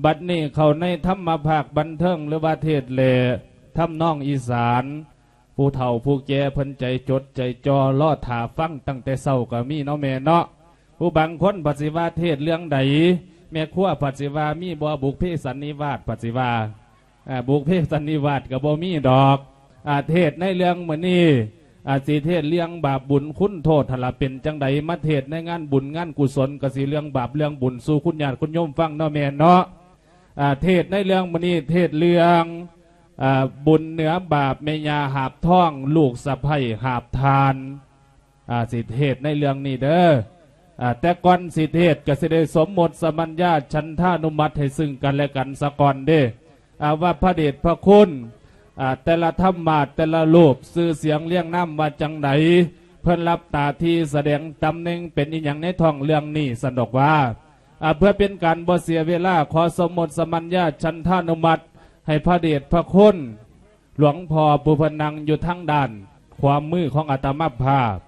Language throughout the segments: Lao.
ບັດນີ້ເຂົ້າໃນທຳມະພາກບັນເທີງ ຫຼືວ່າເທດແລທຳນອງອີສານ ຜູ້ເຖົ້າຜູ້ແກ່ເພິ່ນໃຈຈົດໃຈຈ່ອ ລໍຖ້າຟັງຕັ້ງແຕ່ເຊົ້າກໍມີເນາະແມ່ເນາະ. ຜູ້ບາງຄົນພັດຊິວ່າເທດເລື່ອງໃດ ແມ່ຄົວພັດຊິວ່າມີບໍ່ບຸບເພສັນນິວາດ ພັດຊິວ່າ ອາ ບຸບເພສັນນິວາດກໍບໍ່ມີດອກ. ອາ ເທດໃນເລື່ອງມື້ນີ້ ອາ ຊິເທດເລື່ອງບາບບຸນຄຸນໂທດຫັ້ນລະ ເປັນຈັ່ງໃດ ມາເທດໃນງານບຸນງານກຸສົນ ກໍຊິເລື່ອງບາບເລື່ອງບຸນສູ່ຄຸນຍາດຄຸນໂຍມຟັງເນາະແມ່ເນາະ. ອາ ເທດໃນເລື່ອງມື້ນີ້ ເທດເລື່ອງ ອາ ບຸນເໜືອບາບແມ່ຍ່າຫາບທອງ ລູກສະໃພ້ຫາບທ່ານ. ອາ ຊິເທດໃນເລື່ອງນີ້ເດີ. ອາ ແຕ່ກ່ອນຊິເທດກໍຊິໄດ້ສົມມຸດສະມັນຍາ ສັນທານຸມັດໃຫ້ຊຶ່ງກັນແລະກັນສາກ່ອນເດ້ ອາ ວ່າພະເດດພະຄຸນ ອາ ແຕ່ລະທຳມາດ ແຕ່ລະຮູບ ຊື່ສຽງລຽງນາມວ່າຈັ່ງໃດ ເພິ່ນຮັບໜ້າທີ່ສະແດງຕຳແໜ່ງເປັນອີ່ຫຍັງໃນທ້ອງເລື່ອງນີ້ ຊັ້ນດອກວ່າ. ອາ ເພື່ອເປັນການບໍ່ເສຍເວລາ ຂໍສົມມຸດສະມັນຍາ ສັນທານຸມັດ ໃຫ້ພະເດດພະຄຸນ ຫຼວງພໍ່ຜູ້ເພິ່ນນັ່ງຢູ່ທາງດ້ານຂວາມືຂອງອາດຕະມາພາບ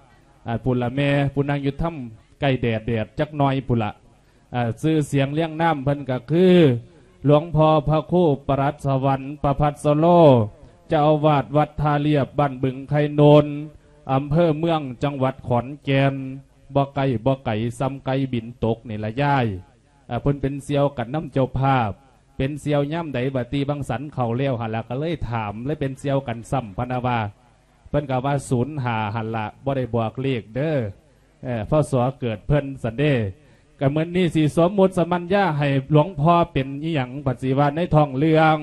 ອາ ພຸ້ນລະແມ່ ຜູ້ນັ່ງຢູ່ທາງໃກ້ແດດ ແດດຈັກໜ້ອຍພຸ້ນລະ. ອາ ຊື່ສຽງລຽງນາມເພິ່ນກໍຄື ຫຼວງພໍ່ພະຄູ ປະຫຼັດສະຫວັນ ປະພັດສະໂລ ເຈົ້າອາວາດວັດທ່າລຽບ ບ້ານບຶງໄຄໂນນ ອຳເພີເມືອງ ຈັງຫວັດຂອນແກ່ນ. ບໍ່ໄກ ບໍ່ໄກ ສ່ຳໄກ່ບິນຕົກນີ້ລະຍາຍ. ອາ ເພິ່ນເປັນສ່ຽວກັນນຳເຈົ້າພາບ ເປັນສ່ຽວຍາມໃດ ບາດຕີບັງສັນເຂົ້າແລ້ວຫັ້ນລະ ກໍເລີຍຖາມ ເລີຍເປັນສ່ຽວກັນຊ້ຳ ພະນະວ່າ. ເພິ່ນກໍວ່າ ສູນຫ້າ ຫັ້ນລະ ບໍ່ໄດ້ບອກເລກເດີ ເອີ ພ.ສ. ເກີດເພິ່ນ ຊັ້ນເດ້. ກໍມື້ນີ້ຊິສົມມຸດສະມັນຍາໃຫ້ຫຼວງພໍ່ເປັນອີ່ຫຍັງ ບັດຊິວ່າໃນທ້ອງເລື່ອງ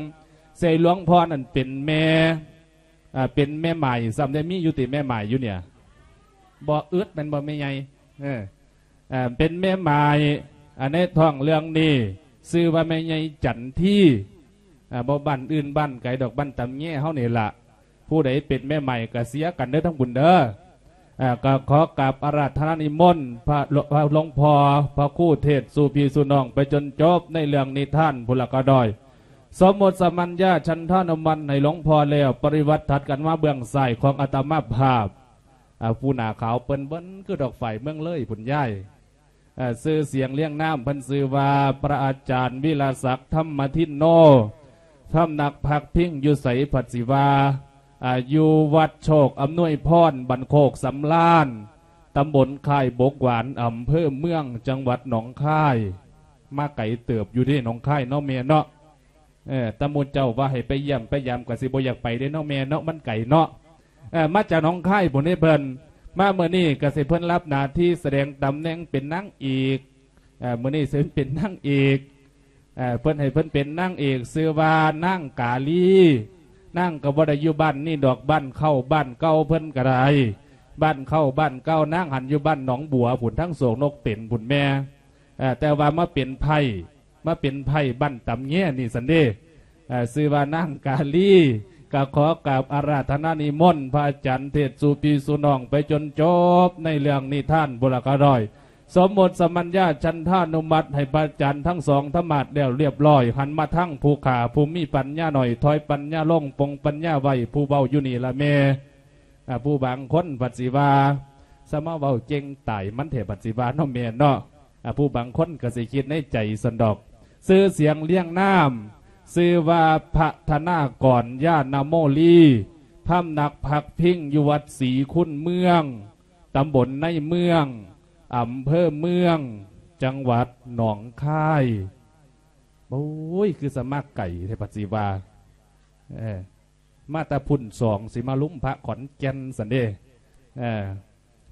ໃສ່ຫຼວງພໍ່ນັ້ນເປັນແມ່ ອາ ເປັນແມ່ໝ້າຍ ຊ້ຳໄດ້ມີຢູ່ຕິແມ່ໝ້າຍຢູ່ເນຍ ບໍ່ອຶດແມ່ນບໍ່ແມ່ໃຫຍ່? ເອີ ເປັນແມ່ໝ້າຍ ອາ ໃນທ້ອງເລື່ອງນີ້ ຊື່ວ່າແມ່ໃຫຍ່ຈັນທີ ອາ ບໍ່ບ້ານອື່ນບ້ານໄກດອກ ບ້ານຕຳແຍເຮົານີ້ລະ. ຜູ້ໃດເປັນແມ່ໝ້າຍກໍເຊຍກັນເດີທັງບຸນເດີ. ອາ ກໍຂໍກາບອາລາທະນານິມົນພະ ພະຫຼວງພໍ່ ພະຄູເທດສູ່ພີ່ສູ່ນ້ອງໄປຈົນຈົບໃນເລື່ອງນິທານພຸ້ນລະກໍດ້ອຍ. ສົມມຸດສະມັນຍາ ສັນທານຸມັດໃຫ້ຫຼວງພໍ່ແລ້ວ ປະລິວາດຖັດກັນມາເບື້ອງຊ້າຍຂອງອາດຕະມາພາບ. ອາ ຜູ້ໜ້າຂາວເປິ້ນເບິ່ນຄືດອກຝ້າຍເມືອງເລີຍພຸ້ນຍາຍ. ເອີ ຊື່ສຽງລຽງນາມເພິ່ນຊື່ວ່າ ພະອາຈານ ວິລະສັກ ທຳມະທິນໂນ ພຳນັກພັກພິງຢູ່ໃສ ພັດຊິວ່າ ອາ ຢູ່ວັດໂຊກອຳນວຍພອນ ບ້ານໂຄກສຳລານ ຕຳບົນຄ້າຍບົກຫວານ ອຳເພີເມືອງ ຈັງຫວັດໜອງຄາຍ. ມາໄກເຕີບຢູ່ເດ້ ໜອງຄາຍເນາະແມ່ເນາະ. ເອີ ຕາໝູ່ເຈົ້າວ່າໃຫ້ໄປຢ້ຽມໄປຢາມ ກໍຊິບໍ່ຢາກໄປເດ້ເນາະແມ່ເນາະ ມັນໄກເນາະ. ເອີ ມາຈາກໜອງຄາຍພຸ້ນເດ້ເພິ່ນ ມາມື້ນີ້ກໍຊິເພິ່ນຮັບໜ້າທີ່ສະແດງຕຳແໜ່ງເປັນນາງເອກ. ເອີ ມື້ນີ້ເພິ່ນເປັນນາງເອກ. ເອີ ເພິ່ນໃຫ້ເພິ່ນເປັນນາງເອກ ຊື່ວ່ານາງກາລີ. ນາງກໍບໍ່ໄດ້ຢູ່ບ້ານນີ້ດອກ ບ້ານເກົ່າ ບ້ານເກົ່າເພິ່ນກໍໄດ້ ບ້ານເກົ່າ ບ້ານເກົ່ານາງຫັ້ນຢູ່ບ້ານໜອງບົວພຸ້ນ ທາງໂສກນົກເຕັນພຸ້ນແມ່. ເອີ ແຕ່ວ່າມາເປັນໄພ້ ມາເປັນໄພ້ບ້ານຕຳແຍນີ້ຊັ້ນເດ້. ເອີ ຊື່ວ່ານາງກາລີ ກໍຂໍກາບອາລາທະນານິມົນພະອາຈານເທດສູ່ພີ່ສູ່ນ້ອງໄປຈົນຈົບໃນເລື່ອງນິທານບຸລະກະດອຍ. ສົມມຸດສະມັນຍາ ສັນທານຸມັດໃຫ້ພະອາຈານທັງສອງທຳມາດແລ້ວລຽບຮ້ອຍ ຫັນມາທາງຜູ້ຂ້າ ຜູ້ມີປັນຍາໜ້ອຍ ຖອຍປັນຍາລົງ ປົງປັນຍາໄວ້ ຜູ້ເວົ້າຢູ່ນີ້ລະແມ່. ອາ ຜູ້ບາງຄົນພັດຊິວ່າ ສະມາເວົ້າເກັ່ງຕາຍມັນແທ້ ພັດຊິວ່າເນາະແມ່ເນາະ. ອາ ຜູ້ບາງຄົນກໍຊິຄິດໃນໃຈຊັ້ນດອກ. ຊື່ສຽງລຽງນາມ ຊື່ວ່າ ພະທະນາກອນ ຍານະໂມລີ ພຳນັກພັກພິງຢູ່ວັດສີຄຸນເມືອງ ຕຳບົນໃນເມືອງ ອຳເພີເມືອງ ຈັງຫວັດໜອງຄາຍ. ໂອ້ຍ ຄືສະມາໄກແທ້ ພັດຊິວ່າ. ເອີ ມາແຕ່ພຸ້ນສອງ ຊິມາລຸມພະຂອນແກ່ນຊັ້ນເດ້. ເອີ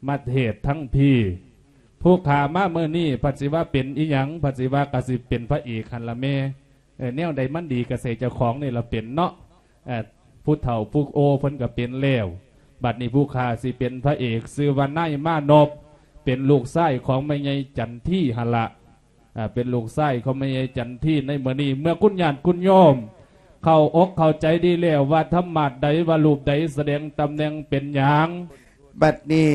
ມາເທດທັງພີ້ ຜູ້ຂ້າມາມື້ນີ້ ພັດຊິວ່າເປັນອີ່ຫຍັງ ພັດຊິວ່າກໍຊິເປັນພະເອກຫັ້ນລະແມ່. ເອີ ແນວໃດມັນດີກໍໃສ່ເຈົ້າຂອງນີ້ລະເປັນເນາະ. ເອີ ຜູ້ເຖົ້າຜູ້ໂອເພິ່ນກໍເປັນແລ້ວ ບັດນີ້ຜູ້ຂ້າຊິເປັນພະເອກ ຊື່ວ່ານາຍມານົບ ເປັນລູກຊາຍຂອງແມ່ໃຫຍ່ຈັນທີຫັ້ນລະ. ອາ ເປັນລູກຊາຍຂອງແມ່ໃຫຍ່ຈັນທີ. ໃນມື້ນີ້ເມື່ອຄຸນຍາດຄຸນໂຍມເຂົ້າອົກເຂົ້າໃຈດີແລ້ວວ່າທຳມາດໃດ ວ່າຮູບໃດ ສະແດງຕຳແໜ່ງເປັນຫຍັງ. ບັດນີ້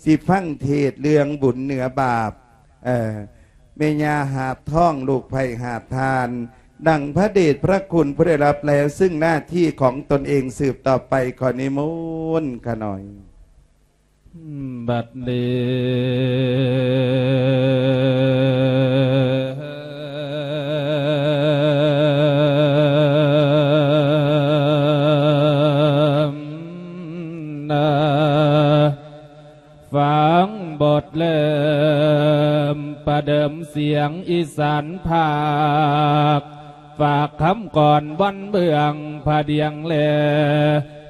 ຊິຟັງເທດເລື່ອງບຸນເໜືອບາບ ເອີ ແມ່ຍ່າຫາບທອງ ລູກໃພ້ຫາບທ່ານ ດັ່ງພະເດດພະຄຸນຜູ້ໄດ້ຮັບແລ້ວ ຊຶ່ງໜ້າທີ່ຂອງຕົນເອງສືບຕໍ່ໄປ. ຂໍນິມົນຂະໜ້ອຍ. ບັດນີ້ ເດີມສຽງອີສານພາກ ຝາກຄຳກ່ອນວັນເບື້ອງພະດຽງແລ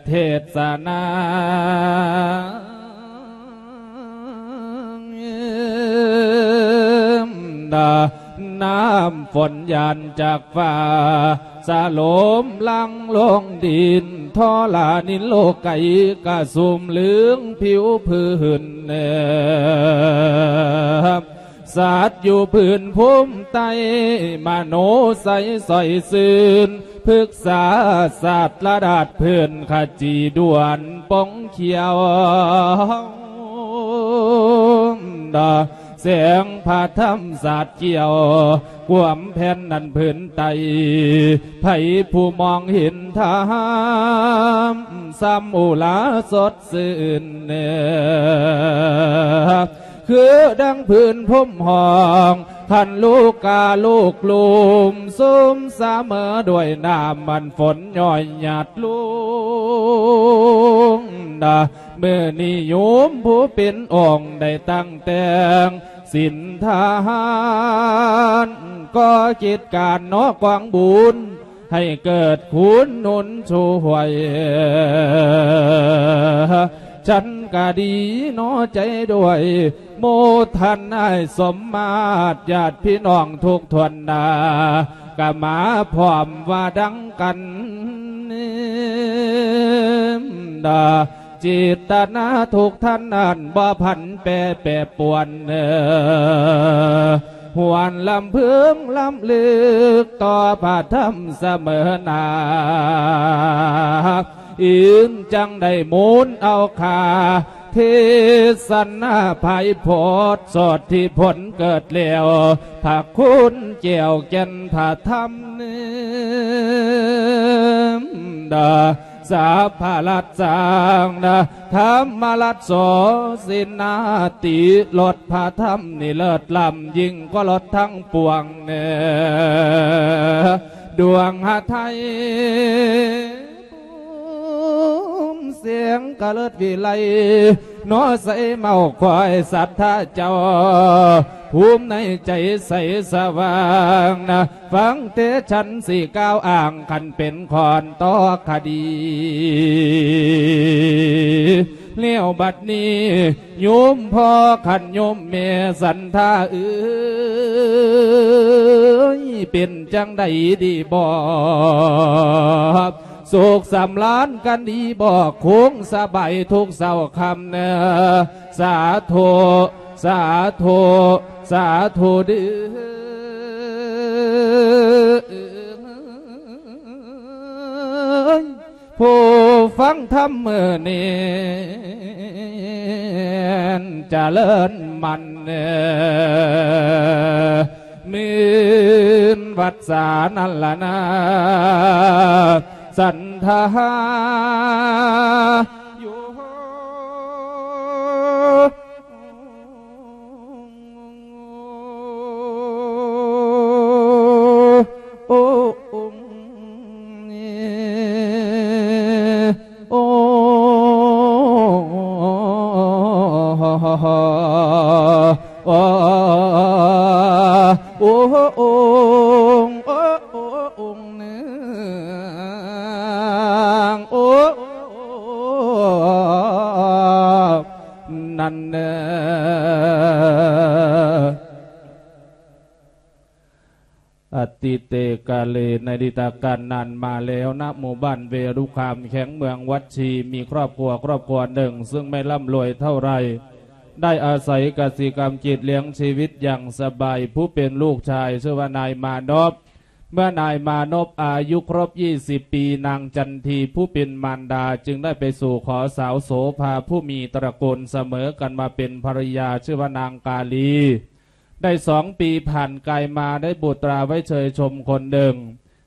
ເທດສະນາ ນ້ຳຝົນຫຍາດຈາກຟ້າ ສະຫຼົມຫຼັ່ງລົງດິນ ທໍລະນິນໂລກໄກ ກະຊຸ່ມເຫຼືອງຜິວພື້ນ ສັດຢູ່ພື້ນພູມໃຕ້ ມະໂນໄຊຊ່ອຍຊື່ນ ພຶກສາສາດລະດາດພື້ນ ຂະຈີດວນປ່ອງຂຽວ ແສງພະທຳສາດກ່ຽວ ກວມແຜ່ນແຜ່ນພື້ນໃຕ້ ໃຜຜູ້ມອງເຫັນທຳ ສ່ຳອຸລາສົດຊື່ນ ຄືດັ່ງພື້ນພົມຫ້ອງ ຄັນລູກກາລູກລຸ່ມ ຊຸ່ມສະເໝີດ້ວຍນ້ຳ ອັນຝົນຍ້ອຍຫຍາດລົງ ມື້ນີ້ໂຍມຜູ້ເປັນອົງ ໄດ້ຕັ້ງແຕ່ງສິນທານ ກໍ່ກິດການເນາະກອງບຸນ ໃຫ້ເກີດຄຸນໜູນຊ່ວຍ ສັນກະດີເນາະໃຈດ້ວຍ ໂມທະນາສົມມາດ ຍາດພີ່ນ້ອງທຸກຖ້ວນໜ້າ ກະມາພ້ອມວ່າດັ່ງກັນ ເດີ ເຈດຕະນາທຸກທ່ານນັ້ນ ບໍ່ຜັນແປແປປວນ ເອີ ຫວນລຳເພິງລຳລຶກ ຕໍ່ພະທຳສະເໝີໜ້າ ອີງຈັ່ງໄດ້ມູນເອົາຄ່າ ເທດສະນາພາຍໂພດ ໂສດທີ່ຜົນເກີດແລ້ວ ພະຄຸນແກ້ວແກ່ນພະທຳ ດາ ສາພະລັດສັງນະ ທຳມະລັດໂສສິນນາຕິ ລົດພະທຳນີ້ເລີດລ້ຳ ຍິ່ງກວ່າລົດທັງປວງ ດວງຫະໄທ ພູມສຽງກະເລີດວິໄລ ເນາະໃສເມົາຄວາຍສັດທາເຈົ້າ ພູມໃນໃຈໃສສະຫວ່າງນະ ຟັງແຕ່ສັນຊິກ່າວອ້າງ ຄັນເປັນຄອນຕໍ່ຄະດີ ແລ້ວບັດນີ້ ໂຍມພໍ່ຂັນໂຍມແມ່ສັນທາເອີຍ ເປັນຈັ່ງໃດດີບໍ່? ສຸກສຳລານກັນດີບໍ່? ຄົງສະບາຍທຸກເຊົ້າຄ່ຳເນີ ສາທຸ ສາທຸ ສາທຸເດີ. ຜູ້ຟັງທຳມື້ນີ້ ຈະເລີນໝັ້ນ ໝື່ນວັດສານັ້ນລະນາ ສັນທາ ໂອ ໂອ ໂອ ໂອ ໂອ ໂອ ໂອ ນາງ ໂອ ນັ້ນເນີ. ອະຕິເຕກາເລ ໃນອະດີດຕະການນານມາແລ້ວ ນະໝູ່ບ້ານເວລຸຄາມ ແຂວງເມືອງວັດຊີ ມີຄອບຄົວ ຄອບຄົວໜຶ່ງ ຊຶ່ງໄມ່ລ່ຳລວຍເທົ່າໃດ ໄດ້ອາໄສກະສິກຳກິດລ້ຽງຊີວິດຢ່າງສະບາຍ. ຜູ້ເປັນລູກຊາຍຊື່ວ່ານາຍມານົບ. ເມື່ອນາຍມານົບອາຍຸຄົບຊາວປີ ນາງຈັນທີຜູ້ເປັນມານດາຈຶ່ງໄດ້ໄປສູ່ຂໍສາວໂສພາຜູ້ມີຕະລະກູນສະເໝີກັນມາເປັນພັນລະຍາ ຊື່ວ່ານາງກາລີ. ໄດ້ສອງປີຜ່ານກາຍມາໄດ້ບຸດຕາໄວ້ເຊີຍຊົມຄົນໜຶ່ງ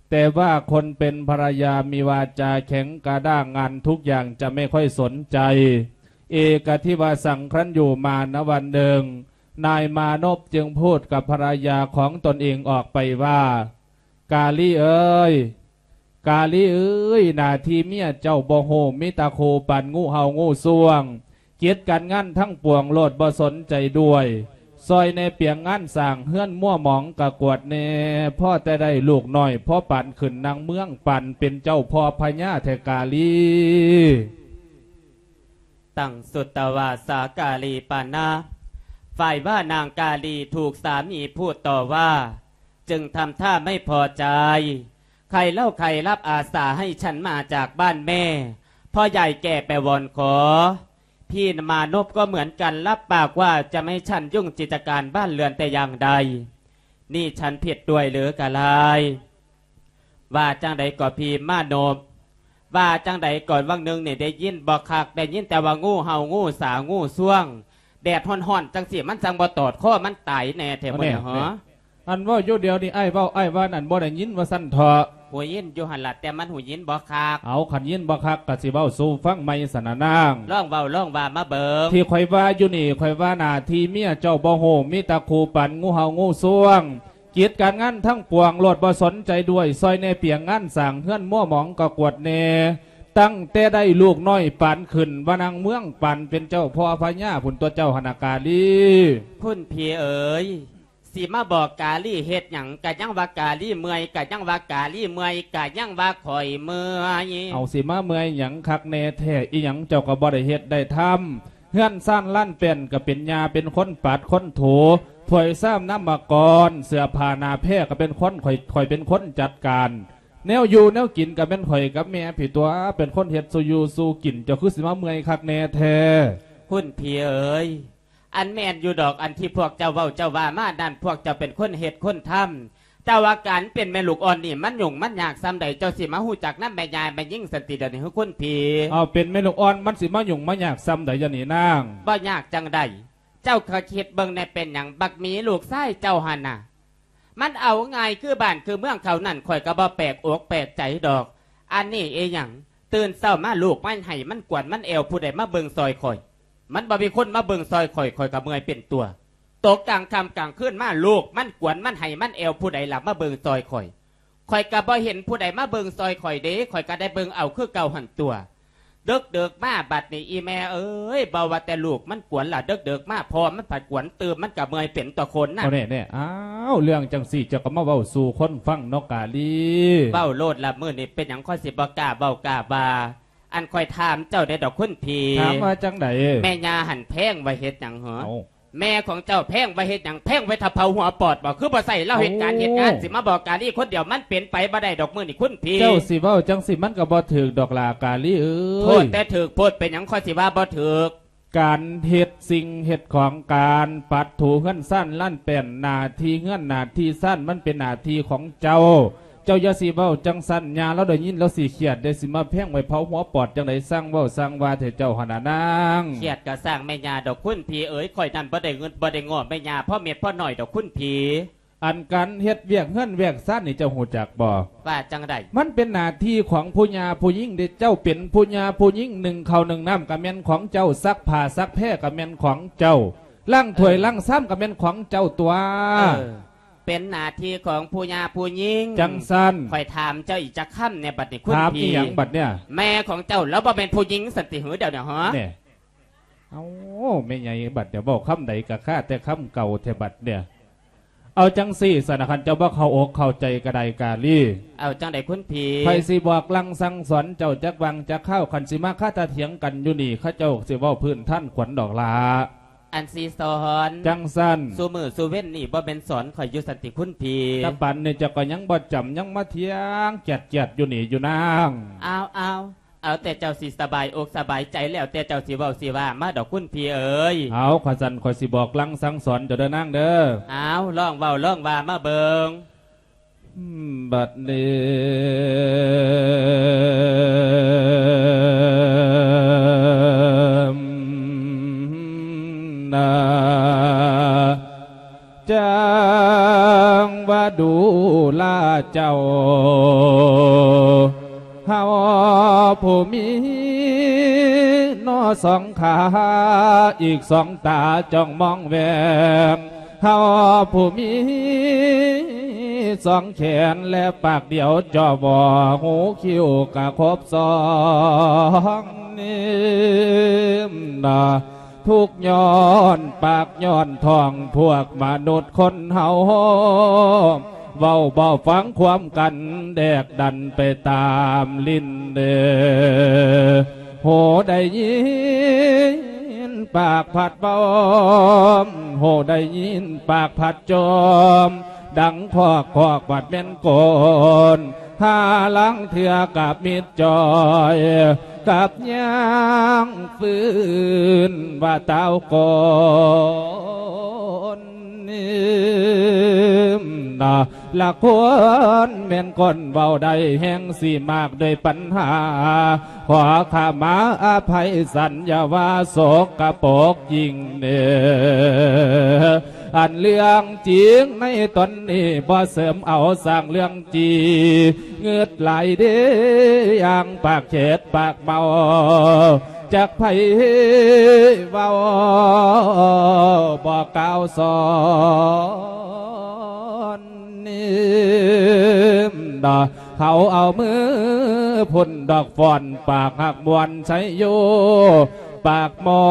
ແຕ່ວ່າຄົນເປັນພັນລະຍາມີວາຈາແຂງກະດ້າງ ງານທຸກຢ່າງຈະໄມ່ຄ່ອຍສົນໃຈ. ເອກະທິວາສັງ ຄັ້ນຢູ່ມານະວັນໜຶ່ງ ນາຍມານົບຈຶ່ງພູດກັບພັນລະຍາຂອງຕົນເອງອອກໄປວ່າ ກາລີເອີຍ ກາລີເອີຍ ໜ້າທີ່ເມຍເຈົ້າບໍ່ຮູ້ ມີຕາໂຄປານງູເຫົ່າງູຊ່ວງ ກິດການງານທັງປວງໂລດບໍ່ສົນໃຈດ້ວຍ. ຊ່ອຍແດ່ປຽງງານສ້າງເຮືອນມົວໝອງກະກວດແດ່ ພໍແຕ່ໄດ້ລູກນ້ອຍ ພໍປານຂຶ້ນນາງເມືອງ ປານເປັນເຈົ້າພໍ່ພະຍາແທ້ກາລີ. ຕັງສຸດຕະວາສາກາລີປານະ ຝ່າຍວ່ານາງກາລີຖືກສາມີຜູ້ຕໍ່ວ່າ ຈຶ່ງທຳທ່າໄມ່ພໍໃຈ ໃຄເລົ່າໃຄລັບອາສາໃຫ້ສັນມາຈາກບ້ານແມ່ ເພາະຢາຍແກ່ໄປວອນຂໍ ພີ່ມານົບກໍເໝືອນກັນ ລັບປາກວ່າຈະໄມ່ສັນຫຍຸ້ງກິດຈະການບ້ານເຮືອນແຕ່ຢ່າງໃດ. ນີ້ສັນຜິດດ້ວຍຫຼືກະລາຍ? ວ່າຈັ່ງໃດກໍພີ່ມານົບ? ວ່າຈັ່ງໃດກໍວັງໜຶ່ງນີ້ໄດ້ຍິນບໍ່ຄັກ ໄດ້ຍິນແຕ່ວ່າງູເຫົ່າ ງູສາ ງູຊວງ ແດດຮ້ອນໆ ຈັ່ງຊີ້ ມັນຈັ່ງບໍ່ຕອດຄໍມັນຕາຍແດ່ແທ້ມື້ນີ້ເຫາະ. ອັນເວົ້າຢູ່ດຽວນີ້ອ້າຍເວົ້າ ອ້າຍວ່ານັ້ນບໍ່ໄດ້ຍິນວ່າຊັ້ນເຖາະ. ຫູຍິນຢູ່ຫັ້ນລະ ແຕ່ມັນຫູຍິນບໍ່ຄັກ. ເອົາ ຄັນຍິນບໍ່ຄັກກະຊິເວົ້າສູ່ຟັງໃໝ່ຊັ້ນນະນາງ. ລອງເວົ້າລອງວ່າມາເບິ່ງ. ທີ່ຂ້ອຍວ່າຢູ່ນີ້ ຂ້ອຍວ່າໜ້າທີ່ເມຍເຈົ້າບໍ່ຮູ້ ມີແຕ່ຄູ່ປັນງູເຫົ່າງູຊວງ ກິດການງານທັງປວງໂລດບໍ່ສົນໃຈດ້ວຍ ຊ່ອຍແດ່ປຽງງານສ້າງເຮືອນມົວໝອງກະກວດແດ່ ຕັ້ງແຕ່ໄດ້ລູກນ້ອຍປານຂຶ້ນວ່ານາງເມືອງ ປານເປັນເຈົ້າພໍ່ພະຍາພຸ້ນຕົວະເຈົ້າຫັ້ນນະກາລີ. ຄຸນພີ່ເອີຍ ຊິມາບອກກາລີເຮັດຫຍັງ ກະຍັງວ່າກາລີເມື່ອຍ ກະຍັງວ່າກາລີເມື່ອຍ ກະຍັງວ່າຂ້ອຍເມື່ອຍ. ເອົາ ຊິມາເມື່ອຍຫຍັງຄັກແນ່ແທ້ ອີ່ຫຍັງເຈົ້າກະບໍ່ໄດ້ເຮັດໄດ້ທຳ ເຮືອນຊານລານແປ້ນກະເປັນຍ່າເປັນຄົນປາດຄົນຖູ ຖ້ວຍຊາມນ້ຳມະກອນ ເສື້ອຜ້າໜ້າແພກະເປັນຄົນ ຂ້ອຍ ຂ້ອຍເປັນຄົນຈັດການ ແນວຢູ່ແນວກິນກະແມ່ນຂ້ອຍກັບແມ່ພີ້ຕົວະ ເປັນຄົນເຮັດສູ່ຢູ່ສູ່ກິນ ເຈົ້າຄືຊິມາເມື່ອຍຄັກແນ່ແທ້? ຄຸນພີ່ເອີຍ ອັນແມ່ນຢູ່ດອກ ອັນທີ່ພວກເຈົ້າເວົ້າເຈົ້າວ່າມານັ້ນ ພວກເຈົ້າເປັນຄົນເຮັດຄົນທຳ ແຕ່ວ່າການເປັນແມ່ລູກອ່ອນນີ້ ມັນຫຍຸ້ງມັນຍາກສ່ຳໃດ ເຈົ້າຊິມາຮູ້ຈັກນຳແມ່ຍ່າແມ່ຍິງຊັ້ນຕິດຽວນີ້ ເຮີ ຄຸນພີ່? ເອົາ ເປັນແມ່ລູກອ່ອນມັນຊິມາຫຍຸ້ງມາຍາກສ່ຳໃດດຽວນີ້ນາງ? ບໍ່ຍາກຈັ່ງໃດ ເຈົ້າກະຄິດເບິ່ງແດ່ ເປັນຫຍັງບັກໝີລູກຊາຍເຈົ້າຫັ້ນນະ ມັນເອົາງ່າຍຄືບ້ານຄືເມືອງເຂົານັ້ນ ຂ້ອຍກະບໍ່ແປກອົກແປກໃຈດອກ. ອັນນີ້ອີ່ຫຍັງ ຕື່ນເຊົ້າມາລູກມັນໄຫ້ມັນກວນມັນແອວ ຜູ້ໃດມາເບິ່ງຊ່ອຍຂ້ອຍ? ມັນບໍ່ມີຄົນມາເບິ່ງຊ່ອຍຂ້ອຍ ຂ້ອຍກະເມື່ອຍເປັນຕົວະ. ຕົກກາງຄ່ຳກາງຄືນມາ ລູກມັນກວນມັນໄຫ້ມັນແອວ ຜູ້ໃດລະມາເບິ່ງຊ່ອຍຂ້ອຍ? ຂ້ອຍກະບໍ່ເຫັນຜູ້ໃດມາເບິ່ງຊ່ອຍຂ້ອຍເດ ຂ້ອຍກະໄດ້ເບິ່ງເອົາຄືເກົ່າຫັ້ນຕົວະ. ເດິກໆມາບັດນີ້ ອີ່ແມ່ເອີຍ ບໍ່ວ່າແຕ່ລູກມັນກວນລະ ເດິກໆມາພໍ່ມັນພັດກວນຕື່ມ ມັນກະເມື່ອຍເປັນຕົວະຄົນນະ. ເອົາແນ່ໆ ອ້າວ ເລື່ອງຈັ່ງຊີ້ເຈົ້າກະມາເວົ້າສູ່ຄົນຟັງເນາະກາລີ. ເວົ້າໂລດລະ ມື້ນີ້ເປັນຫຍັງຂ້ອຍຊິບໍ່ກ້າເວົ້າກ້າວ່າ? ອັນຂ້ອຍຖາມເຈົ້າແດ່ດອກຄຸນພີ່ ຖາມວ່າຈັ່ງໃດ? ແມ່ຍ່າຫັ້ນແພງໄວ້ເຮັດຫຍັງເຫາະ? ເອົ້າ ແມ່ຂອງເຈົ້າແພງໄວ້ເຮັດຫຍັງ? ແພງໄວ້ຖ້າເຜົາຫົວປອດບໍ? ຄືບໍ່ໃຊ້ລາວເຮັດການເຮັດງານ ເອົາ ຊິມາບອກກາລີຄົນດຽວ ມັນເປັນໄປບໍ່ໄດ້ດອກມື້ນີ້ຄຸນພີ່. ເຈົ້າຊິເວົ້າຈັ່ງຊີ້ມັນກະບໍ່ຖືກດອກຫຼ້າກາລີເອີຍ. ໂພດແຕ່ຖືກໂພດ ເປັນຫຍັງຂ້ອຍຊິວ່າບໍ່ຖືກ? ການເຮັດສິ່ງເຮັດຂອງ ການປັດຖູເຮືອນຊານລານແປ້ນ ໜ້າທີ່ເຮືອນໜ້າທີ່ຊານມັນເປັນໜ້າທີ່ຂອງເຈົ້າ. ເຈົ້າຢ່າຊິເວົ້າຈັ່ງຊັ້ນ ຍ່າລາວໄດ້ຍິນລາວຊິຄຽດເດ້ ຊິມາແພງໄວ້ເຜົາຫົວປອດຈັ່ງໃດ? ຊ່າງເວົ້າຊ່າງວ່າແທ້ເຈົ້າຫັ້ນນະນາງ. ຄຽດກະຊ່າງແມ່ຍ່າດອກຄຸນພີ່ເອີຍ ຂ້ອຍນັ້ນບໍ່ໄດ້ເງິນບໍ່ໄດ້ງໍ້ແມ່ຍ່າພໍເມັດພໍໜ້ອຍດອກຄຸນພີ່. ອັນການເຮັດວຽກເຮືອນວຽກຊານນີ້ເຈົ້າຮູ້ຈັກບໍ່? ວ່າຈັ່ງໃດ? ມັນເປັນໜ້າທີ່ຂອງຜູ້ຍ່າຜູ້ຍິງເດ້. ເຈົ້າເປັນຜູ້ຍ່າຜູ້ຍິງ ໜຶ້ງເຂົ້າໜຶ້ງນ້ຳກະແມ່ນຂອງເຈົ້າ ຊັກຜ້າຊັກແພກະແມ່ນຂອງເຈົ້າ ລ້າງຖ້ວຍ ເອີ ລ້າງຊາມກະແມ່ນຂອງເຈົ້າຕົວະ. ເອີ ເປັນໜ້າທີ່ຂອງຜູ້ຍ່າຜູ້ຍິງ. ຈັ່ງຊັ້ນ ຂ້ອຍຖາມເຈົ້າອີກຈັກຄຳແດ່ບັດນີ້ຄຸນພີ່. ຖາມອີ່ຫຍັງບັດເນຍ? ແມ່ຂອງເຈົ້າລາວບໍ່ແມ່ນຜູ້ຍິງຊັ້ນຕິເຫີ ດຽວນີ້ເຫາະ? ແນ່ ເອົາ ແມ່ໃຫຍ່ບັດເນຍ ເວົ້າຄຳໃດກະຄາແຕ່ຄຳເກົ່າແທ້ບັດເນຍ. ເອົາຈັ່ງຊີ້ຊັ້ນນະ ຄັນເຈົ້າບໍ່ເຂົ້າອົກເຂົ້າໃຈກະໄດ້ກາລີ ເອົາຈັ່ງໃດຄຸນພີ່? ຂ້ອຍຊິບອກລາງສັ່ງສອນເຈົ້າຈັກຫວ່າງຈັກຄາວ ຄັນຊິມາຄາຕາຖຽງກັນຢູ່ນີ້ ເຂົາເຈົ້າຊິເວົ້າພື້ນຖານຂວັນດອກຫຼ້າ. ອັນຊິສອນ ຈັ່ງຊັ້ນ ສູ່ມື້ສູ່ເວັນນີ້ບໍ່ແມ່ນສອນຂ້ອຍຢູ່ຊັ້ນຕິຄຸນພີ່? ແຕ່ປານນີ້ເຈົ້າກະຍັງບໍ່ຈຳ ຍັງມາຖຽງຈຽດໆຢູ່ນີ້ຢູ່ນາງ. ເອົາໆ ເອົາແຕ່ເຈົ້າຊິສະບາຍອົກສະບາຍໃຈ ແລ້ວແຕ່ເຈົ້າຊິເວົ້າຊິວ່າມາດອກຄຸນພີ່ເອີຍ. ເອົາ ຄັນຊັ້ນຂ້ອຍຊິບອກລາງສັ່ງສອນເຈົ້າເດີນາງເດີ. ເອົາ ລອງເວົ້າລອງວ່າມາເບິ່ງ. ບັດນີ້ນາ ຈັ່ງວ່າດູລາເຈົ້າ ເຮົາຜູ້ມີໜໍ່ສອງຂາ ອີກສອງຕາຈ້ອງມອງແວມ ເຮົາຜູ້ມີສອງແຂນ ແລະປາກດຽວຈໍ້ວໍ້ ຫູຄິ້ວກະຄົບສອງນີ້ນາ. ທຸກຍ້ອນປາກຍ້ອນທ້ອງ ພວກມະນຸດຄົນເຮົາ ເວົ້າບໍ່ຟັງຄວາມກັນ ແດກດັນໄປຕາມລິນເດີ. ຫູໄດ້ຍິນປາກພັດເວົ້າ ຫູໄດ້ຍິນປາກພັດຈົ່ມ ດັ່ງຄອກຄອກບັດແມ່ນໂກນ ຫາລາງເທື່ອກັບມິດຈ່ອຍ ກັບຍ່າງຟື້ນວ່າຕາວກ່ອນ. ນະ ລະຄົນແມ່ນຄົນເວົ້າໄດ້ ແຮ່ງຊິມາກດ້ວຍປັນຫາ ຂໍຂະມາອະໄພສັນ ຢ່າວ່າສົກກະປົກຍິ່ງເນີ. ອັນເລື່ອງຈິງໃນຕອນນີ້ ບໍ່ເສີມເອົາສ້າງເລື່ອງຈີ ງຶດຫຼາຍເດ້ ຢ່າງປາກເຂດປາກເມົາ ຈັກໃຜເວົ້າບໍ່ກ່າວສອນ. ເຂົາເອົາມືພຸ້ນດອກຟ້ອນ ປາກຮັກມ່ວນໄຊໂຍ ປາກໝໍ້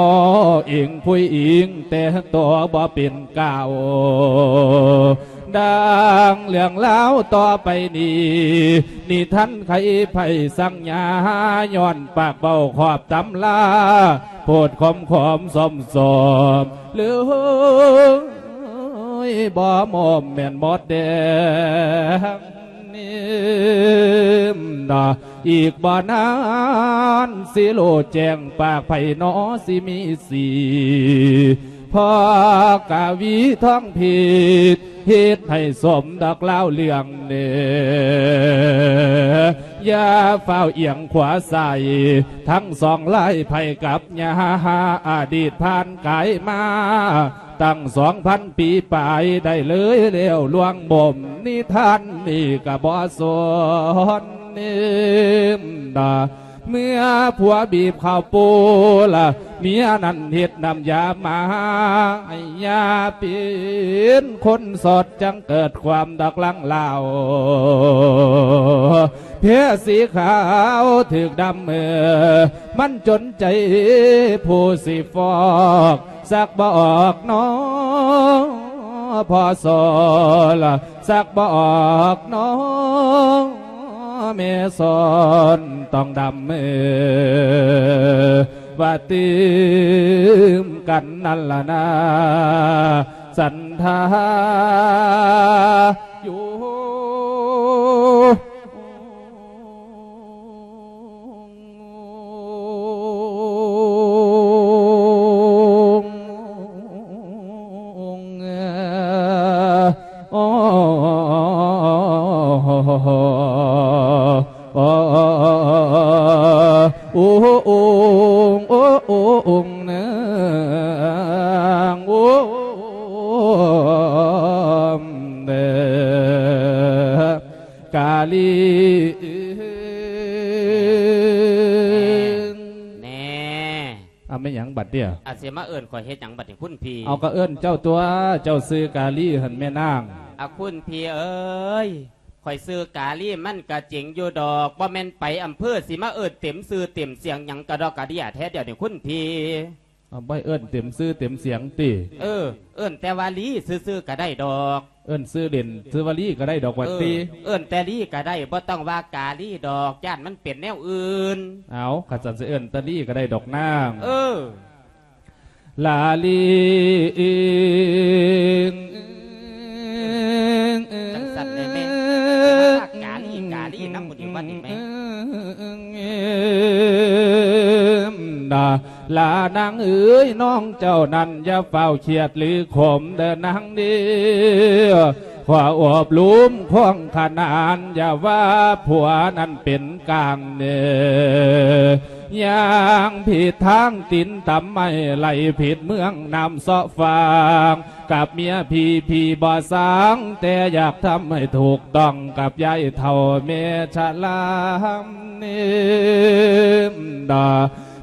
ອິງຜູ້ອີງ ແຕ່ຕົວບໍ່ເປັນກ່າວ. ດັ່ງເລື່ອງລາວຕໍ່ໄປນີ້ ນິທານໄຂໄພສັງຍາ ຍ້ອນປາກເວົ້າຂອບຕຳລາ ໂພດຂອມໆ ສົມໆ ເລີຍບໍ່ໝົມແມ່ນໝົດແດງ. ນະ ອີກບໍ່ນານ ຊິໂລແຈ້ງປາກໃຜໜໍ ຊິມີສີ ເພາະກະວີທອງຜິດ ເຮັດໃຫ້ສົມດອກລາວເລື່ອງເນີ. ຢ່າຟ້າວອຽງຂວາຊ້າຍ ທັງສອງລາຍ ໃຜກັບຍາ ອະດີດຜ່ານກາຍມາ ຕັ້ງສອງພັນປີປາຍ ໄດ້ເລີຍແລ້ວລວງບົ່ມ ນິທານນີ້ກະບໍ່ສົນເນມດາ. ເມື່ອຜົວບີບເຂົ້າປູລະ ເມຍນັ້ນເຮັດນ້ຳຢາມາໃຫ້ ຢ່າເປັນຄົນສອດ ຈັ່ງເກີດຄວາມດອກຫຼັງລາວ ແພສີຂາວຖືກດຳເອີ ມັນຈົນໃຈຜູ້ຊິຟອກ ສັກບໍ່ອອກໜໍພໍ່ສອນ ສັກບໍ່ອອກໜໍແມ່ສອນ ຕ້ອງດຳເອີ ວ່າຕື່ມກັນນັ້ນລະນາ ສັນທາຢູ່. ກາລີ ແນ່ ເອົາແມ່ນຫຍັງບັດເດຍ? ອາ ຊິມາເອີ້ນຂ້ອຍເຮັດຫຍັງບັດນີ້ຄຸນພີ່? ເອົາ ກໍເອີ້ນເຈົ້າຕົວະ ເຈົ້າຊື່ກາລີຫັ້ນແມ່ນາງ. ອາ ຄຸນພີ່ເອີຍ ຂ້ອຍຊື່ກາລີມັນກະເຈັງຢູ່ດອກ ບໍ່ແມ່ນໄປອຳເພີຊິມາເອີ້ນເຕັມຊື່ເຕັມສຽງຫຍັງກະດອກກະເດຍແທ້ດຽວນີ້ຄຸນພີ່. ເອົາ ບໍ່ໃຫ້ເອີ້ນເຕັມຊື່ເຕັມສຽງຕິ? ເອີ ເອີ້ນແຕ່ວ່າລີຊື່ໆກະໄດ້ດອກ. ເອີ້ນຊື່ຫຼິ້ນຊື່ວ່າລີກະໄດ້ດອກວ່າຕິ? ເອີ ເອີ້ນແຕ່ລີກະໄດ້ ບໍ່ຕ້ອງວ່າກາລີດອກ ຢ້ານມັນເປັນແນວອື່ນ. ເອົາ ຄັນຊັ້ນຊິເອີ້ນແຕ່ລີກະໄດ້ດອກນາງ. ເອີ ລາລີ ຈັ່ງຊັ້ນແດ່ແມ່ ກາລີ ກາລີນຳໝູ່ນີ້ວ່າຕິແມ່. ລານາງເອີຍ ນ້ອງເຈົ້ານັ້ນຢ່າຟ້າວຄຽດຫຼືຂົມເດີນາງເດີ ຂໍໂອບລຸມຄວາງຂະໜານ ຢ່າວ່າຜົວນັ້ນເປັນກາງເດີ ຍ່າງຜິດທາງຕີນຕຳໄມ້ ໄຫຼຜິດເມືອງນ້ຳເຊາະຟາງ ກັບເມຍພີ່ ພີ່ບໍ່ສ້າງ ແຕ່ຢາກທຳໃຫ້ຖືກຕ້ອງ ກັບຍາຍເຖົ້າແມ່ຊະລາເນມດາ.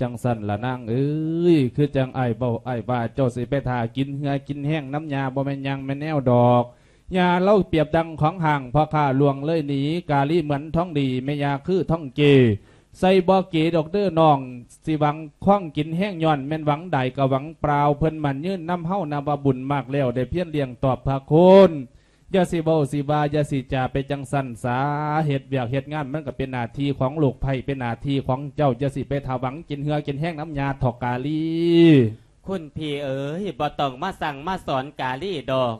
ຈັ່ງຊັ້ນລະນາງເອີຍ ຄືຈັ່ງອ້າຍເວົ້າອ້າຍວ່າ ເຈົ້າຊິໄປຖ້າກິນເຫື່ອກິນແຮງນຳຍ່າ ບໍ່ແມ່ນຫຍັງແມ່ນແນວດອກ. ຍ່າລາວປຽບດັ່ງຂອງຫ້າງ ພໍ່ຄ້າລ່ວງເລີຍໜີ ກາລີເໝືອນທອງດີ ແມ່ຍ່າຄືທອງເກ ໃສ່ບໍ່ເກດອກເດີນ້ອງ ຊິຫວັງຄອງກິນແຮງ ຍ້ອນແມ່ນຫວັງໄດ້ກະຫວັງເປົ່າ ເພິ່ນໝັ້ນຍືນນຳເຮົາ ນັບວ່າບຸນມາກແລ້ວ ໄດ້ພຽນລ້ຽງຕອບພະຄຸນ. ຢ່າຊິເວົ້າຊິວ່າ ຢ່າຊິຈາໄປຈັ່ງຊັ້ນສາ ເຮັດວຽກເຮັດງານມັນກະເປັນໜ້າທີ່ຂອງລູກໃພ້ ເປັນໜ້າທີ່ຂອງເຈົ້າ ຢ່າຊິໄປຖ້າຫວັງກິນເຫື່ອກິນແຮງນຳຍ່າເຖາະກາລີ. ຄຸນພີ່ເອີຍ ບໍ່ຕ້ອງມາສັ່ງມາສອນກາລີດອກ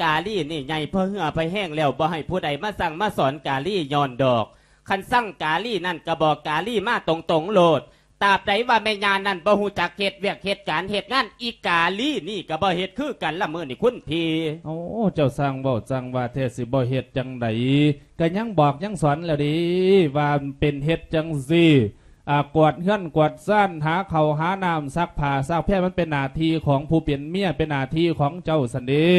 ກາລີນີ້ໃຫຍ່ພໍເຫື່ອພໍແຮງແລ້ວ ບໍ່ໃຫ້ຜູ້ໃດມາສັ່ງມາສອນກາລີຍ້ອນດອກ. ຄັນສັ່ງກາລີນັ້ນກະບອກກາລີມາຕົງໆໂລດ ຕາບໃດວ່າແມ່ຍ່ານັ້ນບໍ່ຮູ້ຈັກເຮັດວຽກເຮັດການເຮັດງານ ອີກາລີນີ້ກະບໍ່ເຮັດຄືກັນລະມື້ນີ້ຄຸນພີ່. ໂອ້ ເຈົ້າຊ່າງເວົ້າຊ່າງວ່າແທ້ ຊິບໍ່ເຮັດຈັ່ງໃດ ກະຍັງບອກຍັງສອນແລ້ວເດ້ ວ່າເປັນເຮັດຈັ່ງຊີ້ ອາ ກວາດເຮືອນກວາດຊານ ຫາເຂົ້າຫານ້ຳ ຊັກຜ້າຊັກແພ ມັນເປັນໜ້າທີ່ຂອງຜູ້ເປັນເມຍ ເປັນໜ້າທີ່ຂອງເຈົ້າຊັ້ນເດ້.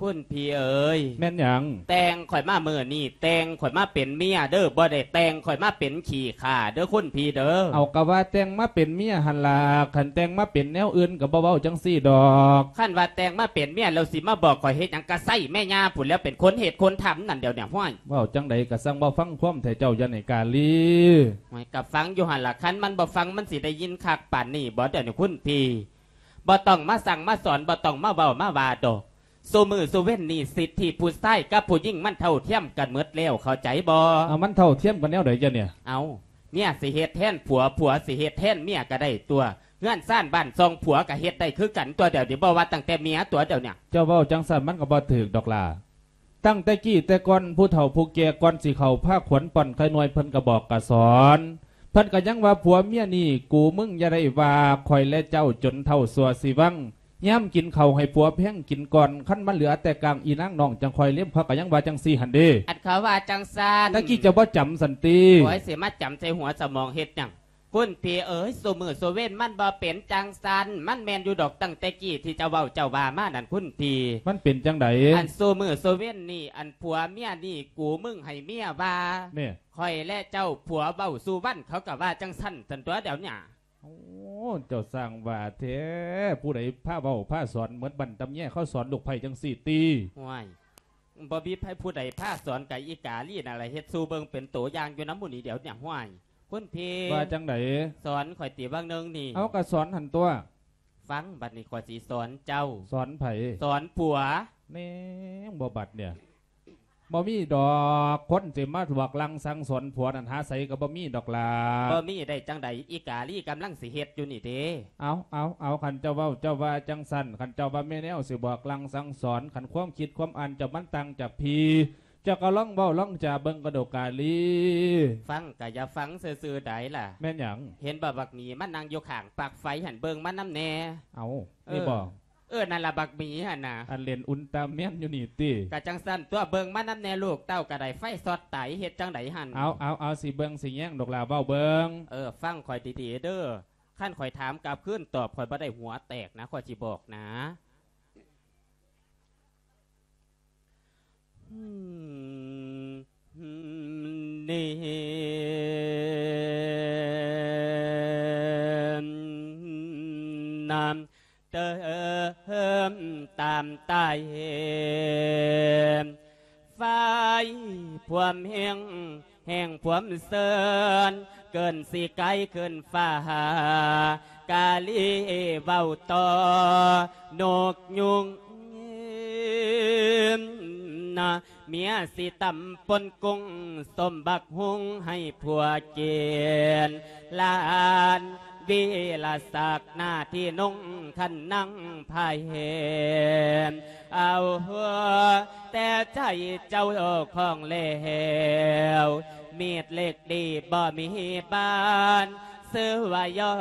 ຄຸນພີ່ເອີຍ ແມ່ນຫຍັງ? ແຕ່ງຂ້ອຍມາມື້ນີ້ ແຕ່ງຂ້ອຍມາເປັນເມຍເດີ ບໍ່ໄດ້ແຕ່ງຂ້ອຍມາເປັນຂີ້ຂ້າເດີຄຸນພີ່ເດີ. ເອົາ ກະວ່າແຕ່ງມາເປັນເມຍຫັ້ນລະ ຄັນແຕ່ງມາເປັນແນວອື່ນກະບໍ່ເວົ້າຈັ່ງຊີ້ດອກ. ຄັນວ່າແຕ່ງມາເປັນເມຍແລ້ວ ຊິມາບອກຂ້ອຍເຮັດຫຍັງ? ກະໃຊ້ແມ່ຍ່າພຸ້ນແລ້ວ ເປັນຄົນເຮັດຄົນທຳນັ້ນດຽວນີ້. ຫ້ວຍ ເວົ້າຈັ່ງໃດກະຊ່າງເວົ້າ ຟັງຄວາມແທ້ເຈົ້າຢ່ານີ້ກາລີ. ຫ້ວຍ ກະຟັງຢູ່ຫັ້ນລະ ຄັນມັນບໍ່ຟັງ ມັນຊິໄດ້ຍິນຄັກປານນີ້ບໍ່ດຽວນີ້ຄຸນພີ່? ບໍ່ຕ້ອງມາສັ່ງມາສອນ ບໍ່ຕ້ອງມາເວົ້າມາວ່າດອກ. ຊຸມື້ຊຸເວັນນີ້ ສິດທິຜູ້ຊາຍກັບຜູ້ຍິງມັນເທົ່າທຽມກັນໝົດແລ້ວ ເຂົ້າໃຈບໍ່? ເອົາ ມັນເທົ່າທຽມກັນແນວໃດຈະນີ້? ເອົາ ເມຍຊິເຮັດແທນຜົວ ຜົວຊິເຮັດແທນເມຍກະໄດ້ຕົວະ. ເຮືອນຊານບ້ານຊ່ອງຜົວກະເຮັດໄດ້ຄືກັນຕົວະ ດຽວນີ້ບໍ່ວ່າຕັ້ງແຕ່ເມຍຕົວະ ດຽວນີ້. ເຈົ້າເວົ້າຈັ່ງຊັ້ນມັນກະບໍ່ຖືກດອກຫຼ້າ. ຕັ້ງແຕ່ກີ້ແຕ່ກ່ອນ ຜູ້ເຖົ້າຜູ້ແກ່ກ່ອນຊິເຂົ້າພາຂວັນປ້ອນໄຂ່ນວຍ ເພິ່ນກໍບອກກໍສອນ ເພິ່ນກໍຍັງວ່າ ຜົວເມຍນີ້ກູມຶງ ຢ່າໄດ້ວ່າຂ້ອຍແລະເຈົ້າຈົນເຖົ້າຊົ່ວຊິວັງ ຍາມກິນເຂົ້າໃຫ້ຜົວແພງກິນກ່ອນ ຄັນມັນເຫຼືອແຕ່ກ້າງ ອີນາງນ້ອງຈັ່ງຄ່ອຍເລັມ ເຂົາກໍຍັງວ່າຈັ່ງຊີ້ຫັ້ນເດ້. ອັນເຂົາວ່າຈັ່ງຊັ້ນ ແຕ່ກີ້ເຈົ້າບໍ່ຈຳຊັ້ນຕິ? ໂອ້ຍ ຊິມາຈຳໃສ່ຫົວສະໝອງເຮັດຫຍັງ? ຄຸນພີ່ເອີຍ ຊຸມື້ຊຸເວັນມັນບໍ່ເປັນຈັ່ງຊັ້ນ ມັນແມ່ນຢູ່ດອກ ຕັ້ງແຕ່ກີ້ທີ່ເຈົ້າເວົ້າເຈົ້າວ່າມານັ້ນ ຄຸນພີ່. ມັນເປັນຈັ່ງໃດ? ອັນຊຸມື້ຊຸເວັນນີ້ ອັນຜົວເມຍນີ້ກູມຶງໃຫ້ເມຍວ່າ ແມ່ ຂ້ອຍແລະເຈົ້າ ຜົວເວົ້າສູ່ວັນ ເຂົາກໍວ່າຈັ່ງຊັ້ນ ຊັ້ນຕົວະດຽວນີ້. ໂອ້ ເຈົ້າຊ່າງວ່າແທ້ ຜູ້ໃດພາເວົ້າພາສອນ ເໝືອນບັ້ນຕຳແຍເຂົາສອນລູກໃພ້ຈັ່ງຊີ້ຕິ? ຫ້ວຍ ບໍ່ມີໃຜຜູ້ໃດພາສອນ ກະອີກາລີນັ້ນລະເຮັດສູ່ເບິ່ງເປັນໂຕຢ່າງຢູ່ນຳໝູ່ນີ້ດຽວນີ້. ຫ້ວຍ ຄຸນພີ່ ວ່າຈັ່ງໃດ? ສອນຂ້ອຍຕິວ່າງໜຶ່ງນີ້. ເອົາ ກະສອນຫັ້ນຕົວະ. ຟັງ ບັດນີ້ຂ້ອຍຊິສອນເຈົ້າ. ສອນໃຜ? ສອນຜົວ. ແນງບໍ່ບັດເນຍ ບໍ່ມີດອກ ຄົນຊິມາບອກລາງສັ່ງສອນຜົວນັ້ນ ຫາໃສກໍບໍ່ມີດອກຫຼ້າ. ບໍ່ມີໄດ້ຈັ່ງໃດ ອີກາລີກຳລັງຊິເຮັດຢູ່ນີ້ເດ້. ເອົາ ເອົາ ເອົາ ຄັນເຈົ້າເວົ້າເຈົ້າວ່າຈັ່ງຊັ້ນ ຄັນເຈົ້າວ່າແມ່ແນວຊິບອກລາງສັ່ງສອນ ຄັນຄວາມຄິດຄວາມອ່ານເຈົ້າມັນຕ່າງຈາກພີ່ ເຈົ້າກໍລອງເວົ້າລອງຈາເບິ່ງກະດູກາລີ. ຟັງກະຢ່າຟັງຊື່ໆໃດລະ. ແມ່ນຫຍັງ? ເຫັນບໍ່ ບັກໝີມັນນັ່ງຢູ່ຂ້າງປລັກໄຟຫັ້ນ ເບິ່ງມັນນຳແດ່. ເອົາ ເອີ ນີ້ບໍ? ເອີ ນັ້ນລະບັກໝີຫັ້ນນະ. ອັນເຫຼັ້ນອຸນຕາແມນຢູ່ນີ້ຕິ? ກະຈັ່ງຊັ້ນຕົວະ ເບິ່ງມັນນຳແດ່ ລູກເຕົ້າກະໄດ້ໄຟຊັອດຕາຍ ເຮັດຈັ່ງໃດຫັ້ນ? ເອົາ ເອົາ ເອົາ ຊິເບິ່ງຊິແຍງດອກຫຼ້າ ເວົ້າເບິ່ງ. ເອີ ຟັງຂ້ອຍດີໆເດີ້ ຄັນຂ້ອຍຖາມກັບຄືນ ຕອບຂ້ອຍບໍ່ໄດ້ ຫົວແຕກນະ ຂ້ອຍຊິບອກນະ. ນີ້ນຳເຕີມຕາມໃຕ້ ໄຟພວມແຮງ ແຮງພວມເຊີນ ເກີນຊິໄກຂຶ້ນຟ້າ ກາລີເວົ້າຕໍ່ນົກຍຸງ ນະ ເມຍຊິຕຳປົ່ນກຸ້ງ ສົ້ມບັກຫຸ່ງໃຫ້ຜົວກິນ ຫຼານ ວິລະສັກ ໜ້າທີ່ນຸ່ງຄັນນັ່ງພາຍແຮມ ເອົາແຕ່ໃຈເຈົ້າຂອງແລ້ວ ມີດເຫຼັກດີບໍ່ມີບານ ຊື່ວ່າຍ້ອ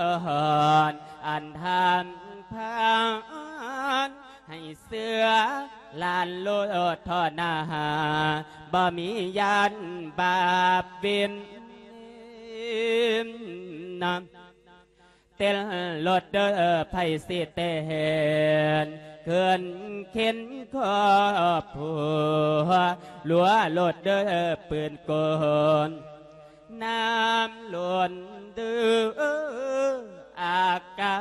ນອັນທຳພານ ໃຫ້ເຊື່ອຫຼານໂລດທໍ່ໜ້າ ບໍ່ມີຢ້ານບາບວິນນະ ເຕັ້ນລົດເດີ ໃຜຊິເຕັ້ນ ເຄື່ອນເຂັນຄອບຄົວ ລັວລົດເດີ ປືນກົນ ນ້ຳລົ້ນເດີ ອາກາ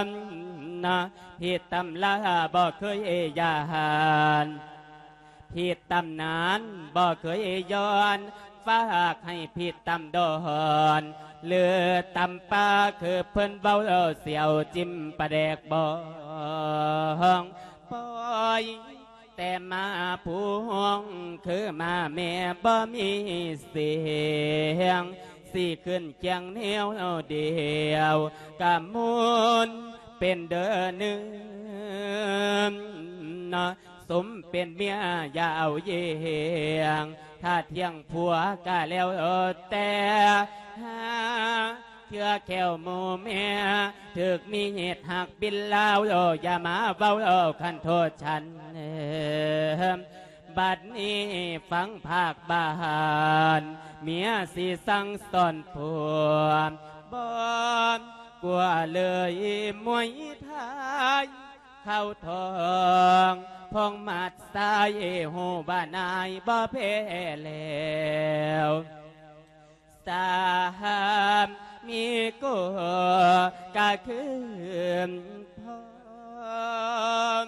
ນ ຜິດຕຳລາບໍ່ເຄີຍຢ້ານ ຜິດຕຳນານບໍ່ເຄີຍຍ້ອນ ຝາກໃຫ້ຜິດຕຳດອນ ຫຼືຕຳປາ ຄືເພິ່ນເວົ້າ ສຽວຈິ້ມປາແດກບອງ ປ່ອຍແຕ່ໝາພວງ ຄືໝາແມ່ບໍ່ມີສຽງ ຊິຂຶ້ນຄຽງແນວດຽວ ກະມ່ວນເປັນເດີເນືອ ສົມເປັນເມຍຢ່າເອົາຢຽງ ຖ້າທ່ຽງຜົວກະແລ້ວແຕ່ ຫາເທື່ອແຂ້ວໝູ່ເມຍ ຖືກມີເຫດຮັກບິນລາວ ຢ່າມາເວົ້າຄັນໂທດສັນ ບັດນີ້ຟັງພາກບ້ານ ເມຍຊິສັ່ງສອນຜົວ ບໍ່ກົວເລີຍມວຍໄທ ເຂົ້າທ້ອງພອງໝາດຊາຍ ຮູ້ວ່ານາຍບໍ່ແພ້ແລ້ວ ສາມີໂກກະຄືນພ້ອມ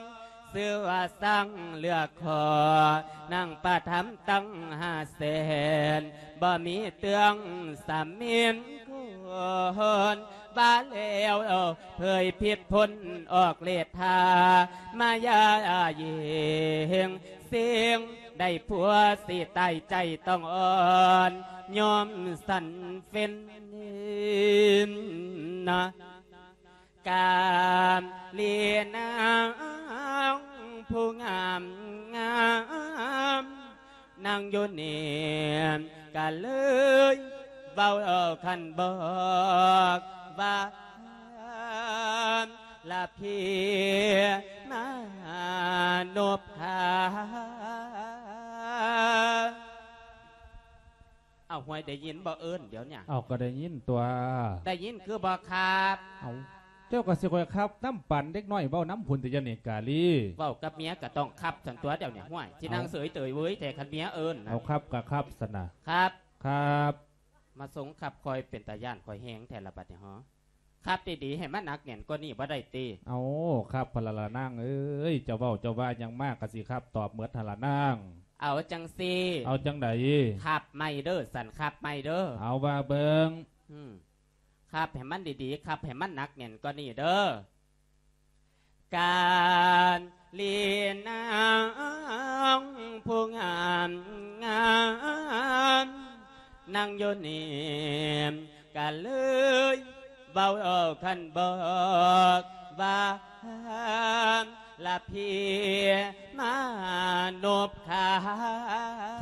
ຊື່ວ່າສ້າງເລືອກຂໍ ນາງປະທຳຕັ້ງຫ້າແສນ ບໍ່ມີເຕືອງສາມີນຄົນ ບາແລ້ວເຜີຍພິດພົ້ນອອກເລດທ່າ ມາຢາຍິງຊິງ ໄດ້ຜົວຊິຕາຍໃຈຕ້ອງອ່ອນ ຍອມສັນເຟນນະ ກາມລີນາງ ຜູ້ງາມງາມ ນັ່ງຢູ່ນີ້ກະເລີຍເວົ້າຄັນບອກວ່າ ລະພີມານົບຄາ. ເອົາ ຫ້ວຍ ໄດ້ຍິນບໍ່ເອີ້ນດຽວນີ້? ເອົາ ກໍໄດ້ຍິນຕົວະ. ໄດ້ຍິນຄືບໍ່ຄັບ? ເອົາ ເຈົ້າກໍຊິຄ່ອຍຄັບນຳປານເດັກນ້ອຍເວົ້ານຳພຸ້ນຕິ ດຽວນີ້ກາລີ. ເວົ້າກັບເມຍກໍຕ້ອງຄັບຊັ້ນຕົວະ ດຽວນີ້ ຫ້ວຍ ຊິນັ່ງເສີຍເຕີຍເວີຍແທ້ ຄັນເມຍເອີ້ນນະ. ເອົາ ຄັບກໍຄັບຊັ້ນນະ. ຄັບ ຄັບ. ມາຊົງຄັບຂ້ອຍເປັນຕາຢ້ານຂ້ອຍແຮງແທ້ລະບັດນີ້ ເຮົາຄັບດີໆ ໃຫ້ມັນໜັກແໜ້ນກວ່ານີ້ບໍ່ໄດ້ຕິ? ເອົາ ຄັບຫັ້ນລະລະນາງເອີຍ ເຈົ້າເວົ້າເຈົ້າວ່າຫຍັງມາກໍຊິຄັບຕອບໝົດຫັ້ນລະນາງ. ເອົາຈັ່ງຊີ້ ເອົາຈັ່ງໃດ? ຄັບໃໝ່ເດີ້ ສັນຄັບໃໝ່ເດີ້. ເອົາ ວ່າເບິ່ງ. ອືມ ຄັບໃຫ້ມັນດີໆ ຄັບໃຫ້ມັນໜັກແໜ້ນກວ່ານີ້ເດີ້. ກາລີນາງຜູ້ງາມງາມ ນັ່ງຢູ່ນີ້ກະເລີຍເວົ້າຄັນບອກວ່າ ລະພີມານົບຄາ.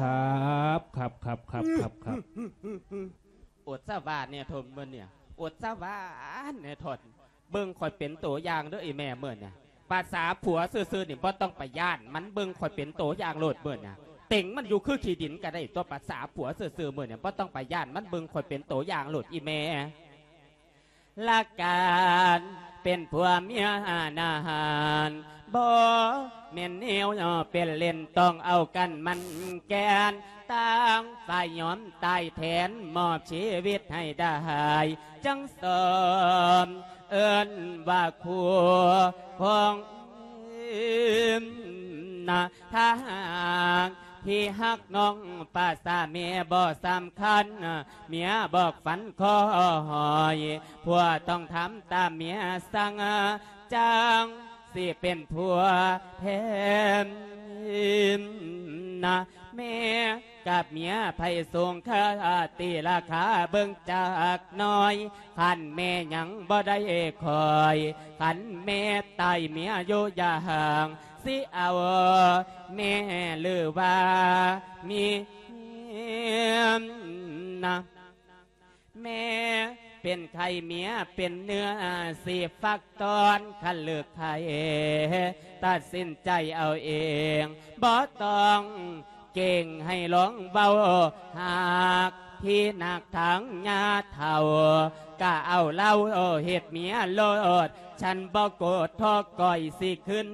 ຄັບ ຄັບ ຄັບ ຄັບ ຄັບ ຄັບ. ອົດສະຫວານແດ່ທົນມື້ນີ້ ອົດສະຫວານແດ່ທົນ. ເບິ່ງຂ້ອຍເປັນໂຕຢ່າງເດີ້ອີ່ແມ່ມື້ນີ້. ພາສາຜົວຊື່ໆນີ້ບໍ່ຕ້ອງໄປຢ້ານມັນ ເບິ່ງຂ້ອຍເປັນໂຕຢ່າງໂລດມື້ນີ້. ເຕັງມັນຢູ່ຄືຂີ້ດິນກໍໄດ້ຕົວະ ພາສາຜົວຊື່ໆມື້ນີ້ ບໍ່ຕ້ອງໄປຢ້ານມັນ ເບິ່ງຂ້ອຍເປັນໂຕຢ່າງໂລດອີ່ແມ່. ຫຼັກການເປັນຜົວເມຍນານ ບໍ່ແມ່ນແນວເປັນເລ່ນ ຕ້ອງເອົາກັນໝັ້ນແກ່ນ ຕ່າງຝ່າຍຍອມຕາຍແທນ ມອບຊີວິດໃຫ້ໄດ້ ຈັ່ງສອມເອີ້ນວ່າຄູ່ຂອງນາ. ຖ້າຫາກທີ່ຮັກນ້ອງ ພາສາແມ່ບໍ່ສຳຄັນ ເມຍບອກຝັນຂໍໃຫ້ຜົວຕ້ອງທຳຕາມເມຍສັ່ງ ຈັ່ງຊິເປັນຜົວແທນນາ. ແມ່ກັບເມຍໃຜສູງຄ່າ ຕີລາຄາເບິ່ງຈັກໜ້ອຍ. ຄັນແມ່ຍັງບໍ່ໄດ້ຂ້ອຍ ຄັນແມ່ຕາຍເມຍຢູ່ຢ່າງ ຊິເອົາແມ່ຫຼືວ່າເມຍນາ. ແມ່ເປັນໄຂ້ເມຍເປັນເນື້ອ ຊິຟັກຕອນຄັນເລີກໄຂ້ ຕັດສິນໃຈເອົາເອງ ບໍ່ຕ້ອງເກັ່ງໃຫ້ລອງເວົ້າ. ຫາກທີ່ໜັກທາງຍາເຖົ້າ ກະເອົາເຫຼົ້າເຮັດເມຍໂລດ. ສັນບໍ່ໂກດ ທໍກ້ອຍຊິຂຶ້ນ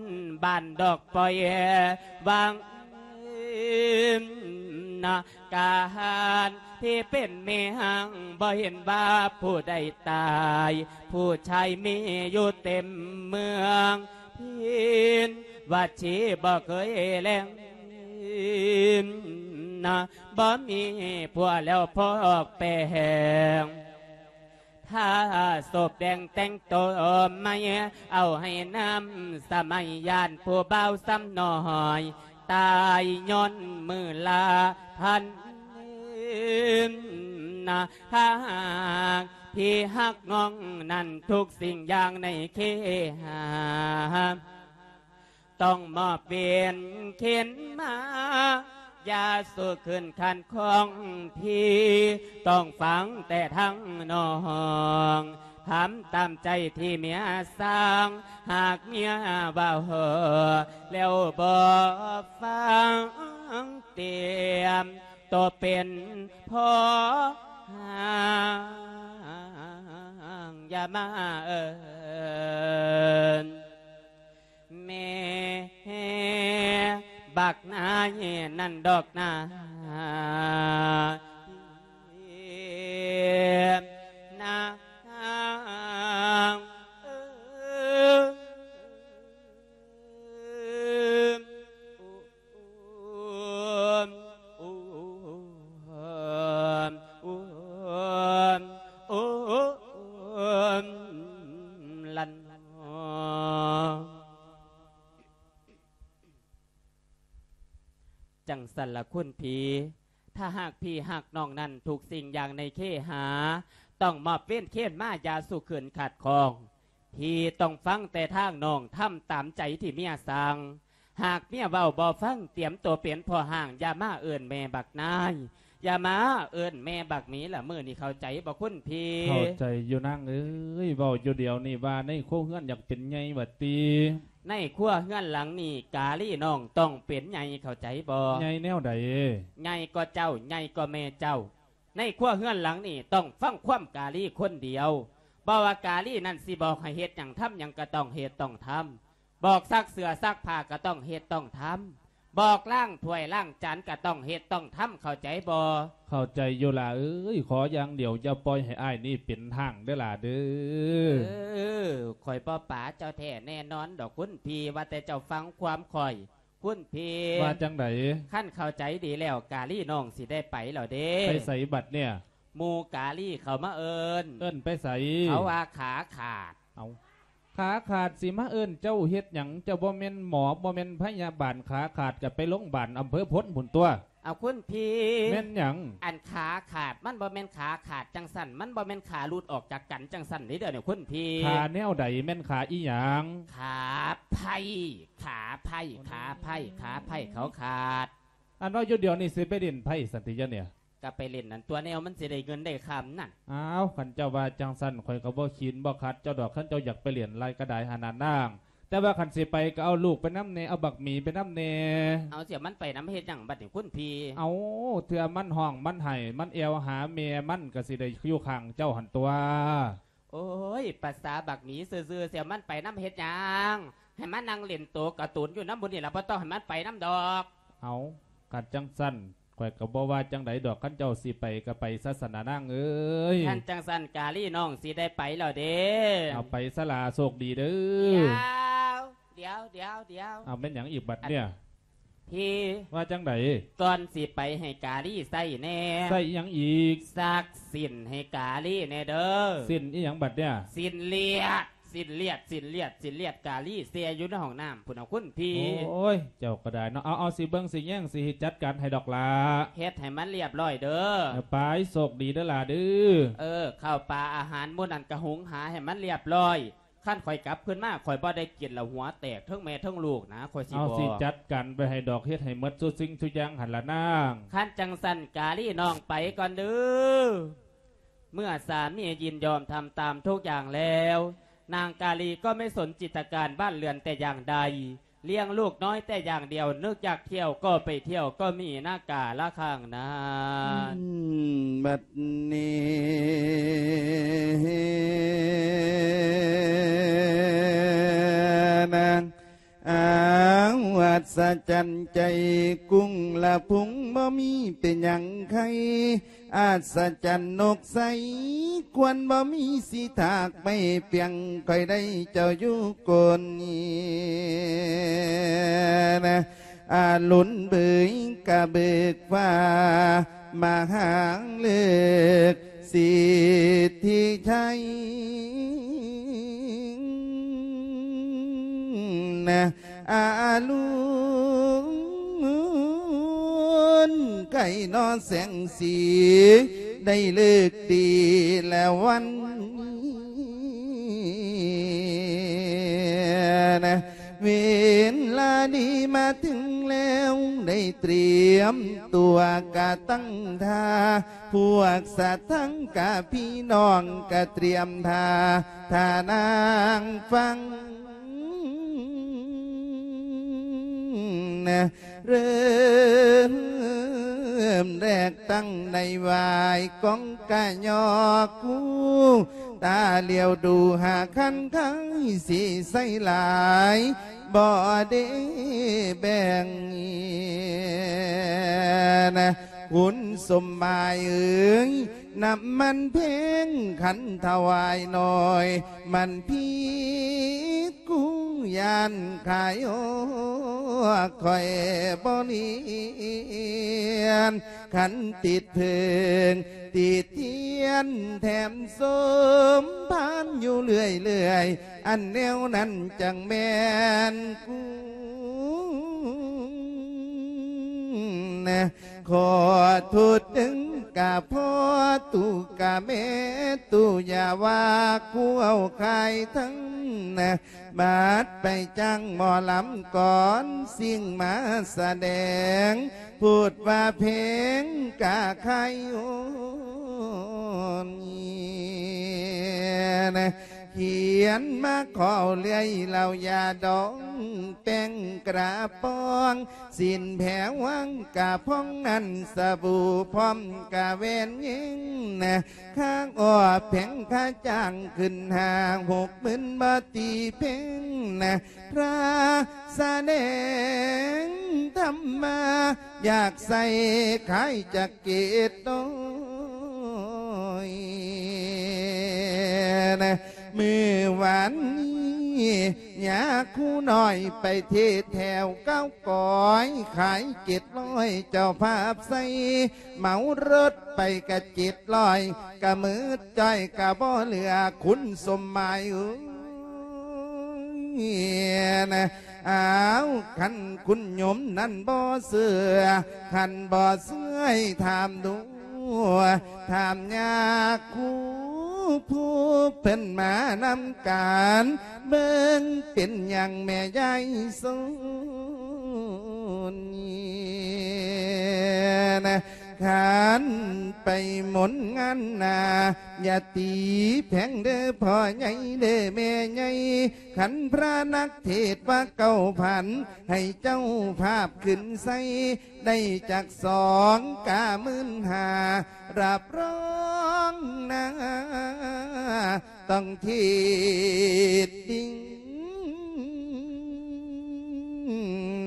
ບ້ານດອກ ປ່ອຍວາງນາ. ການທີ່ເປັນແມ່ຮ້າງ ບໍ່ເຫັນວ່າຜູ້ໃດຕາຍ ຜູ້ຊາຍມີຢູ່ເຕັມເມືອງ. ພິນວັດຊີບໍ່ເຄີຍແລງນາ ບໍ່ມີຜົວແລ້ວພອກແປງ. ຖ້າສົບແດງແຕ່ງໂຕໃໝ່ ເອົາໃຫ້ນຳສະໄໝ ຢ້ານຜູ້ບ່າວຊ້ຳນ້ອຍ ຕາຍຍ້ອນມືລາພັນນາ. ຖ້າຫາກທີ່ຮັກນ້ອງນັ້ນ ທຸກສິ່ງຢ່າງໃນເຄຫາ ຕ້ອງມອບເວນເຂັນມາ ຢ່າສູ່ຄືນຂັດຂ້ອງພີ່ ຕ້ອງຟັງແຕ່ທາງນ້ອງ ທຳຕາມໃຈທີ່ເມຍສັ່ງ. ຫາກເມຍເວົ້າແລ້ວບໍ່ຟັງ ຕຽມໂຕເປັນພໍ່ຮ້າງ ຢ່າມາເອີ້ນ ແມ່ບັກນາຍນັ້ນດອກນາ ນາງເອີຍ. ຈັ່ງຊັ້ນລະຄຸນພີ່ ຖ້າຫາກພີ່ຮັກນ້ອງນັ້ນ ທຸກສິ່ງຢ່າງໃນເຄຫາ ຕ້ອງມອບເວນເຂັນມາ ຢ່າສູ່ຄືນຂັດຂ້ອງ. ພີ່ຕ້ອງຟັງແຕ່ທາງນ້ອງ ທຳຕາມໃຈທີ່ເມຍສັ່ງ. ຫາກເມຍເວົ້າບໍ່ຟັງ ຕຽມໂຕເປັນພໍ່ຮ້າງ ຢ່າມາເອີ້ນແມ່ບັກນາຍ ຢ່າມາເອີ້ນແມ່ບັກໝີລະ ມື້ນີ້ເຂົ້າໃຈບໍ່ຄຸນພີ່? ເຂົ້າໃຈຢູ່ນາງເອີຍ ເວົ້າຢູ່ດຽວນີ້ວ່າໃນຄົວເຮືອນຢາກເປັນໃຫຍ່ວ່າຕິ? ໃນຄົວເຮືອນຫຼັງນີ້ ກາລີນ້ອງຕ້ອງເປັນໃຫຍ່ ເຂົ້າໃຈບໍ່? ໃຫຍ່ແນວໃດ? ໃຫຍ່ກວ່າເຈົ້າ ໃຫຍ່ກວ່າແມ່ເຈົ້າ. ໃນຄົວເຮືອນຫຼັງນີ້ຕ້ອງຟັງຄວາມກາລີຄົນດຽວ. ບໍ່ວ່າກາລີນັ້ນຊິບອກໃຫ້ເຮັດຫຍັງທຳຫຍັງກໍຕ້ອງເຮັດຕ້ອງທຳ. ບອກຊັກເສື້ອຊັກຜ້າກໍຕ້ອງເຮັດຕ້ອງທຳ. ບອກລ້າງຖ້ວຍລ້າງຈານກໍຕ້ອງເຮັດຕ້ອງທຳ ເຂົ້າໃຈບໍ່? ເຂົ້າໃຈຢູ່ຫຼ້າເອີຍ ຂໍຢ່າງດຽວຢ່າປ່ອຍໃຫ້ອ້າຍນີ້ເປັນຮ້າງເດີ້ຫຼ້າເດີ້. ເອີ ຂ້ອຍບໍ່ປາເຈົ້າແທ້ແນ່ນອນດອກຄຸນພີ່ ວ່າແຕ່ເຈົ້າຟັງຄວາມຂ້ອຍ. ຄຸນພີ່ ວ່າຈັ່ງໃດ? ຄັນເຂົ້າໃຈດີແລ້ວ ກາລີນ້ອງຊິໄດ້ໄປແລ້ວເດ້. ໄປໃສບັດເນີ້ຍ? ໝູ່ກາລີເຂົາມາເອີ້ນ. ເອີ້ນໄປໃສ? ເຂົາວ່າຂາຂາດ. ເອົາ ຂາຂາດຊິມາເອີ້ນເຈົ້າເຮັດຫຍັງ? ເຈົ້າບໍ່ແມ່ນໝໍ ບໍ່ແມ່ນພະຍາບານ ຂາຂາດກໍໄປໂລງບານອຳເພີພົນພຸ້ນຕົວະ. ເອົາ ຄຸນພີ່ ແມ່ນຫຍັງ? ອັນຂາຂາດ ມັນບໍ່ແມ່ນຂາຂາດຈັ່ງຊັ້ນ ມັນບໍ່ແມ່ນຂາຫຼຸດອອກຈາກກັນຈັ່ງຊັ້ນເດ້ ດຽວນີ້ຄຸນພີ່. ຂາແນວໃດ? ແມ່ນຂາອີ່ຫຍັງ? ຂາໄພ້ ຂາໄພ້ ຂາໄພ້ ຂາໄພ້ເຂົາຂາດ. ອັນເວົ້າຢູ່ດຽວນີ້ຊິໄປຫຼິ້ນໄພ້ຊັ້ນຕິ ດຽວນີ້? ກໍໄປຫຼິ້ນນັ້ນຕົວະ ແນວມັນຊິໄດ້ເງິນໄດ້ຄຳນັ້ນ. ອ້າວ ຄັນເຈົ້າວ່າຈັ່ງຊັ້ນ ຂ້ອຍກໍບໍ່ຂີນບໍ່ຂັດເຈົ້າດອກ ຄັນເຈົ້າຢາກໄປຫຼິ້ນຫຼາຍກໍໄດ້ຫັ້ນນະນາງ. ແຕ່ວ່າຄັນຊິໄປກໍເອົາລູກໄປນຳແດ່ ເອົາບັກໝີໄປນຳແດ່. ເອົາ ຊິເອົາມັນໄປນຳເຮັດຫຍັງບັດນີ້ຄຸນພີ່? ເອົາ ເທື່ອມັນຮ້ອງມັນໄຫ້ ມັນແອວຫາແມ່ມັນ ກໍຊິໄດ້ຢູ່ຂ້າງເຈົ້າຫັ້ນຕົວະ. ໂອ້ຍ ປະສາບັກໝີຊື່ໆ ຊິເອົາມັນໄປນຳເຮັດຫຍັງ? ໃຫ້ມັນນັ່ງຫຼິ້ນໂຕກາຕູນຢູ່ນຳໝູ່ນີ້ລະ ບໍ່ຕ້ອງໃຫ້ມັນໄປນຳດອກ. ເອົາ ຄັນຈັ່ງຊັ້ນ ຂ້ອຍກໍບໍ່ວ່າຈັ່ງໃດດອກ ຄັນເຈົ້າຊິໄປກໍໄປຊະຊັ້ນນະນາງເອີຍ. ຄັນຈັ່ງຊັ້ນກາລີນ້ອງຊິໄດ້ໄປແລ້ວເດ້. ເອົາ ໄປຊະຫຼ້າ ໂຊກດີເດີ້. ດຽວ ດຽວ ດຽວ ດຽວ. ເອົາ ແມ່ນຫຍັງອີກບັດເນີ້ຍ? ພີ່ ວ່າຈັ່ງໃດ? ກ່ອນຊິໄປໃຫ້ກາລີໃຊ້ແດ່. ໃຊ້ອີ່ຫຍັງອີກ? ຊັກສິ້ນໃຫ້ກາລີແດ່ເດີ້. ສິ້ນອີ່ຫຍັງບັດເນີ້ຍ? ສິ້ນລຽດ ສິ້ນລຽດ ສິ້ນລຽດ ສິ້ນລຽດ ກາລີແຊ່ຢູ່ໃນຫ້ອງນ້ຳພຸ້ນເອົາຄຸນພີ່. ໂອ້ຍ ເຈົ້າກໍໄດ້ເນາະ. ເອົາ ເອົາ ຊິເບິ່ງຊິແຍງ ຊິຈັດການໃຫ້ດອກຫຼ້າ. ເຮັດໃຫ້ມັນລຽບຮ້ອຍເດີ້. ເອີ ໄປ ໂຊກດີເດີ້ຫຼ້າເດີ້. ເອີ ເຂົ້າປາອາຫານໝູ່ນັ້ນກໍຫຸງຫາໃຫ້ມັນລຽບຮ້ອຍ. ຄັນຂ້ອຍກັບຄືນມາ ຂ້ອຍບໍ່ໄດ້ກິນລະຫົວແຕກ ເທິງແມ່ເທິງລູກນະ ຂ້ອຍຊິບອກ. ເອົາ ຊິຈັດການໄວ້ໃຫ້ດອກ ເຮັດໃຫ້ໝົດຊຸສິ່ງຊຸຢ່າງຫັ້ນລະນາງ. ຄັນຈັ່ງຊັ້ນກາລີນ້ອງໄປກ່ອນເດີ້. ເມື່ອສາມີຍິນຍອມທຳຕາມທຸກຢ່າງแล้ว นางกาลีก็ไม่สนจิตการบ้านเรือนแต่อย่างใด เลี้ยงลูกน้อยแต่อย่างเดียว นึกอยากเที่ยวก็ไปเที่ยว ก็มีหน้ากาละข้างนั้น บัดนี้นาง อ้าวอัศจรรย์ใจกุ้งละพุงบ่มีเป็นหยังไค อัศจรรย์นกใส ควรบ่มีสิทากไม่เปียง ค่อยได้เจ้าอยู่กน นะ อาลุนเบยกะเบิกฟ้า มาหางเลิกสิทธิชัย นะ อาลุนไก่นอแสงสี ได้เลิกดีแล้ววัน นะ เวลาดีมาถึงแล้ว ได้เตรียมตัวกะตั้งท่า พวกสัตว์ทั้งกะพี่น้องกะเตรียมท่า ท่านางฟัง นะ เริ่มแรกตั้งในวายของกะยอคู่ ตาเหลียวดูหาคันไคสิใส่หลาย บ่ได้แบ่ง นะ คุณสมหมายเอ๋ย น้ำมันแพงคันถวายหน่อย มันผิด กูย่านขายออก ข้อยบ่เนียน คันติดเพิง ติดเทียน แถมสมพานอยู่เรื่อยๆ อันแนวนั้นจั่งแม่นกู ຂໍໂທດເດີ້ກະພໍ່ຕູ້ກະແມ່ຕູ້ ຢ່າວ່າຄູເອົາຂາຍທັງນະ ບາດໄປຈ້າງໝໍລຳກອນ ສິ່ງມາສະແດງ ໂພດວ່າແພງກະຂາຍໂອນ ຂຽນມາຂໍເລື່ອຍ ເຫຼົ້າຢາດອງ ແປ້ງກະປ໋ອງ ສີນແຜວວາງກະພອງ ອັນສະບູພ້ອມກະແຫວນຍິງນະ ຄ່າອອກແພງຄ່າຈ້າງ ຂຶ້ນຫ້າຫົກໝື່ນບໍ່ຕີເພັງນະ ພະສະແດງທຳມາ ຢາກໃສ່ຂາຍຈັກເກດນ້ອຍນະ ມື້ວານນີ້ຍາຄູນ້ອຍໄປເທດແຖວເກົ້າກອຍ ຂາຍເຈັດຮ້ອຍ ເຈົ້າພາບໃສ່ ເໝົາລົດໄປກະເຈັດຮ້ອຍ ກະໝົດຈ້ອຍກະບໍ່ເຫຼືອ ຄຸນສົມໝາຍເອີຍນະ ອ້າວ ຄັນຄຸນໂຍມນັ້ນບໍ່ເຊື່ອ ຄັນບໍ່ເຊື່ອໃຫ້ຖາມດູ ຖາມຍາຄູຜູ້ເພິ່ນມານຳກັນ ເບິ່ງເປັນຫຍັງແມ່ຍາຍໂສນ ຄັນໄປມົນງານນາ ຢ່າຕີແພງເດີ້ພໍ່ໃຫຍ່ເດີ້ແມ່ໃຫຍ່ ຄັນພະນັກເທດວ່າເກົ້າພັນ ໃຫ້ເຈົ້າພາບຂຶ້ນໃສ່ ໄດ້ຈັກສອງກະໝື່ນຫ້າ ຮັບຮອງນາ ຕ້ອງເທດດິງ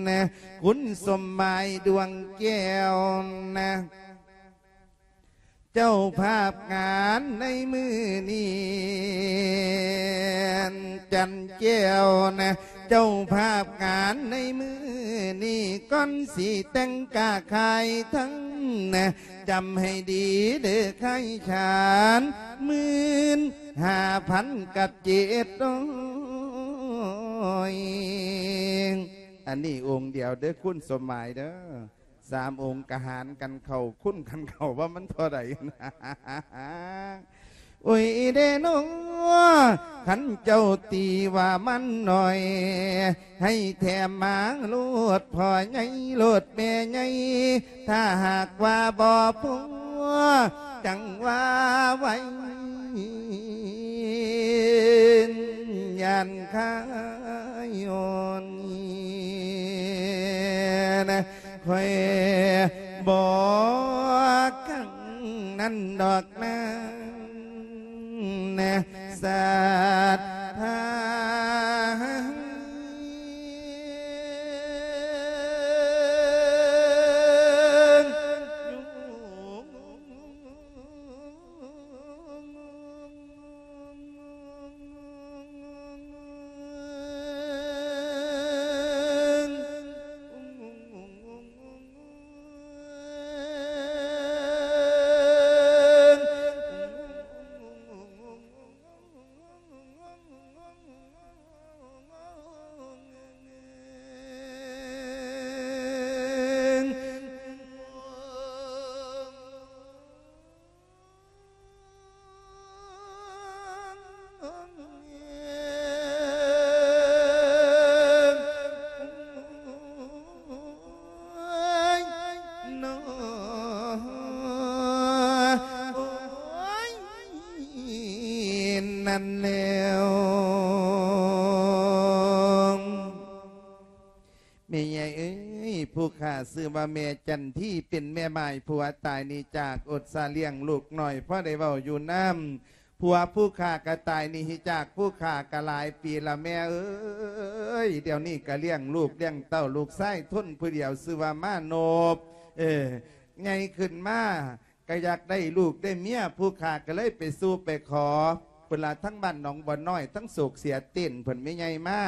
ນະ ຄຸນສົມໝາຍດວງແກ້ວນະ ເຈົ້າພາບງານໃນມື້ນີ້ ຈັນແກ້ວນະ ເຈົ້າພາບງານໃນມື້ນີ້ ກ່ອນຊິແຕ່ງກະຂາຍທັງນະ ຈຳໃຫ້ດີເດີ້ຂາຍຂານ ໝື່ນຫ້າພັນກັບເຈັດຮ້ອຍ ອັນນີ້ອົງດຽວເດີ້ ຄຸນສົມໝາຍເດີ້ ສາມອົງກະຫານກັນເຂົ້າ ຄູນກັນເຂົ້າວ່າມັນເທົ່າໃດນະ ໂອ້ຍເດເນາະ ຄັນເຈົ້າຕີວ່າມັນໜ້ອຍ ໃຫ້ແຖມມາໂລດພໍ່ໃຫຍ່ໂລດແມ່ໃຫຍ່ ຖ້າຫາກວ່າບໍ່ພໍ ຈັ່ງວ່າໄວ້ ຢ້ານຂາຍໂອນ ຂ້ອຍບໍ່ກັງນັ້ນດອກນາ ສັດທາ ນັ້ນແລ້ວ ແມ່ໃຫຍ່ເອີຍ ຜູ້ຂ້າຊື່ວ່າແມ່ຈັນທີ ເປັນແມ່ໝ້າຍຜົວຕາຍໜີຈາກອົດສາລ້ຽງລູກນ້ອຍ ພໍໄດ້ເວົ້າຢູ່ນຳ ຜົວຜູ້ຂ້າກະຕາຍໜີຈາກຜູ້ຂ້າກະຫຼາຍປີລະແມ່ເອີຍ ດຽວນີ້ກະລ້ຽງລູກລ້ຽງເຕົ້າ ລູກຊາຍທົນຜູ້ດຽວຊື່ວ່າມານົບ ເອີ ໃຫຍ່ຂຶ້ນມາ ກະຢາກໄດ້ລູກໄດ້ເມຍ ຜູ້ຂ້າກະເລີຍໄປສູ່ໄປຂໍ ພຸ້ນລະ ທັງບ້ານໜອງບົວນ້ອຍ ທັງໂສກເສຍເຕັ້ນ ເພິ່ນແມ່ໃຫຍ່ມາ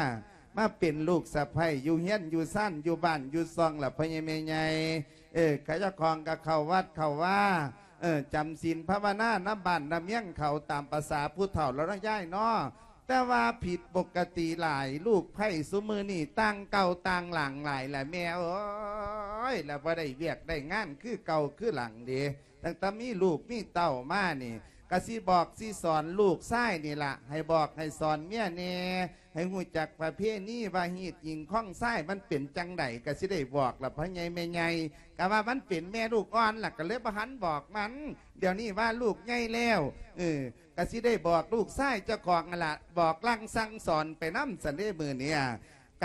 ມາເປັນລູກສະໃພ້ ຢູ່ເຮືອນຢູ່ຊານ ຢູ່ບ້ານຢູ່ຊ່ອງລະ ພໍ່ໃຫຍ່ແມ່ໃຫຍ່ ເອີ ຂະເຈົ້າຂອງກະເຂົ້າວັດເຂົ້າວາ ເອີ ຈຳສິນພາວະນານຳບ້ານນຳເມືອງເຂົາ ຕາມປະສາຜູ້ເຖົ້າລະເນາະຍາຍເນາະ ແຕ່ວ່າຜິດປົກກະຕິຫຼາຍ ລູກໃພ້ຊຸມື້ນີ້ຕ່າງເກົ່າຕ່າງຫຼາງຫຼາຍລະແມ່ເອີຍ. ຍ ແລ້ວບໍ່ໄດ້ວຽກໄດ້ງານຄືເກົ່າຄືຫຼັງເດ. ຕັ້ງແຕ່ມີລູກມີເຕົ້າມານີ້ ກະຊິບອກຊິສອນລູກຊາຍນີ້ລະ ໃຫ້ບອກໃຫ້ສອນເມຍແດ່ ໃຫ້ຮູ້ຈັກປະເພນີວ່າຮີດຍິງຄອງຊາຍມັນເປັນຈັ່ງໃດ ກະຊິໄດ້ບອກລະພໍ່ໃຫຍ່ແມ່ໃຫຍ່. ກະວ່າມັນເປັນແມ່ລູກອ່ອນລະ ກະເລີຍບໍ່ທັນບອກມັນ. ດຽວນີ້ວ່າລູກໃຫຍ່ແລ້ວ ເອີ ກະຊິໄດ້ບອກລູກຊາຍເຈົ້າຂອງຫັ້ນລະ ບອກສັ່ງສັ່ງສອນໄປນຳຊັ້ນເດ້ມື້ນີ້.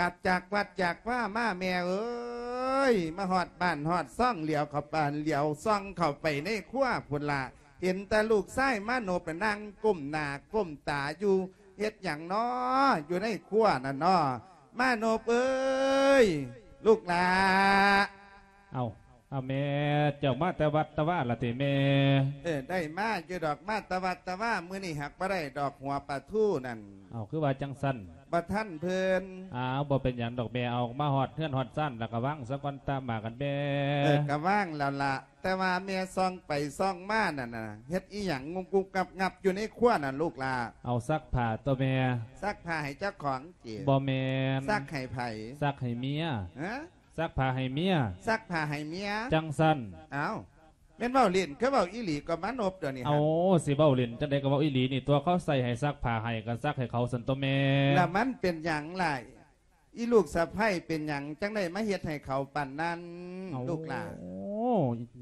ກັບຈາກວັດຈາກວາມາແມ່ເອີຍ ມາຮອດບ້ານຮອດຊ່ອງ ຫຼຽວເຂົ້າໄປ ຫຼຽວສ່ອງເຂົ້າໄປໃນຄົວພຸ້ນລະ ເຫັນແຕ່ລູກຊາຍມານົບນະ ນັ່ງກົ້ມໜ້າກົ້ມຕາຢູ່ ເຮັດຫຍັງນໍ ຢູ່ໃນຄົວນັ້ນນໍ ມານົບເອີຍ ລູກຫຼ້າ. ເອົ້າ ເອົາແມ່ ເຈົ້າມາແຕ່ວັດແຕ່ວາລະຕິແມ່? ເອີ ໄດ້ມາຢູ່ດອກ ມາແຕ່ວັດແຕ່ວາ ມື້ນີ້ຫາກບໍ່ໄດ້ດອກຫົວປາທູນັ້ນ. ເອົ້າ ຄືວ່າຈັ່ງຊັ້ນ? ບໍ່ທັນເພິ່ນ. ອ້າວ ບໍ່ເປັນຫຍັງດອກແມ່ ເອົາມາຮອດເຮືອນຮອດຊານແລ້ວກະວາງສາກ່ອນຕາມມາກັນແມ່. ເອີ ກະວາງແລ້ວລະ ແຕ່ວ່າແມ່ສ່ອງໄປສ່ອງມານັ້ນນະ ເຮັດອີ່ຫຍັງງຸບໆງັບໆຢູ່ໃນຄົວນັ້ນລູກຫຼ້າ? ເອົາ ຊັກຜ້າຕົວະແມ່. ຊັກຜ້າໃຫ້ເຈົ້າຂອງຕິ? ບໍ່ແມ່ນ. ຊັກໃຫ້ໃຜ? ຊັກໃຫ້ເມຍ. ຮະ? ຊັກຜ້າໃຫ້ເມຍ. ຊັກຜ້າໃຫ້ເມຍ? ຈັ່ງຊັ້ນ. ອ້າວ ແມ່ນເວົ້າຫຼິ້ນຄືເວົ້າອີ່ຫຼີກໍມານົບດຽວນີ້? ເອົາ ຊິເວົ້າຫຼິ້ນຈັ່ງໃດກໍເວົ້າອີ່ຫຼີນີ້ຕົວະ ເຂົາໃສ່ໃຫ້ຊັກຜ້າໃຫ້ກໍຊັກໃຫ້ເຂົາຊັ້ນຕົວະແມ່. ລະມັນເປັນຫຍັງລະ ອີ່ລູກສະໃພ້ ເປັນຫຍັງຈັ່ງໄດ້ມາເຮັດໃຫ້ເຂົາປານນັ້ນ ເອົ້າ ລູກຫຼ້າ? ໂອ້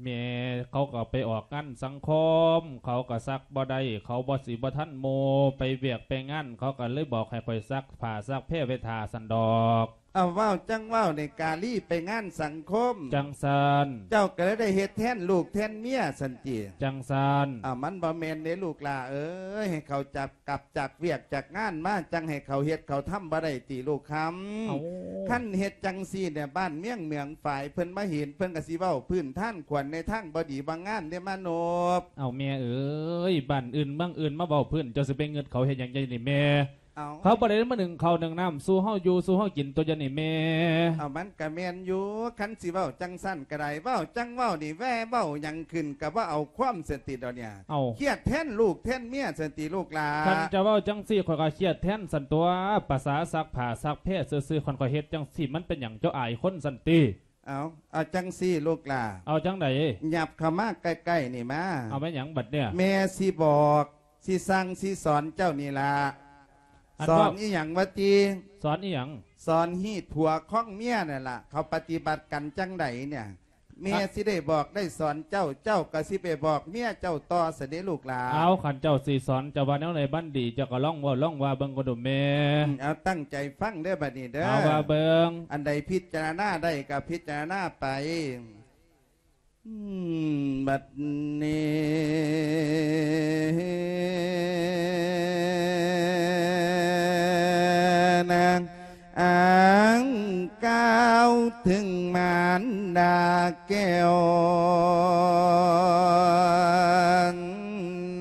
ແມ່ ເຂົາກໍໄປອອກງານສັງຄົມ ເຂົາກໍຊັກບໍ່ໄດ້ ເຂົາບໍ່ຊິບໍ່ທັນໝູ່ ໄປວຽກໄປງານ ເຂົາກໍເລີຍບອກໃຫ້ຂ້ອຍຊັກຜ້າຊັກແພໄວ້ຖ້າຊັ້ນດອກ. ເອົາ ເວົ້າຈັ່ງເວົ້ານີ້ ກາລີໄປງານສັງຄົມ ຈັ່ງຊັ້ນ ເຈົ້າກໍເລີຍໄດ້ເຮັດແທນລູກແທນເມຍຊັ້ນຕິ? ຈັ່ງຊັ້ນ. ເອົາ ມັນບໍ່ແມ່ນເດ້ລູກຫຼ້າເອີຍ ໃຫ້ເຂົາຈັບກັບຈາກວຽກຈາກງານມາ ຈັ່ງໃຫ້ເຂົາເຮັດເຂົາທຳບໍ່ໄດ້ຕິລູກຄຳ? ເອົ້າ ຄັນເຮັດຈັ່ງຊີ້ເນຍ ບ້ານເມືອງເໝືອງຝາຍເພິ່ນມາເຫັນ ເພິ່ນກໍຊິເວົ້າພື້ນທານຂວັນໃນທາງບໍ່ດີບໍ່ງາມເດ້ມານົບ. ເອົາ ແມ່ເອີຍ ບ້ານອື່ນເມືອງອື່ນມາເວົ້າພື້ນ ເຈົ້າຊິໄປງຶດເຂົາເຮັດຫຍັງໃຫຍ່ນີ້ແມ່? ເອົາ ເຂົາບໍ່ໄດ້ມາໜຶ້ງເຂົ້າໜຶ້ງນ້ຳສູ່ເຮົາຢູ່ສູ່ເຮົາກິນຕົວະ ດຽວນີ້ແມ່. ເອົາ ມັນກະແມ່ນຢູ່ ຄັນຊິເວົ້າຈັ່ງຊັ້ນກະໄດ້ ເວົ້າຈັ່ງເວົ້ານີ້ ແວ່ເວົ້າຫຍັງຂຶ້ນກະບໍ່ເອົາຄວາມຊັ້ນຕິດອກເນຍ. ເອົ້າ ຄຽດແທນລູກແທນເມຍຊັ້ນຕິລູກຫຼ້າ? ຄັນຈະເວົ້າຈັ່ງຊີ້ ຂ້ອຍກໍຄຽດແທນຊັ້ນຕົວະ ປະສາຊັກຜ້າຊັກແພຊື່ໆ ຄັນຂ້ອຍເຮັດຈັ່ງຊີ້ ມັນເປັນຫຍັງ ເຈົ້າອາຍຄົນຊັ້ນຕິ? ເອົາ ເອົາຈັ່ງຊີ້ລູກຫຼ້າ. ເອົາຈັ່ງໃດ? ຫຍັບເຂົ້າມາໃກ້ໆນີ້ມາ. ເອົາແມ່ນຫຍັງບັດເນຍ? ແມ່ຊິບອກ ຊິສັ່ງຊິສອນເຈົ້ານີ້ລະ. ອັນ ສອນ ເວົ້າ ອີ່ຫຍັງວະຕິ? ສອນອີ່ຫຍັງ? ສອນຮີດຜົວຄອງເມຍນັ້ນລະ ເຂົາປະຕິບັດກັນຈັ່ງໃດເນຍ? ແມ່ ອະ ຊິໄດ້ບອກໄດ້ສອນເຈົ້າ ເຈົ້າກໍຊິໄປບອກເມຍເຈົ້າຕໍ່ຊັ້ນເດ້ລູກຫຼ້າ. ເອົາ ຄັນເຈົ້າຊິສອນ ເຈົ້າວ່າແນວໃດມັນດີ ເຈົ້າກໍລອງເວົ້າລອງວ່າເບິ່ງກ່ອນດູແມ່. ອືມ ເອົາ ຕັ້ງໃຈຟັງເດີບັດນີ້ເດີ ເອົາວ່າເບິ່ງ. ອັນໃດພິຈາລະນາໄດ້ກໍພິຈາລະນາໄປ. ອືມ ບັດນີ້ນະ ອ້າງກ່າວເຖິງມານດາແກ້ວ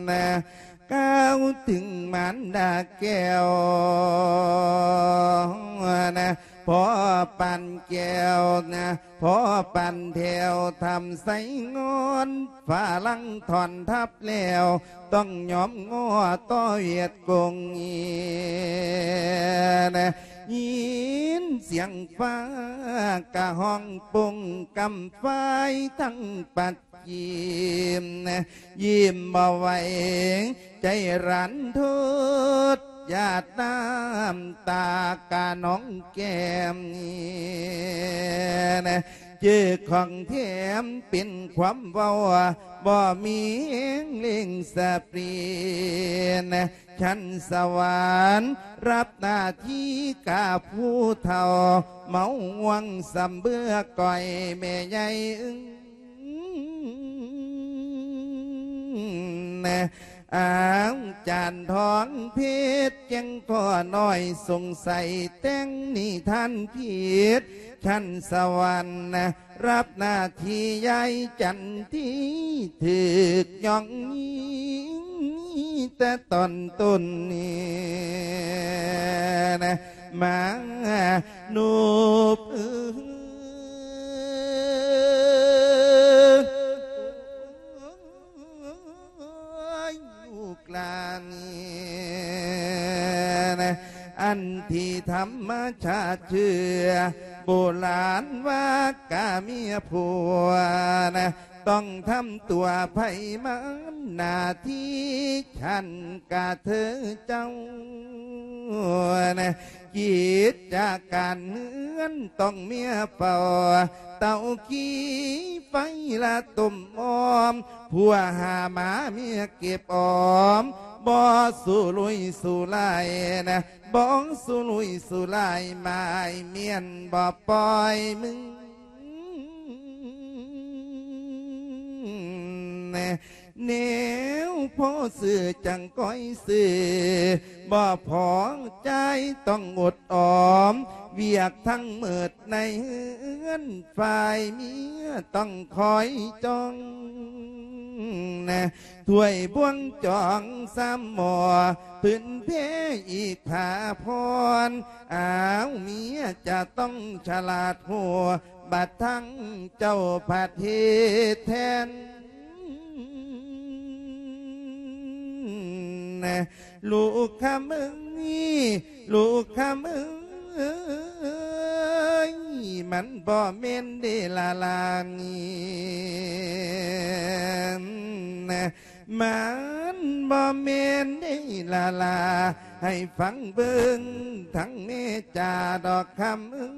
ນະ ກ່າວເຖິງມານດາແກ້ວນະ ພໍ່ປານແກ້ວນະ ພໍ່ປານແຖວທຳໄຊງອນ ຝຣັ່ງຖອນທັບແລ້ວ ຕ້ອງຍອມງໍຕໍ່ຫວຽດກົງນະ ຍິນສຽງຟ້າກະຮ້ອງປົງ ກຳຝາຍທັງປັດ ຍິ້ມ ຍິ້ມບໍ່ໄຫວ ໃຈລັນທົດ ຫຍາດນ້ຳຕາກະນອງແກ້ມ ເຈີຂອງແຖມເປັນຄວາມເວົ້າ ບໍ່ມີແຮງເລັ່ງສະປຣິນ ຊັ້ນສະຫວັນ ຮັບໜ້າທີ່ກາຜູ້ເຖົ້າ ເມົາຫວ່າງສຳເບືອກ້ອຍແມ່ໃຫຍ່ ອືມ ອ້າງຈານທອງເພັດ ແກ້ງພໍ່ນ້ອຍສົງໄສ ແຕ່ງນິທານຜິດ ຊັ້ນສະຫວັນ ຮັບໜ້າທີ່ຍາຍຈັນທີ່ຖືກຍ້ອງຍິງແຕ່ຕອນຕົ້ນນີ້ນະ ມານຸບເອີຍ ລູກຫຼານນີ້ນະ ອັນທີ່ທຳມະຊາດເຊື່ອ ໂບລານວ່າກະເມຍຜົວນະ ຕ້ອງທຳຕົວໃຜມັນໜ້າທີ່ ຄັນກະເທີເຈົ້ານະ ກິດຈະການເຮືອນຕ້ອງເມຍເຝົ້າ ເຕົາຂີ້ໄຟລະຕົ້ມອ້ອມ ຜົວຫາມາເມຍເກັບອອມ ບໍ່ສຸລຸຍສຸລາຍນະ ບໍ່ສຸລຸຍສຸລາຍ ໝາຍມ້ຽນບໍ່ປ່ອຍມຶງ ແນວພໍຊື້ຈັ່ງກ້ອຍຊື້ ບໍ່ພໍຈ່າຍຕ້ອງອົດອອມ ວຽກທັງໝົດໃນເຮືອນ ຝ່າຍເມຍຕ້ອງຄອຍຈ້ອງ ຖ້ວຍບ່ວງຈອງຊາມໝໍ້ ຜືນແພອີກຜ້າຜ່ອນ ອ້າວ ເມຍຈະຕ້ອງສະຫຼາດຮູ້ ບັດທັງເຈົ້າພັດເຮັດແທນ ລູກຄຳເອີຍ ລູກຄຳເອີຍ ມັນບໍ່ແມ່ນເດລະລານີ້ ມັນບໍ່ແມ່ນເດລະລາ ໃຫ້ຟັງເບິ່ງທັງແມ່ຈາດອກຄຳເອີຍ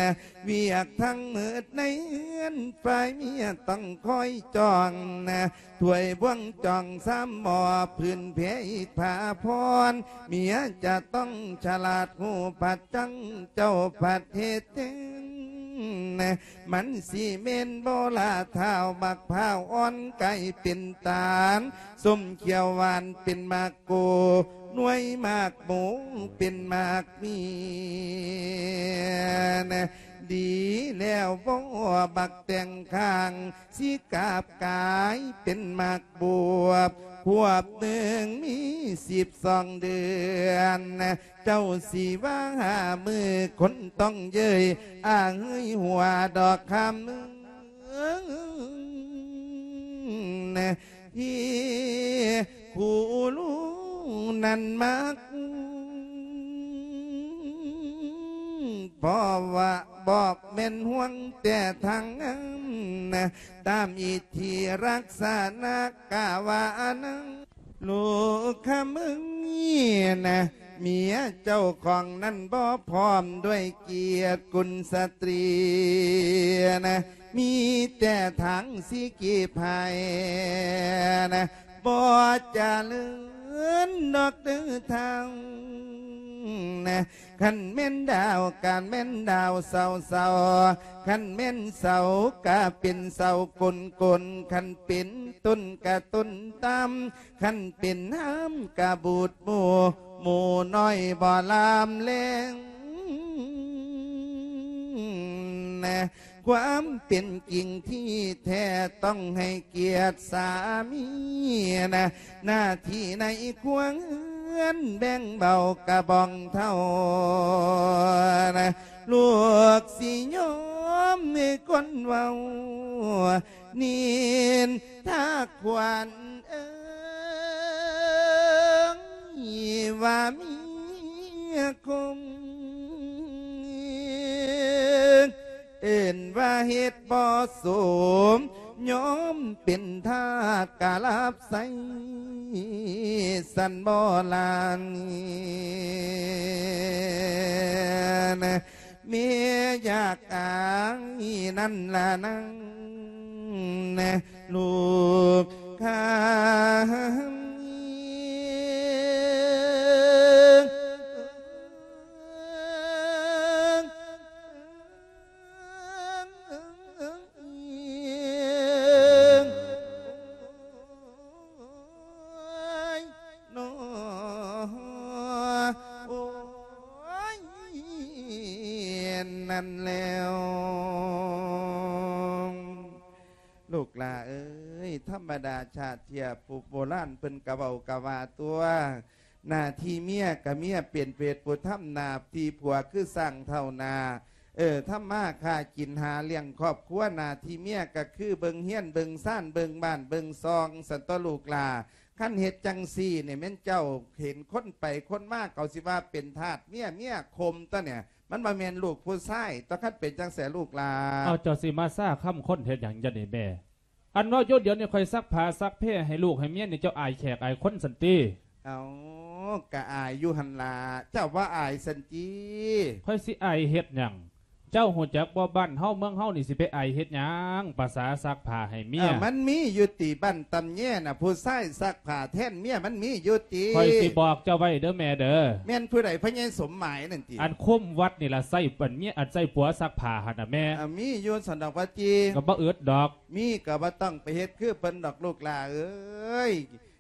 ນະ ວຽກທັງໝົດໃນເຮືອນ ຝ່າຍເມຍຕ້ອງຄອຍຈ້ອງນະ ຖ້ວຍບ່ວງຈອງຊາມໝໍ້ ຜືນແພອີກຜ້າຜ່ອນ ເມຍຈະຕ້ອງສະຫຼາດຮູ້ ພັດຈັ່ງເຈົ້າພັດເຮັດແທນ ມັນຊິແມ່ນບໍ່ລະທ້າວ ໝາກພ້າວອ່ອນກາຍເປັນຕານ ສົ້ມຂຽວຫວານເປັນໝາກໂກ ໜ່ວຍໝາກໂມເປັນໝາກມີນະ ດີແລ້ວບໍ່ບັກແຕ່ງຂ້າງ ຊິກາບກາຍເປັນໝາກບວບ ຂວບໜຶ່ງມີສິບສອງເດືອນ ເຈົ້າຊິວ່າຫ້າມື້ຄົນຕ້ອງເຍີ້ຍ ອາເຮີ້ຍຫົວດອກຄຳເອີຍ ທີ່ຄູ່ຮູ້ນັ້ນມັກ ເພາະວ່າບໍ່ແມ່ນຫ່ວງແຕ່ທາງງາມນະ ຕາມອິດທິລັກສະນະກະວ່າອັນນັ້ນ ລູກຄຳເອີຍນະ ເມຍເຈົ້າຂອງນັ້ນບໍ່ພ້ອມດ້ວຍກຽດກຸນສະຕຣີນະ ມີແຕ່ທາງຊິກີບໃຫ້ນະ ບໍ່ຈະເລີນດອກເດີເຖົ້ານະ ຄັນແມ່ນດາວກະແມ່ນດາວເສົາໆ ຄັນແມ່ນເສົາກະເປັນເສົາກົນໆ ຄັນເປັນຕົ້ນກະຕົ້ນຕ່ຳ ຄັນເປັນຫາມກະບູດໝູ່ ໝູ່ນ້ອຍບໍ່ລາມແລງນະ ຄວາມເປັນຈິງທີ່ແທ້ຕ້ອງໃຫ້ກຽດສາມີນະ ໜ້າທີ່ໃນຄົວເຮືອນແບ່ງເບົາກະບອງເທົ່ານະ ລູກຊິຍອມໃຫ້ຄົນເວົ້າ ນິນທາຂວັນເອີຍ ວ່າເມຍຄົມ ເອີ້ນວ່າເຮັດບໍ່ສົມ ຍອມເປັນທາດກະລາບໃຊ້ ສັນບໍ່ລານ ເມຍຢາກອາຍນັ້ນລະນາງ ລູກຂ້າຍ ໂອ້ຍ ນັ້ນແລ້ວ ລູກຫຼ້າເອີຍ ທຳມະດາຊາດເທື່ອຜູ້ໂບລານເພິ່ນກະເວົ້າກະວ່າຕົວະ ໜ້າທີ່ເມຍກະເມຍເປັນເວດຜູ້ທຳ ໜ້າທີ່ຜົວຄືຊ່າງເຖົ້ານາ ເອີ ທຳມາຄ້າກິນຫາລ້ຽງຄອບຄົວ ໜ້າທີ່ເມຍກະຄືເບິ່ງເຮືອນເບິ່ງຊານ ເບິ່ງບ້ານເບິ່ງຊ່ອງ ຊັ້ນຕົວະລູກຫຼ້າ. ຄັນເຮັດຈັ່ງຊີ້ນີ້ແມ່ນເຈົ້າເຫັນຄົນໄປຄົນມາ ເຂົາຊິວ່າເປັນທາດເມຍ ເມຍຄົມຕົວະນີ້ ມັນບໍ່ແມ່ນລູກຜູ້ຊາຍ ຕ້ອງຄັນເປັນຈັ່ງແສລູກຫຼ້າ. ເອົາ ເຈົ້າຊິມາຊາຄຳຄົນເຮັດຫຍັງ ຢ່ານີ້ແມ່? ອັນເວົ້າຢູ່ດຽວນີ້ ຂ້ອຍຊັກຜ້າຊັກແພໃຫ້ລູກໃຫ້ເມຍນີ້ ເຈົ້າອາຍແຂກອາຍຄົນຊັ້ນຕິ? ເອົາ ກະອາຍຢູ່ຫັ້ນລະ ເຈົ້າບໍ່ອາຍຊັ້ນຕິ? ຂ້ອຍຊິອາຍເຮັດຫຍັງ? ເຈົ້າຮູ້ຈັກບໍ່ ບ້ານເຮົາເມືອງເຮົານີ້ ຊິໄປອາຍເຮັດຫຍັງ? ປະສາຊັກຜ້າໃຫ້ເມຍ. ເອີ ມັນມີຢູ່ຕິ ບ້ານຕຳແຍນະ ຜູ້ຊາຍຊັກຜ້າແທນເມຍ ມັນມີຢູ່ຕິ? ຂ້ອຍຊິບອກເຈົ້າໄວ້ເດີແມ່ເດີ. ແມ່ນຜູ້ໃດ? ພໍ່ໃຫຍ່ສົມໝາຍນັ້ນຕິ? ອັນຄຸມວັດນີ້ລະ ໃຊ້ອັນເມຍ ອັນໃຊ້ຜົວຊັກຜ້າຫັ້ນນະແມ່. ເອີ ມີຢູ່ຊັ້ນດອກວ່າຕິ? ກໍບໍ່ອຶດດອກ. ມີກໍບໍ່ຕ້ອງໄປເຮັດຄືເພິ່ນດອກລູກຫຼ້າເອີຍ.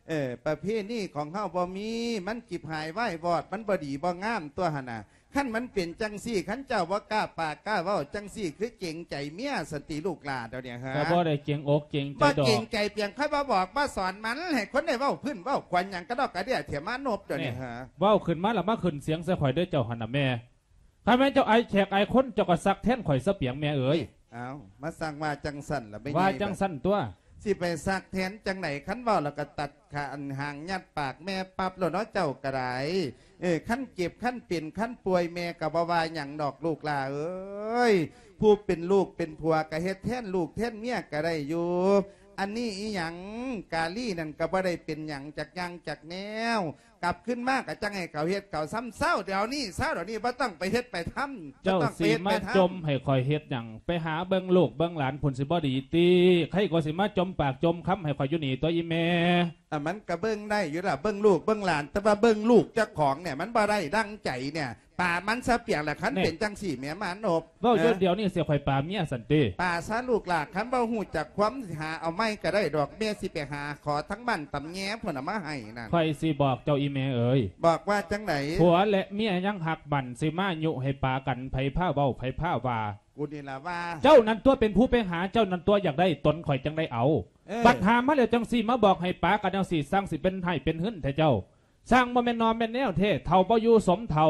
ເອີ ປະເພນີຂອງເຮົາບໍ່ມີ ມັນຈິບຫາຍວາຍວອດ ມັນບໍ່ດີບໍ່ງາມຕົວຫັ້ນນະ. ຄັນມັນເປັນຈັ່ງຊີ້ ຄັນເຈົ້າບໍ່ກ້າປາກກ້າເວົ້າຈັ່ງຊີ້ ຄືເກງໃຈເມຍຊັ້ນຕິລູກຫຼ້າດຽວນີ້ຫາ? ກໍບໍ່ໄດ້ເກງອົກເກງໃຈດອກ. ບໍ່ເກງໃຈປຽງ ຂ້ອຍບໍ່ບອກບໍ່ສອນມັນ ໃຫ້ຄົນໄດ້ເວົ້າພື້ນເວົ້າຂວັນຫຍັງກະດອກກະເດຍ ເຖຍມານົບດຽວນີ້ຫາ? ເວົ້າຂຶ້ນມາລະມາຂຶ້ນສຽງໃສ່ຂ້ອຍເດີເຈົ້າຫັ້ນນະແມ່. ຄັນແມ່ນເຈົ້າອາຍແຂກອາຍຄົນ ເຈົ້າກໍຊັກແທນຂ້ອຍຊະປຽງແມ່ເອີຍ. ອ້າວ ມາສັ່ງວ່າຈັ່ງຊັ້ນລະແມ່ໃຫຍ່. ວ່າຈັ່ງຊັ້ນຕົວະ. ຊິໄປຊັກແທນຈັ່ງໃດ? ຄັນເວົ້າແລ້ວກໍຕັດຂາອັນຫາງຍັດປາກແມ່ປັບໂລດເນາະ ເຈົ້າກໍໄດ້. ເອີ ຄັນເຈັບ ຄັນເປັນ ຄັນປ່ວຍ ແມ່ກໍບໍ່ວ່າຫຍັງດອກລູກຫຼ້າເອີຍ. ຜູ້ເປັນລູກເປັນຜົວກໍເຮັດແທນລູກແທນເມຍກໍໄດ້ຢູ່. ອັນນີ້ອີຫຍັງ? ກາລີນັ້ນກໍບໍ່ໄດ້ເປັນຫຍັງຈັກຢ່າງຈັກແນວ. ກັບຄືນມາກໍຈັ່ງໃຫ້ເຂົາເຮັດເຂົາຊຳ ເຊົາດຽວນີ້ ເຊົາດຽວນີ້ ບໍ່ຕ້ອງໄປເຮັດໄປທຳ. ເຈົ້າຊິມາຈົ່ມໃຫ້ຂ້ອຍເຮັດຫຍັງ? ໄປຫາເບິ່ງລູກເບິ່ງຫຼານພຸ້ນຊິບໍ່ດີຕິ? ໃຄກວ່າຊິມາຈົ່ມປາກຈົ່ມຄຳໃຫ້ຂ້ອຍຢູ່ນີ້ຕົວະອີ່ແມ່. ອາ ມັນກະເບິ່ງໄດ້ຢູ່ລະ ເບິ່ງລູກເບິ່ງຫຼານ ແຕ່ວ່າເບິ່ງລູກເຈົ້າຂອງນີ້ ມັນບໍ່ໄດ້ດັ່ງໃຈນີ້. ປາມັນຊະປຽງລະ ຄັນເປັນຈັ່ງຊີ້ແມ່ມານົບ. ເວົ້າຢູ່ດຽວນີ້ຊິຂ້ອຍປາເມຍຊັ້ນຕິ? ປາຊະລູກຫຼ້າ ຄັນເວົ້າຮູ້ຈັກຄວາມ ຊິຫາເອົາໃໝ່ກໍໄດ້ດອກ ແມ່ຊິໄປຫາຂໍທາງບ້ານຕຳແຍພຸ້ນນະມາໃຫ້ນັ້ນ. ຂ້ອຍຊິບອກເຈົ້າອີ່ແມ່ເອີຍ. ບອກວ່າຈັ່ງໃດ? ຜົວແລະເມຍຍັງຮັກກັນ ຊິມາຍຸໃຫ້ປາກັນ ໃຜພາເວົ້າ ໃຜພາວ່າ? ກູນີ້ລະວ່າ. ເຈົ້ານັ້ນຕົວະເປັນຜູ້ໄປຫາ ເຈົ້ານັ້ນຕົວະຢາກໄດ້ ຕົນຂ້ອຍຈັ່ງໄດ້ເອົາ. ເອີ ບັດຫາມາແລ້ວຈັ່ງຊິມາບອກໃຫ້ປາກັນຈັ່ງຊີ້ ຊ່າງຊິເປັນຮ້າຍເປັນຫືນແທ້ເຈົ້າ. ຊ່າງບໍ່ແມ່ນໜໍ່ແມ່ນແນວແທ້ ເຖົ້າບໍ່ຢູ່ສົມເຖົ້າ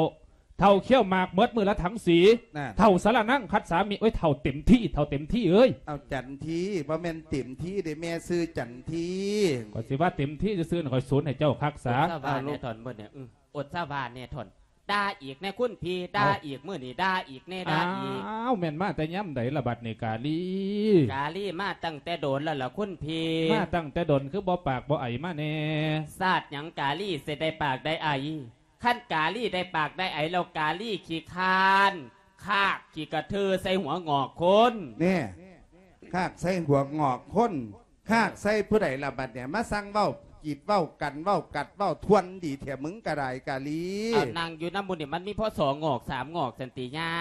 ເຖົ້າຄ້ຽວໝາກໝົດມື້ລະຖັງສີ ເຖົ້າສາລະນັງຄັດສາມິ ໂອ້ຍ ເຖົ້າເຕັມທີ່ ເຖົ້າເຕັມທີ່ເອີຍ. ເອົາຈັນທີບໍ່ແມ່ນເຕັມທີ່ເດ້ ແມ່ຊື່ຈັນທີ. ຂ້ອຍຊິວ່າເຕັມທີ່ຊື່ໆ ຂ້ອຍສູນໃຫ້ເຈົ້າຄັກສາ. ອົດສະຫວາແນ່ທ່ອນ ມື້ນີ້ ອື ອົດສະຫວາແນ່ທ່ອນ. ດ່າອີກແນ່ຄຸນພີ່ ດ່າອີກ ມື້ນີ້ດ່າອີກແນ່ ດ່າອີກ. ອ້າວ ແມ່ນມາແຕ່ຍາມໃດລະບັດນີ້ກາລີ? ກາລີມາຕັ້ງແຕ່ດົນແລ້ວລະຄຸນພີ່. ມາຕັ້ງແຕ່ດົນ ຄືບໍ່ປາກບໍ່ໄອມາແນ່? ຊາດຫຍັງກາລີຊິໄດ້ປາກໄດ້ໄອ? ຄັນກາລີໄດ້ປາກໄດ້ໄອແລ້ວ ກາລີຂີ້ຄ້ານຄາກຂີ້ກະເທີໃສ່ຫົວງອກຄົນ. ແນ່ ຄາກໃສ່ຫົວງອກຄົນ. ຄາກໃສ່ຜູ້ໃດລະບັດນີ້ ມາສັ່ງເວົ້າກີດເວົ້າກັນ ເວົ້າກັດເວົ້າທວນດີແທ້ ມຶງກະໄດ້ກາລີ. ເອົາ ນັ່ງຢູ່ນຳໝູ່ນີ້ ມັນມີພໍສອງງອກສາມງອກຊັ້ນຕິຍາ?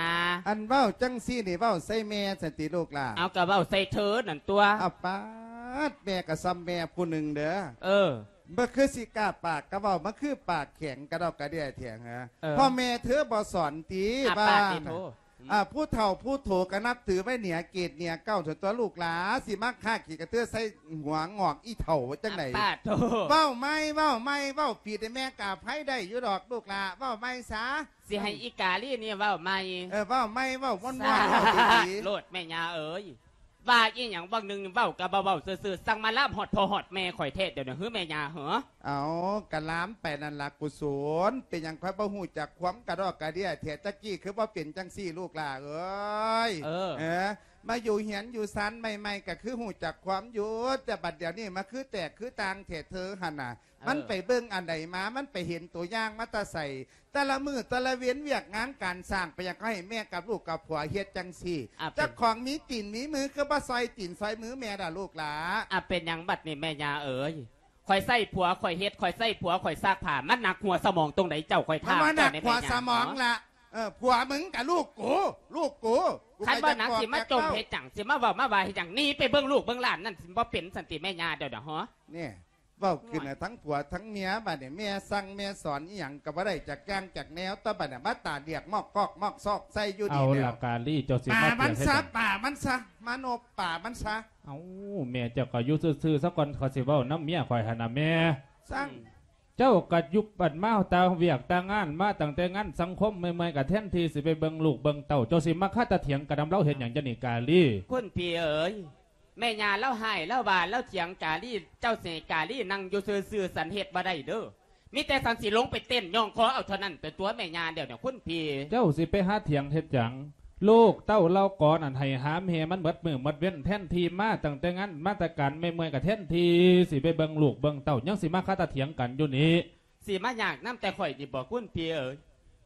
ອັນເວົ້າຈັ່ງຊີ້ນີ້ ເວົ້າໃສ່ແມ່ຊັ້ນຕິລູກຫຼ້າ? ເອົາ ກະເວົ້າໃສ່ເທີນັ້ນຕົວະ. ເອົາປາດ ແມ່ກະຊ່ຳແມ່ຜູ້ໜຶ່ງເດີ. ເອີ ບໍ່ຄືຊິກ້າປາກກະເວົ້າ ມາຄືປາກແຂງກະດອກກະເດຍແທ້ຫາ. ເອີ ພໍ່ແມ່ເທີບໍ່ສອນຕິ ອາ ວ່າ ປາດຕິໂທ ອືມ ອາ ຜູ້ເຖົ້າຜູ້ໂຖກະນັບຖືໄວ້ເໜືອເກດເໜືອເກົ້າ ຕົວະລູກຫຼ້າ ຊິມາຄາກຂີ້ກະເທືອໃສ່ຫົວງອກອີເຖົ້າຈັ່ງໃດ? ອາ ປາດໂທ ເວົ້າໃໝ່ ເວົ້າໃໝ່ ເວົ້າຜິດໃຫ້ແມ່ກະອະໄພໄດ້ຢູ່ດອກລູກຫຼ້າ ເວົ້າໃໝ່ຊະ. ຊິໃຫ້ອີກາລີນີ້ເວົ້າໃໝ່? ເອີ ເວົ້າໃໝ່ ເວົ້າມ່ວນໆ ເວົ້າດີໆ ໂລດແມ່ຍ່າເອີຍ. ວ່າອີ່ຫຍັງຫວ່າງໜຶ່ງ ເວົ້າກະບໍ່ເວົ້າຊື່ໆ ສັ່ງມາລາມຮອດພໍ່ຮອດແມ່ຂ້ອຍແທ້ດຽວນີ້ ເຮີແມ່ຍ່າເຮີ? ເອົາ ກະລາມໄປນັ້ນລະກຸສົນ ເປັນຫຍັງຂ້ອຍບໍ່ຮູ້ຈັກຄວາມກະດອກກະເດຍແທ້? ຕະກີ້ຄືບໍ່ເປັນຈັ່ງຊີ້ລູກຫຼ້າເອີຍ. ເອີ ເອີ ມາຢູ່ເຮືອນຢູ່ຊານໃໝ່ໆ ກະຄືຮູ້ຈັກຄວາມຢູ່ ແຕ່ບັດດຽວນີ້ມາຄືແຕກຄືຕ່າງແທ້ເທີຫັ້ນນະ. ເອີ ມັນໄປເບິ່ງອັນໃດມາ? ມັນໄປເຫັນຕົວຢ່າງມາແຕ່ໃສ? ແຕ່ລະມື້ແຕ່ລະເວັນວຽກງານການສ້າງ ເປັນຫຍັງເຂົາໃຫ້ແມ່ກັບລູກກັບຜົວເຮັດຈັ່ງຊີ້? ອ່ະ ເປັນ ເຈົ້າຂອງມີຕີນມີມື ຄືບໍ່ຊ່ອຍຕີນຊ່ອຍມືແມ່ລະລູກຫຼ້າ? ອ່ະ ເປັນຫຍັງບັດນີ້ແມ່ຍ່າເອີຍ? ຂ້ອຍໃຊ້ຜົວຂ້ອຍເຮັດ ຂ້ອຍໃຊ້ຜົວຂ້ອຍຊັກຜ້າ ມັນໜັກຫົວສະໝອງຕົງໃດເຈົ້າ? ຂ້ອຍຖາມເຈົ້າແດ່ແມ່ຍ່າ. ມັນບໍ່ໜັກຫົວສະໝອງລະ ເອີ ຜົວມຶງກະລູກກູ ລູກກູ. ຄັນບໍ່ໜັກຊິມາຈົ່ມເຮັດຫຍັງ? ຊິມາເວົ້າມາວ່າເຮັດຫຍັງ? ໜີໄປເບິ່ງລູກເບິ່ງຫຼານນັ້ນ ຊິບໍ່ເປັນຊັ້ນຕິແມ່ຍ່າດຽວນີ້ຫະ? ນີ້ ເວົ້າຂຶ້ນນະ ທັງຜົວທັງເມຍ ບາດນີ້ແມ່ສັ່ງແມ່ສອນອີ່ຫຍັງກໍບໍ່ໄດ້ຈັກຢ່າງຈັກແນວ ຕໍ່ບາດນີ້ມາຕາດຽກມອກກອກມອກຊອກໃສ່ຢູ່ນີ້ແລ້ວ. ເອົາລະກາລີ ເຈົ້າຊິມາປາມັນຊະ ປາມັນຊະ ມານົບປາມັນຊະ. ເອົ້າ ແມ່ເຈົ້າກໍຢູ່ຊື່ໆຊະກ່ອນ ຂ້ອຍຊິເວົ້ານຳເມຍຂ້ອຍຫັ້ນນະແມ່. ສັ່ງ ເຈົ້າກໍຢູ່ບ້ານມາຕາວຽກຕາງານ ມາຕັ້ງແຕ່ງານສັງຄົມເມື່ອຍໆ ກໍແທນທີ່ຊິໄປເບິ່ງລູກເບິ່ງເຕົ້າ ເຈົ້າຊິມາຄາຕາຖຽງກັນນຳລາວເຮັດຫຍັງ? ຈັ່ງນີ້ກາລີ ຄຸນພີ່ເອີຍ ແມ່ຍ່າລາວຮ້າຍລາວວ່າລາວຖຽງກາລີ ເຈົ້າຊິໃຫ້ກາລີນັ່ງຢູ່ຊື່ໆ ສັນເຮັດບໍ່ໄດ້ເດີ. ມີແຕ່ສັນຊິລົງໄປເຕັ້ນຍ້ອງຄໍເອົາເທົ່ານັ້ນ ແຕ່ຕົວແມ່ຍ່າດຽວນີ້ ຄຸນພີ່. ເຈົ້າຊິໄປຫາຖຽງເຮັດຫຍັງ? ລູກເຕົ້າເຫຼົ່າກໍນັ້ນໃຫ້ຫາມແຮ່ມັນໝົດມື້ໝົດເວັນ ແທນທີ່ມາຕັ້ງແຕ່ງານມາແຕ່ການເມື່ອຍໆ ກໍແທນທີ່ຊິໄປເບິ່ງລູກເບິ່ງເຕົ້າ ຍັງຊິມາຄາຕາຖຽງກັນຢູ່ນີ້. ຊິມາຍາກນຳແຕ່ຂ້ອຍນີ້ບໍ ຄຸນພີ່ເອີຍ?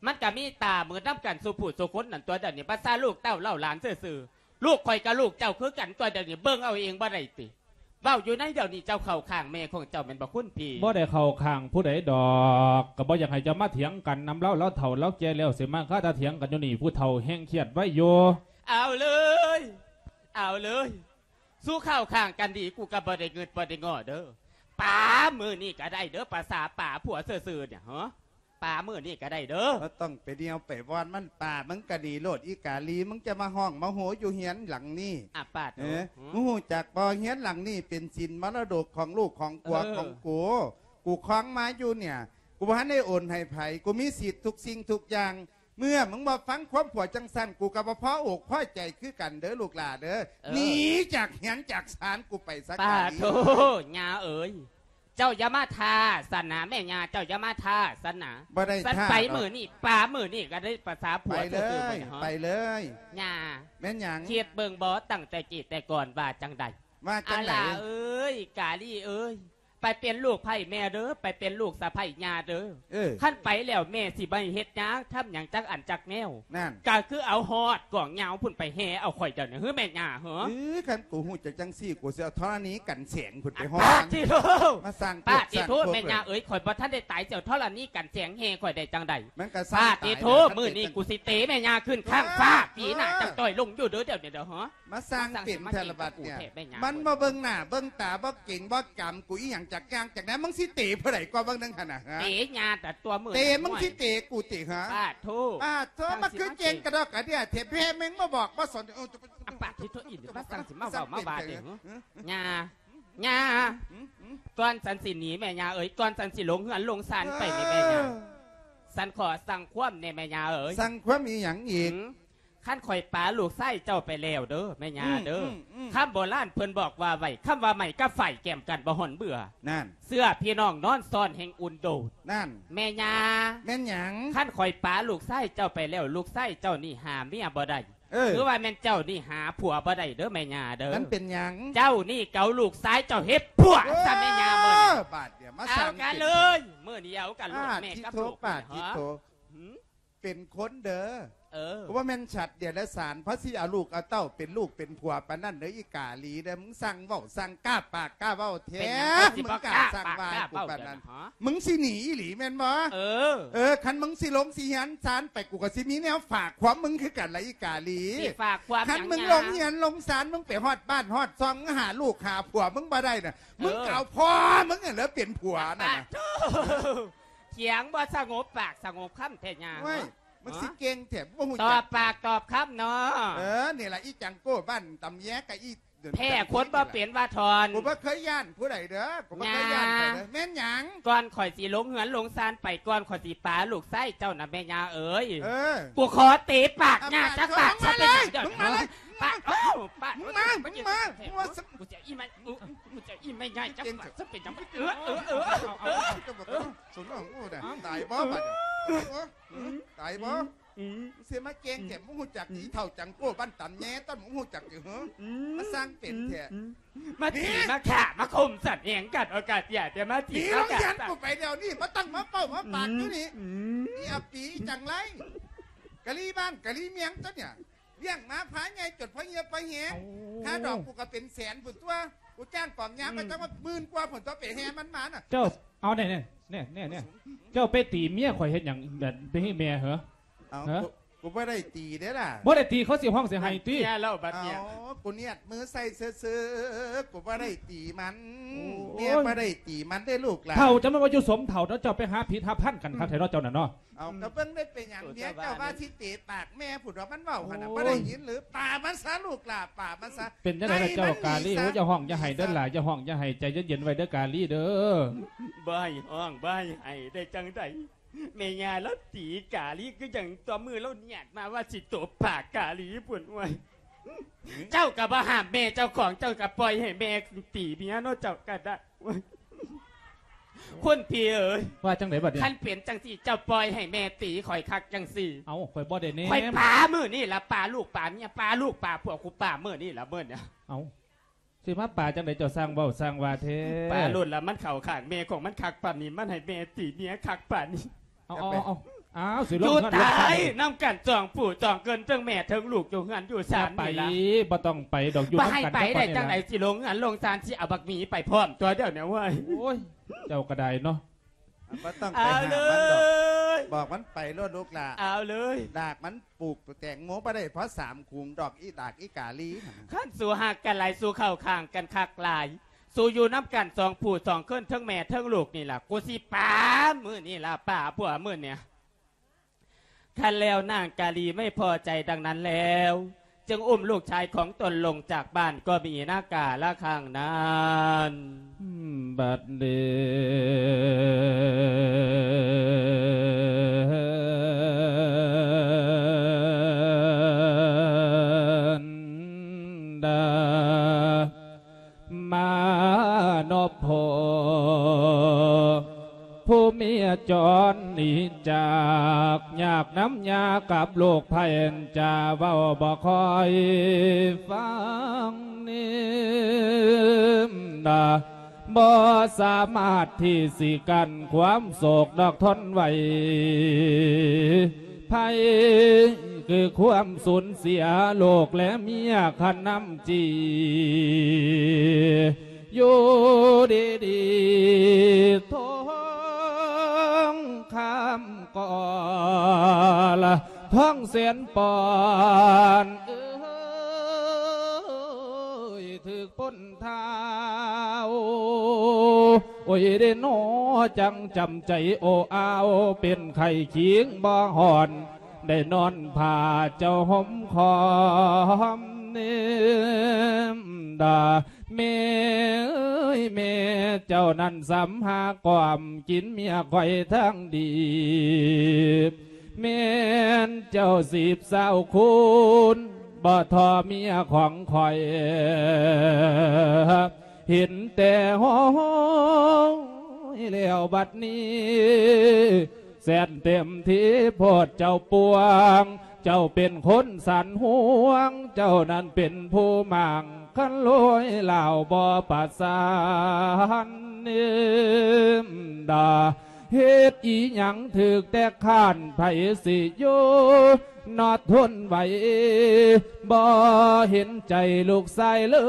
ມັນກະມີຕາມືນຳກັນສູ່ຜູ້ສູ່ຄົນນັ້ນຕົວະ ດຽວນີ້ພາສາລູກເຕົ້າເຫຼົ່າຫຼານຊື່ໆ. ລູກຂ້ອຍກັບລູກເຈົ້າຄືກັນຕົວະ ດຽວນີ້ເບິ່ງເອົາເອງບໍ່ໄດ້ຕິ? ເວົ້າຢູ່ໃນດຽວນີ້ເຈົ້າເຂົ້າຂ້າງແມ່ຂອງເຈົ້າແມ່ນບໍ່ ຄຸນພີ່? ບໍ່ໄດ້ເຂົ້າຂ້າງຜູ້ໃດດອກ ກໍບໍ່ຢາກໃຫ້ເຈົ້າມາຖຽງກັນນຳລາວ ລາວເຖົ້າລາວແກ່ແລ້ວ ຊິມາຄາຕາຖຽງກັນຢູ່ນີ້ ຜູ້ເຖົ້າແຮ່ງຄຽດໄວຢູ່. ເອົາເລີຍ ເອົາເລີຍ ສູ່ເຂົ້າຂ້າງກັນດີ ກູກໍບໍ່ໄດ້ງຶດບໍ່ໄດ້ງໍ້ເດີ. ປາມື້ນີ້ກໍໄດ້ເດີ ພາສາປາຜົວຊື່ໆ ນີ້ ຮະ ປາມື້ນີ້ກໍໄດ້ເດີ. ບໍ່ຕ້ອງໄປນຽວໄປວອນມັນ ປາມຶງກໍໜີໂລດ ອີກາລີ ມຶງຈະມາຮ້ອງມາໂຫຢູ່ເຮືອນຫຼັງນີ້. ອາ ປາດໂທ ເອີ ຫື ມຶງຮູ້ຈັກບໍ່ ເຮືອນຫຼັງນີ້ເປັນສິນມໍລະດົກຂອງລູກຂອງຜົວ ເອີ ຂອງກູ ກູຄອງມາຢູ່ເນີ້ຍ ກູບໍ່ທັນໄດ້ໂອນໃຫ້ໃຜ ກູມີສິດທຸກສິ່ງທຸກຢ່າງ. ເມື່ອມຶງບໍ່ຟັງຄວາມຜົວຈັ່ງຊັ້ນ ກູກໍບໍ່ພໍອົກພໍໃຈຄືກັນເດີລູກຫຼ້າເດີ. ເອີ ໜີຈາກເຮືອນຈາກຊານກູໄປຊະ ປາດໂທ ກາລີ. ຍ່າເອີຍ ເຈົ້າຢ່າມາທ້າຊັ້ນນະ ແມ່ຍ່າ ເຈົ້າຢ່າມາທ້າຊັ້ນນະ. ບໍ່ໄດ້ ຊັ້ນ ທ້າ ໄປມື້ນີ້ ປາມື້ນີ້ກໍໄດ້ພາສາຜົວ ໄປເລີຍ ຊື່ໆ ໄປເລີຍ ຫື ຍ່າ. ແມ່ນຫຍັງ? ຄິດເບິ່ງບໍ່ ຕັ້ງແຕ່ກີ້ແຕ່ກ່ອນວ່າຈັ່ງໃດ? ວ່າຈັ່ງໃດ? ອາຫຼ້າເອີຍ ກາລີເອີຍ ໄປເປັນລູກໃພ້ແມ່ເດີ ໄປເປັນລູກສະໃພ້ຍ່າເດີ. ເອີ ຄັນໄປແລ້ວແມ່ຊິບໍ່ໃຫ້ເຮັດຫຍັງທຳຫຍັງຈັກອັນຈັກແນວ. ນັ້ນ ກໍຄືເອົາຮອດກອງຍາວພຸ້ນໄປແຫ່ເອົາຂ້ອຍດຽວນີ້ ຫື ແມ່ຍ່າ ຫື. ເອີ ຄັນກູຮູ້ຈັກຈັ່ງຊີ້ ກູຊິເອົາທໍລະນີກັນແສງພຸ້ນໄປຮອດ. ປາດຕິໂທ ມາສ້າງ ປາດຕິໂທ ແມ່ຍ່າເອີຍ ຂ້ອຍບໍ່ທັນໄດ້ຕາຍ ຊິເອົາທໍລະນີກັນແສງແຫ່ຂ້ອຍໄດ້ຈັ່ງໃດ? ມັນກໍສ້າງ ປາດຕິໂທ ມື້ນີ້ກູຊິເຕະແມ່ຍ່າຂຶ້ນຂ້າງຟ້າ ຕີໜ້າຈັກຕ່ອຍລົງຢູ່ເດີ ດຽວນີ້ເດີ ຫື. ມາສ້າງເປັນແທ້ລະບັດເນີ້ຍ ມັນບໍ່ເບິ່ງໜ້າເບິ່ງຕາ ບໍ່ເກງບໍ່ກຳກູອີ່ຫຍັງຈັກຢ່າງຈັກແນວ. ມຶງຊິເຕະຜູ້ໃດກໍເບິ່ງໜຶ່ງຫັ້ນນະ ເຕະຍາແຕ່ຕົວມື້ ເຕະ ມຶງຊິເຕະກູຕິຫະ? ປາດໂທ ປາດໂທ ມາຄືເກັ່ງກະດອກກະເດຍແທ້ ແພ້ແມ່ງບໍ່ບອກບໍ່ສອນ. ອາ ປາດທິໂທ ອີ່ນີ້ມາສ້າງຊິມາເວົ້າມາວ່າເດ້ ຫື ຫື ຫື ຍ່າ ຫື ຍ່າ ຫື ຫື ກ່ອນສັນຊິໜີແມ່ຍ່າເອີຍ ກ່ອນສັນຊິລົງເຮືອນລົງຊານໄປນີ້ແມ່ຍ່າ ເອີ ສັນຂໍສັ່ງຄວາມແດ່ແມ່ຍ່າເອີຍ. ສັ່ງຄວາມອີ່ຫຍັງອີກ? ຫື ຄັນຂ້ອຍປາລູກຊາຍເຈົ້າໄປແລ້ວເດີແມ່ຍ່າເດີ ອືມ ອືມ ອືມ ຄຳໂບລານເພິ່ນບອກວ່າໄວ້ ຄຳວ່າໄມ້ກັບໄຟແກ້ມກັນບໍ່ຮ້ອນເບື່ອ. ນັ້ນ ເສື້ອພີ່ນ້ອງນອນຊ້ອນແຮ່ງອຸ່ນໂດດ. ນັ້ນ ແມ່ຍ່າ ແມ່ນຫຍັງ? ຄັນຂ້ອຍປາລູກຊາຍເຈົ້າໄປແລ້ວ ລູກຊາຍເຈົ້ານີ້ຫາເມຍບໍ່ໄດ້. ເອີ ຄືວ່າແມ່ນເຈົ້ານີ້ຫາຜົວບໍ່ໄດ້ເດີແມ່ຍ່າເດີ. ມັນເປັນຫຍັງ? ເຈົ້ານີ້ເກົາລູກຊາຍເຈົ້າເຮັດຜົວ ເອີ ຊະແມ່ຍ່າ ມື້ນີ້ ບາດດຽວມາ ເອົາກັນເລີຍ ມື້ດຽວກັນໂລດ ປາດ ແມ່ກັບລູກ ປາດທິໂທ ຫື ເປັນຄົນເດີ ເອີ ບໍ່ແມ່ນສັດເດຍລະສານ ເພາະຊິເອົາລູກເອົາເຕົ້າເປັນລູກເປັນຜົວປານນັ້ນເດີ ອີກາລີເດີ. ມຶງຊ່າງເວົ້າ ຊ່າງກ້າປາກກ້າເວົ້າແທ້ ເປັນຫຍັງ ມຶງກ້າ ຊິບໍ່ກ້າ ຊ່າງວ່າ ປາກກ້າ ກູປານນັ້ນ ເວົ້າເດີນະ ຫະ? ມຶງຊິໜີອີ່ຫຼີແມ່ນບໍ່? ເອີ ເອີ ຄັນມຶງຊິລົງຊິເຮືອນຊານໄປ ກູກໍຊິມີແນວຝາກຄວາມມຶງຄືກັນລະ ອີກາລີ. ຊິຝາກຄວາມຫຍັງ? ຄັນມຶງລົງເຮືອນລົງຊານ ມຶງໄປຮອດບ້ານຮອດຊ່ອງ ຫາລູກຫາຜົວມຶງບໍ່ໄດ້ນະ ເອີ ມຶງກໍເອົາພໍ່ມຶງຫັ້ນແຫຼະເປັນຜົວນັ້ນນະ. ປາດໂທ ຖຽງບໍ່ສະຫງົບປາກສະຫງົບຄຳແທ້ຍ່າ ໂອ້ຍ ຫະ? ມຶງຊິເກັ່ງແທ້ ບໍ່ຮູ້ຈັກ ຕອບປາກຕອບຄຳເນາະ. ເອີ ນີ້ລະ ອີຈັງໂກ້ບ້ານຕຳແຍກະ ອີແພ້ຄົນບໍ່ເປັນວ່າທອນ ກູບໍ່ເຄີຍຢ້ານຜູ້ໃດເດີ ກູບໍ່ເຄີຍຢ້ານໃຜເດີ. ແມ່ນຫຍັງ? ກ່ອນຂ້ອຍຊິລົງເຮືອນລົງຊານໄປ ກ່ອນຂ້ອຍຊິປາລູກຊາຍເຈົ້ານະແມ່ຍ່າເອີຍ ເອີ ກູຂໍເຕະປາກຍ່າຈັກບາດ ປາກ ຊະເປັນຫຍັງເດີ ມຶງມາເລີຍ ປາກ ປາກ ມຶງມາ ມຶງມາ ມຶງມາ ກູຈະອີ່ແມ່ ກູຈະອີ່ແມ່ຍ່າຈັກບາດ ຊະເປັນຫຍັງ ເອີ ເອີ ເອີ ເອີ ເອີ ສນອງ ໂອ້ ຕາຍບໍ່ບາດນີ້? ຕາຍບໍ່? ອືມ ຊິມາເກັ່ງແທ້ ອືມ ມຶງຮູ້ຈັກ ອືມ ອີເຖົ້າຈັງໂກ້ບ້ານຕຳແຍ ຕ້ອງ ມຶງຮູ້ຈັກຕິຫື? ອືມ ມາສ້າງເປັນແທ້ ອືມ ມາຕີ ມາຂ້າ ມາຂົ່ມສັນແຫງກັນ ໂອກາດຢ່າແຕ່ມາຕີ ໜີລົງເຮືອນກູໄປດຽວນີ້ ບໍ່ຕ້ອງມາເວົ້າມາປາກຢູ່ນີ້ ອືມ ອີອາປີ ອີຈັງໄລ ກະລີບ້ານກະລີເມືອງຕົວະນີ້ ລ້ຽງມາພາໃຫຍ່ຈົນພໍເຫື່ອພໍແຮງ ໂອ້ ຄ່າດອກກູກໍເປັນແສນພຸ້ນຕົວະ ກູຈ້າງກອງຍາມ ອືມ ກໍຈັກວ່າໝື່ນກວ່າພຸ້ນຕົວະ ໄປແຫ່ມັນມານະ ເຈົ້າ ເອົາແນ່ໆ ແນ່ໆ ເຈົ້າໄປຕີເມຍຂ້ອຍເຮັດຫຍັງ ແບບໄປໃຫ້ແມ່ເຫີ? ເອົາ ຫະ? ກູ ກູບໍ່ໄດ້ຕີເດ້ລະ ບໍ່ໄດ້ຕີ ເຂົາຊິຮ້ອງຊິໄຫ້ຕິ ເມຍລາວບັດເມຍ ເອົາ ກູນຽດມືໃສ່ຊື່ໆ ກູບໍ່ໄດ້ຕີມັນ ໂອ້ຍ ເມຍບໍ່ໄດ້ຕີມັນເດ້ລູກຫຼານ ເຖົ້າ ຈະແມ່ນວ່າຢູ່ສົມເຖົ້າເນາະ ເຈົ້າໄປຫາຜິດຫາພັນກັນຄັກແທ້ເນາະ ອືມ ເຈົ້ານັ້ນເນາະ ເອົາ ອືມ ກໍເບິ່ງໄດ້ເປັນຫຍັງ ໂອ້ຍ ເມຍເຈົ້າວ່າຊິເຕະປາກແມ່ພຸ້ນດອກ ມັນເວົ້າຫັ້ນນະ ໂອ້ຍ ບໍ່ໄດ້ຍິນຫຼື? ປາມັນຊະລູກຫຼານ ປາມັນຊະ ເປັນຈັ່ງໃດລະເຈົ້າກາລີ? ໂອ້ຍ ຢ່າຮ້ອງຢ່າໄຫ້ເດີຫຼ້າ ຢ່າຮ້ອງຢ່າໄຫ້ ໃຈເຢັນໆໄວ້ເດີກາລີເດີ ບໍ່ໃຫ້ຮ້ອງບໍ່ໃຫ້ໄຫ້ໄດ້ຈັ່ງໃດ? ແມ່ຍ່າລາວຕີກາລີຄືຫຍັງ ຕໍ່ມື້ລາວນຽດມາວ່າຊິຕົບປາກກາລີພຸ້ນ ໂອ້ຍ ເຈົ້າກໍບໍ່ຫ້າມແມ່ເຈົ້າຂອງ ເຈົ້າກໍປ່ອຍໃຫ້ແມ່ຕີເມຍເນາະ ເຈົ້າກໍໄດ້ ໂອ້ຍ ຄຸນພີ່ເອີຍ ວ່າຈັ່ງໃດບັດນີ້? ຄັນເປັນຈັ່ງຊີ້ ເຈົ້າປ່ອຍໃຫ້ແມ່ຕີຂ້ອຍຄັກຈັ່ງຊີ້. ເອົ້າ ຂ້ອຍບໍ່ໄດ້ແນມ. ຂ້ອຍປາມື້ນີ້ລະ ປາລູກປາເມຍ ປາລູກປາຜົວ ກູປາມື້ນີ້ລະ ມື້ນີ້. ເອົ້າ ຊິມາປາຈັ່ງໃດ ເຈົ້າຊ່າງເວົ້າຊ່າງວ່າແທ້. ປາໂລດລະ ມັນເຂົ້າຂ້າງແມ່ຂອງມັນຄັກປານນີ້ ມັນໃຫ້ແມ່ຕີເມຍຄັກປານນີ້. ເອົາ ເອົາ ເອົາ ເອົາ ຊິລົງເຮືອນ ຢູ່ຕາຍນຳກັນສອງຜູ້ສອງຄົນ ເຖິງແມ່ເຖິງລູກ ຢູ່ເຮືອນຢູ່ຊານນີ້ລະ. ບໍ່ຕ້ອງໄປດອກ ຢູ່ນຳກັນ. ບໍ່ໃຫ້ໄປໄດ້ຈັ່ງໃດ ຊິລົງເຮືອນລົງຊານ ຊິເອົາບັກໝີໄປພ້ອມຕົວະດຽວນີ້ເວີຍ. ໂອ້ຍ ເຈົ້າກໍໄດ້ເນາະ. ບໍ່ຕ້ອງໄປຫ້າມມັນດອກ ເອົາເລີຍ ບອກມັນໄປໂລດລູກຫຼ້າ. ເອົາເລີຍ ດາກມັນ ປູກແຕງໂມບໍ່ໄດ້ພໍສາມຂຸມດອກ ອີດາກອີກາລີຫັ້ນ. ຄັນສູຮັກກັນຫຼາຍ ສູເຂົ້າຂ້າງກັນຄັກຫຼາຍ ສູຢູ່ນຳກັນສອງຜູ້ສອງຄົນ ເຖິງແມ່ເຖິງລູກນີ້ລະ ກູຊິປາມື້ນີ້ລະ ປາຜົວມື້ນີ້. ຄັນແລ້ວນາງກາລີໄມ່ພໍໃຈດັ່ງນັ້ນແລ້ວ ຈຶ່ງອຸ້ມລູກຊາຍຂອງຕົນລົງຈາກບ້ານກໍມີນາກາລະຄັ້ງນັ້ນ. ບັດນີ້ ມານົບໂພ ຜູ້ເມຍຈອນໜີຈາກ ຍາກນຳຍາກັບລູກໃຜ ຈາເວົ້າບໍ່ຄ່ອຍຟັງນີ້ນາ ບໍ່ສາມາດທີ່ຊິກັ້ນຄວາມໂສກດອກ ທົນໄຫວໄພ ຄືຄວາມສູນເສຍລູກແລະເມຍ ຄັນນຳຈີ່ ຢູ່ດີໆ ທອງຄຳກໍລະ ທອງແສນປອນເອີຍ ຖືກປົນທ້າວ ໂອ້ຍເດນໍ ຈັ່ງຈຳໃຈໂອອາວ ເປັນໄຂ້ຄີງບໍ່ຮ້ອນ ໄດ້ນອນຜ້າເຈົ້າຫົ່ມຄອມເນມດາ ແມ່ເອີຍແມ່ ເຈົ້ານັ້ນສຳຫາກອມກິນເມຍຂ້ອຍທາງດີ ແມ່ນເຈົ້າສິບຊາວຄູນ ບໍ່ທໍ່ເມຍຂອງຂ້ອຍ ເຫັນແຕ່ຫ້ອຍແລ້ວບັດນີ້ ແສນເຕັມທີ່ໂພດເຈົ້າປວງ ເຈົ້າເປັນຄົນສັນຫວງ ເຈົ້ານັ້ນເປັນຜູ້ໝາງ ຄັນລວຍລາວບໍ່ປະສານເນມດາ ເຮັດອີຫຍັງຖືກແຕ່ຄ້ານ ໃຜຊິຢູ່ນອດທົນໄຫວ ບໍ່ເຫັນໃຈລູກຊາຍເລີ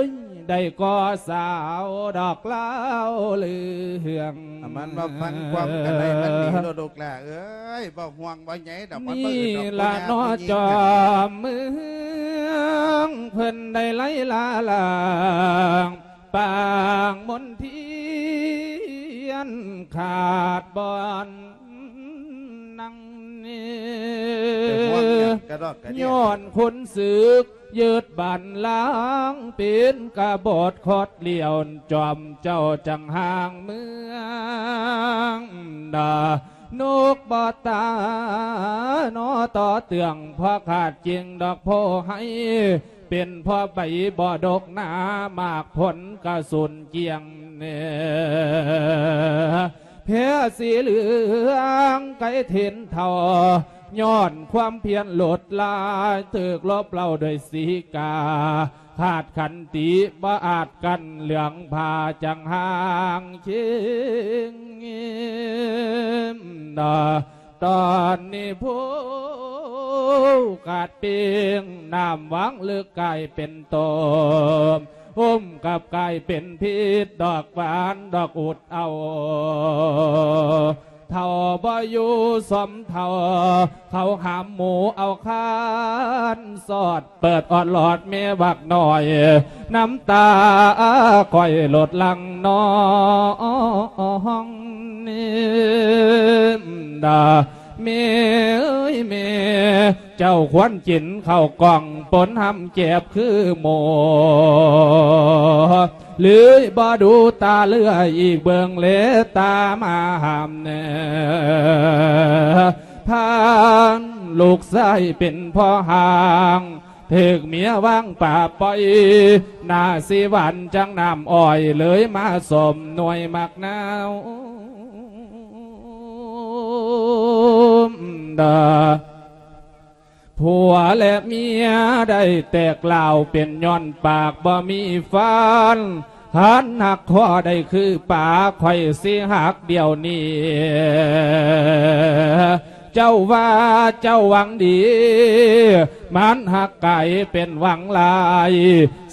ຍ ໄດ້ກໍສາວດອກລາວເລື່ອງ ອາ ມັນວ່າຟັງຄວາມກັນໄດ້ມັນດີໂລດລູກຫຼ້າເອີຍ ບໍ່ຫ່ວງບໍ່ໃຍດອກ ມັນບໍ່ອຶດດອກ ນີ້ລະເນາະ ຜູ້ຍາກຜູ້ຍິງ ຈອມເມືອງ ເພິ່ນໄດ້ໄຫຼລາລ້າງ ປາງມົນທຽນຂາດບ່ອນນັ່ງ ຍ້ອນຄົນສຶກຍຶດບ້ານລ້າງ ເປັນກະບົດຄອດລ້ຽວ ຈອມເຈົ້າຈັ່ງຫ່າງເມືອງດາ ນົກບໍ່ຕາ ນໍຕໍ່ເຕືອງ ພໍຂາດຈິງດອກໂພໄຮ ເປັນພໍໃບບໍ່ດົກໜາ ໝາກຜົນກະສູນກ້ຽງແນ່ ແພສີເຫຼືອງໄກເຫັນເທົ່າ ຍ້ອນຄວາມພຽນໂລດຫຼາຍ ຖືກລົບເລົ້າດ້ວຍສີກາ ຂາດຂັນຕິບໍ່ອາດກັ້ນ ເຫຼືອງຜ້າຈັ່ງຫ່າງເຄງ ຕອນນີ້ຜູ້ກາດເປັງ ນ້ຳຫວ່າງເລິກກາຍເປັນຕົມ ອົມກັບກາຍເປັນພິດ ດອກຫວານດອກອຸດເອົາ ເຖົ້າບໍ່ຢູ່ສົມເຖົ້າ ເຂົາຫາມໝູເອົາຄານສອດ ເປີດອອດຫຼອດແມ່ບັກນ້ອຍ ນ້ຳຕາຂ້ອຍຫຼົດຫຼັ່ງນອງ ດາ ແມ່ເອີຍແມ່ ເຈົ້າຄວນກິນເຂົ້າກ່ອງປົນຫຳແຈບຄືໝູ ຫຼືບໍ່ດູຕາເຫຼືອອີກເບິ່ງແລຕາມາຫ້າມແນ່ ພາລູກຊາຍເປັນພໍ່ຫ້າງ ຖືກເມຍວາງປາປ່ອຍ ໜ້າສີຫວານຈັ່ງນ້ຳອ້ອຍ ເລີຍມາສົມໜ່ວຍໝາກນາວ ດາ ຜົວແລະເມຍໄດ້ແຕກລາວ ເປັນຍ້ອນປາກບໍ່ມີຟັນ ຄັນຫາກພໍໄດ້ຄືປາ ຂ້ອຍຊິຫັກດຽວນີ້ ເຈົ້າວ່າເຈົ້າຫວັງດີ ມັນຫາກກາຍເປັນຫວັງຫຼາຍ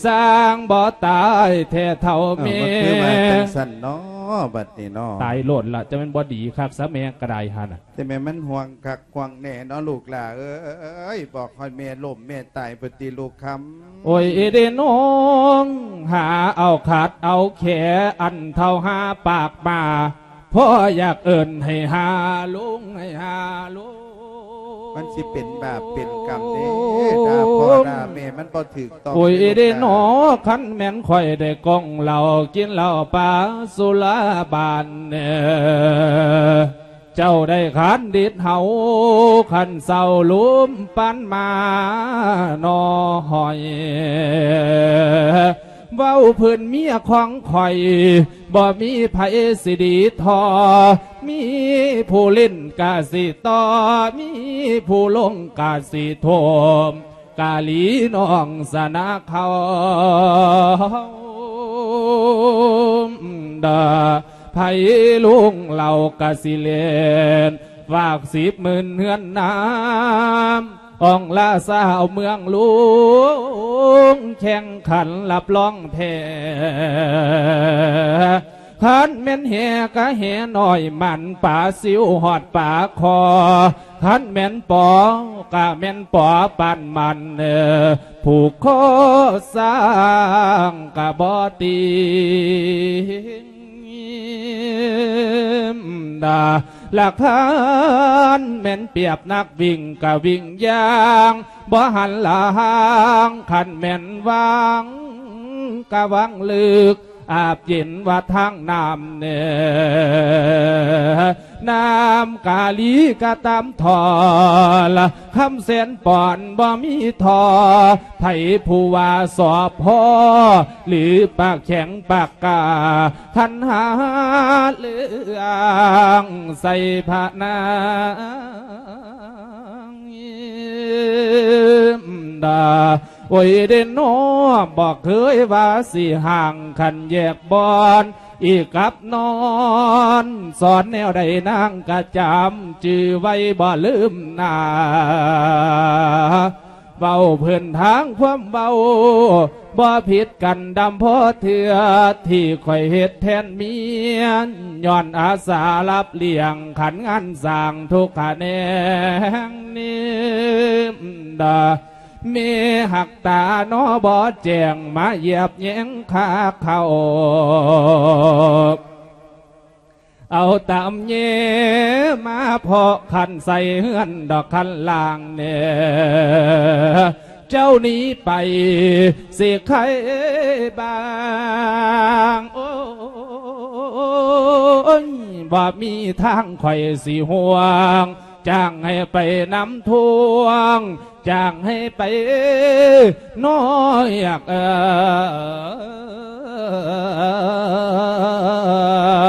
ສ້າງບໍ່ຕາຍແທ້ເຖົ້າແມ່ ເອີ ມັນຄືວ່າຈັ່ງຊັ້ນເນາະ ບັດນີ້ເນາະ ຕາຍໂລດລະ ຈະແມ່ນບໍ່ດີຄັກຊະແມ່ກະໄດ້ຫັ້ນນະ ແຕ່ແມ່ນມັນຫ່ວງຄັກຫ່ວງແນ່ເນາະລູກຫຼ້າເອີຍ ບອກຮອດແມ່ລົ້ມແມ່ຕາຍພຸ້ນຕິລູກຄຳ ໂອ້ຍເດ້ນ້ອງ ຫາເອົາຂັດເອົາແຂ ອັນເຖົ້າຫາປາກມາ ພໍ່ຢາກເອີ້ນໃຫ້ຫາລຸງ ໃຫ້ຫາລຸງ ມັນຊິເປັນບາບເປັນກຳເດ້ ດ່າພໍ່ດ່າແມ່ມັນບໍ່ຖືກຕ້ອງ ໂອ້ຍເດ້ນ້ອງ ຄັນແມ່ນຂ້ອຍໄດ້ກ້ອງເຫຼົ້າ ກິນເຫຼົ້າປາສຸລາບານ ເຈົ້າໄດ້ຄັນດິດເຮົາ ຄັນເຊົາລຸມປັນມາໜໍ່ຫອຍ ເວົ້າພື້ນເມຍຂອງຂ້ອຍ ບໍ່ມີໃຜຊິດີທໍ່ ມີຜູ້ຫຼິ້ນກະຊິຕໍ່ ມີຜູ້ລົງກະຊິໂທມ ກະຫຼີນ້ອງຊະນະເຂົາ ດາ ໃຜລຸງເລົ່າກະຊິເລ່ນ ຝາກສິບໝື່ນເຮືອນນາມ ອອງລາຊາວເມືອງຫຼວງ ແຂ່ງຂັນຮັບຮອງແພ້ ຄັນແມ່ນແຫກະແຫນ້ອຍ ໝັ້ນປາຊິວຮອດປາຄໍ ຄັນແມ່ນປໍກະແມ່ນປໍປານໝັ້ນ ຜູກຄໍຊ້າງກະບໍ່ຕິງ ດາ ລະຄັນແມ່ນປຽບນັກວິ່ງກະວິ່ງຢ່າງ ບໍ່ຫັນລະຫາງ ຄັນແມ່ນຫວ່າງກະຫວ່າງເລິກ ອາບເຢັນວ່າທາງນ້ຳເນີ ນ້ຳກາລີກະຕາມທໍ່ ລະຄຳແສນປອນບໍ່ມີທໍ່ ໃຜຜູ້ວ່າສອບພໍ ຫຼືປາກແຂງປາກກ້າ ຄັນຫາເລື່ອງໃສ່ພະນາງ ດາ ໂອ້ຍເດ້ນ້ອ ບໍ່ເຄີຍວ່າຊິຫ່າງ ຄັນແຍກບ່ອນ ອີກກັບນອນ ສອນແນວໃດນາງກະຈຳຈື່ໄວ້ບໍ່ລືມໜ້າ ເວົ້າພື້ນທາງຄວາມເວົ້າ ບໍ່ຜິດກັນດຳພໍເທື່ອ ທີ່ຂ້ອຍເຮັດແທນເມຍ ຍ້ອນອາສາຮັບລ້ຽງ ຂັນງານສ້າງທຸກຂະແໜງນີ້ ດາ ແມ່ຮັກຕາໜໍ່ບໍ່ແຈ້ງ ມາຢຽບແຍງຂ້າເຂົ້າ ເອົາຕຳແຍມາເພາະຄັນໃສ່ເຮືອນດອກຄັນລ່າງແດ່ ເຈົ້າໜີໄປຊິໄຄບາງ ໂອ້ຍ ບໍ່ມີທາງຂ້ອຍຊິຫ່ວງ ຈ້າງໃຫ້ໄປນຳທວງ ຈ້າງໃຫ້ໄປນ້ອຍຢາກເອີ້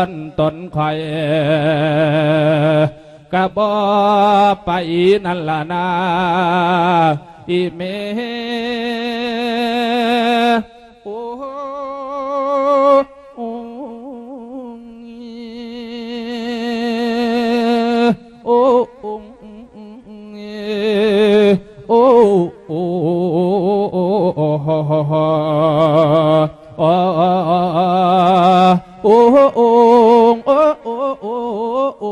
ນຕົນຂ້ອຍ ກະບໍ່ໄປນັ້ນລະນາ ອີແມ່ ໂອ້ ໂອ້ ໂອ້ ໂອ້ ໂອ້ ໂອ້ ໂອ້ ໂອ້ ໂອ້ ໂອ້ ໂອ້ ໂອ້ ໂອ້ ໂອ້ ໂອ້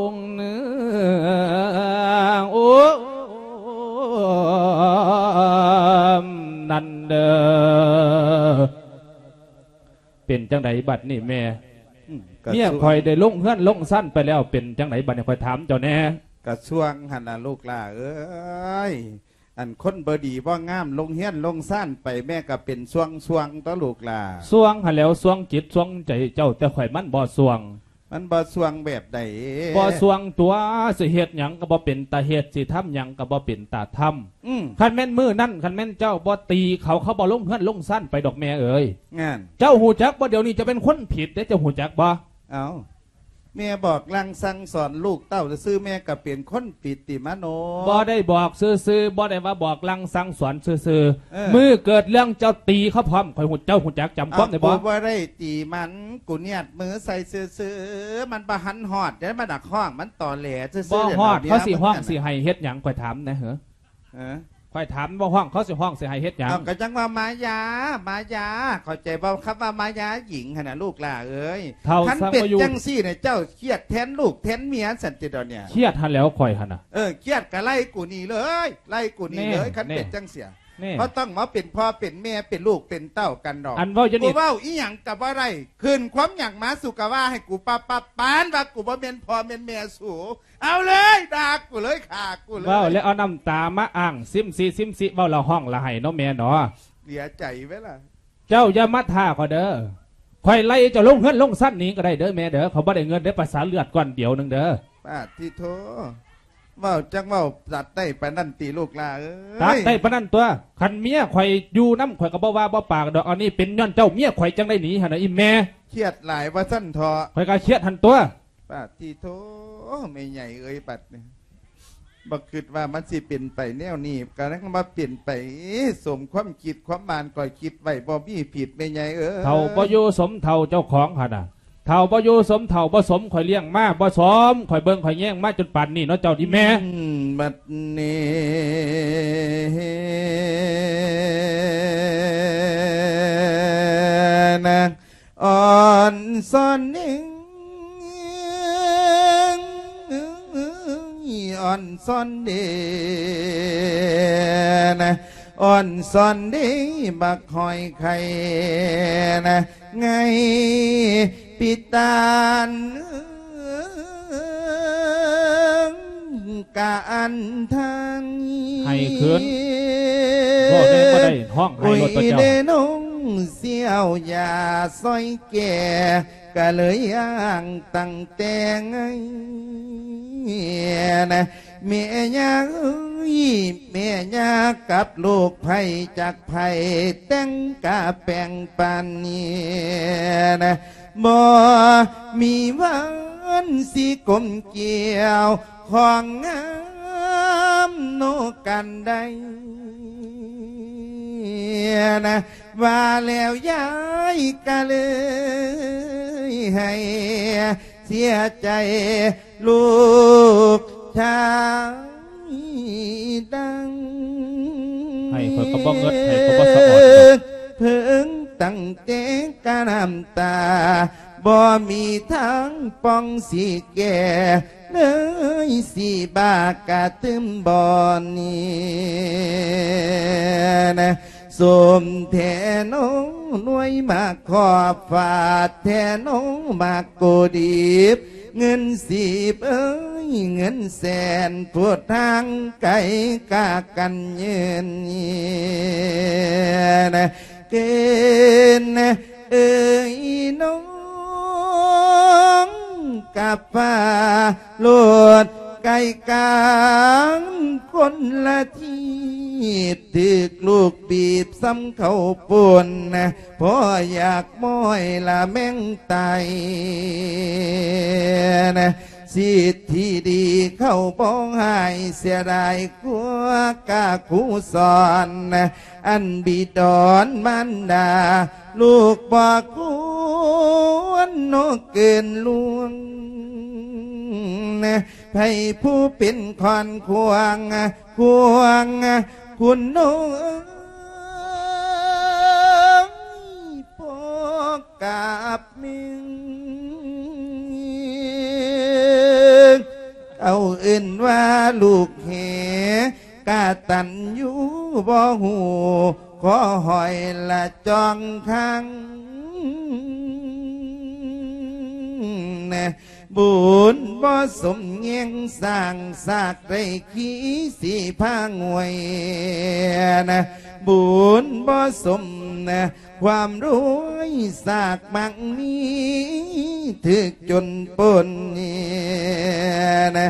ໂອ້ ໂອ້ ນັ້ນເດີ. ເປັນຈັ່ງໃດບັດນີ້ແມ່? ອືມ ເມຍຂ້ອຍໄດ້ລົງເຮືອນລົງຊານໄປແລ້ວ ເປັນຈັ່ງໃດບັດນີ້ ຂ້ອຍຖາມເຈົ້າແດ່? ກະຊ່ວງຫັ້ນລະລູກຫຼ້າເອີຍ ອັນຄົນບໍ່ດີບໍ່ງາມລົງເຮືອນລົງຊານໄປ ແມ່ກະເປັນຊ່ວງໆ ຕົວະລູກຫຼ້າ. ຊ່ວງຫັ້ນແລ້ວ ຊ່ວງຈິດຊ່ວງໃຈເຈົ້າ ແຕ່ຂ້ອຍມັນບໍ່ຊ່ວງ. ມັນບໍ່ສ່ວງແບບໃດ? ບໍ່ສ່ວງຕົວະ ຊິເຮັດຫຍັງກໍບໍ່ເປັນຕາເຮັດ ຊິທຳຫຍັງກໍບໍ່ເປັນຕາທຳ. ອືມ ຄັນແມ່ນມື້ນັ້ນ ຄັນແມ່ນເຈົ້າບໍ່ຕີເຂົາ ເຂົາບໍ່ລົງເຮືອນລົງຊານໄປດອກແມ່ເອີຍ. ງານ ເຈົ້າຮູ້ຈັກບໍ່? ດຽວນີ້ເຈົ້າເປັນຄົນຜິດເດ້ ເຈົ້າຮູ້ຈັກບໍ່? ເອົ້າ ແມ່ບອກສັ່ງສັ່ງສອນລູກເຕົ້າຊື່ໆ ແມ່ກໍເປັນຄົນຜິດຕິມະໂນ? ບໍ່ໄດ້ບອກຊື່ໆ ບໍ່ໄດ້ວ່າບອກສັ່ງສັ່ງສອນຊື່ໆ. ເອີ ມື້ເກີດເລື່ອງເຈົ້າຕີເຂົາພ້ອມ ຂ້ອຍຮູ້ ເຈົ້າຮູ້ຈັກ ຈຳຄວາມໄດ້ບໍ່? ເອົ້າ ກູບໍ່ໄດ້ຕີມັນ ກູນຽດມືໃສ່ຊື່ໆ ມັນບໍ່ທັນຮອດເດ້ ມັນນະຮ້ອງ ມັນຕໍແຫຼຊື່ໆ. ບໍ່ຮອດ ດຽວນີ້ ເຂົາຊິຮ້ອງ ມັນ ຊິໄຫ້ເຮັດຫຍັງ ຂ້ອຍຖາມແດ່ເຫີ? ເອີ ຂ້ອຍຖາມ ບໍ່ຮ້ອງ ເຂົາຊິຮ້ອງ ຊິໃຫ້ເຮັດຫຍັງ? ເອົາ ກໍຈັ່ງວ່າມາຢາ ມາຢາ ເຂົ້າໃຈບໍ່? ຄຳວ່າມາຢາຍິງຫັ້ນນະ ລູກຫຼ້າເອີຍ. ເຖົ້າ ຄັນເປັນຈັ່ງຊີ້ນະ ເຈົ້າຄຽດແທນລູກແທນເມຍຊັ້ນຕິດອນເນຍ? ຄຽດຫັ້ນແຫຼ້ວ ຂ້ອຍຫັ້ນນະ. ເອີ ຄຽດກໍໄລ່ກູໜີເລີຍ ໄລ່ກູໜີເລີຍ. ແນ່ ຄັນເປັນ ແນ່ ຈັ່ງເສຍ ແນ່ ບໍ່ຕ້ອງມາເປັນພໍ່ເປັນແມ່ ເປັນລູກເປັນເຕົ້າກັນດອກ. ອັນເວົ້າຢູ່ນີ້ ກູເວົ້າອີ່ຫຍັງກໍບໍ່ໄດ້ ຂຶ້ນຄວາມຫຍັງມາ ສູກໍວ່າໃຫ້ກູປັບໆ ປານວ່າກູບໍ່ແມ່ນພໍ່ແມ່ນແມ່ສູ. ເອົາເລີຍ ດ່າກູເລີຍ ຂ້າກູເລີຍ. ເວົ້າແລ້ວເອົານ້ຳຕາມາອ້າງ ຊິມຊິ ຊິມຊິ ເວົ້າລະຮ້ອງລະໄຫ້ເນາະແມ່ເນາະ. ເສຍໃຈເວີຍລະ. ເຈົ້າຢ່າມາທ້າຂ້ອຍເດີ ຂ້ອຍໄລ່ເຈົ້າລົງເຮືອນລົງຊານໜີກໍໄດ້ເດີແມ່ເດີ ຂ້ອຍບໍ່ໄດ້ເງິນເດີ ປະສາເລືອດກ້ອນດຽວໜຶ່ງເດີ. ປາດທິໂທ ເວົ້າຈັກເວົ້າ ຕັດໄດ້ປານນັ້ນຕິລູກຫຼ້າເອີຍ? ຕັດໄດ້ປານນັ້ນຕົວະ ຄັນເມຍຂ້ອຍຢູ່ນຳ ຂ້ອຍກໍບໍ່ວ່າບໍ່ປາກດອກ. ອັນນີ້ເປັນຍ້ອນເຈົ້າເມຍຂ້ອຍຈັ່ງໄດ້ໜີຫັ້ນນະ ອີ່ແມ່. ຄຽດຫຼາຍວ່າຊັ້ນເຖາະ. ຂ້ອຍກໍຄຽດຫັ້ນຕົວະ. ປາດທິໂທ ແມ່ໃຫຍ່ເອີຍ ບັດນີ້ບໍ່ຄິດວ່າມັນຊິເປັນໄປແນວນີ້ ກະຍັງມາເປັນໄປ ສົມຄວາມຄິດຄວາມໝານຂ້ອຍຄິດໄວ້ ບໍ່ມີຜິດແມ່ໃຫຍ່ເອີຍ. ເຖົ້າບໍ່ຢູ່ສົມເຖົ້າເຈົ້າຂອງຫັ້ນນະ ເຖົ້າບໍ່ຢູ່ສົມເຖົ້າ ບໍ່ສົມຂ້ອຍລ້ຽງມາ ບໍ່ສົມຂ້ອຍເບິ່ງຂ້ອຍແຍງມາຈົນປານນີ້ເນາະ ເຈົ້າອີ່ແມ່. ອືມ ບັດນີ້ນາງ ອ່ອນຊອນເອງ ອ່ອນຊອນເດນະ ອ່ອນຊອນເດ ບັກຫອຍໄຂ່ນະ ໄງປິດຕານ ກະອັນທາງ ໃຫ້ຄືນ ເວົ້າແດ່ບໍ່ໄດ້ ຮ້ອງໄຫ້ໂລດຕົວະເຈົ້າ. ໂອ້ຍເດ້ນ້ອງ ຊິເອົາຢາຊ່ອຍແກ້ ກະເລີຍອ້າງຕັ້ງແຕ່ໄງນະ ແມ່ຍ່າເອີຍ ແມ່ຍ່າກັບລູກໃຜຈັກໃຜ ແຕ່ງກະແປງປານນີ້ນະ ບໍ່ມີວັນຊິກົມກ່ຽວ ຂອງງາມໂນກັນໄດ້ນະ ວ່າແລ້ວຍາຍກະເລີຍໃຫ້ເສຍໃຈລູກຊາຍດັງ ໃຫ້ຂ້ອຍກໍບໍ່ເງິດ ໃຫ້ກໍບໍ່ສະອອດດອກ ເພິ່ງຕັ້ງແຕ່ກະນ້ຳຕາ ບໍ່ມີທາງປ່ອງຊິແກ້ ເລີຍຊິບາກະຕື່ມບ່ອນນີ້ນະ ສົມແທ້ນ້ອງໜ່ວຍໝາກຂອບ ຟາດແທ້ນ້ອງໝາກໂກດີບ ເງິນສິບເອີຍ ເງິນແສນ ຜູ້ທາງໄກກາກັນເຍີນນີ້ນະ ເກີນ ເອີຍນ້ອງກັບຟ້າໂລດ ໄກກາງຄົນລະທີບ ຖືກລູກບີບສ່ຳເຂົ້າປຸ້ນ ພໍຢາກມ້ອຍລະແມ່ງຕາຍ ສິດທີ່ດີເຂົາບໍ່ໃຫ້ ເສຍດາຍກວ່າກາຄູສອນ ອັນບິດອນມານດາ ລູກບໍ່ຄວນນອກເກີນລ່ວງ ໃຜຜູ້ເປັນຂອນຂວາງ ຂວາງຄຸນນ້ອງ ພໍກັບເມືອງ ເຂົາເອີ້ນວ່າລູກເຫ ກະຕັນຢູ່ບໍ່ຮູ້ ຂໍຫອຍລະຈອງຄັງ ບຸນບໍ່ສົມແຍງສ້າງ ສາກໄດ້ຂີ້ສີພາງວຍ ບຸນບໍ່ສົມ ຄວາມລວຍສາກໝັ້ງມີ ຖືກຈົນປົນນີ້ນະ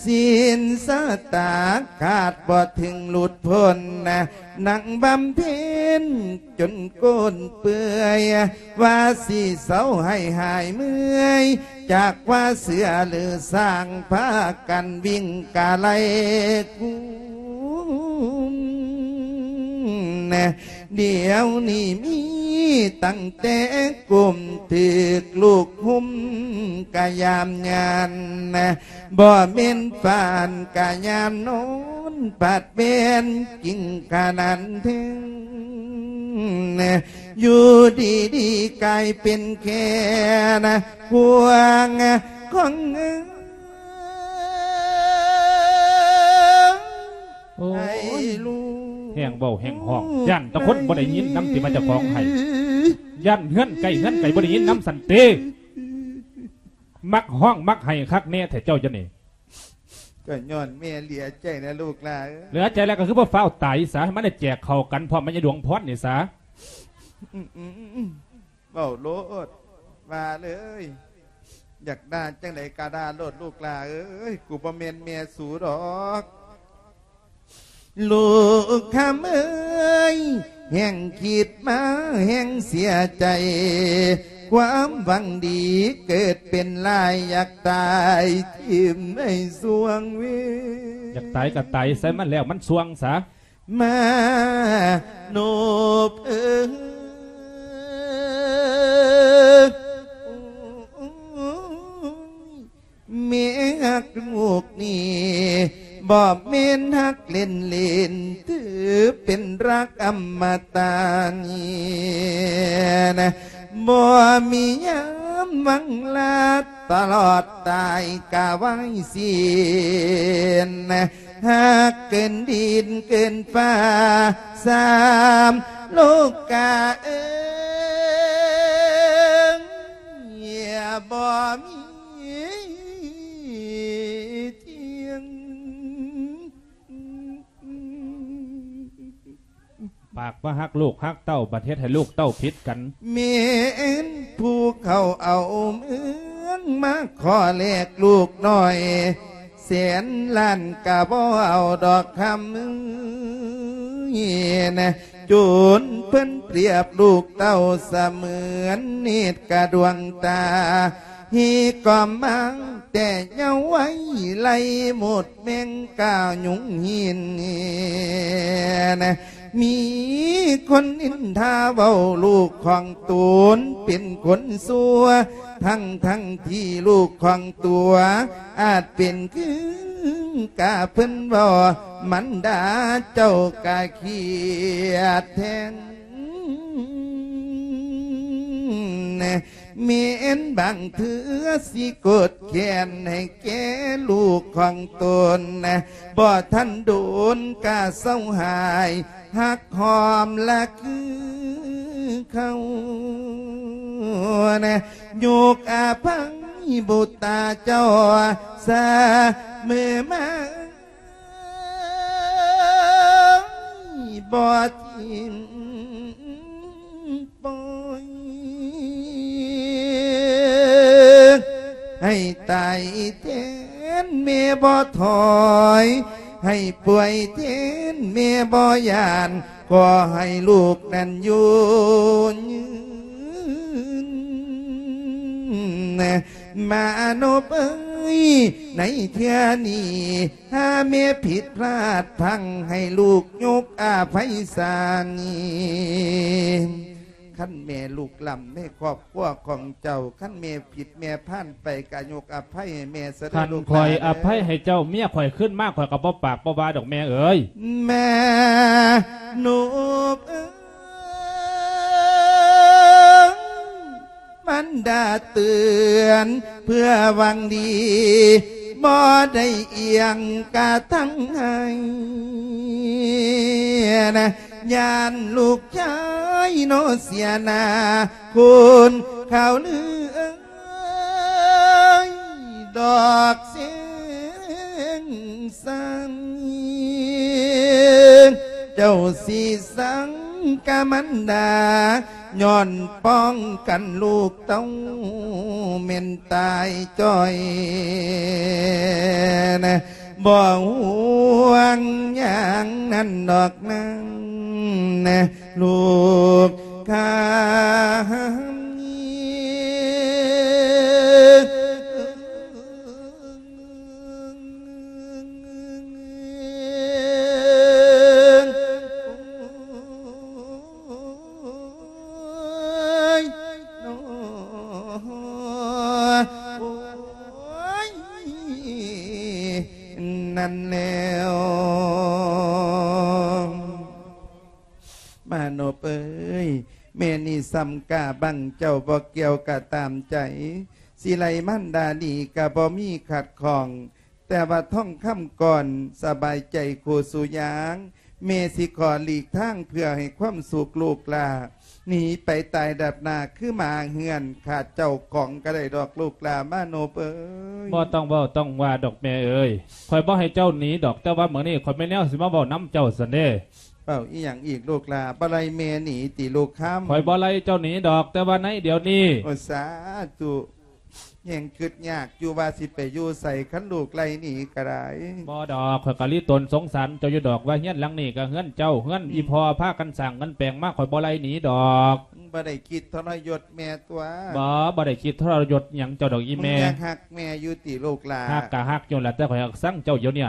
ສິນສະຕາຂາດບໍ່ເຖິງຫຼຸດພົ້ນນະ ນັ່ງບຳເພັນຈົນກົ້ນເປື່ອຍ ວ່າຊິເຊົາໃຫ້ຫາຍເມື່ອຍ ຈາກວ່າເສືອຫຼືຊ້າງ ພາກັນວິ່ງກະໄລກຸມ ດຽວນີ້ມີຕັ້ງແຕ່ກຸມ ຖືກລູກຮຸມກະຍາມຍານ ບໍ່ແມ່ນຟານກະຍາມນອນ ບາດແມ່ນກິງຂະໜານເທິງ ຢູ່ດີໆກາຍເປັນແຄ່ນະ ຄວາງຂອງເອີ ໂອ້ຍ ໃຫ້ລູກ ແຮ່ງເວົ້າແຮ່ງຮ້ອງ ຢ້ານແຕ່ຄົນບໍ່ໄດ້ຍິນນຳ ທີ່ວ່າເຈົ້າຂອງໄຫ້ ຢ້ານເຮືອນໃກ້ເຮືອນໄກບໍ່ໄດ້ຍິນນຳຊັ້ນເຕ. ມັກຮ້ອງມັກໄຫ້ຄັກແນ່ແທ້ເຈົ້າ ຈັ່ງນີ້ ກໍຍ້ອນແມ່ເຫຼືອໃຈນະລູກຫຼ້າເອີຍ. ເຫຼືອໃຈແລ້ວກໍຄືບໍ່ຟ້າວຕາຍສາ ໃຫ້ມັນໄດ້ແຈກເຂົ້າກັນພ້ອມແມ່ຍາດວງພອນນີ້ສາ. ອືມໆໆ ເວົ້າໂລດ ວ່າເລີຍ ຢາກດ່າຈັ່ງໃດກໍດ່າໂລດລູກຫຼ້າເອີຍ ກູບໍ່ແມ່ນແມ່ສູດອກ. ລູກຄຳເອີຍ ແຮ່ງຄິດມາແຮ່ງເສຍໃຈ ຄວາມຫວັງດີເກີດເປັນລາຍ ຢາກຕາຍຖິ້ມໃນສວງເວ ຢາກຕາຍກໍຕາຍໃສ່ມັນແລ້ວ ມັນສ່ວງສາ ມາໂນບເອີຍ ແມ່ຮັກລູກນີ້ ບໍ່ແມ່ນຮັກເລ່ນໆ ຖືເປັນຮັກອຳມະຕະນີ້ນະ ບໍ່ມີຍາມວັງລາ ຕະຫຼອດຕາຍກະໄວສິ້ນ ຮັກເກີນດິນເກີນຟ້າ ສາມໂລກາເອີຍ ບໍ່ມີທຽງ. ປາກວ່າຮັກລູກຮັກເຕົ້າ ບັດເຮັດໃຫ້ລູກເຕົ້າຜິດກັນ ແມ່ນຜູ້ເຂົາເອົາເມືອງ ມາຂໍແລກລູກນ້ອຍ ແສນລ້ານກະບໍ່ເອົາດອກຄຳເອີຍນະ ຈົນເພິ່ນປຽບລູກເຕົ້າສະເໝືອນນິດກະດວງຕາ ເຮກອມມາແຕ່ເຍົາໄວ ໄລ່ໝົດແມງກາຍຸງຫີນນະ ມີຄົນນິນທາເວົ້າລູກຂອງຕົນເປັນຄົນຊົ່ວ ທັງໆທີ່ລູກຂອງຕົວອາດເປັນຄືກາເພິ່ນເວົ້າ ມັນດາເຈົ້າກະຄຽດແທນ ແມ່ນບາງເທື່ອຊິກົດແຄ້ນໃຫ້ແກ່ລູກຂອງຕົນ ບໍ່ທັນດົນກະເຊົາຫາຍ ຮັກຫອມລະຄືເກົ່າ ຍົກອະໄພບຸດຕາເຈົ້າສະເໝີມາ ບໍ່ຖິ້ມປ່ອຍ ໃຫ້ຕາຍແທນແມ່ບໍ່ຖອຍ ໃຫ້ປ່ວຍແທນແມ່ບໍ່ຢ້ານ ຂໍໃຫ້ລູກນັ້ນຢູ່ຍືນ ມານົບເອີຍ ໃນເທື່ອນີ້ ຖ້າແມ່ຜິດພລາດພັງ ໃຫ້ລູກຍົກອະໄພສານີ້ ຄັນແມ່ລຸກລ້ຳໃນຄອບຄົວຂອງເຈົ້າ ຄັນແມ່ຜິດແມ່ພານໄປ ກະຍົກອະໄພໃຫ້ແມ່ຊະເດີ ຄັນຂ້ອຍອະໄພໃຫ້ເຈົ້າ ເມຍຂ້ອຍຄືນມາ ຂ້ອຍກໍບໍ່ປາກບໍ່ວ່າດອກແມ່ເອີຍ ແມ່ນົບເອີຍ ມັນດາເຕືອນເພື່ອຫວັງດີ ບໍ່ໄດ້ອຽງກະທັງໃຫ້ນະ ຢ້ານລູກຊາຍໂນເສຍໜ້າ ຄົນຂ່າວລືເອີຍ ດອກເຊງສັນ ເຈົ້າຊິສັງກະມັນດາ ຍ້ອນປ້ອງກັນລູກເຕົ້າແມ່ນຕາຍຈ້ອຍນະ ບໍ່ຫ່ວງຫຍັງນັ້ນດອກນາງນະ ລູກຂ້າ. ນັ້ນແລ້ວ ມານົບເອີຍ ແມ່ນີ້ສ່ຳກ້າບັງເຈົ້າບໍ່ກ່ຽວກະຕາມໃຈ ຊິໄລ່ມານດານີ້ກະບໍ່ມີຂັດຂ້ອງ ແຕ່ວ່າທອງຄຳກ່ອນ ສະບາຍໃຈຄູ່ສູ່ຢ່າງ ແມ່ຊິຂໍຫຼີກທາງເພື່ອໃຫ້ຄວາມສຸກລູກຫຼ້າ ໜີໄປຕາຍດັບໜ້າຄືໝາເຮືອນ ຂາດເຈົ້າຂອງກະໄດ້ດອກລູກຫຼ້າມາໂນບເອີຍ. ບໍ່ຕ້ອງເວົ້າຕ້ອງວ່າດອກແມ່ເອີຍ ຂ້ອຍບໍ່ໃຫ້ເຈົ້າໜີດອກ ແຕ່ວ່າມື້ນີ້ຂ້ອຍມີແນວຊິມາເວົ້ານຳເຈົ້າຊັ້ນເດ້. ເວົ້າອີ່ຫຍັງອີກລູກຫຼ້າ? ບໍ່ໄລ່ແມ່ໜີຕິລູກຄຳ? ຂ້ອຍບໍ່ໄລ່ເຈົ້າໜີດອກ ແຕ່ວ່າໃນດຽວນີ້ ໂອ ສາທຸ. ແຮງຄຶດຍາກຢູ່ວ່າຊິໄປຢູ່ໃສ ຄັນລູກໄລ່ໜີກະໄດ້. ບໍ່ດອກ ຂ້ອຍກະລີຕົນສົງສານເຈົ້າຢູ່ດອກ ວ່າເຮືອນຫຼັງນີ້ກະເຮືອນເຈົ້າ ເຮືອນອີ່ພໍ່ພາກັນສ້າງກັນແປງມາ ຂ້ອຍບໍ່ໄລ່ໜີດອກ. ບໍ່ໄດ້ຄິດທໍລະຍົດແມ່ຕົວະ? ບໍ່ ບໍ່ໄດ້ຄິດທໍລະຍົດຫຍັງເຈົ້າດອກອີ່ແມ່. ຍັງຮັກແມ່ຢູ່ຕິລູກຫຼ້າ? ຮັກກະຮັກຢູ່ລະ ແຕ່ຂ້ອຍຮັກຊັງເຈົ້າດຽວນີ້.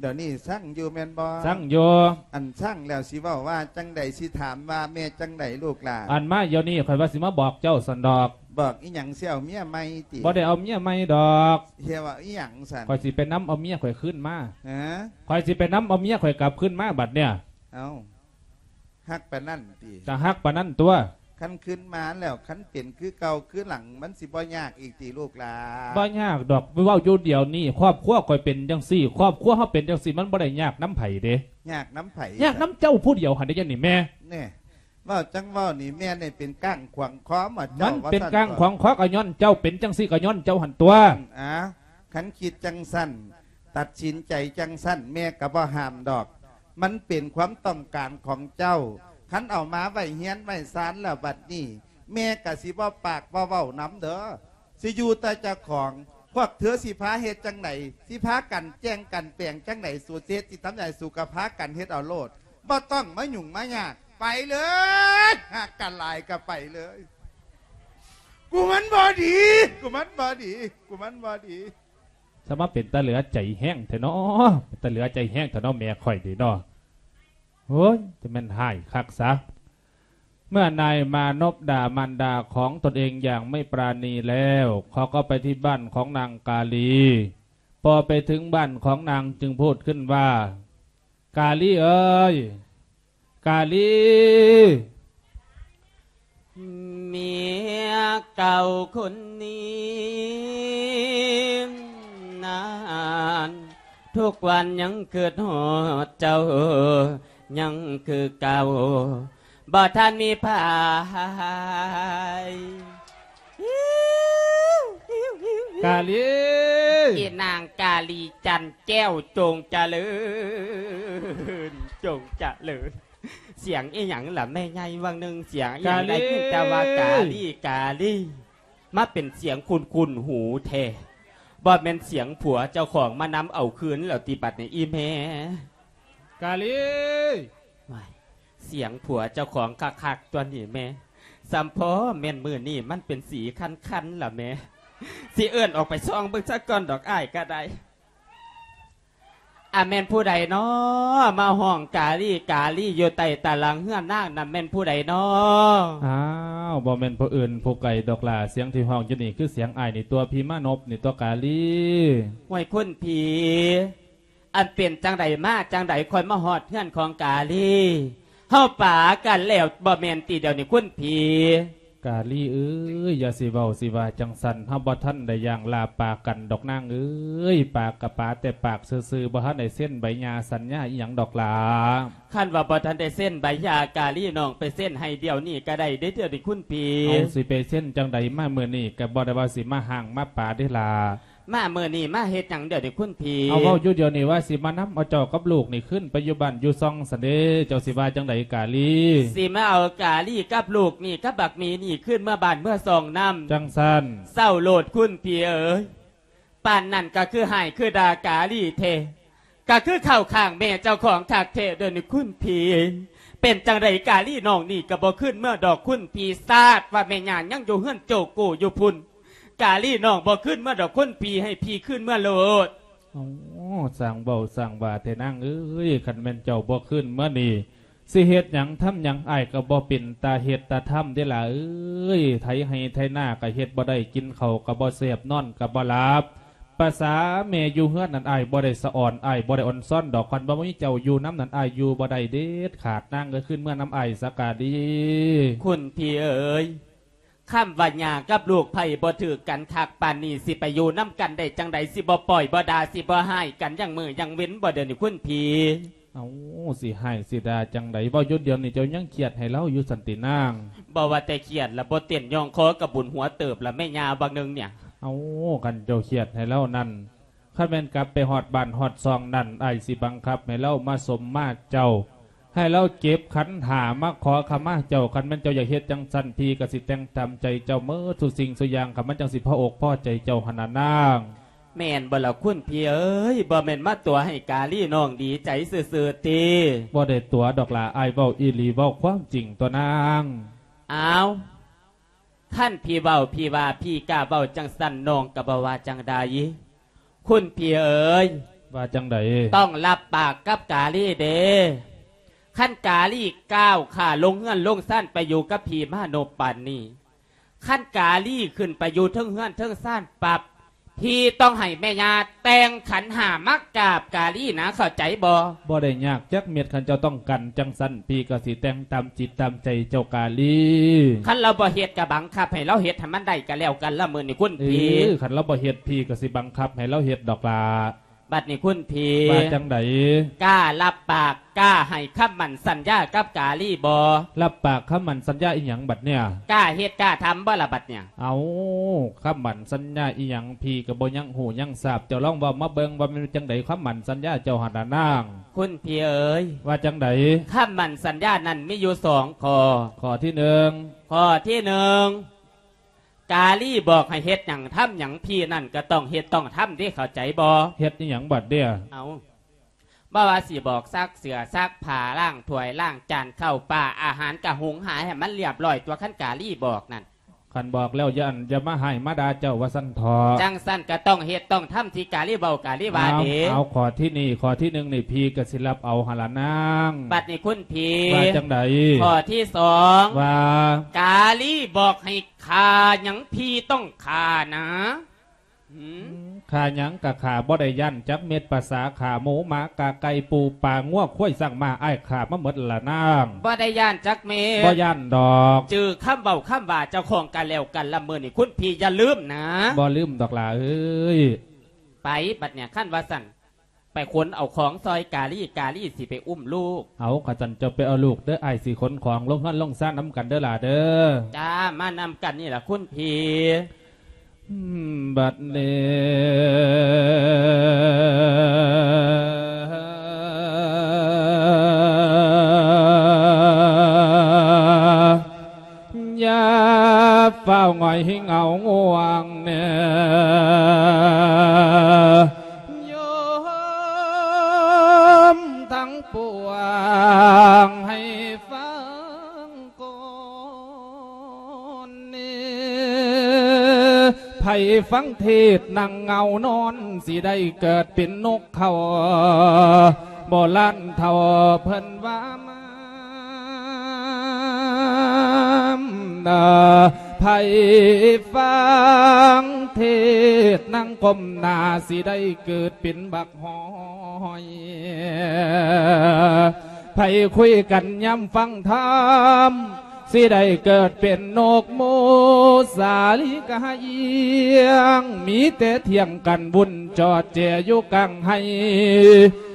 ດຽວນີ້ຊັງຢູ່ແມ່ນບໍ່? ຊັງຢູ່. ອັນຊັງແລ້ວຊິເວົ້າວ່າຈັ່ງໃດ? ຊິຖາມວ່າແມ່ຈັ່ງໃດລູກຫຼ້າ? ອັນມາດຽວນີ້ຂ້ອຍວ່າຊິມາບອກເຈົ້າຊັ້ນດອກ. ບອກອີ່ຫຍັງ? ຊິເອົາເມຍໃໝ່ຕິ? ບໍ່ໄດ້ເອົາເມຍໃໝ່ດອກ. ຊິເອົາອີ່ຫຍັງຊັ້ນ? ຂ້ອຍຊິໄປນຳເອົາເມຍຂ້ອຍຄືນມາ. ຮະ? ຂ້ອຍຊິໄປນຳເອົາເມຍຂ້ອຍກັບຄືນມາບັດເນີ້ຍ. ເອົ້າ. ຮັກປານນັ້ນຕິ? ກະຮັກປານນັ້ນຕົວະ. ຄັນຄືນມາແລ້ວ ຄັນເປັນຄືເກົ່າຄືຫຼັງ ມັນຊິບໍ່ຍາກອີກຕິລູກຫຼ້າ? ບໍ່ຍາກດອກ ເວົ້າຢູ່ດຽວນີ້ ຄອບຄົວຂ້ອຍເປັນຈັ່ງຊີ້ ຄອບຄົວເຮົາເປັນຈັ່ງຊີ້ ມັນບໍ່ໄດ້ຍາກນຳໃຜເດ້. ຍາກນຳໃຜ? ຍາກນຳເຈົ້າຜູ້ດຽວຫັ້ນເດ້ ດຽວນີ້ແມ່. ແນ່ ເວົ້າຈັ່ງເວົ້ານີ້ ແມ່ນີ້ເປັນກ້າງຂວາງຄໍບໍ່ເຈົ້າ? ມັນເປັນກ້າງຂວາງຄໍກະຍ້ອນເຈົ້າ ເປັນຈັ່ງຊີ້ກະຍ້ອນເຈົ້າຫັ້ນຕົວະ. ອາ ຄັນຄິດຈັ່ງຊັ້ນ ຕັດສິນໃຈຈັ່ງຊັ້ນ ແມ່ກະບໍ່ຫ້າມດອກ. ມັນເປັນຄວາມຕ້ອງການຂອງເຈົ້າ. ຄັນເອົາມາໄວ້ເຮືອນໄວ້ຊານແລ້ວບັດນີ້ ແມ່ກະຊິບໍ່ປາກບໍ່ເວົ້ານຳເດີ. ຊິຢູ່ແຕ່ເຈົ້າຂອງ. ພວກເທີຊິພາເຮັດຈັ່ງໃດ? ຊິພາກັນແຈ້ງກັນແປງຈັ່ງໃດ? ສູຊິເຮັດຊິທຳໃດ ສູກະພາກັນເຮັດເອົາໂລດ. ບໍ່ຕ້ອງມາຫຍຸ້ງມາຍາກ. ໄປເລີຍ. ຮັກກັນຫຼາຍກະໄປເລີຍ. ກູມັນບໍ່ດີ ກູມັນບໍ່ດີ ກູມັນບໍ່ດີ. ສະມາເປັນຕາເຫຼືອໃຈແຮງແທ້ເນາະ ເປັນຕາເຫຼືອໃຈແຮງແທ້ເນາະ ແມ່ຂ້ອຍນີ້ເນາະ. ໂອ້ຍ ຈະແມ່ນຮ້າຍຄັກຊະ. ເມື່ອນາຍມານົບດ່າມານດາຂອງຕົນເອງຢ່າງໄມ່ປານີແລ້ວ ເຂົາກໍໄປທີ່ບ້ານຂອງນາງກາລີ. ພໍໄປເຖິງບ້ານຂອງນາງຈຶ່ງພູດຂຶ້ນວ່າ ກາລີເອີຍ ກາລີ ເມຍເກົ່າຄົນນີ້ນັ້ນ ທຸກວັນຍັງຄິດຮອດເຈົ້າ ຍັງຄືເກົ່າ ບໍ່ທັນມີໃຜ. ກາລີ ອີນາງກາລີຈັນແກ້ວ ຈົ່ງຈະເລີນ ຈົ່ງຈະເລີນ. ສຽງອີ່ຫຍັງລະແມ່ໃຫຍ່? ຫວ່າງໜຶ່ງສຽງອີ່ຫຍັງ ກາລີ ໄດ້ຍິນແຕ່ວ່າກາລີ ກາລີ ມາເປັນສຽງຄຸ້ນໆຫູແທ້. ບໍ່ແມ່ນສຽງຜົວເຈົ້າຂອງມານຳເອົາຄືນແລ້ວຕິບັດນີ້ອີ່ແມ່? ກາລີ ວ້າຍ ສຽງຜົວເຈົ້າຂອງຄັກໆຕົວະນີ້ແມ່. ສ່ຳພໍແມ່ນມື້ນີ້ມັນເປັນສີຄັນໆລະແມ່. ຊິເອີ້ນອອກໄປສ່ອງເບິ່ງຊະກ່ອນດອກ ອ້າຍກະໄດ້. ອາ ແມ່ນຜູ້ໃດນໍ ມາຮ້ອງກາລີ ກາລີ ຢູ່ໃຕ້ຕາຫຼັງເຮືອນນາງນັ້ນ ແມ່ນຜູ້ໃດນໍ? ອ້າວ ບໍ່ແມ່ນຜູ້ອື່ນຜູ້ໄກດອກຫຼ້າ ສຽງທີ່ຮ້ອງຢູ່ນີ້ຄືສຽງອ້າຍນີ້ຕົວະ ພີມານົບນີ້ຕົວະກາລີ. ຫ້ວຍ ຄຸນຜີ ອັນເປັນຈັ່ງໃດມາຈັ່ງໃດ ຄ່ອຍມາຮອດເຮືອນຂອງກາລີ? ເຮົາປາກັນແລ້ວບໍ່ແມ່ນຕິດຽວນີ້ ຄຸນຜີ? ກາລີເອີຍ ຢ່າຊິເວົ້າຊິວ່າຈັ່ງຊັ້ນ ເຮົາບໍ່ທັນໄດ້ຢ່າງລາປາກັນດອກນາງເອີຍ. ປາກະປາແຕ່ປາກຊື່ໆ ບໍ່ທັນໄດ້ເຊັນໃບຫຍ່າສັນຍາອີ່ຫຍັງດອກຫຼ້າ. ຄັນວ່າບໍ່ທັນໄດ້ເຊັນໃບຫຍ່າ ກາລີ ນ້ອງໄປເຊັນໃຫ້ດຽວນີ້ກະໄດ້ເດ້ ດຽວນີ້ຄຸນຜີ. ເຮົາຊິໄປເຊັນຈັ່ງໃດ ມາມື້ນີ້ກະບໍ່ໄດ້ວ່າຊິມາຮ້າງມາປາເດ້ຫຼ້າ. ມາມື້ນີ້ມາເຮັດຫຍັງດຽວນີ້ຄຸນພີ່? ເອົາ ເວົ້າຢູ່ດຽວນີ້ວ່າຊິມານຳເອົາເຈົ້າກັບລູກນີ້ຄືນໄປຢູ່ບ້ານຢູ່ຊ່ອງຊັ້ນເດ. ເຈົ້າຊິວ່າຈັ່ງໃດກາລີ? ຊິມາເອົາກາລີກັບລູກນີ້ກັບບັກໝີນີ້ຄືນເມືອບ້ານເມືອຊ່ອງນຳ. ຈັ່ງຊັ້ນ ເຊົາໂລດຄຸນພີ່ເອີຍ. ປານນັ້ນກໍຄືຮ້າຍຄືດ່າກາລີແທ້ ກໍຄືເຂົ້າຂ້າງແມ່ເຈົ້າຂອງຄັກແທ້ເດີນີ້ຄຸນພີ່. ເປັນຈັ່ງໃດກາລີນ້ອງນີ້ກໍບໍ່ຄືນເມືອດອກຄຸນພີ່. ຊາດວ່າແມ່ຍ່າຍັງຢູ່ເຮືອນໂຈໂກຢູ່ພຸ້ນ. ກາລີນ້ອງບໍ່ຄືນເມືອດອກຄຸນພີ່ ໃຫ້ພີ່ຄືນເມືອໂລດ. ໂອ້ ຊ່າງເວົ້າຊ່າງວ່າແທ້ນາງເອີຍ. ຄັນແມ່ນເຈົ້າບໍ່ຄືນເມືອນີ້ ຊິເຮັດຫຍັງທຳຫຍັງ ອ້າຍກໍບໍ່ເປັນຕາເຮັດຕາທຳເດ້ຫຼ້າເອີຍ. ໄຖໄຮ່ໄຖນາກໍເຮັດບໍ່ໄດ້ ກິນເຂົ້າກໍບໍ່ແຊບ ນອນກໍບໍ່ຫຼັບ. ພາສາແມ່ຢູ່ເຮືອນນັ້ນ ອ້າຍບໍ່ໄດ້ສະອອນ ອ້າຍບໍ່ໄດ້ອອນຊອນດອກ. ຄັນບໍ່ມີເຈົ້າຢູ່ນຳນັ້ນ ອ້າຍຢູ່ບໍ່ໄດ້ເດັດຂາດ. ນາງເອີຍ ຄືນເມືອນຳອ້າຍຊະກາລີ. ຄຸນພີ່ເອີຍ ຄຳວ່າຍ່າກັບລູກໃຜບໍ່ຖືກກັນຄັກປານນີ້ ຊິໄປຢູ່ນຳກັນໄດ້ຈັ່ງໃດ? ຊິບໍ່ປ້ອຍບໍ່ດ່າ ຊິບໍ່ຮ້າຍກັນຢ່າງມື້ຢ່າງເວັນບໍ່ດຽວນີ້ຄຸນພີ່? ເອົ້າ ຊິຮ້າຍຊິດ່າຈັ່ງໃດ? ເວົ້າຢູ່ດຽວນີ້ເຈົ້າຍັງຄຽດໃຫ້ລາວຢູ່ຊັ້ນຕິນາງ? ບໍ່ວ່າແຕ່ຄຽດລະ ບໍ່ເຕັ້ນຍ່ອງຄໍກະບຸນຫົວເຕີບລະແມ່ຍ່າ ບັກໜຶ່ງເນີ້ຍ. ເອົ້າ ຄັນເຈົ້າຄຽດໃຫ້ລາວນັ້ນ ຄັນແມ່ນກັບໄປຮອດບ້ານຮອດຊ່ອງນັ້ນ ອ້າຍຊິບັງຄັບໃຫ້ລາວມາສົມມາເຈົ້າ ໃຫ້ລາວເກັບຂັນຫ້າມາຂໍຂະມາເຈົ້າ. ຄັນແມ່ນເຈົ້າຢາກເຮັດຈັ່ງຊັ້ນ ພີ່ກໍຊິແຕ່ງຕາມໃຈເຈົ້າເໝິດທຸກສິ່ງທຸກຢ່າງ ຄັນມັນຈັ່ງຊິພໍອົກພໍໃຈເຈົ້າຫັ້ນນະນາງ. ແມ່ນບໍ່ລະຄຸນພີ່ເອີຍ? ບໍ່ແມ່ນມາຕົວະໃຫ້ກາລີນ້ອງດີໃຈຊື່ໆຕິ? ບໍ່ໄດ້ຕົວະດອກຫຼ້າ ອ້າຍເວົ້າອີ່ຫຼີ ເວົ້າຄວາມຈິງຕົວະນາງ. ອ້າວ ຄັນພີ່ເວົ້າ ພີ່ວ່າ ພີ່ກ້າເວົ້າຈັ່ງຊັ້ນ ນ້ອງກໍບໍ່ວ່າຈັ່ງໃດ. ຄຸນພີ່ເອີຍ ວ່າຈັ່ງໃດ? ຕ້ອງຮັບປາກກັບກາລີເດ້. ຄັນກາລີກ້າວຂ້າລົງເຮືອນລົງຊານໄປຢູ່ກັບພີ່ມານົບປານນີ້ ຄັນກາລີຂຶ້ນໄປຢູ່ເທິງເຮືອນເທິງຊານປັບ ພີ່ຕ້ອງໃຫ້ແມ່ຍ່າແຕ່ງຂັນຫ້າມາກາບກາລີນະ ເຂົ້າໃຈບໍ່? ບໍ່ໄດ້ຍາກຈັກເມັດ ຄັນເຈົ້າຕ້ອງການຈັ່ງຊັ້ນ ພີ່ກໍຊິແຕ່ງຕາມຈິດຕາມໃຈເຈົ້າກາລີ. ຄັນລາວບໍ່ເຮັດກໍບັງຄັບໃຫ້ລາວເຮັດໃຫ້ມັນໄດ້ກໍແລ້ວກັນລະມື້ນີ້ຄຸນພີ່. ເອີ ຄັນລາວບໍ່ເຮັດ ພີ່ກໍຊິບັງຄັບໃຫ້ລາວເຮັດດອກຫຼ້າ. ບັດນີ້ຄຸນພີ່ ວ່າຈັ່ງໃດ? ກ້າຮັບປາກ ກ້າໃຫ້ຄຳໝັ້ນສັນຍາກັບກາລີບໍ່? ຮັບປາກຄຳໝັ້ນສັນຍາອີ່ຫຍັງບັດເນີ້ຍ? ກ້າເຮັດກ້າທຳບໍ່ລະບັດເນີ້ຍ? ເອົ້າ ຄຳໝັ້ນສັນຍາອີ່ຫຍັງ ພີ່ກໍບໍ່ຍັງຮູ້ຍັງຊາບ. ເຈົ້າລອງເວົ້າມາເບິ່ງວ່າມັນເປັນຈັ່ງໃດຄຳໝັ້ນສັນຍາເຈົ້າຫັ້ນນະນາງ. ຄຸນພີ່ເອີຍ ວ່າຈັ່ງໃດ? ຄຳໝັ້ນສັນຍານັ້ນມີຢູ່ສອງຂໍ້. ຂໍ້ທີໜຶ່ງ. ຂໍ້ທີໜຶ່ງ ກາລີບອກໃຫ້ເຮັດຫຍັງທຳຫຍັງ ພີ່ນັ້ນກໍຕ້ອງເຮັດຕ້ອງທຳເດ້ ເຂົ້າໃຈບໍ່? ເຮັດອີ່ຫຍັງບັດເດ? ເອົ້າ ບໍ່ວ່າຊິບອກຊັກເສື້ອຊັກຜ້າ ລ້າງຖ້ວຍລ້າງຈານ ເຂົ້າປາອາຫານກະຫຸງຫາໃຫ້ມັນລຽບຮ້ອຍຕົວະ ຄັນກາລີບອກນັ້ນ. ຄັນບອກແລ້ວຢ່າ ອັນ ຢ່າມາຮ້າຍມາດ່າເຈົ້າວ່າຊັ້ນເຖາະ. ຈັ່ງຊັ້ນກໍຕ້ອງເຮັດຕ້ອງທຳທີ່ກາລີເວົ້າກາລີວ່າເດ້. ເອົາ ເອົາ ຂໍ້ທີນີ້ ຂໍ້ທີໜຶ່ງນີ້ ພີ່ກໍຊິຮັບເອົາຫັ້ນລະນາງ. ບັດນີ້ຄຸນພີ່ ວ່າຈັ່ງໃດ? ຂໍ້ທີສອງ ວ່າ ກາລີບອກໃຫ້ຂ້າຫຍັງ ພີ່ຕ້ອງຂ້ານະ. ຫືມ? ຂ້າຫຍັງກະຂ້າ ບໍ່ໄດ້ຢ້ານຈັກເມັດ ພາສາຂ້າໝູໝາກາໄກ່ປູປາງົວຄວາຍຊ້າງມ້າ ອ້າຍຂ້າມາໝົດລະນາງ. ບໍ່ໄດ້ຢ້ານຈັກເມັດ ບໍ່ຢ້ານດອກ. ຈື່ຄຳເວົ້າຄຳວ່າເຈົ້າຂອງກັນແລ້ວກັນລະມື້ນີ້ ຄຸນພີ່ຢ່າລືມນະ. ບໍ່ລືມດອກຫຼ້າເອີຍ. ໄປບັດເນີ້ຍ ຄັນວ່າຊັ້ນ ໄປຂົນເອົາຂອງຊ່ອຍກາລີ ກາລີຊິໄປອຸ້ມລູກ. ເອົາ ຄັນຊັ້ນເຈົ້າໄປເອົາລູກເດີ ອ້າຍຊິຂົນຂອງລົງເຮືອນລົງຊານນຳກັນເດີຫຼ້າເດີ. ຈ້າ ມານຳກັນນີ້ລະຄຸນພີ່. ອືມ ບັດນີ້ ຢ່າຟ້າວຫງອຍເຫງົາງ່ວງແນ່ ໂຍມທັງປວງໃຫ້ຟັງກ່ອນນີ້ ໃຜຟັງເທດນັ່ງເຫງົານອນ ຊິໄດ້ເກີດເປັນນົກ ເຂົາໂບລານເຖົ້າເພິ່ນວ່າມາ ໃຜຟັງເທດນັ່ງກົ້ມໜ້າ ຊິໄດ້ເກີດເປັນບັກຫອຍ ໃຜຄຸຍກັນຍາມຟັງທຳ ຊິໄດ້ເກີດເປັນນົກໝູສາລີກະຫາຍຽງ ມີແຕ່ຖຽງກັນວຸ່ນຈອດແຈຢູ່ກາງໄຮ່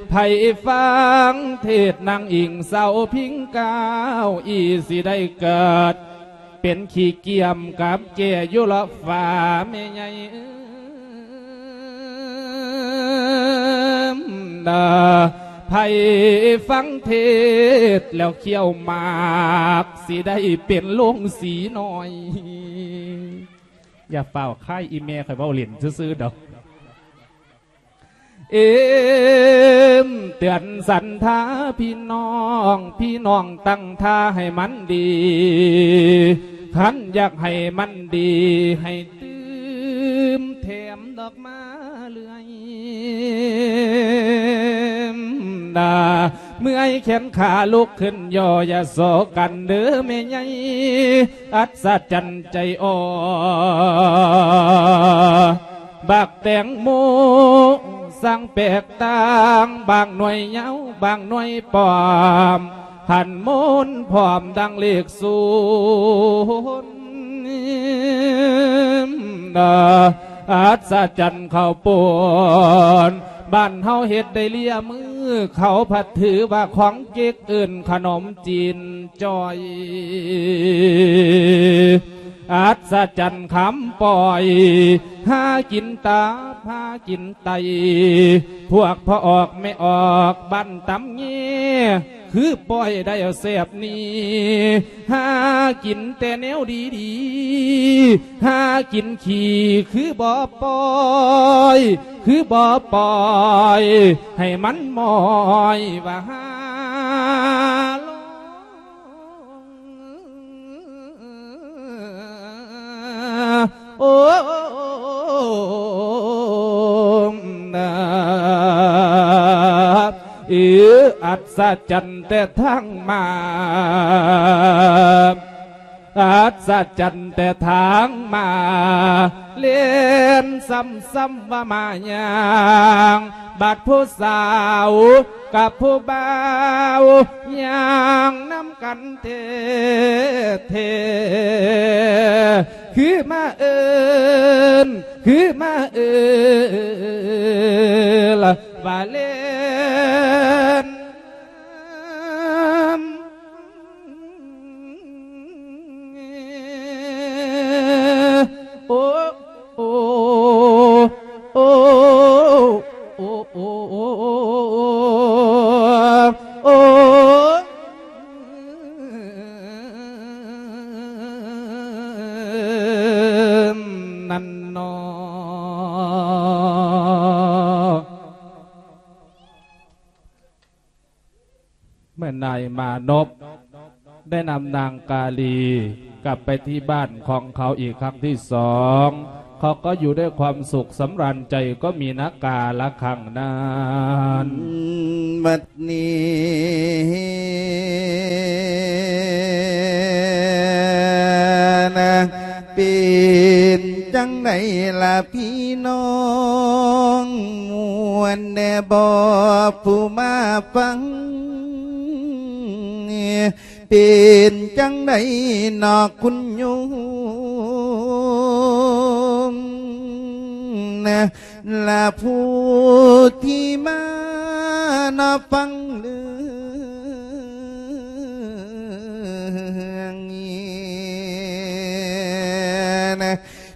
ໃຜຟັງເທດນາງອີງເສົາພິງກ້າວອີ ຊິໄດ້ເກີດເປັນຂີ້ກຽມກັບແຈຢູ່ລອບຟ້າແມ່ໃຫຍ່ເອີຍ. ນະ ໃຜຟັງເທດແລ້ວຂ້ຽວໝາກ ຊິໄດ້ເປັນໂລງສີນ້ອຍ. ຢ່າຟ້າວຄ້າຍ ອີ່ແມ່ຂ້ອຍເວົ້າຫຼິ້ນຊື່ໆດອກ. ເອີມເຕືອນສັນທາພີ່ນ້ອງ, ພີ່ນ້ອງຕັ້ງທ່າໃຫ້ມັນດີ, ຄັນຢາກໃຫ້ມັນດີ ໃຫ້ຕື່ມແຖມດອກ ມາເລື້ອຍນາ. ເມື່ອຍແຂນຂາລຸກຂຶ້ນຍໍ ຢ່າສໍກັນເດີແມ່ໃຫຍ່ ອັດສະຈັນໃຈອ່ອນ. ບັກແຕງໂມຊ່າງແປກຕ່າງ, ບາງໜ່ວຍຍາວ ບາງໜ່ວຍປ້ອມ, ຂັນໂມນພ້ອມດັ່ງເລກສູນ. ອັດສະຈັນເຂົ້າປຸ້ນ ບ້ານເຮົາເຮັດໄດ້ເລຍມື, ເຂົາພັດຖືວ່າຂອງເກັກ ເອີ້ນຂະໜົມຈີນຈ່ອຍ. ອັດສະຈັນຄຳປ້ອຍ ຫາກິນຕັບ ຫາກິນໄຕ, ພວກພໍ່ອອກແມ່ອອກບ້ານຕຳແຍ ຄືປ້ອຍໄດ້ເອົາແຊບນີ້ ຫາກິນແຕ່ແນວດີໆ ຫາກິນຂີ້ຄືບໍ່ປ່ອຍ ຄືບໍ່ປ່ອຍ ໃຫ້ມັນໝ້ອຍວ່າຫາໂລງ. ໂອ້ ນາ ເອີ ອັດສະຈັນແຕ່ທາງມາ ອັດສະຈັນແຕ່ທາງມາ ແລ່ນຊ້ຳໆວ່າມາຍ່າງ ບາດຜູ້ສາວກັບຜູ້ບ່າວຍ່າງນຳ ກັນແທ້ໆ ຄືມາເອີ້ນ ຄືມາເອີ້ນວ່າແລ່ນ ໂອ້ ໂອ້ ໂອ້ ໂອ້ ໂອ້ ໂອ້ ນັ້ນເນາະ. ເມື່ອນາຍມານົບໄດ້ນຳນາງກາລີກັບໄປທີ່ບ້ານຂອງເຂົາອີກຄັ້ງທີສອງ ເຂົາກໍຢູ່ດ້ວຍຄວາມສຸກສຳລານໃຈ ກໍມີນາກາລະຄັ້ງນັ້ນ. ບັດນີ້ນະ ເປັນຈັ່ງໃດລະພີ່ນ້ອງ ມ່ວນແດ່ບໍ່ຜູ້ມາຟັງ? ເປັນຈັ່ງໃດນອກຄຸນໂຍມ ລະຜູ້ທີ່ມານອກຟັງເລື່ອງນີ້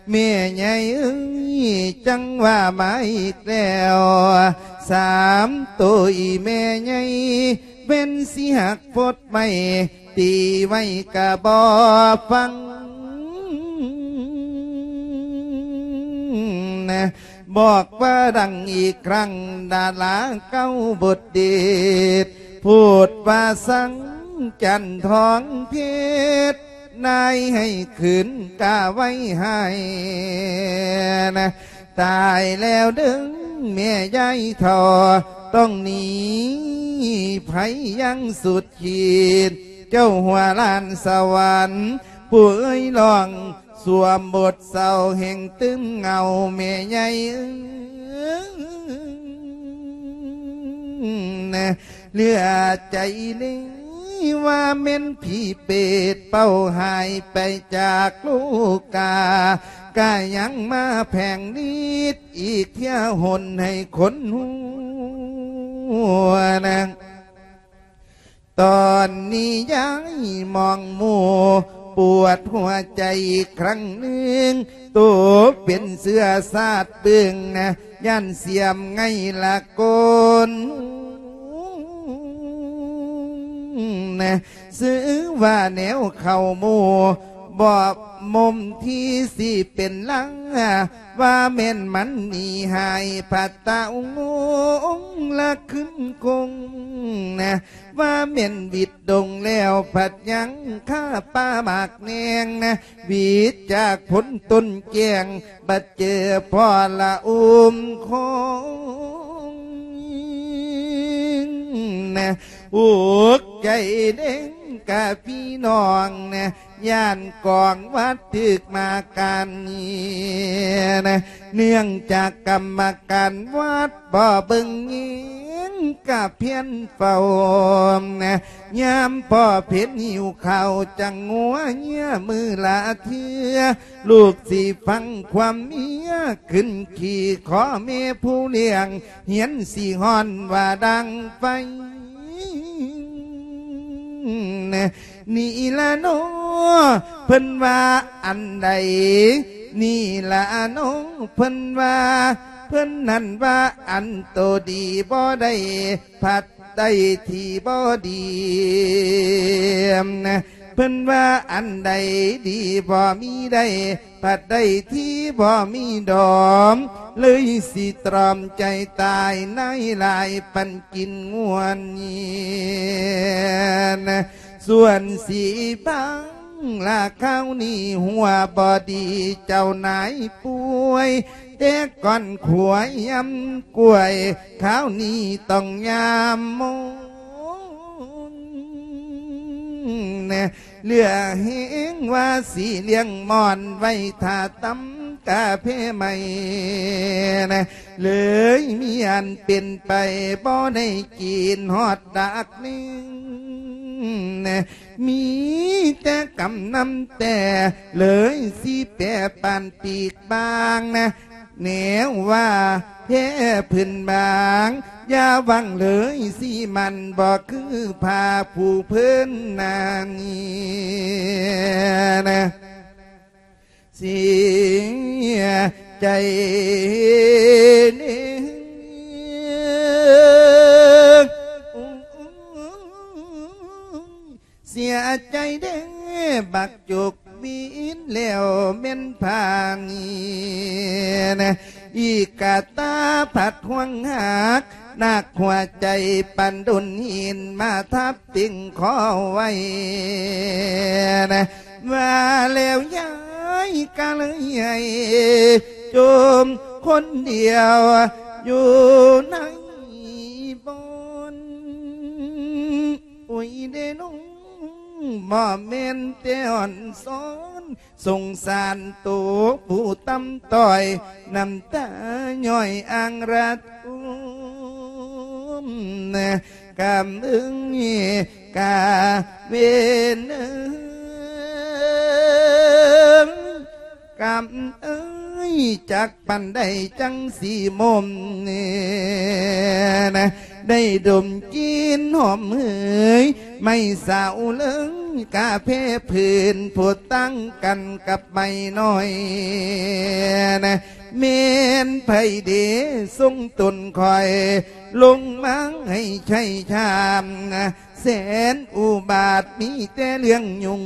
ແມ່ໃຫຍ່ເອີຍ ຈັ່ງວ່າມາອີກແລ້ວ ສາມໂຕອີແມ່ໃຫຍ່ ແມ່ນຊິຫັກໂພດໄມ້ ຕີໄວ້ກະບໍ່ຟັງ ບອກວ່າດັງອີກຄັ້ງ ດາລາເກົ້າບົດເດັດ ໂພດວ່າສັງຈັນທອງເພັດ ນາຍໃຫ້ຄືນກະໄວ້ໃຫ້ ຕາຍແລ້ວເດີ້ແມ່ຍາຍເຖົ້າ ຕ້ອງໜີໄພຢ່າງສຸດຂີດ ເຈົ້າຫົວລ້ານສະຫວັນ ຜູ້ເອີຍຮ້ອງສວມບົດເສົ້າ ແຫ່ງຕື່ມເຫງົາແມ່ໃຫຍ່ເອີຍ ເຫຼືອໃຈເລີຍວ່າແມ່ນຜີເປດ ເປົ່າຫາຍໄປຈາກໂລກາ ກະຍັງມາແຜງລິດອີກເທື່ອຫົນໃຫ້ຄົນຮູ້ນະ. ຕອນນີ້ຍາຍມອງໝູ່ ປວດຫົວໃຈອີກຄັ້ງໜຶ່ງ ໂຕເປັນເຊື້ອຊາດເບິ່ງນະ ຢ້ານສຽມໄງລະກົນ ຊື່ວ່າແນວເຂົ້າໝູ່ ບໍ່ໝົມທີ່ຊິເປັນລາ ວ່າແມ່ນມັນໜີຫາຍ ພັດຕະອົງລະຂຶ້ນຄົງ ວ່າແມ່ນຫວິດດົງແລ້ວ ພັດຍັງຄາປ່າໝາກແໜງ ຫວິດຈາກພົ້ນຕົ້ນແກ້ງ ບັດເຈີພໍ່ລະອຸມຄົງ ອຸກໃຈເດ້ງກະພີ່ນ້ອງ ຢ້ານກອງວັດຖືກມາການນີ້ ເນື່ອງຈາກກຳມະການວັດບໍ່ເບິ່ງແຍງກະພຽນເຝົ້າ ຍາມພໍ່ເພັນຫິວເຂົ້າ ຈັ່ງງົວເຍຍມື້ລະເທື່ອ ລູກຊິຟັງຄວາມເມຍ ຂຶ້ນຂີ່ຂໍແມ່ຜູ້ລ້ຽງ ຮຽນຊິຮ້ອນວ່າດັງໄຟ ນີ້ລະເນາະ ເພິ່ນວ່າອັນໃດ ນີ້ລະເນາະ ເພິ່ນວ່າ ເພິ່ນນັ້ນວ່າອັນໂຕດີບໍ່ໄດ້ ພັດໄດ້ທີ່ບໍ່ດີ ເພິ່ນວ່າອັນໃດດີບໍ່ມີໄດ້ ພັດໄດ້ທີ່ບໍ່ມີດອມ ເລີຍຊິຕຣອມໃຈຕາຍ ນາຍຫຼາຍປັນກິນງວນ ສ່ວນສີບາງລະຄາວນີ້ຫົວບໍ່ດີ ເຈົ້ານາຍປ່ວຍ ແຕ່ກ່ອນຂົວຍຳກ້ວຍ ຄາວນີ້ຕ້ອງຍາມໂມງ ເຫຼືອແຮງວ່າຊິລ້ຽງມ່ອນ ໄວ້ຖ້າຕຳກາແຟໃໝ່ ເລີຍມີອັນເປັນໄປ ບໍ່ໄດ້ກິນຮອດດາກໜຶ່ງ ມີແຕ່ກຳນຳແຕ່ ເລີຍຊິແປປານປີກບາງ ແນວວ່າແພ້ພື້ນບາງ ຢ່າຫວັງເລີຍຊິໝັ້ນ ບໍ່ຄືຜ້າຜູ້ເພີນນານີ້ ເສຍໃຈເດ້ ເສຍໃຈເດ້ ບັກຈົກວິນແລ້ວແມ່ນພາງ ອີກກະຕາພັດຫວງຫັກ ໜັກຫົວໃຈປານດົນຫີນ ມາທັບຕິງຂໍໄວ້ ວ່າແລ້ວຍາຍກະເລີຍໃຫ້ ຈົ່ມຄົນດຽວຢູ່ໃນບ່ອນ ໂອ້ຍເດ້ນ້ອງ ບໍ່ແມ່ນແຕ່ອ່ອນສອນ ສົງສານໂຕຜູ້ຕ່ຳຕ້ອຍ ນ້ຳຕາຍ້ອຍອ່າງລະທົມ ກຳເອີຍກະເວນເອີຍ ກຳເອີຍ ຈັກປານໃດຈັ່ງຊິມົມ ໄດ້ດົມກິ່ນຫອມເຫີຍ ໄມ້ສາວເລິງກາແຟພື້ນ ຜູ້ຕັ້ງກັນກັບໄມ້ນ້ອຍ ແມ່ນໃຜເດຊົງຕົນຂ້ອຍ ລົງມາໃຫ້ໄຊຊາມ ແສນອຸບາດ ມີແຕ່ເລື່ອງຫຍຸ້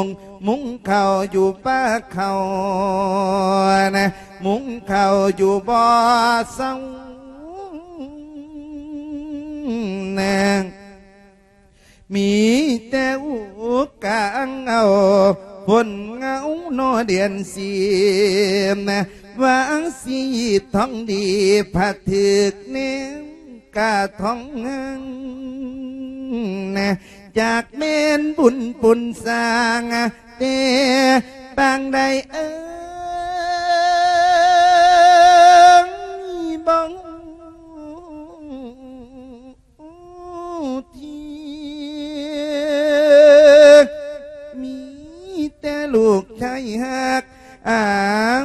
ງໆ ມຸງເຂົ້າຢູ່ປ່າເຂົາ ມຸງເຂົ້າຢູ່ບໍ່ເຊົາ ມີແຕ່ອຸກກາງເອົາ ຝົນເງົາໜໍ່ເດືອນສິບ ວ່າສີທອງດີ ພະຖືກແນມ ກະທອງງາມ ຈາກແມ່ນບຸນປຸນສ້າງ ແຕ່ປາງໃດເອີຍ ບໍ່ຮູ້ທີ່ ມີແຕ່ລູກຊາຍຮັກ ອ້າ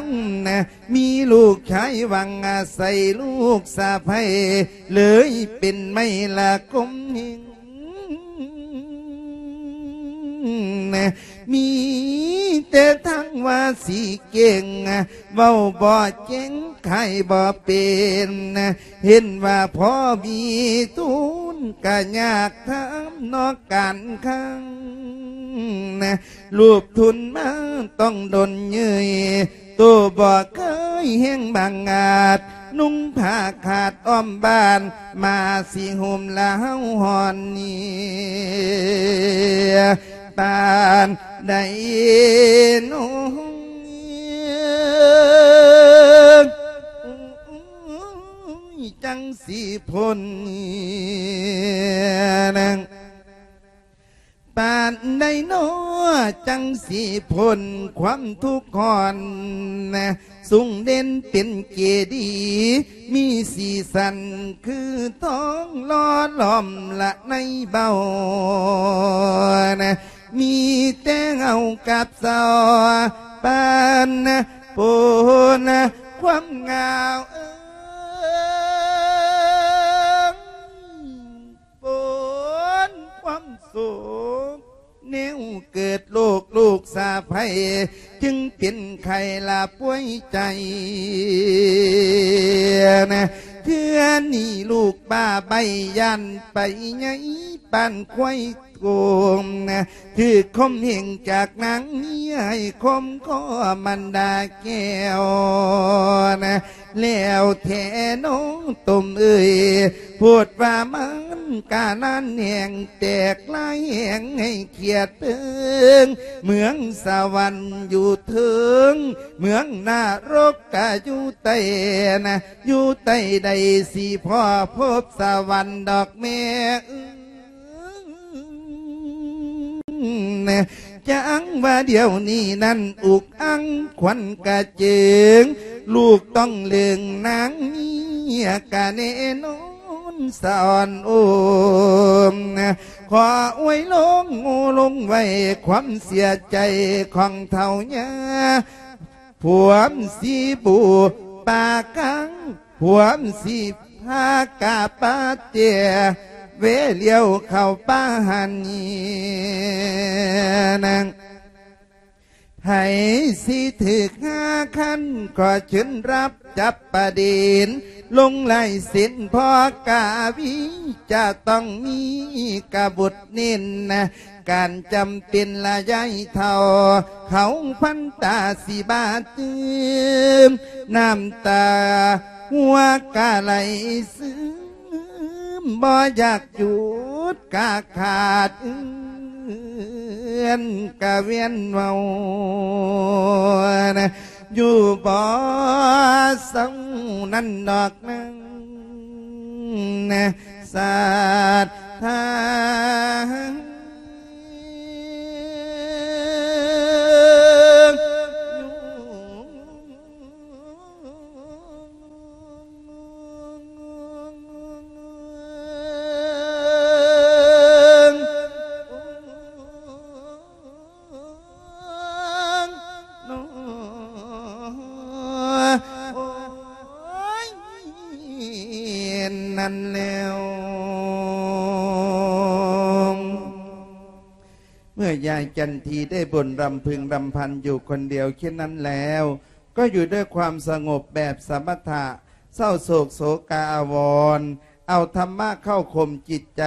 ວນະ ມີລູກຊາຍຫວັງອາໄສລູກສະໃພ້ ເລີຍເປັນໄມ້ລະກົມເຮັງ ນະ ມີແຕ່ທັງວ່າຊິເກັ່ງ ເວົ້າບໍ່ເກັ່ງ ຂາຍບໍ່ເປັນ ເຫັນວ່າພໍມີທຶນ ກະຍາກທຳນອກການຄັງ ລູບທຶນມາຕ້ອງດົນເຍີ້ຍ ໂຕບໍ່ເຄີຍແຮງບັງອາດ ນຸ່ງຜ້າຂາດອ້ອມບ້ານ ມາຊິໂຮມລາວຮ້ອນນີ້ ປານໃດນ້ອ ໂອ້ຍ ຈັ່ງຊິພົ້ນ ປານໃດນ້ອ ຈັ່ງຊິພົ້ນຄວາມທຸກຮ້ອນ ສູງເດັ່ນເປັນເຈດີ ມີສີສັນຄືທອງຫຼໍ່ຫຼອມລະໃນເບົາ ມີແຕ່ເງົາກັບເສົາ ປານປົນຄວາມເຫງົາ ເອີ ປົນຄວາມໂສກ ແນວເກີດໂລກລູກສາໃຜ ຈຶ່ງເປັນໄຂ້ລະປ່ວຍໃຈ ເທື່ອນີ້ລູກບ້າໃບ້ຢ້ານໄປໃຫຍ່ ປານຄວາຍໂກງ ຖືກຂົ່ມເຫງຈາກນາງເມຍ ໃຫ້ຂົ່ມຄໍມັນດາແກ້ວ ແລ້ວແທ້ນ້ອງຕົມເອີຍ ໂພດວ່າມັນກະນານແຮງ ແຕກລາຍແຮງໃຫ້ຂຽດເພິງ ເມືອງສະຫວັນຢູ່ເທິງ ເມືອງນະລົກກະຢູ່ໃຕ້ນະ ຢູ່ໃຕ້ໃດຊິພໍພົບສະຫວັນດອກແມ່ເອີຍ ຈັ່ງວ່າດຽວນີ້ນັ້ນອຸກອັ່ງຂວັນກະເຈິງ ລູກຕ້ອງເລີງນາງເມຍກະແນ່ນອນສະອອນໂອມ ຂໍອວຍລົງໂງ່ລົງໄວ້ຄວາມເສຍໃຈຂອງເຖົ້າຍ່າ ພວມສີບູປາກາງ ພວມສີພາກາປາເຕຍ ເວລຽວເຂົ້າປ່າຫັນນີ້ນາງ ໃຜຊິຖືກຫາຄັນ ຂໍເຊີນຮັບຈັບປະເດັນ ລົງລາຍເຊັນພໍ່ກາວີ ຈະຕ້ອງມີກະບົດເນັ້ນນະ ການຈຳເປັນລະຍາຍເຖົ້າ ເຂົາພັນຕາຊິບາດຕື່ມ ນ້ຳຕາຫົວກະໄຫຼຊຶມ ບໍ່ຢາກຢຸດກະຂາດເອື້ອນກະວຽນເວົ້າ ຢູ່ບໍ່ເຊົານັ້ນດອກນາງ ສັດທາ ນັ້ນແລ້ວ ເມື່ອຍາຍຈັນທີໄດ້ບ່ນລຳພຶງລຳພັນຢູ່ຄົນດຽວເຊັ່ນນັ້ນແລ້ວ ກໍຢູ່ດ້ວຍຄວາມສະຫງົບແບບສະມະຖະ ເສົ້າໂສກໂສກາອາວອນ ເອົາທຳມະເຂົ້າຂົ່ມຈິດໃຈ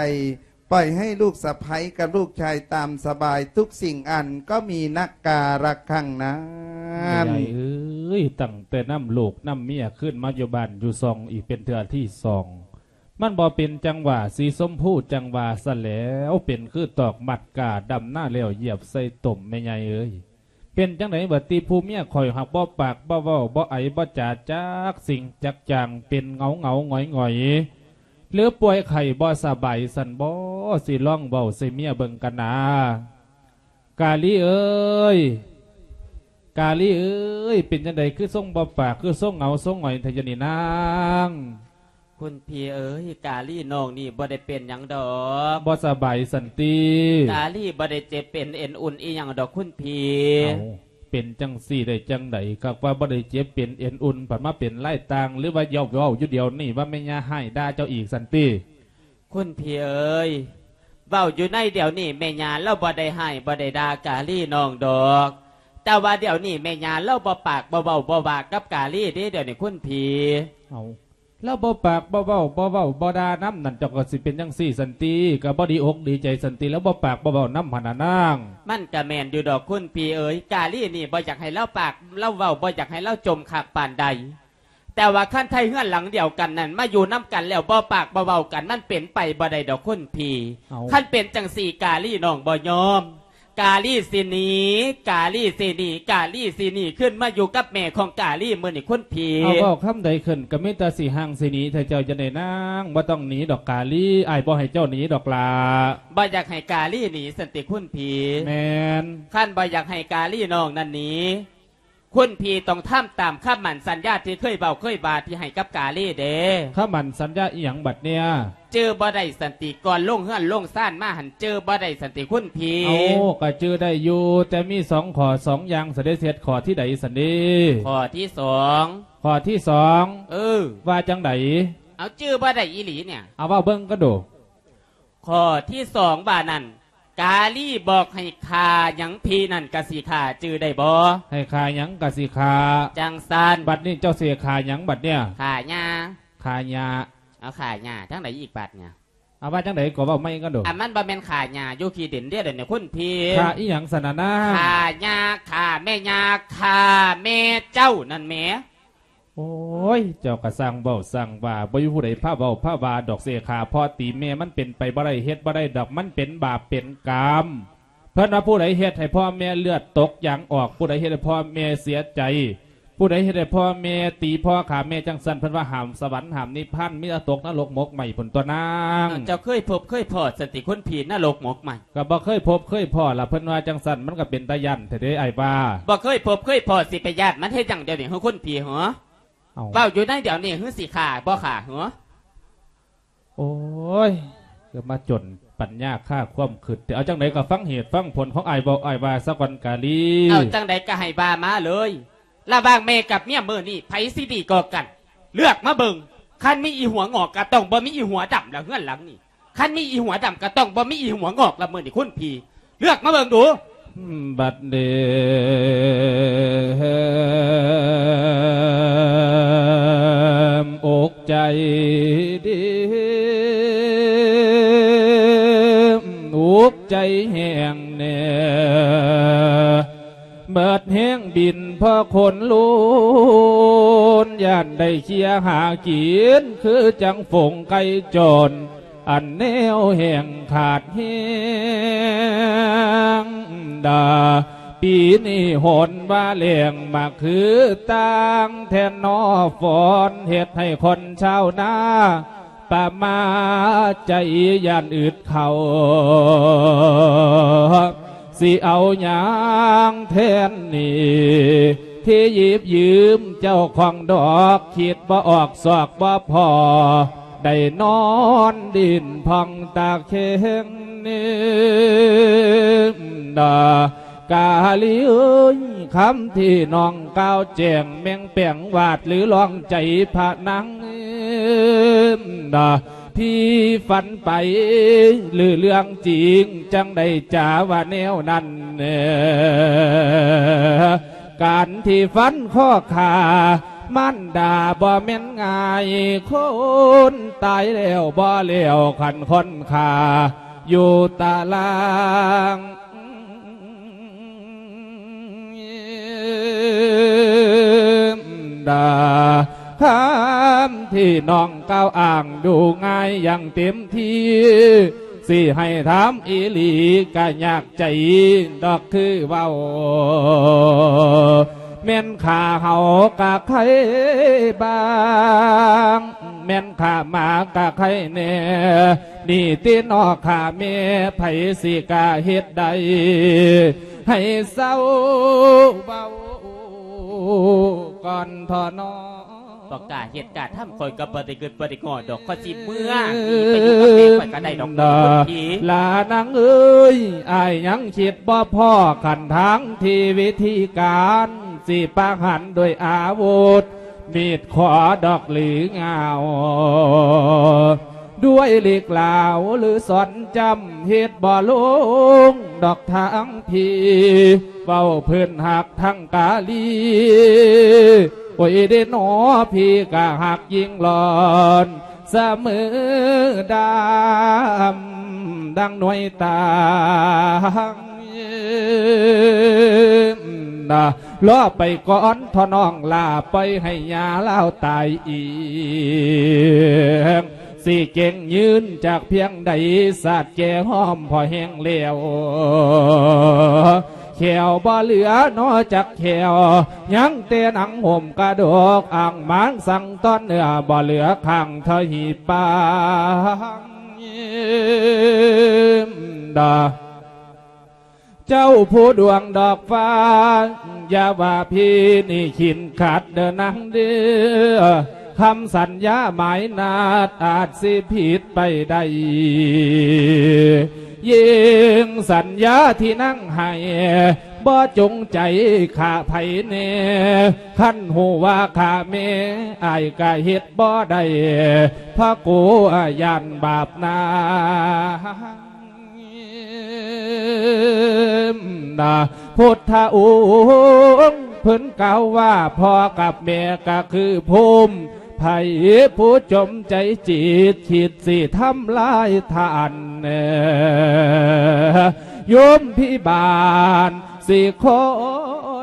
ປ່ອຍໃຫ້ລູກສະໃພ້ກັບລູກຊາຍຕາມສະບາຍ ທຸກສິ່ງອັນກໍມີນັກກາລັກຄັ້ງນັ້ນ. ແມ່ໃຫຍ່ເອີຍ ຕັ້ງແຕ່ນຳລູກນຳເມຍຄືນມາຢູ່ບ້ານຢູ່ຊ່ອງອີກເປັນເທື່ອທີສອງ ມັນບໍ່ເປັນຈັງຫວະ ສີຊົມພູຈັ່ງວ່າຊັ້ນແຫຼວ ເປັນຄືຕອກມັດກາດຳນາແລ້ວຢຽບໃສ່ຕົມ ແມ່ໃຫຍ່ເອີຍ. ເປັນຈັ່ງໃດບັດນີ້ ຜູ້ເມຍຂ້ອຍຫາກບໍ່ປາກບໍ່ເວົ້າບໍ່ໄອບໍ່ຈາຈັກສິ່ງຈັກຢ່າງ ເປັນເຫງົາໆຫງອຍໆ ຫຼືປ່ວຍໄຂ້ບໍ່ສະບາຍຊັ້ນບໍ? ຊິລອງເວົ້າໃສ່ເມຍເບິ່ງກັນນາ. ກາລີເອີຍ ກາລີເອີຍ ເປັນຈັ່ງໃດຄືຊົງບໍ່ປາກ ຄືຊົງເຫງົາຊົງຫງອຍແທ້ດຽວນີ້ນາງ? ຄຸນພີ່ເອີຍ ກາລີນ້ອງນີ້ບໍ່ໄດ້ເປັນຫຍັງດອກ. ບໍ່ສະບາຍຊັ້ນຕິ? ກາລີບໍ່ໄດ້ເຈັບເປັນເອັນອຸ່ນອີ່ຫຍັງດອກຄຸນພີ່. ເອົ້າ ເປັນຈັ່ງຊີ້ໄດ້ຈັ່ງໃດ? ຄັກວ່າບໍ່ໄດ້ເຈັບເປັນເອັນອຸ່ນ ພັດມາເປັນລາຍຕ່າງ ຫຼືວ່າເວົ້າຢູ່ດຽວນີ້ວ່າແມ່ຍ່າຮ້າຍດ່າເຈົ້າອີກຊັ້ນຕິ? ຄຸນພີ່ເອີຍ ເວົ້າຢູ່ໃນດຽວນີ້ແມ່ຍ່າລາວບໍ່ໄດ້ຮ້າຍບໍ່ໄດ້ດ່າກາລີນ້ອງດອກ, ແຕ່ວ່າດຽວນີ້ແມ່ຍ່າລາວບໍ່ປາກບໍ່ເວົ້າບໍ່ວ່າກັບກາລີເດ້ ດຽວນີ້ຄຸນພີ່. ເອົາ ລາວບໍ່ປາກບໍ່ເວົ້າ ບໍ່ເວົ້າບໍ່ດ່ານຳນັ້ນ ເຈົ້າກໍຊິເປັນຈັ່ງຊີ້ຊັ້ນຕິ ກໍບໍ່ດີອົກດີໃຈຊັ້ນຕິ ລາວບໍ່ປາກບໍ່ເວົ້ານຳຫັ້ນນະນາງ. ມັນກໍແມ່ນຢູ່ດອກຄຸນພີ່ເອີຍ, ກາລີນີ້ບໍ່ຢາກໃຫ້ລາວປາກລາວເວົ້າ ບໍ່ຢາກໃຫ້ລາວຈົ່ມຄັກປານໃດ. ແຕ່ວ່າຄັນໄທເຮືອນຫຼັງດຽວກັນນັ້ນ ມາຢູ່ນຳກັນແລ້ວບໍ່ປາກບໍ່ເວົ້າກັນ ມັນເປັນໄປບໍ່ໄດ້ດອກຄຸນພີ່. ເອົາ ຄັນເປັນຈັ່ງຊີ້ກາລີນ້ອງບໍ່ຍອມ, ກາລີຊິໜີ, ກາລີຊິໜີ, ກາລີຊິໜີຂຶ້ນມາຢູ່ກັບແມ່ຂອງກາລີມື້ນີ້ຄຸນພີ່. ເອົາ ເວົ້າຄຳໃດຂຶ້ນກໍມີແຕ່ຊິຫ່າງຊິໜີແທ້ເຈົ້າຈັ່ງໃດນາງ, ບໍ່ຕ້ອງໜີດອກກາລີ, ອ້າຍບໍ່ໃຫ້ເຈົ້າໜີດອກຫຼ້າ. ບໍ່ຢາກໃຫ້ກາລີໜີຊັ້ນຕິຄຸນພີ່? ແມ່ນ. ຄັນບໍ່ຢາກໃຫ້ກາລີນ້ອງນັ້ນໜີ, ຄຸນພີ່ຕ້ອງທຳຕາມຄຳໝັ້ນສັນຍາທີ່ເຄີຍເວົ້າເຄີຍວ່າທີ່ໃຫ້ກັບກາລີເດ້. ຄຳໝັ້ນສັນຍາອີ່ຫຍັງບັດເນີ້ຍ? ຈື່ບໍ່ໄດ້ຊັ້ນຕິ ກ່ອນລົງເຮືອນລົງຊານມາຫັ້ນ ຈື່ບໍ່ໄດ້ຊັ້ນຕິຄຸນພີ່? ເອົາ ກໍຈື່ໄດ້ຢູ່ ແຕ່ມີສອງຂໍ້ສອງຢ່າງ ສະເດັດເຮັດຂໍ້ທີໃດຊັ້ນເດ? ຂໍ້ທີສອງ. ຂໍ້ທີສອງ? ເອີ. ວ່າຈັ່ງໃດ? ເອົາ ຈື່ບໍ່ໄດ້ອີ່ຫຼີເນີ້ຍ. ເອົາ ເວົ້າເບິ່ງກໍດູ. ຂໍ້ທີສອງວ່ານັ້ນ ກາລີບອກໃຫ້ຂ້າຫຍັງພີ້ນັ້ນກະຊິຂ້າ ຈື່ໄດ້ບໍ່? ໃຫ້ຂ້າຫຍັງກະຊິຂ້າ. ຈັ່ງຊັ້ນ. ບັດນີ້ເຈົ້າຊິຂ້າຫຍັງບັດເນີ້ຍ? ຂ້າຫຍ້າ. ຂ້າຫຍ້າ. ເອົາຂ້າຫຍ້າຈັ່ງໃດອີກບັດເນີ້ຍ? ເອົາວ່າຈັ່ງໃດກໍເວົ້າໃໝ່ກັນດູ. ອັນມັນບໍ່ແມ່ນຂ້າຫຍ້າຢູ່ຂີ້ດິນເດ້ ດຽວນີ້ຄຸນພີ້. ຂ້າອີ່ຫຍັງຊັ້ນນະນາ? ຂ້າຫຍ້າ ຂ້າແມ່ຍ່າ ຂ້າແມ່ເຈົ້ານັ້ນແໝ. ໂອ້ຍ ເຈົ້າກະຊ່າງເວົ້າຊ່າງວ່າ ບໍ່ມີຜູ້ໃດພາເວົ້າພາວ່າດອກເສຂາ ເພາະຕີແມ່ມັນເປັນໄປບໍ່ໄດ້ ເຮັດບໍ່ໄດ້ດອກ ມັນເປັນບາບເປັນກຳ. ເພິ່ນວ່າຜູ້ໃດເຮັດໃຫ້ພໍ່ແມ່ເລືອດຕົກຢາງອອກ ຜູ້ໃດເຮັດໃຫ້ພໍ່ແມ່ເສຍໃຈ ຜູ້ໃດເຮັດໃຫ້ພໍ່ແມ່ຕີພໍ່ຂ້າແມ່ຈັ່ງຊັ້ນ ເພິ່ນວ່າຫ້າມສະຫວັນຫ້າມນິບພານ ມີແຕ່ຕົກນະລົກໝົກໄໝ້ພຸ້ນຕົວະນາງ. ເຈົ້າເຄີຍພົບເຄີຍພໍ້ຊັ້ນຕິຄຸນພີ້ ນະລົກໝົກໄໝ້? ກໍບໍ່ເຄີຍພົບເຄີຍພໍ້ລະ ເພິ່ນວ່າຈັ່ງຊັ້ນ ມັນກໍເປັນຕາຢ້ານແທ້ເດ້ອ້າຍວ່າ. ບໍ່ເຄີຍພົບເຄີຍພໍ້ ຊິໄປຢ້ານມັນເຮັດຫຍັງດຽວນີ້ ເຮົາຄົນຜີເຫືອ? ເອົ້າ ເວົ້າຢູ່ໃນດຽວນີ້ ຄືຊິຂ້າບໍ່ຂ້າເຫືອ? ໂອ້ຍ ຄືມາຈົນປັນຍາຄາຄວາມຄິດແທ້. ເອົາ ຈັ່ງໃດກໍຟັງເຫດຟັງຜົນຂອງອ້າຍເວົ້າ ອ້າຍວ່າສາກ່ອນກາລີ. ເອົາ ຈັ່ງໃດກໍໃຫ້ວ່າມາເລີຍ. ລະຫວ່າງແມ່ກັບເມຍມື້ນີ້ ໃຜຊິດີກວ່າກັນ? ເລືອກມາເບິ່ງ. ຄັນມີອີຫົວງອກ ກໍຕ້ອງບໍ່ມີອີຫົວດຳລະເຮືອນຫຼັງນີ້. ຄັນມີອີຫົວດຳກໍຕ້ອງບໍ່ມີອີຫົວງອກລະ ມື້ນີ້ຄຸນພີ້ ເລືອກມາເບິ່ງດູ. ບັດນີ້ ອົກໃຈດີ ອຸກໃຈແຮງແນ່ ເບິດແຮງບິນເພາະຄົນລຸນ ຢ້ານໄດ້ເຄຍຫາກິນ ຄືຈັ່ງຝູງໄກ່ຈອນ ອັນແນວແຫ້ງຂາດແຮງດາ ປີນີ້ໂຫນວ່າແລ້ງມາຄືຕ່າງແທ້ນໍ ຝົນເຮັດໃຫ້ຄົນຊາວນາປະໝາໃຈ ຢ້ານອຶດເຂົ້າ ຊິເອົາຫຍັງແທນໜີ້ ທີ່ຢິບຢືມເຈົ້າຂອງດອກ ຄິດບໍ່ອອກຊອກບໍ່ພໍ ໄດ້ນອນດິນພອງຕາແຂງ ນາ ກາລີເອີຍ ຄຳທີ່ນ້ອງກ່າວແຈ້ງ ແມ່ງແປງວາດຫຼືລອງໃຈພະນາງ ນາ ທີ່ຝັນໄປ ຫຼືເລື່ອງຈິງ ຈັ່ງໄດ້ຈາວ່າແນວນັ້ນ ການທີ່ຟັນຂໍ້ຂາມານດາບໍ່ແມ່ນງ່າຍ ຄົນຕາຍແລ້ວບໍ່ແລ້ວ ຄັນຄົນຂ້າຢູ່ຕາລາງ ດາ ຄຳທີ່ນ້ອງກ່າວອ້າງດູງ່າຍຢ່າງເຕັມທີ່ ຊິໃຫ້ຖາມອີ່ຫຼີກະຍາກໃຈດອກຄືເວົ້າ ແມ່ນຂ້າເຫົາກະໄຄບາງ ແມ່ນຂ້າໝາກະໄຄແນ່ ນີ້ຕິນອກຂ້າແມ່ ໃຜຊິກະເຮັດໄດ້ ໃຫ້ເຊົາເວົ້າກ່ອນເຖາະນໍ. ບໍ່ກ້າເຮັດກ້າທຳ ຂ້ອຍກໍບໍ່ໄດ້ກຶດບໍ່ໄດ້ງໍດອກ ຂ້ອຍຊິເມືອໜີໄປຢູ່ກັບແມ່ຂ້ອຍກໍໄດ້ດອກ ລານາງເອີຍ ອ້າຍຍັງຄິດບໍ່ພໍ້ຂັ້ນທາງທີ່ວິທີການ ຊິປະຫານດ້ວຍອາວຸດ ມີດຂໍດອກຫຼືງາວ ດ້ວຍເລກລາວຫຼືສອນຈຳ ເຮັດບໍ່ລົງດອກທາງພີ ເວົ້າເພິ່ນຮັກທັງກາລີ ໂອ້ຍເດນໍ ພີກະຮັກຍິ່ງຫຼອນສະເໝີດຳ ດັ່ງໜ່ວຍຕາງນະ ລໍໄປກ່ອນເຖາະນ້ອງຫຼ້າ ປ່ອຍໃຫ້ຍ່າລາວຕາຍເອງ ຊິເກັ່ງຢືນຈັກພຽງໃດ ສາດແກ່ຫອມພໍແຫ້ງແລ້ວ ແຂ້ວບໍ່ເຫຼືອນໍຈັກແຂ້ວ ຍັງແຕ່ໜັງຫົມກະດູກ ອ່າງມາງສັງຕອນເນື້ອ ບໍ່ເຫຼືອຂ້າງທະຫິປາງດາ. ເຈົ້າຜູ້ດວງດອກຟ້າ ຢ່າວ່າພີນີ້ຂີນຂາດເດີນາງເດີ ຄຳສັນຍາໝາຍນັດອາດຊິຜິດໄປໄດ້ ຍິ່ງສັນຍາທີ່ນາງໃຫ້ ບໍ່ຈົງໃຈຂ້າໃຜແນ່ ຄັນຮູ້ວ່າຂ້າແມ່ ອ້າຍກະເຮັດບໍ່ໄດ້ ພະໂກຢ້ານບາບນາ. ນະ ພຸດທະອົງເພິ່ນກ່າວວ່າ ພໍ່ກັບແມ່ກະຄືພູມ ໃຜຜູ້ຈົມໃຈຈິດ ຄິດຊິທຳລາຍທ່ານ ໂຍມພິບານຊິຄອ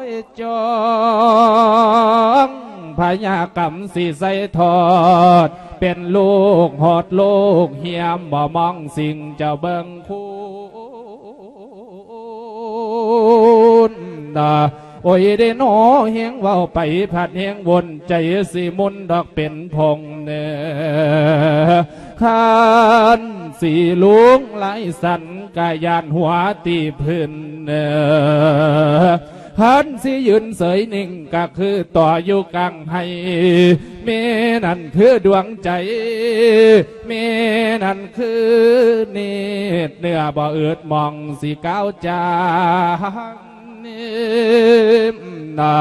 ຍຈອງ ພະຍາກຳຊິໃສ່ທອດ ເປັນລູກຮອດລູກ ຮຽມບໍ່ມອງສິ່ງເຈົ້າເບິ່ງຄຸນນະ ໂອ້ຍເດນໍ ແຮງເວົ້າໄປພັດແຮງວົນ ໃຈຊິໝຸ່ນດອກເປັນພົງເນ ຄັນຊິລຸງຫຼາຍສັນ ກະຢ້ານຫົວຕີພື້ນເນ ຄັນຊິຢືນເສີຍນິ່ງ ກະຄືຕໍ່ຢູ່ກາງໄຮ່ ແມ່ນັ້ນຄືດວງໃຈ ແມ່ນັ້ນຄືນິດ ເນື້ອບໍ່ອຶດໝ່ອງຊິກ້າວຈາງ ນະ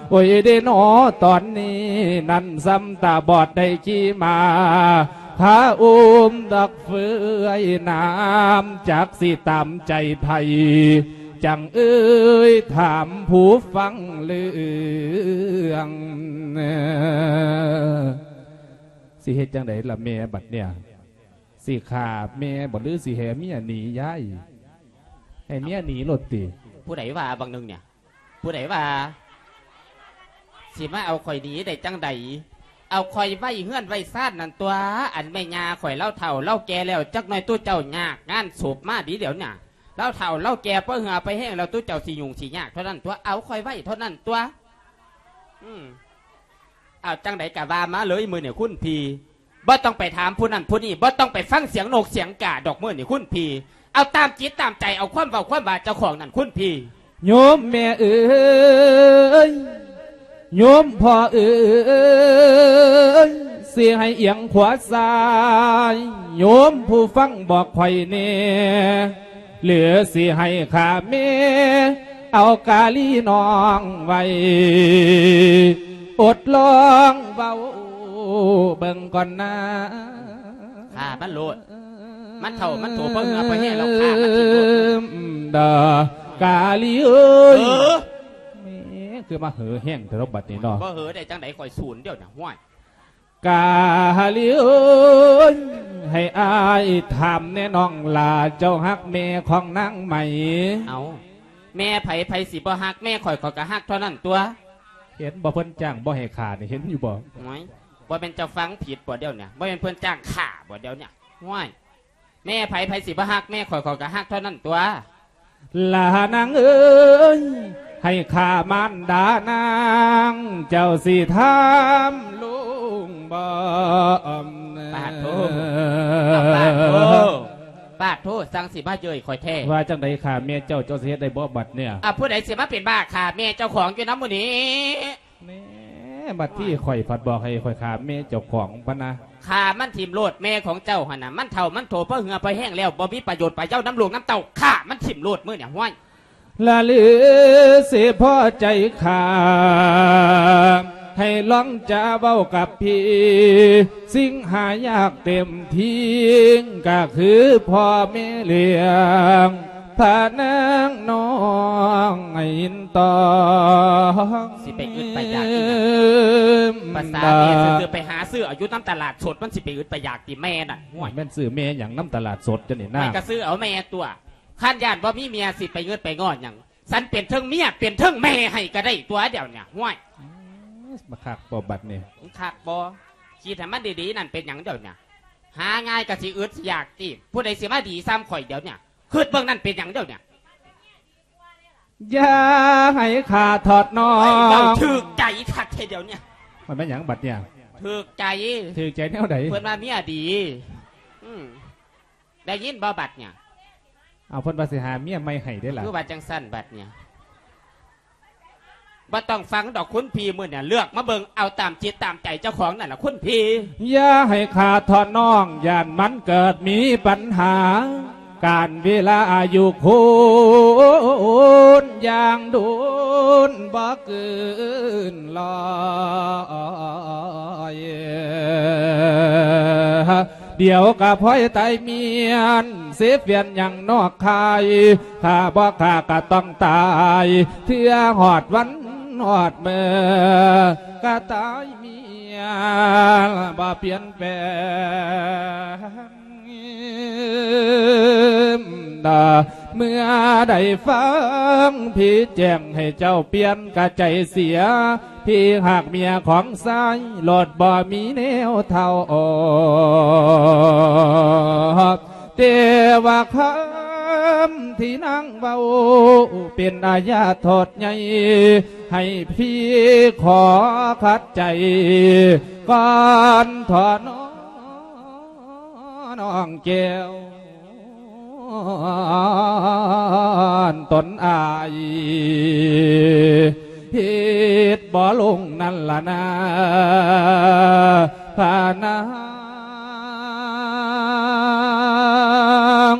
ໂອ້ຍເດນໍ ຕອນນີ້ນັ້ນສ່ຳຕາບອດໄດ້ຂີ່ມ້າ ພາອຸ້ມດອກເຟືອຍນ້ຳ ຈັກຊິຕາມໃຈໃຜ ຈັ່ງເອີຍຖາມຜູ້ຟັງເລື່ອງ ຊິເຮັດຈັ່ງໃດລະແມ່ບັດເນີ້ຍ? ຊິຂ້າແມ່ບໍ່ ຫຼືຊິໃຫ້ເມຍໜີຍາຍ? ໃຫ້ເມຍໜີໂລດຕິ. ຜູ້ໃດວ່າບາງໜຶ່ງເນຍ? ຜູ້ໃດວ່າ ຊິມາເອົາຂ້ອຍໜີໄດ້ຈັ່ງໃດ? ເອົາຂ້ອຍໄວ້ເຮືອນໄວ້ຊານນັ້ນຕົວະ ອັນແມ່ຍ່າຂ້ອຍລາວເຖົ້າລາວແກ່ແລ້ວ ຈັກໜ່ອຍຕຸເຈົ້າຍາກງານສົບມາດີດຽວນີ້ ລາວເຖົ້າລາວແກ່ ເປີເຫື່ອໄປແຫ້ງແລ້ວ ຕຸເຈົ້າຊິຫຍຸ້ງຊິຍາກເທົ່ານັ້ນຕົວະ ເອົາຂ້ອຍໄວ້ເທົ່ານັ້ນຕົວະ. ອືມ ເອົາຈັ່ງໃດກະວ່າມາເລີຍມື້ນີ້ຄຸນພີ່. ບໍ່ຕ້ອງໄປຖາມຜູ້ນັ້ນຜູ້ນີ້ ບໍ່ຕ້ອງໄປຟັງສຽງນົກສຽງກາດອກມື້ນີ້ຄຸນພີ່. ເອົາຕາມຈິດຕາມໃຈ ເອົາຄວາມເວົ້າຄວາມວ່າເຈົ້າຂອງນັ້ນຄຸນພີ່. ໂຍມແມ່ເອີຍ ໂຍມພໍ່ເອີຍ ຊິໃຫ້ອຽງຂວາຊ້າຍ ໂຍມຜູ້ຟັງບອກຂ້ອຍແດ່ ຫຼືຊິໃຫ້ຂ້າແມ່ເອົາກາລີນ້ອງໄວ້ ອົດລອງເວົ້າເບິ່ງກ່ອນນາ. ຂ້າມັນໂລດ ມັນເຖົ້າມັນໂຖເພາະເຫື່ອເພາະແຮງແລ້ວ ຂ້າມັນຖິ້ມໂລດ. ດາ ກາລີເອີຍ ເອີ ແໝ ຄືມາເຫີແຮງແທ້ເນາະບັດນີ້ເນາະ. ບໍ່ເຫີໄດ້ຈັ່ງໃດ ຂ້ອຍສູນດຽວນີ້ ຫ້ວຍ. ກາລີເອີຍ ໃຫ້ອ້າຍຖາມແດ່ນ້ອງຫຼ້າ ເຈົ້າຮັກແມ່ຂອງນາງໄໝ? ເອົ້າ ແມ່ໃຜ ໃຜຊິບໍ່ຮັກ? ແມ່ຂ້ອຍ ຂ້ອຍກໍຮັກເທົ່ານັ້ນຕົວະ. ເຫັນບໍ່ ເພິ່ນຈ້າງບໍ່ໃຫ້ຂ້ານີ້ ເຫັນຢູ່ບໍ່? ໂອ້ຍ ບໍ່ແມ່ນເຈົ້າຟັງຜິດບໍ່ດຽວນີ້? ບໍ່ແມ່ນເພິ່ນຈ້າງຂ້າບໍ່ດຽວນີ້? ໂອ້ຍ ແມ່ໃຜ ໃຜຊິບໍ່ຮັກ? ແມ່ຂ້ອຍ ຂ້ອຍກໍຮັກເທົ່ານັ້ນຕົວະ. ຫຼ້ານາງເອີຍ ໃຫ້ຂ້າມານດານາງ ເຈົ້າຊິຖາມລຸງບໍ່? ປາດໂທ ປາດໂທ ປາດໂທ ສັ່ງຊິມາເຍີ້ຍຂ້ອຍແທ້. ວ່າຈັ່ງໃດຂ້າແມ່ເຈົ້າ ເຈົ້າຊິເຮັດໄດ້ບໍ່ບັດນີ້? ອ່າ ຜູ້ໃດຊິມາເປັນບ້າຂ້າແມ່ເຈົ້າຂອງຢູ່ນຳມື້ນີ້? ແໝ ບັດທີ່ຂ້ອຍພັດບອກໃຫ້ຂ້ອຍຂ້າແມ່ເຈົ້າຂອງພະນະ. ຂ້າມັນຖິ້ມໂລດ ແມ່ຂອງເຈົ້າຫັ້ນນະ ມັນເຖົ້າມັນໂຖເພາະເຫື່ອເພາະແຮງແລ້ວ ບໍ່ມີປະໂຫຍດປະເຢານຳລູກນຳເຕົ້າ ຂ້າມັນຖິ້ມໂລດມື້ນີ້ ຫ້ວຍ. ລະຫຼືຊິພໍໃຈຂ້າໃຫ້ ລອງຈະເວົ້າກັບພີ່ ສິ່ງຫາຍາກເຕັມທີ ກໍຄືພໍ່ແມ່ລ້ຽງພະນາງນ້ອງໃຫ້ຍິນຕອງ. ຊິໄປອຶດໄປຢາກອີຫຍັງ? ພາສາແມ່ຊື່ໆ ໄປຫາຊື້ເອົາຢູ່ນຳຕະຫຼາດສົດ ມັນຊິໄປອຶດໄປຢາກຕິແມ່ນັ້ນ? ໂອ້ຍ ແມ່ນຊື້ແມ່ຫຍັງນຳຕະຫຼາດສົດຈັ່ງນີ້ນາ? ໄປກໍຊື້ເອົາແມ່ຕົວະ. ຄັນຢ້ານບໍ່ມີເມຍ ຊິໄປອຶດໄປງອນຫຍັງ? ສັນເປັນເທິງເມຍ ເປັນເທິງແມ່ໃຫ້ກໍໄດ້ຕົວະດຽວນີ້. ໂອ້ຍ ມາຄັກບໍ່ບັດນີ້? ຄັກບໍ່? ຄິດໃຫ້ມັນດີໆ ນັ້ນເປັນຫຍັງດຽວນີ້? ຫາງ່າຍກໍຊິອຶດຊິຢາກຕິ? ຜູ້ໃດຊິມາດີສ່ຳຂ້ອຍດຽວນີ້? ຄິດເບິ່ງນັ້ນເປັນຫຍັງດຽວນີ້? ຢ່າໃຫ້ຂ້າທອດນ້ອງ. ເວົ້າຖືກໃຈຄັກແທ້ດຽວນີ້. ມັນແມ່ນຫຍັງບັດນີ້? ຖືກໃຈ. ຖືກໃຈແນວໃດ? ເພິ່ນວ່າເມຍດີ. ອືມ ໄດ້ຍິນບໍ່ບັດນີ້? ເອົາ ເພິ່ນວ່າຊິຫາເມຍໃໝ່ໃຫ້ເດ້ລະ. ຄືວ່າຈັ່ງຊັ້ນບັດນີ້? ບໍ່ຕ້ອງຟັງດອກຄຸນພີ່ ມື້ນີ້ເລືອກມາເບິ່ງເອົາຕາມຈິດຕາມໃຈເຈົ້າຂອງນັ້ນລະຄຸນພີ່. ຢ່າໃຫ້ຂ້າທອດນ້ອງ ຢ້ານມັນເກີດມີປັນຫາ ການເວລາອາຍຸຄົນຢ່າງດົນບໍ່ເກີນຮ້ອຍ. ດຽວກໍພອຍຕາຍມ້ຽນ ເສຍແຟນຍັງນອກຄາຍ ຖ້າບໍ່ຂ້າກໍຕ້ອງຕາຍ ເທື່ອຮອດວັນຮອດມື້ ກໍຕາຍມ້ຽນບໍ່ປ່ຽນແປງ. ເມື່ອໄດ້ຟັງພີ່ແຈ້ງໃຫ້ເຈົ້າປ່ຽນກະໃຈເສຍ ພີ່ຮັກເມຍຂອງຊາຍ ໂລດບໍ່ມີແນວເທົ່າ. ແຕ່ວ່າຄຳທີ່ນາງເວົ້າ ເປັນອາຍາໂທດໃຫຍ່ ໃຫ້ພີ່ຂໍຂັດໃຈກ່ອນເທາະນ້ອງແກ້ວ ຕົນອາຍເຮັດບໍ່ລົງນັ້ນລະນາ ພະນາງ.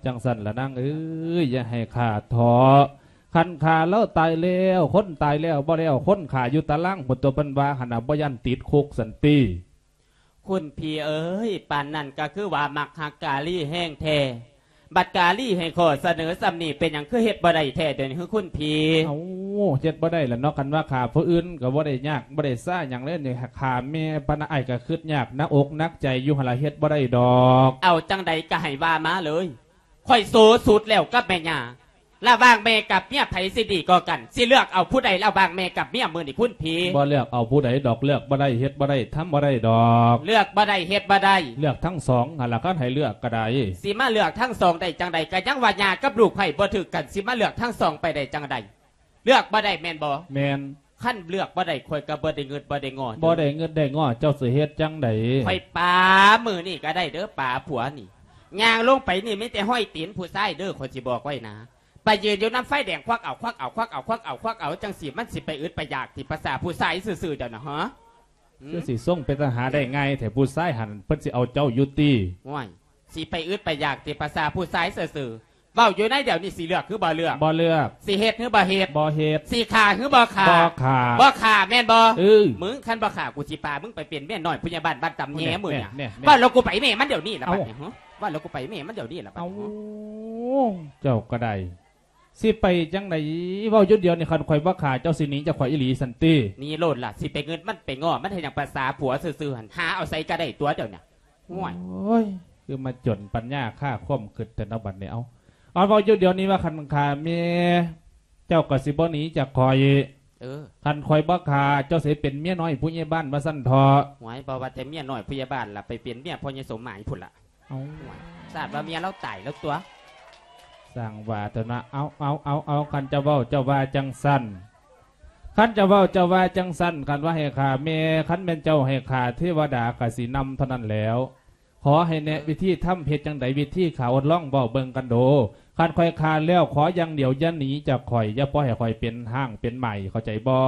ຈັ່ງຊັ້ນລະນາງເອີຍ ຢ່າໃຫ້ຂ້າເທາະ. ຄັນຂ້າລາວຕາຍແລ້ວ ຄົນຕາຍແລ້ວບໍ່ແລ້ວ ຄົນຂ້າຢູ່ຕາລາງພຸ້ນຕົວະ ເພິ່ນວ່າຫັ້ນນະ ບໍ່ຢ້ານຕິດຄຸກຊັ້ນຕິ. ຄຸນພີ່ເອີຍ ປານນັ້ນກໍຄືວ່າມັກຮັກກາລີແຮງແທ້ ບັດກາລີໃຫ້ຂໍ້ສະເໜີສ່ຳນີ້ ເປັນຫຍັງຄືເຮັດບໍ່ໄດ້ແທ້ດຽວນີ້ ຄືຄຸນພີ່? ເອົ້າ ເຮັດບໍ່ໄດ້ລະເນາະ ຄັນວ່າຂ້າຜູ້ອື່ນກໍບໍ່ໄດ້ຍາກ ບໍ່ໄດ້ຊາຫຍັງເລີຍ ຂ້າແມ່ປານອ້າຍກໍຄຶດຍາກ ໜັກອົກໜັກໃຈຢູ່ຫັ້ນລະ ເຮັດບໍ່ໄດ້ດອກ. ເອົາຈັ່ງໃດກໍໃຫ້ວ່າມາເລີຍ ຂ້ອຍໂສສຸດແລ້ວກັບແມ່ຍ່າ. ລະຫວ່າງແມ່ກັບເມຍໃຜຊິດີກວ່າກັນ? ຊິເລືອກເອົາຜູ້ໃດລະຫວ່າງແມ່ກັບເມຍມື້ນີ້ຄຸນພີ່? ບໍ່ເລືອກເອົາຜູ້ໃດດອກ ເລືອກບໍ່ໄດ້ ເຮັດບໍ່ໄດ້ ທຳບໍ່ໄດ້ດອກ. ເລືອກບໍ່ໄດ້ ເຮັດບໍ່ໄດ້ ເລືອກທັງສອງຫັ້ນລະ ຄັນໃຫ້ເລືອກກໍໄດ້. ຊິມາເລືອກທັງສອງໄດ້ຈັ່ງໃດ? ກໍຍັງວ່າຍ່າກັບລູກໃຜບໍ່ຖືກກັນ ຊິມາເລືອກທັງສອງໄປໄດ້ຈັ່ງໃດ? ເລືອກບໍ່ໄດ້ແມ່ນບໍ່? ແມ່ນ. ຄັນເລືອກບໍ່ໄດ້ ຂ້ອຍກໍບໍ່ໄດ້ງຶດບໍ່ໄດ້ງໍ. ບໍ່ໄດ້ງຶດໄດ້ງໍ ເຈົ້າຊິເຮັດຈັ່ງໃດ? ຂ້ອຍປາມື້ນີ້ກໍໄດ້ເດີ ປາຜົວນີ້ ຍ່າງລົງໄປນີ້ມີແຕ່ຮອຍຕີນຜູ້ຊາຍເດີ ຂ້ອຍຊິບອກໄວ້ນະ. ໄປຢືນຢູ່ນຳໄຟແດງ ຄວັກເອົາ ຄວັກເອົາ ຄວັກເອົາ ຄວັກເອົາ ຄວັກເອົາ ຈັ່ງຊີ້ມັນຊິໄປອຶດໄປຢາກຕິ ພາສາຜູ້ຊາຍຊື່ໆ ດຽວນະ ຮະ? ຄືຊິສົ່ງເປັນຕາຫາໄດ້ງ່າຍແທ້ ຜູ້ຊາຍຫັ້ນເພິ່ນຊິເອົາເຈົ້າຢູ່ຕິ? ໂອ້ຍ ຊິໄປອຶດໄປຢາກຕິ ພາສາຜູ້ຊາຍຊື່ໆ. ເວົ້າຢູ່ໃນດຽວນີ້ ຊິເລືອກຄືບໍ່ເລືອກ? ບໍ່ເລືອກ. ຊິເຮັດຄືບໍ່ເຮັດ? ບໍ່ເຮັດ. ຊິຂ້າຄືບໍ່ຂ້າ? ບໍ່ຂ້າ. ບໍ່ຂ້າແມ່ນບໍ່? ເອີ ມຶງ ຄັນບໍ່ຂ້າ ກູຊິພາມຶງໄປເປັນເມຍນ້ອຍຜູ້ໃຫຍ່ບ້ານບ້ານຕຳແຍມື້ນີ້. ເວົ້າແລ້ວກູໄປແມ່ມັນດຽວນີ້ລະ ບາດນີ້. ເອົ້າ ເວົ້າແລ້ວກູໄປແມ່ມັນດຽວນີ້ລະ ບາດນີ້. ເຈົ້າກໍໄດ້ ຊິໄປຈັ່ງໃດ? ເວົ້າຢູ່ດຽວນີ້ ຄັນຂ້ອຍບໍ່ຂ້າ ເຈົ້າຊິໜີຈາກຂ້ອຍອີ່ຫຼີຊັ້ນຕິ? ໜີໂລດລະ ຊິໄປງຶດມັນໄປງໍ ມັນເຮັດຫຍັງ ພາສາຜົວຊື່ໆ ຫັ້ນ ຫາເອົາໃສກໍໄດ້ຕົວະດຽວນີ້. ໂອ້ຍ ໂອ້ຍ ຄືມາຈົນປັນຍາຄາຄວາມຄິດແທ້ເນາະບັດນີ້. ເອົາ ເອົາ ເວົ້າຢູ່ດຽວນີ້ວ່າ ຄັນຂ້າແມ່ເຈົ້າກໍຊິບໍ່ໜີຈາກຂ້ອຍ. ເອີ ຄັນຂ້ອຍບໍ່ຂ້າ ເຈົ້າຊິເປັນເມຍນ້ອຍຜູ້ໃຫຍ່ບ້ານວ່າຊັ້ນເຖາະ. ໂອ້ຍ ບໍ່ວ່າແຕ່ເມຍນ້ອຍຜູ້ໃຫຍ່ບ້ານລະ ໄປເປັນເມຍພໍ່ໃຫຍ່ສົມໝາຍພຸ້ນລະ. ເອົາ ຊາດວ່າເມຍລາວຕາຍແລ້ວຕົວະ. ສ້າງວ່າເຖາະນະ. ເອົາ ເອົາ ເອົາ ເອົາ ຄັນເຈົ້າເວົ້າ ເຈົ້າວ່າຈັ່ງຊັ້ນ ຄັນເຈົ້າເວົ້າເຈົ້າວ່າຈັ່ງຊັ້ນ ຄັນວ່າໃຫ້ຂ້າແມ່ ຄັນແມ່ນເຈົ້າໃຫ້ຂ້າ ເທວະດາກໍຊິນຳເທົ່ານັ້ນແຫຼ້ວ. ຂໍໃຫ້ແນະ ເອີ ວິທີທຳເຮັດຈັ່ງໃດ ວິທີຂ້າທົດລອງເວົ້າເບິ່ງກັນໂດ. ຄັນຂ້ອຍຂ້າແລ້ວ ຂໍຢ່າງດຽວ ຢ່າໜີຈາກຂ້ອຍ ຢ່າປ່ອຍໃຫ້ຂ້ອຍເປັນຮ້າງເປັນໄມ້ ເຂົ້າໃຈບໍ່?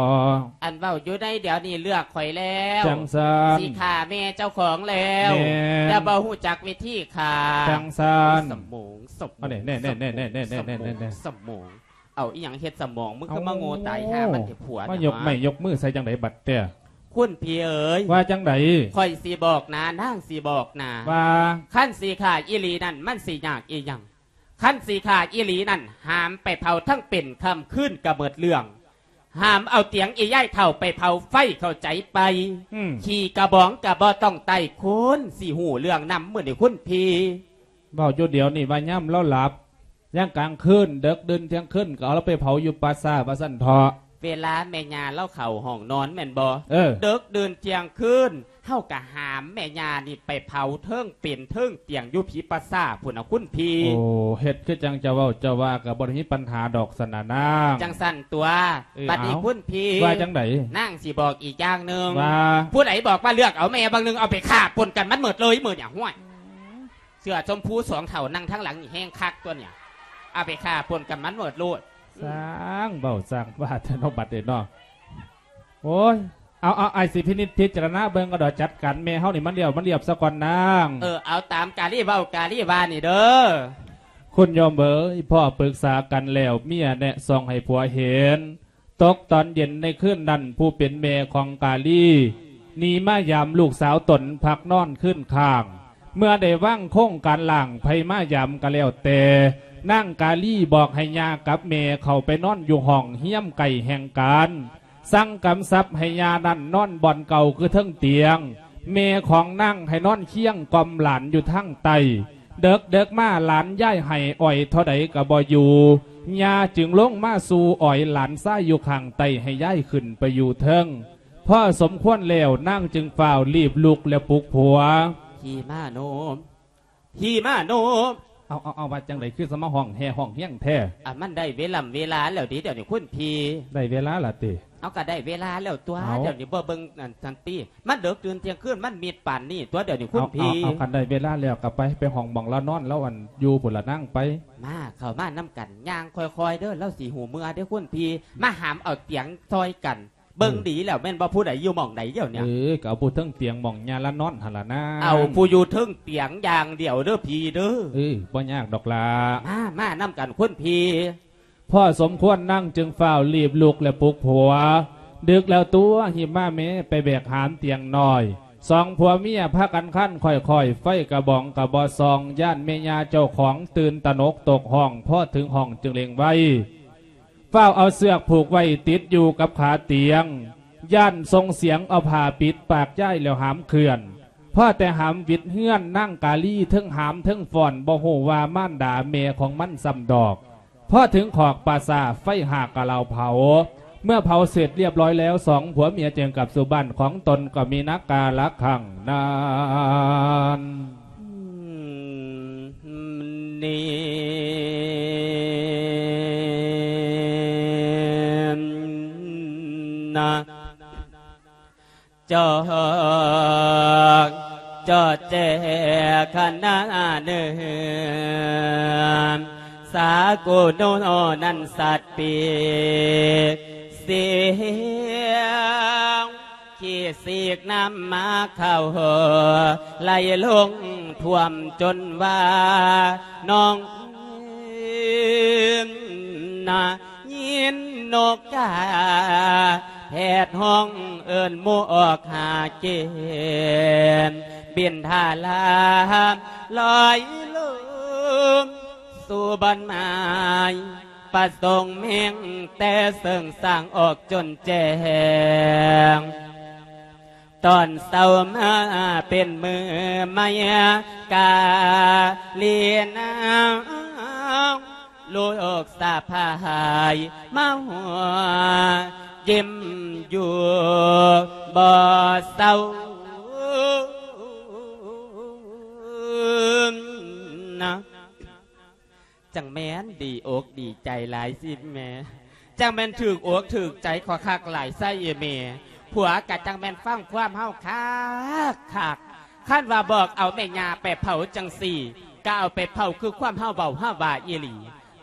ອັນເວົ້າຢູ່ໃນດຽວນີ້ເລືອກຂ້ອຍແລ້ວ ຈັ່ງຊັ້ນ ຊິຂ້າແມ່ເຈົ້າຂອງແລ້ວ ແມ່ນ ແຕ່ບໍ່ຮູ້ຈັກວິທີຂ້າ ຈັ່ງຊັ້ນ ໂອ້ຍ ສະໝອງ ສະໝອງ ອັນນີ້ ແນ່ໆໆໆໆໆໆ ສະໝອງ ສະໝອງ ເອົາອີ່ຫຍັງເຮັດສະໝອງ ມຶງຄືມາໂງ່ຕາຍ ເອົ້າ ຫ່າມັນເຖະຜົວ ມາຍົກໄມ້ຍົກມືໃສ່ຈັ່ງໃດບັດແທ້? ຄຸນພີ່ເອີຍ ວ່າຈັ່ງໃດ? ຂ້ອຍຊິບອກນາ ນາງຊິບອກນາ ວ່າ ຄັນຊິຂ້າອີ່ຫຼີນັ້ນ ມັນຊິຍາກອີ່ຫຍັງ? ຄັນຊິຂ້າອີ່ຫຼີນັ້ນ ຫາມໄປເຜົາທັງເປັນຄ່ຳຄືນກະໝົດເລື່ອງ. ຫາມເອົາຕຽງອີ່ຍາຍເຖົ້າໄປເຜົາໄຟ ເຂົ້າໃຈໄປ? ອືມ ຂີ້ກະບອງກະບໍ່ຕ້ອງໄຕ້ ຄົນຊິຮູ້ເລື່ອງນຳ ມື້ນີ້ຄຸນພີ່. ເວົ້າຢູ່ດຽວນີ້ວ່າຍາມລາວຫຼັບ ຍາມກາງຄືນ ເດິກດື່ນທ່ຽງຄືນ ກໍເອົາລາວໄປເຜົາຢູ່ປ່າຊ້າວ່າຊັ້ນເຖາະ. ເວລາແມ່ຍ່າລາວເຂົ້າຫ້ອງນອນແມ່ນບໍ່? ເອີ ເດິກດື່ນທ່ຽງຄືນ ເຮົາກະຫາມແມ່ຍ່ານີ້ໄປເຜົາເທິງເປັນເທິງຕຽງຢູ່ຜີປ່າຊ້າພຸ້ນນະຄຸນພີ່. ໂອ້ ເຮັດຄືຈັ່ງເຈົ້າເວົ້າເຈົ້າວ່າ ກະບໍ່ໄດ້ມີປັນຫາດອກຊັ້ນນະນາງ. ຈັ່ງຊັ້ນຕົວະ. ເອີ ບັດນີ້ ເອົ້າ ຄຸນພີ່ ວ່າຈັ່ງໃດ? ນາງຊິບອກອີກຢ່າງໜຶ່ງ ວ່າ ຜູ້ໃດບອກວ່າເລືອກເອົາແມ່ບາງໜຶ່ງ ເອົາໄປຂ້າປົນກັນມັນໝົດເລີຍມື້ນີ້ ຫ້ວຍ. ເສື້ອຊົມພູສອງເຖົ້ານັ່ງທາງຫຼັງນີ້ແຮງຄັກຕົວະນີ້ ເອົາໄປຂ້າປົນກັນມັນໝົດໂລດ. ຊ່າງເວົ້າຊ່າງວ່າແທ້ເນາະ ບັດນີ້ເນາະ. ໂອ້ຍ ເອົາໆ ອ້າຍຊິພິນິດພິຈາລະນາເບິ່ງກໍດອກ ຈັດການແມ່ເຮົານີ້ມັນລຽບມັນລຽບຊະກ່ອນນາງ. ເອີ ເອົາຕາມກາລີເວົ້າກາລີວ່ານີ້ເດີ. ຄຸນໂຍມເອີຍ ພໍ່ປຶກສາກັນແລ້ວ ເມຍແນະສ່ອງໃຫ້ຜົວເຫັນ. ຕົກຕອນເຢັນໃນຄືນນັ້ນ ຜູ້ເປັນແມ່ຂອງກາລີ ໜີມາຢາມລູກສາວຕົນພັກນອນຄືນຄ້າງ. ເມື່ອໄດ້ວາງໂຄງການລ້າງ ໃຜມາຢາມກໍແລ້ວແຕ່ ນາງກາລີບອກໃຫ້ຍ່າກັບແມ່ເຂົ້າໄປນອນຢູ່ຫ້ອງຮຽມໃກ້ແຫ່ງການ. ສັ່ງກຳຊັບໃຫ້ຍ່ານັ້ນນອນບ່ອນເກົ່າຄືເທິງຕຽງ, ແມ່ຂອງນາງໃຫ້ນອນຄຽງກ່ອມຫຼານຢູ່ທາງໃຕ້. ເດິກໆມາ ຫຼານຢາຍໄຫ້ອ້ອຍເທົ່າໃດກໍບໍ່ຢູ່, ຍ່າຈຶ່ງລົງມາສູ່ອ້ອຍຫຼານຊາຍຢູ່ຂ້າງໃຕ້ ໃຫ້ຢາຍຂຶ້ນໄປຢູ່ເທິງ. ພໍສົມຄວນແລ້ວ ນາງຈຶ່ງຟ້າວລີບລຸກແລະປຸກຜົວ. ພີ່ມາໂນມ ພີ່ມາໂນມ. ເອົາ ເອົາ ເອົາ ວ່າຈັ່ງໃດ ຄືສະມາຮ້ອງແຮ່ຮ້ອງຮຽງແທ້? ອາ ມັນໄດ້ເວລຳເວລາແລ້ວເດ ດຽວນີ້ຄຸນພີ່. ໄດ້ເວລາລະຕິ? ເອົາ ກໍໄດ້ເວລາແລ້ວຕົວະ. ເອົາ ດຽວນີ້ບໍ່ເບິ່ງອັນນັ້ນຕິ? ມັນເດິກຕື່ນທ່ຽງຄືນ ມັນມິດປານນີ້ຕົວະ ດຽວນີ້ຄຸນພີ່. ເອົາ ເອົາ ຄັນໄດ້ເວລາແລ້ວກໍໄປ ໄປຫ້ອງໝ່ອງລານອນລາວ ອັນຢູ່ພຸ້ນລະນາງໄປ. ມາ ເຂົ້າມານຳກັນ ຍ່າງຄ່ອຍໆເດີ ລາວຊິຮູ້ເມື່ອເດ້ຄຸນພີ່. ມາຫາມເອົາຕຽງຊ່ອຍກັນ. ເບິ່ງ ເອີ ດີແລ້ວແມ່ນບໍ່ ຜູ້ໃດຢູ່ໝ່ອງໃດດຽວນີ້? ເອີ ກໍເອົາຜູ້ເທິງຕຽງໝ່ອງຍ່າລະນອນຫັ້ນລະນາ. ເອົາຜູ້ຢູ່ເທິງຕຽງຢ່າງດຽວເດີພີ່ເດີ. ເອີ ບໍ່ຍາກດອກຫຼ້າ. ມາ ມານຳກັນຄຸນພີ່. ພໍສົມຄວນນາງຈຶ່ງຟ້າວລີບລຸກແລະປຸກຜົວ. ດຶກແລ້ວຕົວະ ຮີບມາແມ້ ໄປແບກຫາມຕຽງນ້ອຍ. ສອງຜົວເມຍພາກັນຄານຄ້ອຍໆ ໄຟກະບອງກະບໍ່ສ່ອງ ຢ້ານແມ່ຍ່າເຈົ້າຂອງຕື່ນຕະໜົກຕົກຫ້ອງ. ພໍເຖິງຫ້ອງຈຶ່ງເລັ່ງໄວ ຟ້າວເອົາເຊືອກຜູກໄວ້ຕິດຢູ່ກັບຂາຕຽງ, ຢ້ານສົ່ງສຽງເອົາຜ້າປິດປາກຢາຍແລ້ວຫາມເຄື່ອນ. ພໍແຕ່ຫາມຫວິດເຮືອນ ນາງກາລີເທິງຫາມເທິງຟ້ອນ ບໍ່ຮູ້ວ່າມານດາແມ່ຂອງມັນຊ້ຳດອກ. ພໍເຖິງຂອກປ່າຊ້າ ໄຟຫາກະລາວເຜົາ. ເມື່ອເຜົາເສັດລຽບຮ້ອຍແລ້ວ ສອງຜົວເມຍຈຶ່ງກັບສູ່ບ້ານຂອງຕົນ ກໍມີນາກາລະຄັ້ງນັ້ນ. ນີ້ນະ ຈອກຈອດແຈຂະນະເນີນ ສາກຸໂນນັ້ນສັດປີກ ສຽງ ຂີ້ສີກນ້ຳໝາເຂົ້າ ໄຫຼລົງຖ້ວມຈົນວ່າໜອງນະ ຍິນນົກກາແຜດຮ້ອງເອີ້ນໝູ່ອອກຫາກິນ ບິນທາລາມລອຍລົງສູ່ບ່ອນໝາຍ ປະສົງແມ່ງແຕ່ເຊິ່ງສ້າງອອກຈົນແຈ້ງ ຕອນເຊົ້າມາເປັນມື້ໃໝ່ ກາລີນາງລູກສະໃພ້າຍ ມາຫົວຍິ້ມຢູ່ບໍ່ເຊົານະ. ຈັ່ງແມ່ນດີອົກດີໃຈຫຼາຍຊິແມ່. จั่งแม่นถืกอกถืกใจข้อยคักหลายซะอีแม่ ผัวกะจั่งแม่นฟังความเฮาคักคัก คันว่าบอกเอาแม่ย่าไปเผาจั่งซี้ กะเอาไปเผาคือความเฮาเว้าเฮาว่าอีหลี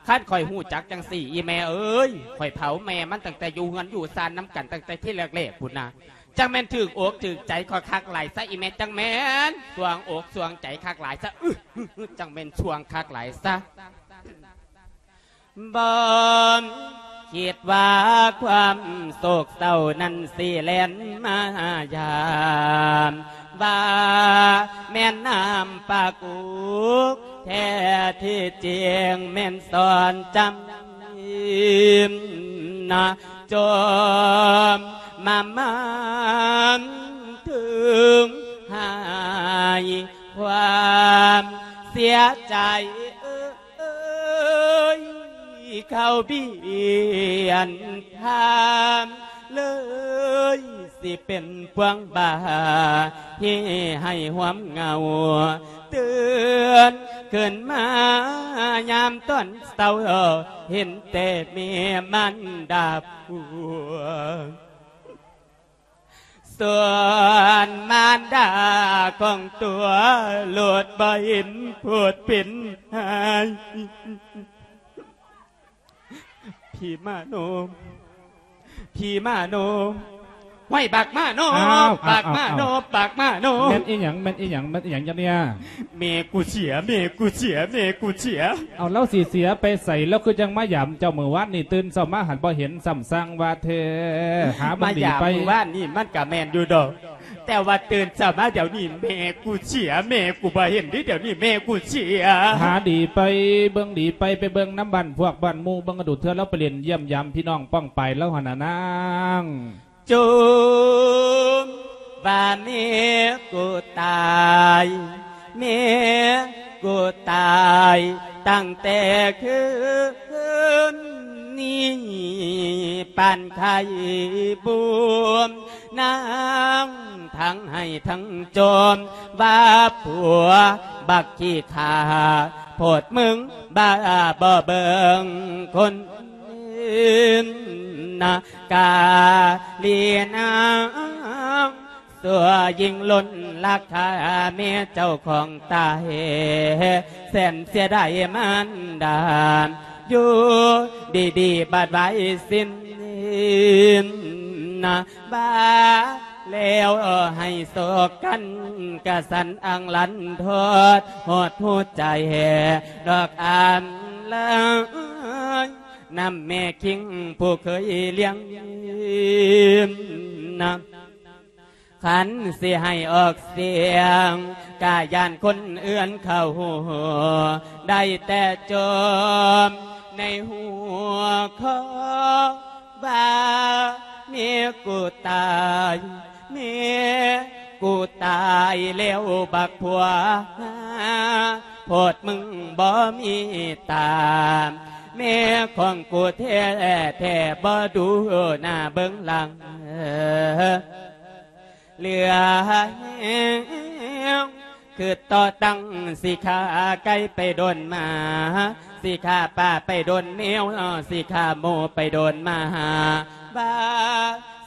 คันข้อยฮู้จักจั่งซี้อีแม่เอ้ย ข้อยเผาแม่มันตั้งแต่อยู่เฮือนอยู่ซานนำกันตั้งแต่ทีแรกๆ พุ้นนะ จั่งแม่นถืกอกถืกใจข้อยคักหลายซะอีแม่ จั่งแม่นสวงอกสวงใจคักหลายซะ อึ จั่งแม่นสวงคักหลายซะ บ่คิดว่าความโศกเศร้านั้นสิแล่นมายาม ว่าแม่นน้ำปากุก แท้ที่จริงแม่นสอนจำนะ จมมามันถึงหายความเสียใจ เอ้ย เขาเบียนทาง เลยสิเป็นพวงบา ที่ให้หวมเหงา ตื่นขึ้นมายามตอนเช้า เห็นแต่แม่มารดาผัว ส่วนมารดาของตัวโลดบ่เห็นโพดเป็นหาย ผีมาโน ผีมาโน ห้วยบักมาโน อ้าว บักมาโน อ้าว อ้าว บักมาโน แม่นอีหยัง แม่นอีหยัง แม่นอีหยังจ้ะเนี่ย แม่กูเสีย แม่กูเสีย แม่กูเสีย เอา ลาวสิเสียไปไส ลาวคือจั่งมายามเจ้ามื้อวานนี่ ตื่นเช้ามาหันบ่เห็น ซ้ำสั่งว่าแท้ หาบ่ดีไป มายามมื้อวานนี่มันกะแม่นอยู่ดอก แต่ว่าตื่นเช้ามาเดี๋ยวนี้แม่กูเสีย แม่กูบ่เห็นเด้ เดี๋ยวนี้แม่กูเสีย หาดีไป เบิ่งดีไป ไปเบิ่งนำบ้านพวกบ้านหมู่ เบิ่งดูเทื่อลาวไปเล่นเยี่ยมยามพี่น้องป้องปายลาวหั่นน่ะนาง จมว่าแม่กูตาย แม่กูตาย ตั้งแต่คืนนี้ปานไข่บวม นางทั้งไห้ทั้งจม ว่าผัวบักขี้ข้า โพดมึงบ้าบ่เบิ่งคนอื่นนะ กาลีนาง สัวยิ่งล้นราคา แม่เจ้าของตาย แสนเสียดายมารดา อยู่ดีๆ บัดไว้สิ้นนะ บ้าแล้วให้โศกกัน กะสันอังลันทด หดหัวใจ ดอกอามเลย นำแม่คิงผู้เคยเลี้ยงนะ คันสิให้ออกเสียง กะย้านคนอื่นเขาฮู้ ได้แต่จมในหัวข้อ ว่าแม่กูตาย แม่กูตายแล้วบักผัว โพดมึงบ่มีตา แม่ของกูแท้แท้บ่ดูหน้าเบิ่งหลัง เหลือแฮง คือต่อตั้งสิฆ่าไก่ไปโดนหมา สิฆ่าปลาไปโดนแมว สิฆ่าหมูไปโดนหมา บ้า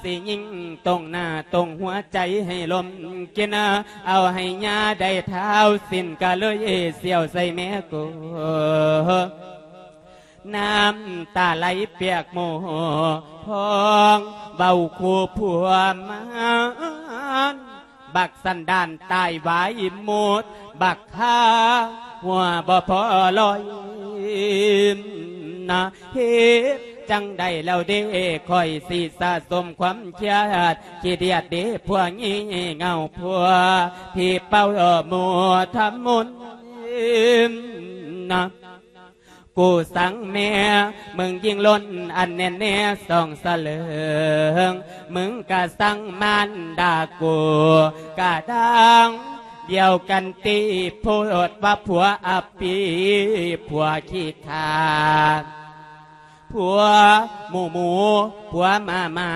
สิยิงตรงหน้าตรงหัวใจให้ลมกิน เอาให้ยาได้เท้าสิ้น กะเลยเสี่ยวใส่แม่กู น้ำตาไหลเปียกหมู่พอง เว้าคู่ผัวมัน บักสันดานตายวายหมด บักฆ่าหัวบ่พอลอยนะ เฮ็ดจั่งใดแล้วเด้ ข้อยสิสะสมความเครียด ขี้เดียดเด้ พวกงี่เง่า พวกผีเป่าหมู่ทำมนต์นะ กูสั่งแม่ มึงยิ่งล้นอันแน่นแน่สองสะเลิง มึงกะสั่งมารดากู กะดังเดียวกันติ โพดว่าผัวอัปปี ผัวขี้ข้า ผัวหมู่หมู ผัวหมาหมา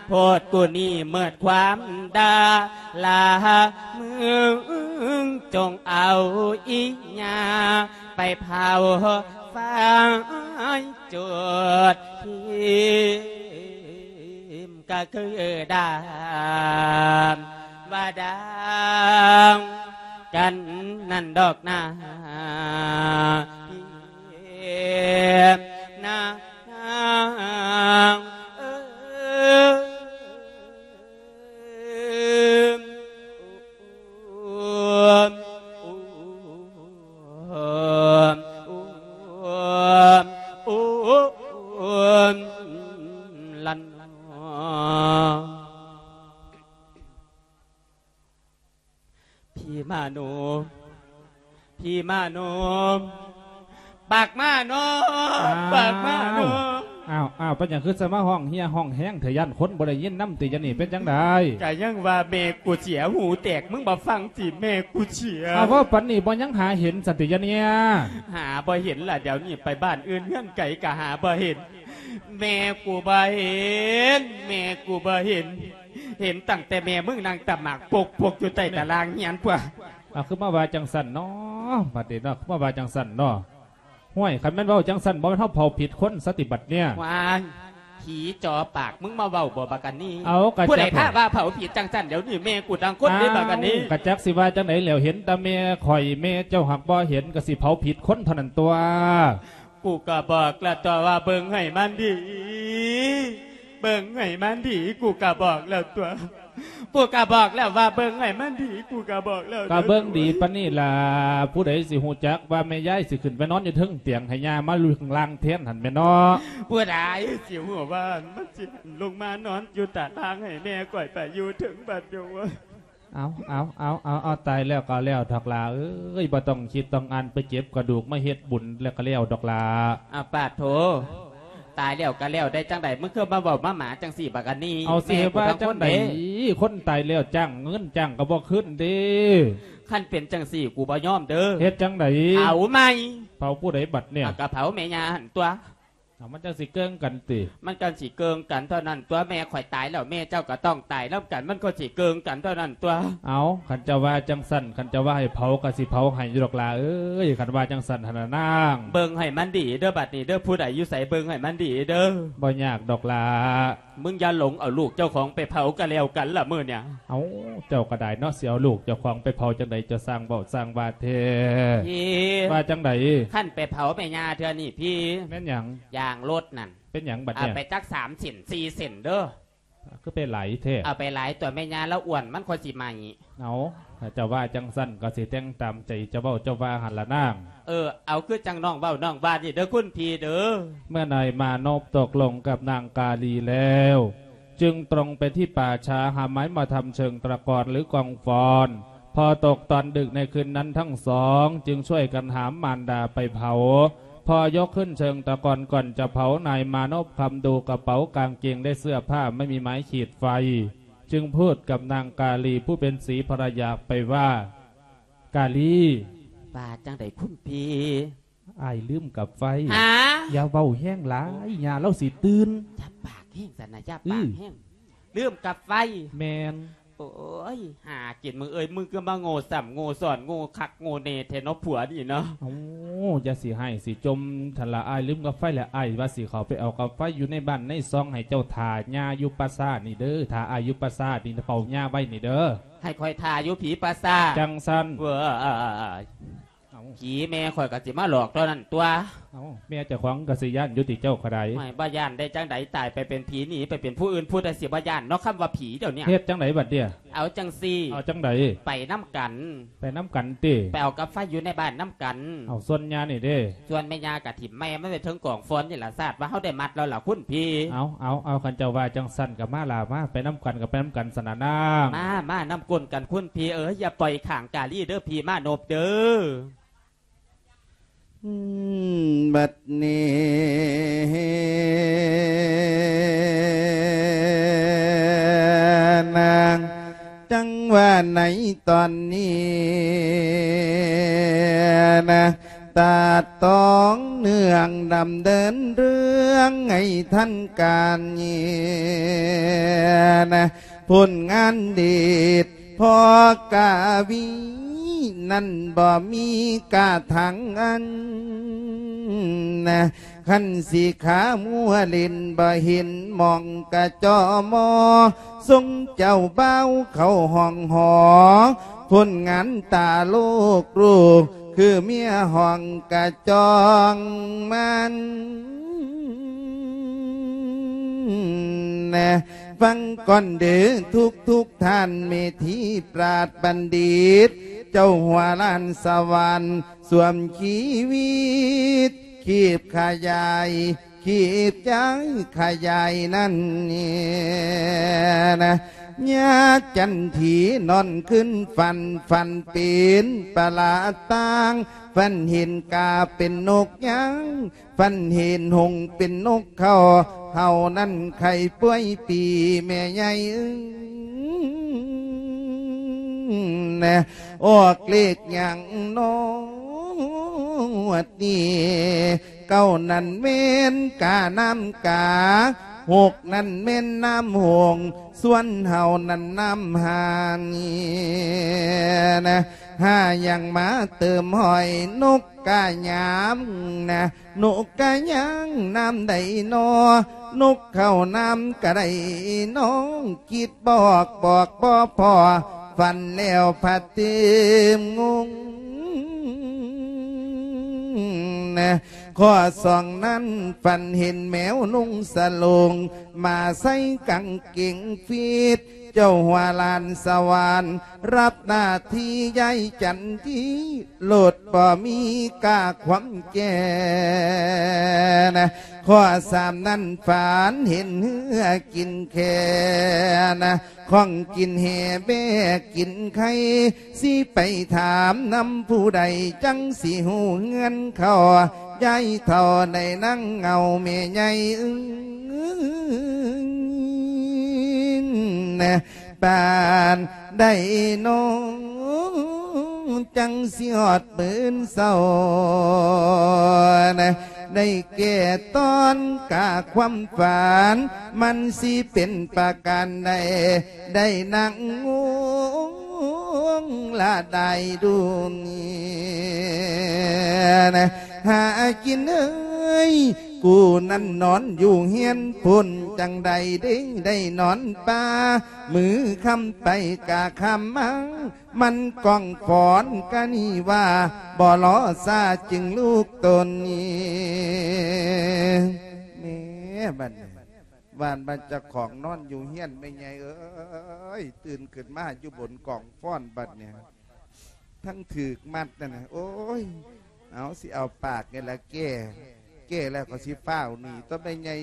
ໂພດກູນີ້ເໝິດຄວາມດາລາ ມຶງຈົ່ງເອົາອີ່ຫຍາໄປເຜົາຟາຍ ຈູດຖິ້ມກະຄືດາມວ່າດາງກັນນັ້ນດອກນາ ນາງເອີຍ. ຜີມາໂນ ຜີມາໂນ ປາກມາໂນ ອ້າວ ປາກມາໂນ. ອ້າວ ອ້າວ ເປັນຫຍັງຄືຊິມາຮ້ອງເຮຍຮ້ອງແຮງແທ້? ຢ້ານຄົນບໍ່ໄດ້ຍິນນຳຕິ ຢານີ້ເປັນຈັ່ງໃດ? ກະຍັງວ່າແມ່ກູເສຍຫູແຕກ ມຶງບໍ່ຟັງຕິ ແມ່ກູເສຍ. ອ້າວ ເວົ້າປານນີ້ບໍ່ຍັງຫາເຫັນຊັ້ນຕິ ຢານີ້? ຫາບໍ່ເຫັນລະ ດຽວນີ້ໄປບ້ານອື່ນເຮືອນໄກກະຫາບໍ່ເຫັນ ແມ່ກູບໍ່ເຫັນ ແມ່ກູບໍ່ເຫັນ. ເຫັນຕັ້ງແຕ່ແມ່ມຶງນັ່ງຕຳໝາກປົກໆຢູ່ໃຕ້ຕາລ່າງເຮືອນພຸ້ນ. ອ້າວ ຄືມາວ່າຈັ່ງຊັ້ນເນາະ ບັດນີ້ເນາະ ຄືມາວ່າຈັ່ງຊັ້ນເນາະ. ຫ້ວຍ ຄັນແມ່ນເວົ້າຈັ່ງຊັ້ນ ບໍ່ແມ່ນເຮົາເຜົາຜິດຄົນຊະຕິບັດເນີ້ຍ? ວ້າຍ ຜີຈໍປາກ ມຶງມາເວົ້າບໍ່ບັກອັນນີ້? ເອົາ ກະ ຜູ້ໃດພາວ່າເຜົາຜິດຈັ່ງຊັ້ນ? ດຽວນີ້ແມ່ກູຕ່າງຄົນເດ້ບັກອັນນີ້. ເອົາ ກະຈັກຊິວ່າຈັ່ງໃດແລ້ວ ເຫັນແຕ່ແມ່ຂ້ອຍ ແມ່ເຈົ້າຫາກບໍ່ເຫັນ ກະຊິເຜົາຜິດຄົນເທົ່ານັ້ນຕົວະ. ກູກະບອກແລ້ວຕົວະວ່າເບິ່ງໃຫ້ມັນດີ ເບິ່ງໃຫ້ມັນດີ ກູກະບອກແລ້ວຕົວະ ກູກະບອກແລ້ວວ່າເບິ່ງໃຫ້ມັນດີ ກູກະບອກແລ້ວ ກະເບິ່ງດີປານນີ້ລະ ຜູ້ໃດຊິຮູ້ຈັກວ່າແມ່ຍາຍຊິຂຶ້ນໄປນອນຢູ່ເທິງຕຽງ ໃຫ້ຍ່າມາຢູ່ຂ້າງລ່າງແທນຫັ້ນແມ່ນເນາະ. ຜູ້ໃດຊິຮູ້ວ່າມັນຊິລົງມານອນຢູ່ຕາລ່າງ ໃຫ້ແມ່ຂ້ອຍໄປຢູ່ເທິງບັດດຽວ. ເອົາ ເອົາ ເອົາ ເອົາ ເອົາ ຕາຍແລ້ວກະແລ້ວດອກຫຼ້າເອີຍ ບໍ່ຕ້ອງຄິດຕ້ອງອ່ານ ໄປເກັບກະດູກມາເຮັດບຸນແລ້ວກະແລ້ວດອກຫຼ້າ. ອາ ປາດໂທ ຕາຍແລ້ວກະແລ້ວໄດ້ຈັ່ງໃດ? ມຶງຄືມາເວົ້າມາໝາຈັ່ງຊີ້ບັກອັນນີ້. ເອົາ ຊິເຮັດວ່າຈັ່ງໃດ? ແມ່ກູທັງຄົນເດ້ ຄົນຕາຍແລ້ວຈ້າງເງິນຈ້າງກະບໍ່ຄືນເດ້. ຄັນເປັນຈັ່ງຊີ້ ກູບໍ່ຍອມເດີ. ເຮັດຈັ່ງໃດ? ເຜົາໃໝ່. ເຜົາຜູ້ໃດບັດເນີ້ຍ? ອາ ກະເຜົາແມ່ຍ່າຫັ້ນຕົວະ. ເອົາ ມັນຈັ່ງຊິເກີງກັນຕິ? ມັນຈັ່ງຊິເກີງກັນເທົ່ານັ້ນຕົວະ ແມ່ຂ້ອຍຕາຍແລ້ວ ແມ່ເຈົ້າກະຕ້ອງຕາຍນຳກັນ ມັນກໍຊິເກີງກັນເທົ່ານັ້ນຕົວະ. ເອົາ ຄັນເຈົ້າວ່າຈັ່ງຊັ້ນ ຄັນເຈົ້າວ່າໃຫ້ເຜົາກະຊິເຜົາໃຫ້ຢູ່ດອກຫຼ້າເອີຍ ຄັນວ່າຈັ່ງຊັ້ນຫັ້ນນະນາງ. ເບິ່ງໃຫ້ມັນດີເດີ ບັດນີ້ເດີ ຜູ້ໃດຢູ່ໃສເບິ່ງໃຫ້ມັນດີເດີ. ບໍ່ຍາກດອກຫຼ້າ. ມຶງຢ່າຫຼົງເອົາລູກເຈົ້າຂອງໄປເຜົາກະແລ້ວກັນລະມື້ນີ້. ເອົາ ເຈົ້າກະໄດ້ເນາະ ຊິເອົາລູກເຈົ້າຂອງໄປເຜົາຈັ່ງໃດ? ເຈົ້າຊ່າງເວົ້າຊ່າງວ່າແທ້. ພີ່ ວ່າຈັ່ງໃດ? ຄັນໄປເຜົາແມ່ຍ່າເທື່ອນີ້ພີ່ ແມ່ນຫຍັງ? ຢາງລົດນັ້ນ ເປັນຫຍັງບັດນີ້? ເອົາໄປຈັກສາມເສັ້ນສີ່ເສັ້ນເດີ. ຄືໄປຫຼາຍແທ້? ເອົາໄປຫຼາຍຕົວະ ແມ່ຍ່າລາວອ້ວນ ມັນຄ່ອຍຊິໄໝ້. ເອົາ ຖ້າເຈົ້າວ່າຈັ່ງຊັ້ນກະຊິແຕ່ງຕາມໃຈເຈົ້າເວົ້າເຈົ້າວ່າຫັ້ນລະນາງ. ເອີ ເອົາ ຄືຈັ່ງນ້ອງເວົ້ານ້ອງວ່ານີ້ເດີຄຸນພີ່ເດີ. ເມື່ອນາຍມານົບຕົກລົງກັບນາງກາລີແລ້ວ ຈຶ່ງຕຣົງໄປທີ່ປ່າຊ້າ ຫາໄມ້ມາທຳເຊີງຕະກອນ ຫຼື ກອງຟອນ. ພໍຕົກຕອນດຶກໃນຄືນນັ້ນ ທັງສອງຈຶ່ງຊ່ວຍກັນຫາມມານດາໄປເຜົາ. ພໍຍົກຂຶ້ນເຊີງຕະກອນກ່ອນຈະເຜົາ ນາຍມານົບຄຳດູກະເປົາກາງເກງ ແລະ ເສື້ອຜ້າ ໄມ່ມີໄມ້ຂີດໄຟ ຈຶ່ງພູດກັບນາງກາລີຜູ້ເປັນສີພະລະຍາໄປວ່າ ກາລີ. ວ່າຈັ່ງໃດຄຸນພີ່? ອ້າຍລືມກັບໄຟ. ຫາ? ຢ່າເວົ້າແຮງຫຼາຍ ຍ່າລາວຊິຕື່ນ. ຢ່າປາກແຮງຊັ້ນນະ ຢ່າປາກແຮງ. ອື ລືມກັບໄຟ. ແມ່ນ. ໂອ້ຍ ຫາກິນມຶງເອີຍ ມຶງຄືມາໂງ່ຊ້ຳໂງ່ຊ້ອນ ໂງ່ຄັກໂງ່ແນ່ແທ້ເນາະ ຜົວນີ້ເນາະ. ໂອ້ ຢ່າຊິຮ້າຍຊິຈົ່ມຫັ້ນລະ ອ້າຍລືມກັບໄຟແລ້ວ ອ້າຍວ່າຊິເຂົ້າໄປເອົາກັບໄຟຢູ່ໃນບ້ານໃນຊ່ອງ ໃຫ້ເຈົ້າຖ້າຍ່າຢູ່ປ່າຊ້ານີ້ເດີ ຖ້າອ້າຍຢູ່ປ່າຊ້ານີ້ ເຝົ້າຍ່າໄວ້ນີ້ເດີ. ໃຫ້ຂ້ອຍຖ້າຢູ່ຜີປ່າຊ້າ. ຈັ່ງຊັ້ນ. ເວີຍ ເອົາ ຜີແມ່ຂ້ອຍກະຊິມາຫຼອກເທົ່ານັ້ນຕົວະ. ເອົາ ແມ່ເຈົ້າຂອງກະຊິຢ້ານຢູ່ຕິເຈົ້າກະໄດ້. ໂອ້ຍ ບໍ່ຢ້ານໄດ້ຈັ່ງໃດ ຕາຍໄປເປັນຜີ ໜີໄປເປັນຜູ້ອື່ນ ຜູ້ໃດຊິບໍ່ຢ້ານເນາະ ຄຳວ່າຜີດຽວນີ້. ເຮັດຈັ່ງໃດບັດເດ? ເອົາຈັ່ງຊີ້. ເອົາຈັ່ງໃດ? ໄປນຳກັນ. ໄປນຳກັນຕິ? ໄປເອົາກັບໄຟຢູ່ໃນບ້ານນຳກັນ. ເອົາ ສ່ວນຍ່ານີ້ເດ? ສ່ວນແມ່ຍ່າກະຖິ້ມແມ່ມັນໄວ້ເທິງກອງຟອນນີ້ລະ ຊາດວ່າເຮົາໄດ້ມັດແລ້ວລະຄຸນພີ່. ເອົາ ເອົາ ເອົາ ຄັນເຈົ້າວ່າຈັ່ງຊັ້ນກະມາລະ ມາ ໄປນຳກັນກະໄປນຳກັນຊັ້ນນະນາງ. ມາ ມານຳກົ້ນກັນຄຸນພີ່ເອີຍ ຢ່າປ່ອຍຂ້າງກາລີເດີ ພີ່ມານົບເດີ. ອືມ ບັດນີ້ນາງ ຈັ່ງວ່າໃນຕອນນີ້ນາງ ຕາດຕ້ອງເນື່ອງດຳເນີນເລື່ອງໃຫ້ທັນການນີ້ນະ ຜົນງານເດດພໍ່ກະວີນັ້ນບໍ່ມີກະຖັງອັນນະ ຄັນຊິຂາມົວຫຼິ້ນບໍ່ເຫັນມອງກະຈໍ່ມໍ ຊົງເຈົ້າບ່າວເຂົ້າຫ້ອງຫໍ ຜົນງານຕາໂລກລູກ ຄືເມຍຫ້ອງກະຈອງມັນ ນະ ຟັງກ່ອນເດີທຸກໆທ່ານ ເມທີປາດບັນດິດ ເຈົ້າຫົວລ້ານສະຫວັນ ສວມຊີວິດ ຄີບຂະຫຍາຍ ຄີບຈາຍຂະຫຍາຍນັ້ນນີ້ນະ ຍາຈັນທີນອນຄືນຝັນ ຝັນເປັນປະຫຼາດຕ່າງ ຝັນເຫັນກາເປັນນົກຍາງ ຝັນເຫັນຫົງເປັນນົກເຂົາ ເຮົານັ້ນໄຂ້ປ່ວຍປີແມ່ໃຫຍ່ເອີຍ ນະ ອອກເລກຫຍັງນໍ ງວດນີ້ ເກົ້ານັ້ນແມ່ນການ້ຳກາ ຫົກນັ້ນແມ່ນນ້ຳຫົງ ສ່ວນເຮົານັ້ນນ້ຳຫານີ້ນະ ຫາຫຍັງມາເຕີມຫ້ອຍ ນົກກະຍາມນະ ນົກກະຍາງນ້ຳໃດນໍ ນົກເຂົ້ານ້ຳກະໄດ້ນ້ອງ ຄິດບອກບອກບໍ່ພໍ ຝັນແລ້ວພັດຕື່ມງົງນະ ຂໍ້ສອງນັ້ນຝັນເຫັນແມວນຸ່ງສະໂຫຼງ ມາໃສ່ກາງເກງຟີດ ເຈົ້າຫົວລ້ານສະຫວັນ ຮັບໜ້າທີ່ຍາຍຈັນທີ ໂລດບໍ່ມີກາຄວາມແກ່ນະ ຂໍ້ສາມນັ້ນຝັນເຫັນເຮືອກິນແຄນະ ຂອງກິນແຫ່ແບ້ກິນໄຂ່ ຊິໄປຖາມນຳຜູ້ໃດ ຈັ່ງຊິຮູ້ເຮືອນເຂົາ ຍາຍເຖົ້າໄດ້ນັ່ງເງົາແມ່ໃຫຍ່ເອີຍ ປານໃດນໍ ຈັ່ງຊິຮອດມື້ເຊົ້ານະ ໄດ້ແກ່ຕອນກາຄວາມຝັນ ມັນຊິເປັນປະການໃດ ໄດ້ນັ່ງງົງລະດາຍດຸນ ຫາກິນເອີຍ ກູນັ້ນນອນຢູ່ເຮືອນພຸ້ນ ຈັ່ງໃດເດ້ໄດ້ນອນປ່າ ມື້ຄ່ຳໄປກະຄ່ຳມາ ມັນກ້ອງຟອນກະນີ້ວ່າ ບໍ່ລໍຊາຈຶ່ງລູກຕົນນີ້ ແມ່ ບັດນີ້ ວ່າມັນເຈົ້າຂອງນອນຢູ່ເຮືອນແມ່ໃຫຍ່ເອີຍ ຕື່ນຂຶ້ນມາຢູ່ບົນກອງຟອນບັດນີ້ ທັງຖືກມັດນັ້ນນະ ໂອ້ຍ ເອົາ ຊິເອົາປາກນີ້ລະແກ້ ແກ້ແລ້ວກໍຊິຟ້າວໜີຕົວະແມ່ໃຫຍ່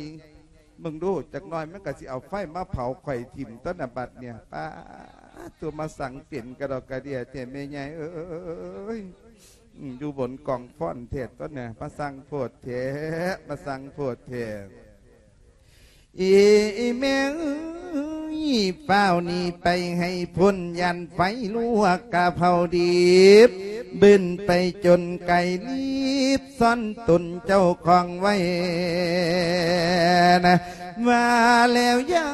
ເບິ່ງດູ ຈັກໜ່ອຍມັນກໍຊິເອົາໄຟມາເຜົາຂ້ອຍຖິ້ມຕົວະນະບັດນີ້ ປາດ ຕົວະມາສັງເປັນກະດອກກະເດຍແທ້ແມ່ໃຫຍ່ເອີຍ ອືມ ຢູ່ບົນກອງຟອນແທ້ຕົວະນະ ມາສັງໂພດແທ້ ມາສັງໂພດແທ້. ອີແມ່ເອີຍ ຟ້າວໜີໄປໃຫ້ພົ້ນ ຢ້ານໄຟລວກກະເຜົາດິບ ບືນໄປຈົນໄກລີບ ຊ້ອນຕົນເຈົ້າຂອງໄວ້ນະ ວ່າແລ້ວຍາ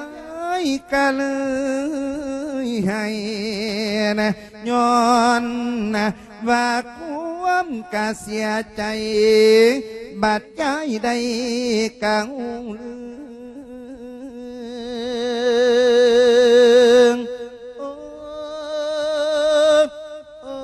ຍກະເລີຍໄຫ້ນະ ຍ້ອນນະ ວ່າຄວາມກະເສຍໃຈ ບາດຍາຍໄດ້ກະຮູ້ເລື່ອງ ໂອ້ ໂອ້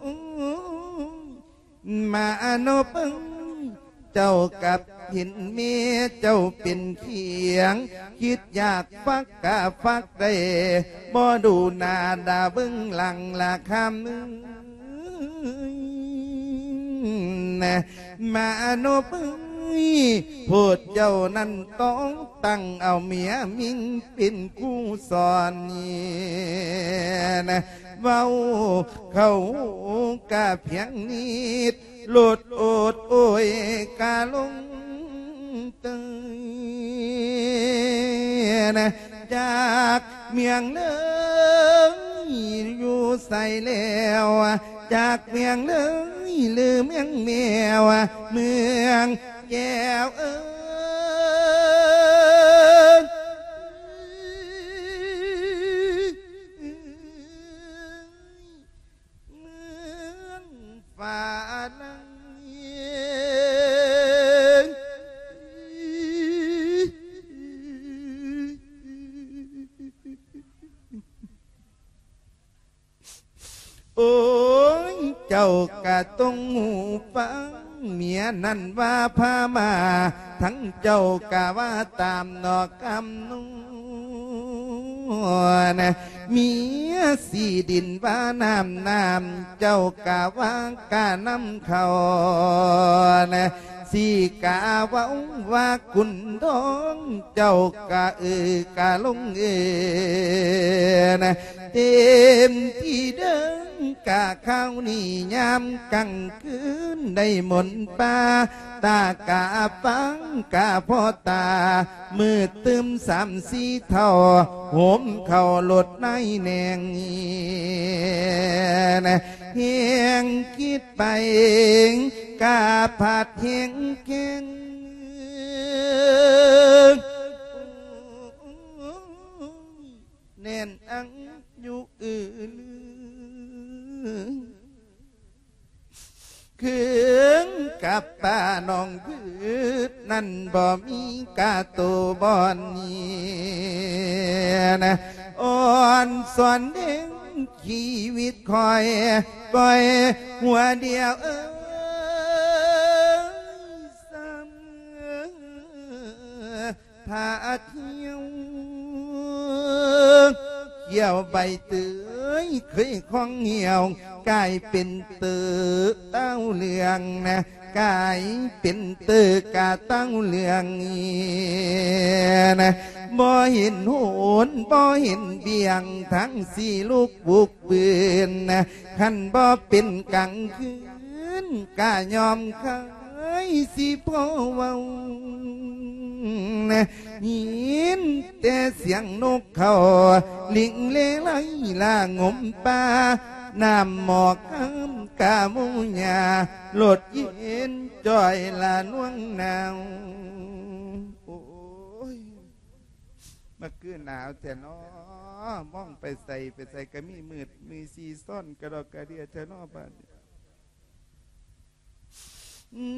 ໂອ້ ມານອບເອີຍ ເຈົ້າກັບເຫັນແມ່ເຈົ້າເປັນຂຽງ ຄິດຢາກຟັກກະຟັກໄດ້ ບໍ່ດູໜ້າດາເບິ່ງຫຼັງລະຄຳເອີຍ ມານອບເອີຍ ໂພດເຈົ້ານັ້ນຕ້ອງຕັ້ງເອົາເມຍມິງເປັນຄູສອນນີ້ ເວົ້າເຂົ້າຫູກະພຽງນິດ ໂລດໂອດໂອຍກະລົງ ເຕີຍ ຈາກເມືອງເລີຍຢູ່ໃສແລ້ວ ຈາກເມືອງເລີຍຫຼືເມືອງແມວ ເມືອງແກ້ວເອີຍ ເມືອງຟ້າໄລ ໂອ້ຍ ເຈົ້າກະຕ້ອງຮູ້ຟັງ ເມຍນັ້ນວ່າພາມາ ທັງເຈົ້າກະວ່າຕາມນອກຄຳນວນ ເມຍສີດິນວ່ານ້ຳ ນ້ຳເຈົ້າກະວ່າກະນຳເຂົ້າ ສີກະເວົ້າວ່າຂຸນທອງ ເຈົ້າກະເອີກະລົງເອີ ເຕັມທີ່ເດີງກະຄາວນີ້ຍາມກາງຄືນໄດ້ມົນປາ ຕາກະຟັງກະພໍຕາ ມືດຕື່ມສາມສີ່ເທົ່າ ໂຫມເຂົ້າລົດນາຍແໜງ ແຮງຄິດໄປກະພັດແຮງແຂງ ແໜ້ນອັງຢູ່ອື່ນ ຄືງກັບປ້ານ້ອງພືດນັ້ນບໍ່ມີກາໂຕບ່ອນນີ້ນະ ອ່ອນສອນເດ້ງຊີວິດຂ້ອຍ ຂ້ອຍຫົວດຽວເອີຍ ສ່ຳ ພາທ່ຽວ ຂຽວໃບເຕີຍເຄີຍຄອງຫ່ຽວ ກາຍເປັນເຕີເຕົ້າເຫຼືອງນະ ກາຍເປັນເຕີກະເຕົ້າເຫຼືອງນະ ບໍ່ເຫັນໂຫນ ບໍ່ເຫັນບຽງ ທັງສີ່ລູກບຸກບືນນະ ຄັນບໍ່ເປັນກາງຄືນ ກະຍອມຄາຍຊິພໍເວົ້ານະ ຍິນແຕ່ສຽງນົກເຂົາ ລິງເລໄລລາງົມປ່າ ນ້ຳໝອກຄຳກະໝູຍາ ລົດເຢັນຈ່ອຍລະນວງໜາວ ໂອ້ຍ ມາຄືໜາວແທ້ນໍ ມອງໄປໃສ ໄປໃສກະມີມືດ ມີຊີຊ້ອນກະດອກກະເດຍແທ້ນໍບາດນີ້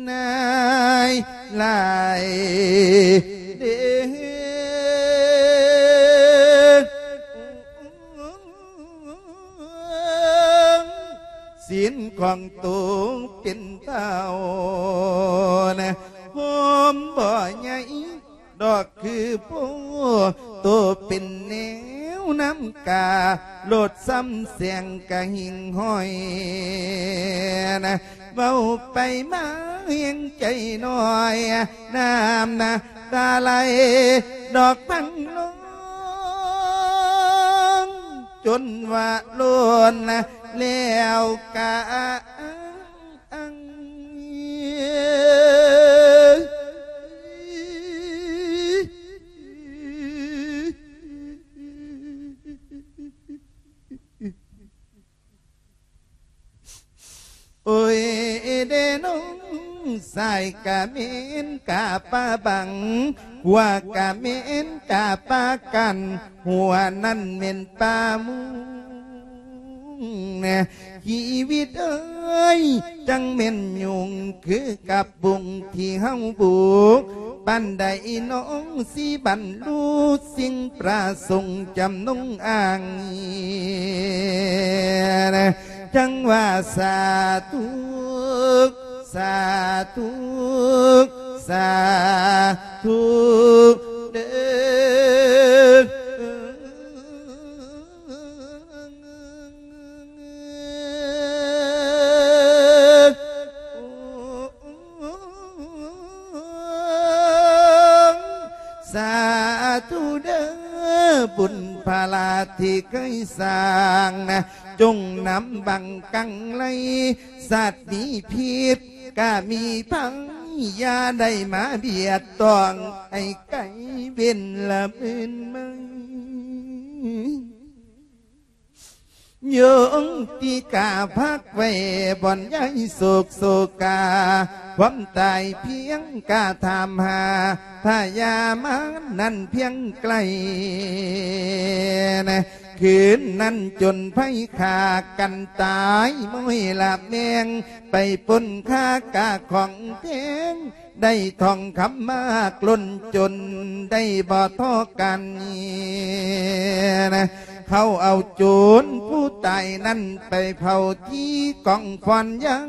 ນາຍຫຼາຍເດ ສິນຂອງໂຕເປັນເຕົ້ານະ ໂຮມບໍ່ໃຫຍ່ ດອກຄືໂພ ໂຕເປັນແນວນ້ຳກາ ໂລດຊ້ຳແສງກະຫິ່ງຫ້ອຍນະ ເວົ້າໄປມາແຮງໃຈນ້ອຍ ນ້ຳນະຕາໄຫຼດອກພັງນອງ ຈົນວ່າລົ້ນແລ້ວກະ ອັງ ໂອ້ຍເດນ້ອງ ຊາຍກະເໝັນກະປາບັງ ຂົວກະເໝັນກະປາກັນ ຫົວນັ້ນເໝັນປາມຸງ ຊີວິດເອີຍ ຈັ່ງແມ່ນຍຸງຄືກັບບຸງທີ່ເຮົາບຸກ ປານໃດນ້ອງຊິບັນລຸສິ່ງປະສົງຈຳນົງອ້າງ ຈັ່ງວ່າສາທຸ ສາທຸ ສາທຸເດີ. ສາທຸເດີ ບຸນພາລາທີ່ເຄີຍສ້າງນະ ຈົ່ງນຳບັງກັງໄລ ສັດມີພິດກະມີໄພ ຢ່າໄດ້ມາບຽດຕ້ອງ ໃຫ້ໄກເວັ້ນລະເມີນມາ. ຍົງຕິກາພັກໄວ້ບ່ອນຍາຍໂສກໂສກາ ຄວາມຕາຍພຽງກາຖາມຫາ ພະຍາມານນັ້ນພຽງໄກນະ. ຄືນນັ້ນຈົນໄພຂ້າກັນຕາຍ ມ້ອຍລະແມງໄປປົນຄ່າກາຂອງແພງ ໄດ້ທອງຄຳມາກລົ້ນຈົນ ໄດ້ບໍ່ທໍ້ກັນນະ. ເຂົາເອົາໂຈນຜູ້ຕາຍນັ້ນໄປເຜົາທີ່ກອງຟອນຍັງ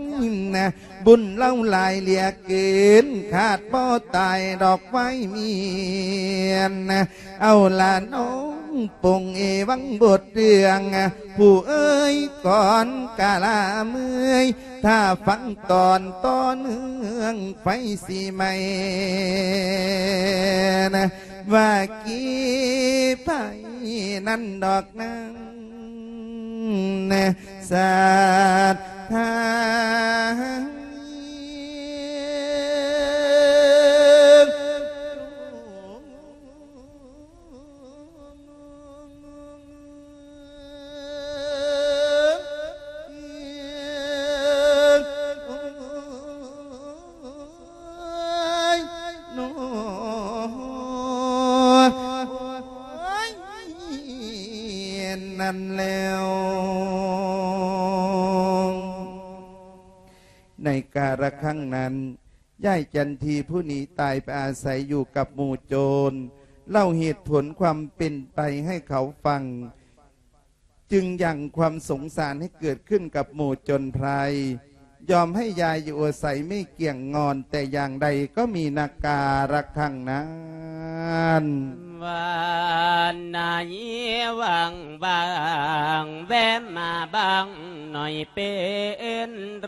ນະ. ບຸນເລົ່າຫຼາຍເຫຼືອເກີນ ຄາດບໍ່ຕາຍດອກໄວມຽນນະ. ເອົາລະນ້ອງປົງເອວັງບົດເລື່ອງ ຜູ້ເອີຍກ່ອນກະລາເມື່ອຍ ຖ້າຟັງຕອນຕໍ່ເນື່ອງໄຟຊິໄໝ້ນະ ວ່າກີໄຜນັ້ນດອກນາງນະ ສາດທາງ ນັ້ນແລ້ວ. ໃນກາລະຄັ້ງນັ້ນ ຍາຍຈັນທີຜູ້ໜີຕາຍໄປອາໄສຢູ່ກັບໝູ່ໂຈນ ເລົ່າເຫດຜົນຄວາມເປັນໄປໃຫ້ເຂົາຟັງ ຈຶ່ງຍັງຄວາມສົງສານໃຫ້ເກີດຂຶ້ນກັບໝູ່ໂຈນໄພຣ ຍອມໃຫ້ຢາຍຢູ່ອາໄສໄມ່ກ້ຽງງ່ອນແຕ່ຢ່າງໃດ ກໍມີນະກາລະຄັ້ງນັ້ນ. ວານນາຍຫວັງບາງ ແວະມາບາງໜ້ອຍເປັນໄ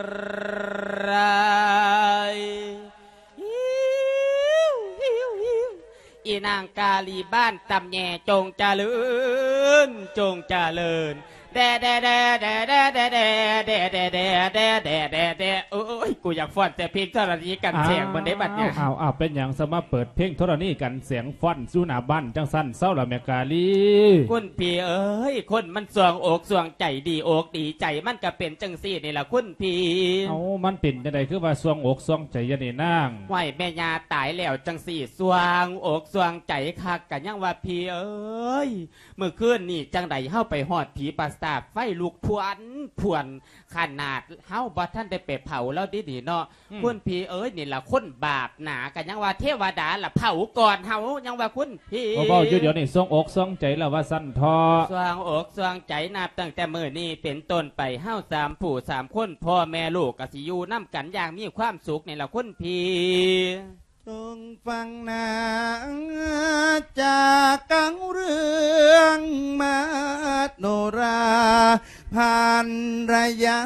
ລ. ອີນາງກາລີບ້ານຕຳແຍ ຈົ່ງຈະເລີນ ຈົ່ງຈະເລີນ ແດ ແດ ແດ ໂອ້ຍ ກູຢາກຟ້ອນແຕ່ເພງທໍລະນີກັນແສງມັນເດ້ບັດນີ້. ອ້າວ ເປັນຫຍັງສະມາເປີດເພງທໍລະນີກັນແສງ ຟ້ອນຢູ່ໜ້າບ້ານຈັ່ງຊັ້ນ ເຊົາລະແມ່ກາລີ. ຄຸນພີ່ເອີຍ ຄົນມັນຊ່ວງອົກຊ່ວງໃຈ ດີອົກດີໃຈ ມັນກະເປັນຈັ່ງຊີ້ນີ້ລະຄຸນພີ່. ເອົ້າ ມັນເປັນຈັ່ງໃດຄືວ່າຊ່ວງອົກຊ່ວງໃຈຢູ່ນີ້ນາງ? ຫ້ວຍ ແມ່ຍ່າຕາຍແລ້ວຈັ່ງຊີ້ ຊ່ວງອົກຊ່ວງໃຈຄັກ ກະຍັງວ່າພີ່ເອີຍ ມື້ຄືນນີ້ຈັ່ງໃດເຮົາໄປຮອດຜີປາສາດ ໄຟລຸກພວນພວນ ຂະໜາດເຮົາບໍ່ທັນໄດ້ໄປເຜົາລາວເດນີ້ເນາະ. ອືມ ຄຸນພີ່ເອີຍ ນີ້ລະຄົນບາບໜາ ກະຍັງວ່າເທວະດາລະເຜົາກ່ອນເຮົາ ຍັງວ່າຄຸນພີ່. ເວົ້າຢູ່ດຽວນີ້ ຊ່ວງອົກຊ່ວງໃຈລະວ່າຊັ້ນເຖາະ. ຊ່ວງອົກຊ່ວງໃຈ ນັບຕັ້ງແຕ່ມື້ນີ້ເປັນຕົ້ນໄປ ເຮົາສາມຜູ້ສາມຄົນ ພໍ່ແມ່ລູກກະຊິຢູ່ນຳກັນຢ່າງມີຄວາມສຸກນີ້ລະຄຸນພີ່. ຈົ່ງຟັງນາ ຈາກກັງເລື່ອງມະໂນລາ ພັນລະຍາ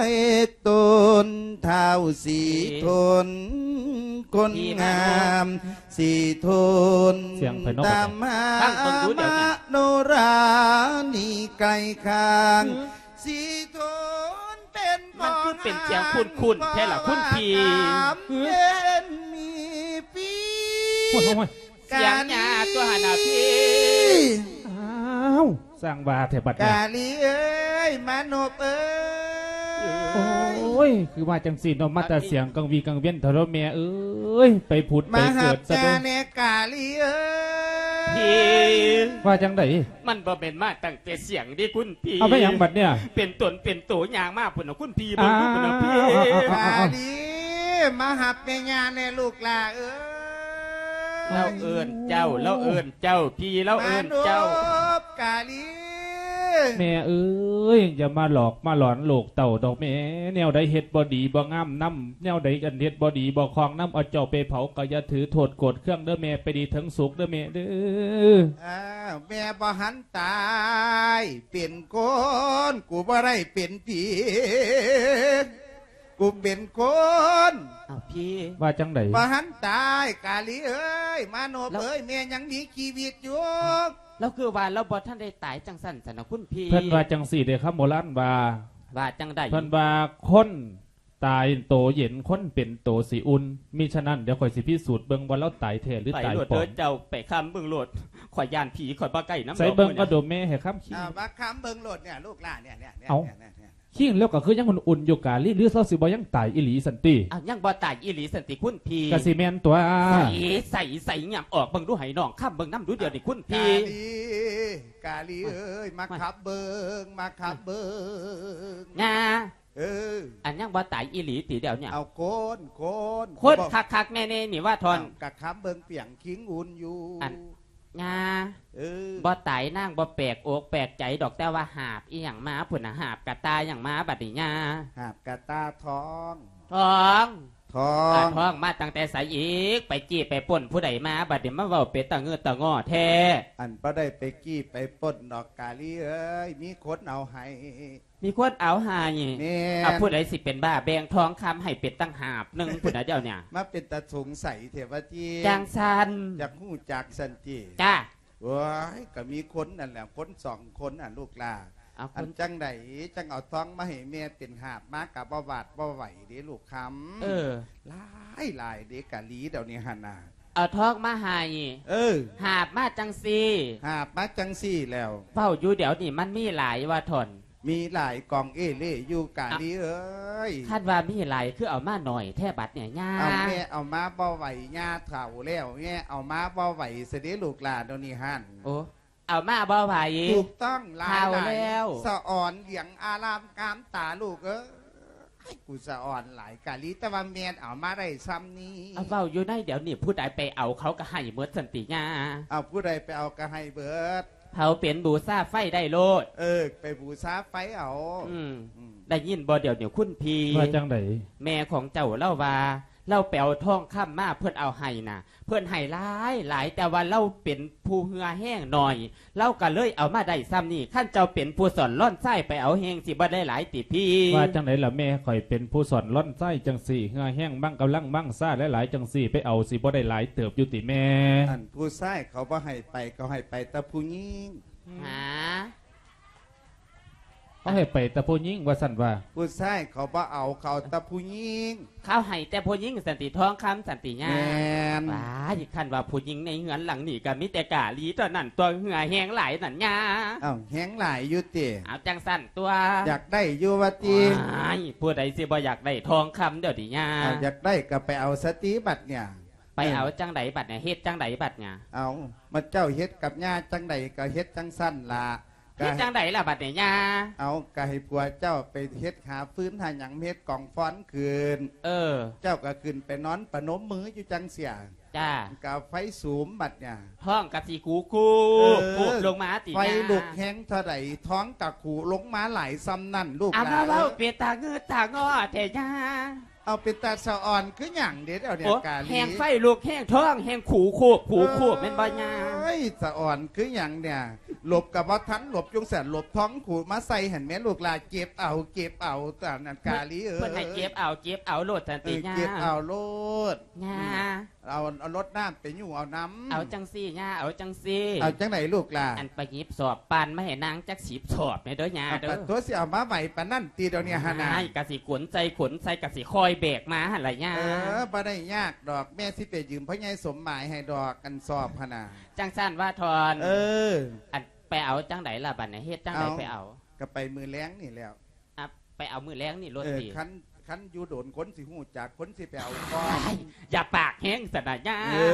ເອກໂຕນ ທ້າວສີທົນ ຄົນງາມສີທົນ ຕາມຫາມະໂນລານີ້ໄກຄາງ ສີທົນເປັນ ມັນຄືເປັນສຽງຄຸ້ນໆແທ້ລະຄຸນພີ່. ເປັນມີປີ ໂອ້ຍ ສຽງຍ່າຕົວຫັ້ນນະພີ່. ອ້າວ ສ້າງວ່າແທ້ບັດນີ້ ກາລີເອີຍ ມານົບເອີຍ. ໂອ້ຍ ຄືວ່າຈັ່ງຊີ້ເນາະ ມາແຕ່ສຽງກັງວີກັງວຽນເຖົ້າແມ່ເອີຍ ໄປຜຸດໄປເກີດຊະເບິ່ງ ມາຮັບແດ່ກາລີເອີຍ. ວ່າຈັ່ງໃດ? ມັນບໍ່ແມ່ນມາຕັ້ງແຕ່ສຽງເດ້ຄຸນພີ່. ເອົາໄປຫຍັງບັດເນີ້ຍ? ເປັນຕົນເປັນໂຕຍ່າງມາພຸ້ນນະຄຸນພີ່ ເບິ່ງດູພຸ້ນນະພີ່. ກາລີ ມາຮັບແມ່ຍ່າແດ່ລູກຫຼ້າເອີຍ. ລາວເອີ້ນເຈົ້າ ລາວເອີ້ນເຈົ້າ ພີ່ລາວເອີ້ນເຈົ້າ. ມານົບກາລີ. ແມ່ເອີຍ ຢ່າມາຫຼອກມາຫຼອນລູກເຕົ້າດອກແມ່. ແນວໃດເຮັດບໍ່ດີບໍ່ງາມນຳ ແນວໃດອັນເຮັດບໍ່ດີບໍ່ຄອງນຳ ເອົາເຈົ້າໄປເຜົາກໍຢ່າຖືໂທດໂກດເຄືອງເດີແມ່ ໄປດີເຖິງສຸກເດີແມ່ເດີ. ອ້າວ ແມ່ບໍ່ຫັນຕາຍ ເປັນຄົນ ກູບໍ່ໄດ້ເປັນຜີ ກູເປັນຄົນ. ອ້າວ ພີ່ ວ່າຈັ່ງໃດ? ບໍ່ຫັນຕາຍ ກາລີເອີຍ ມາໂນບເອີຍ ແມ່ຍັງມີຊີວິດຢູ່. ລາວຄືວ່າລາວບໍ່ທັນໄດ້ຕາຍຈັ່ງຊັ້ນຊັ້ນນະຄຸນພີ່. ເພິ່ນວ່າຈັ່ງຊີ້ເດ້ ຄຳໂບລານວ່າ. ວ່າຈັ່ງໃດ? ເພິ່ນວ່າຄົນ ຕາຍໂຕເຢັນ ຄົນເປັນໂຕຊິອຸ່ນ. ມິສະນັ້ນ ດຽວຂ້ອຍຊິພິສູດເບິ່ງວ່າລາວຕາຍແທ້ຫຼືຕາຍປອມ. ໄປໂລດເດີເຈົ້າ ໄປຄຳເບິ່ງໂລດ. ຂ້ອຍຢ້ານຜີ ຂ້ອຍບໍ່ໃກ້ນຳດອກ. ໃສ່ເບິ່ງກໍດູແມ່ ໃຫ້ຄຳຄີງ. ອ່າ ມາຄຳເບິ່ງໂລດເນຍ ລູກຫຼານເນຍ ເນຍ ເນຍ. ເອົ້າ ເນຍ ເນຍ ເນຍ. ຄີງແລ້ວກໍຄືຍັງອຸ່ນໆຢູ່ກາລີ ຫຼືເຮົາຊິບໍ່ຍັງຕາຍອີ່ຫຼີຊັ້ນຕິ? ອ້າວ ຍັງບໍ່ຕາຍອີ່ຫຼີຊັ້ນຕິຄຸນພີ່? ກະຊິແມ່ນຕົວະ. ໃສ ໃສ ໃສ ຫຍັບອອກເບິ່ງດູ ໃຫ້ນ້ອງຄຳເບິ່ງນຳດູດຽວນີ້ຄຸນພີ່. ກາລີ ກາລີເອີຍ ມາຄຳເບິ່ງ ມາຄຳເບິ່ງ. ຫຍ້າ ເອີ ອັນຍັງບໍ່ຕາຍອີ່ຫຼີຕິດຽວນີ້? ເອົາຄົນ ຄົນ ຄົນຄັກໆແນ່ໆນີ້ວ່າທ່ອນ. ເອົ້າ ກະຄຳເບິ່ງປຽງຄີງອຸ່ນຢູ່. ອັນ ຫຍ້າ ເອີ ບໍ່ຕາຍນາງບໍ່ແປກອົກແປກໃຈດອກ ແຕ່ວ່າຫາບອີ່ຫຍັງມາພຸ້ນນະ ຫາບກະຕ່າຫຍັງມາບັດນີ້ຫຍ້າ? ຫາບກະຕ່າທອງ ທອງ ທອງ ອາ ທອງມາຕັ້ງແຕ່ໃສອີກ? ໄປຈີ້ໄປປຸ້ນຜູ້ໃດມາບັດນີ້ ມາເວົ້າເປັນຕາງືດຕາງໍ້ແທ້? ອັນບໍ່ໄດ້ໄປຈີ້ໄປປຸ້ນດອກກາລີເອີຍ ມີຄົນເອົາໃຫ້. ມີຄົນເອົາໃຫ້. ແມ່ນ. ອາ ຜູ້ໃດຊິເປັນບ້າແບ່ງທອງຄຳໃຫ້ເປັນຕັ້ງຫາບໜຶ່ງພຸ້ນນະດຽວນີ້. ມາເປັນຕາສົງໄສແທ້ວ່າຕິ? ຈັ່ງຊັ້ນ. ຢາກຮູ້ຈັກຊັ້ນຕິ? ຈ້າ. ໂອ້ຍ ກໍມີຄົນນັ້ນແຫຼະ ຄົນສອງຄົນຫັ້ນລູກຫຼ້າ. ເອົາ ອັນຈັ່ງໃດຈັ່ງເອົາທອງມາໃຫ້ແມ່ເປັນຫາບມາ ກໍບໍ່ຫວາດບໍ່ໄຫວເດ້ລູກຄຳ. ເອີ ຫຼາຍໆເດ້ກະລີດຽວນີ້ຫັ້ນນະ. ເອົາທອງມາໃຫ້. ເອີ ຫາບມາຈັ່ງຊີ້. ຫາບມາຈັ່ງຊີ້ແລ້ວ. ເວົ້າຢູ່ດຽວນີ້ມັນມີຫຼາຍວ່າທ່ອນ. ມີຫຼາຍກອງເອເລ່ຢູ່ກາລີເອີຍ. ຄັນວ່າມີຫຼາຍຄືເອົາມາໜ້ອຍແທ້ບັດນີ້ຫຍ້າ? ເອົາ ແມ່ເອົາມາບໍ່ໄຫວ ຍ່າເຖົ້າແລ້ວ ແມ່ເອົາມາບໍ່ໄຫວຊະເດ້ລູກຫຼ້າດຽວນີ້ຫັ້ນ. ໂອ້ ເອົາມາບໍ່ໄຫວ. ຖືກຕ້ອງ ຫຼາຍ ເຖົ້າແລ້ວ. ສະອອນຫຼຽງອາລາມງາມຕາລູກເອີຍ. ໃຫ້ກູສະອອນຫຼາຍກາລີ ແຕ່ວ່າແມ່ນເອົາມາໄດ້ຊ່ຳນີ້. ເອົາ ເວົ້າຢູ່ໃນດຽວນີ້ ຜູ້ໃດໄປເອົາເຂົາກໍໃຫ້ໝົດຊັ້ນຕິຫຍ້າ? ເອົາ ຜູ້ໃດໄປເອົາກໍໃຫ້ເບິດ. ເຜົາເປັນບູຊາໄຟໄດ້ໂລດ. ເອີ ໄປບູຊາໄຟເອົາ. ອືມ ອືມ ໄດ້ຍິນບໍ່ດຽວນີ້ຄຸນພີ່? ວ່າຈັ່ງໃດ? ແມ່ຂອງເຈົ້າລາວວ່າ ລາວໄປເອົາທອງຄຳມາ ເພິ່ນເອົາໃຫ້ນະ ເພິ່ນໃຫ້ຫຼາຍໆ ແຕ່ວ່າລາວເປັນຜູ້ເຫື່ອແຮງໜ້ອຍ ລາວກໍເລີຍເອົາມາໄດ້ຊ່ຳນີ້. ຄັນເຈົ້າເປັນຜູ້ສອນລອນຊາຍໄປເອົາແຮງຊິບໍ່ໄດ້ຫຼາຍຕິພີ່? ວ່າຈັ່ງໃດລະແມ່? ຂ້ອຍເປັນຜູ້ສອນລອນຊາຍຈັ່ງຊີ້ ເຫື່ອແຮງມັງກຳລັງມັງຊາຫຼາຍໆຈັ່ງຊີ້ ໄປເອົາຊິບໍ່ໄດ້ຫຼາຍເຕີບຢູ່ຕິແມ່? ອັນຜູ້ຊາຍເຂົາບໍ່ໃຫ້ໄປ ເຂົາໃຫ້ໄປແຕ່ຜູ້ຍິງ. ຫາ? ເຂົາໃຫ້ໄປແຕ່ຜູ້ຍິງວ່າຊັ້ນວ່າ. ຜູ້ຊາຍເຂົາບໍ່ເອົາ ເຂົາເອົາແຕ່ຜູ້ຍິງ. ເຂົາໃຫ້ແຕ່ຜູ້ຍິງຊັ້ນຕິ ທອງຄຳຊັ້ນຕິຫຍ້າ? ແມ່ນ. ວ້າຍ ຄັນວ່າຜູ້ຍິງໃນເຮືອນຫຼັງນີ້ກໍມີແຕ່ກາລີເທົ່ານັ້ນຕົວະ ເຫື່ອແຮງຫຼາຍນັ້ນຫຍ້າ. ເອົ້າ ແຮງຫຼາຍຢູ່ຕິ? ເອົາ ຈັ່ງຊັ້ນຕົວະ ຢາກໄດ້ຢູ່ວ່າຕິ? ວ້າຍ ຜູ້ໃດຊິບໍ່ຢາກໄດ້ທອງຄຳດຽວນີ້ຫຍ້າ? ເອົາ ຢາກໄດ້ກໍໄປເອົາສະຕິບັດນີ້. ໄປເອົາຈັ່ງໃດບັດນີ້? ເຮັດຈັ່ງໃດບັດນີ້? ເອົາ ມາເຈົ້າເຮັດກັບຍ່າຈັ່ງໃດກໍເຮັດຈັ່ງຊັ້ນລະ. ເຮັດຈັ່ງໃດລະບັດນີ້ຍ່າ? ເອົາ ກໍໃຫ້ຜົວເຈົ້າໄປເຮັດຫາຟືນຫາຫຍັງ ເຮັດກອງຟອນຂຶ້ນ. ເອີ ເຈົ້າກໍຂຶ້ນໄປນອນປະນົມມືຢູ່ຈັ່ງຊີ້. ຈ້າ. ກໍເອົາໄຟສຸມບັດນີ້ ທ້ອງກໍຊິກູກູ ເອີ ປູບລົງມາຕິຫຍ້າ? ໄຟລຸກແຮງເທົ່າໃດ ທ້ອງກໍກູລົງມາຫຼາຍຊ່ຳນັ້ນລູກຫຼ້າ. ເອົາ ມາເວົ້າເປັນຕາງືດຕາງໍ້ແທ້ຫຍ້າ. ເອົາ ເປັນຕາສະອອນຄືຫຍັງເດດຽວນີ້? ໂອ້ ກາລີ ແຮງໄຟລຸກແຮງທ້ອງແຮງຂູໂຄບຂູໂຄບ ເອີ ແມ່ນບໍ່ຍ່າ? ເອີຍ ສະອອນຄືຫຍັງນີ້? ຫຼົບກໍບໍ່ທັນຫຼົບ ຈັ່ງຊັ້ນຫຼົບທ້ອງຂູມາໃສ່ຫັ້ນແມ່ລູກຫຼ້າ. ເຈັບເອົາ ເຈັບເອົາ ຕານັ້ນກາລີເອີຍ. ເພິ່ນໃຫ້ເຈັບເອົາ ເຈັບເອົາໂລດຊັ້ນຕິຫຍ້າ? ເອີ ເຈັບເອົາໂລດຫຍ້າ. ອືມ ເອົາ ເອົາລົດນ້ຳໄປຍູ້ເອົານ້ຳ. ເອົາຈັ່ງຊີ້ຫຍ້າ ເອົາຈັ່ງຊີ້. ເອົາຈັ່ງໃດລູກຫຼ້າ? ອັນໄປຫຍິບສອບປານມາໃຫ້ນາງຈັກສິບສອບແດ່ເດີຫຍ້າເດີ. ປາໂທ້ ຊິເອົາມາໄຫວປານນັ້ນຕິດຽວນີ້ຫັ້ນນະ? ອ້າຍ ກະຊິຂົນໃສ່ຂົນໃສ່ ກະຊິຄ່ອຍແບກມາຫັ້ນລະຫຍ້າ. ເອີ ບໍ່ໄດ້ຍາກດອກ ແມ່ຊິໄປຢືມພໍ່ໃຫຍ່ສົມໝາຍໃຫ້ດອກ ອັນສອບຫັ້ນນະ. ຈັ່ງຊັ້ນວ່າທ່ອນ. ເອີ ອັນໄປເອົາຈັ່ງໃດລະບັດນີ້? ເຮັດຈັ່ງໃດໄປເອົາ? ກະໄປມື້ແລງນີ້ແລ້ວ. ອາ ໄປເອົາມື້ແລງນີ້ໂລດຕິ. ເອີ ຄັນ ຄັນຢູ່ດົນຄົນຊິຮູ້ຈັກ ຄົນຊິໄປເອົາກ່ອນ. ຢ່າປາກແຮງຊັ້ນນະຫຍ້າ. ເອີ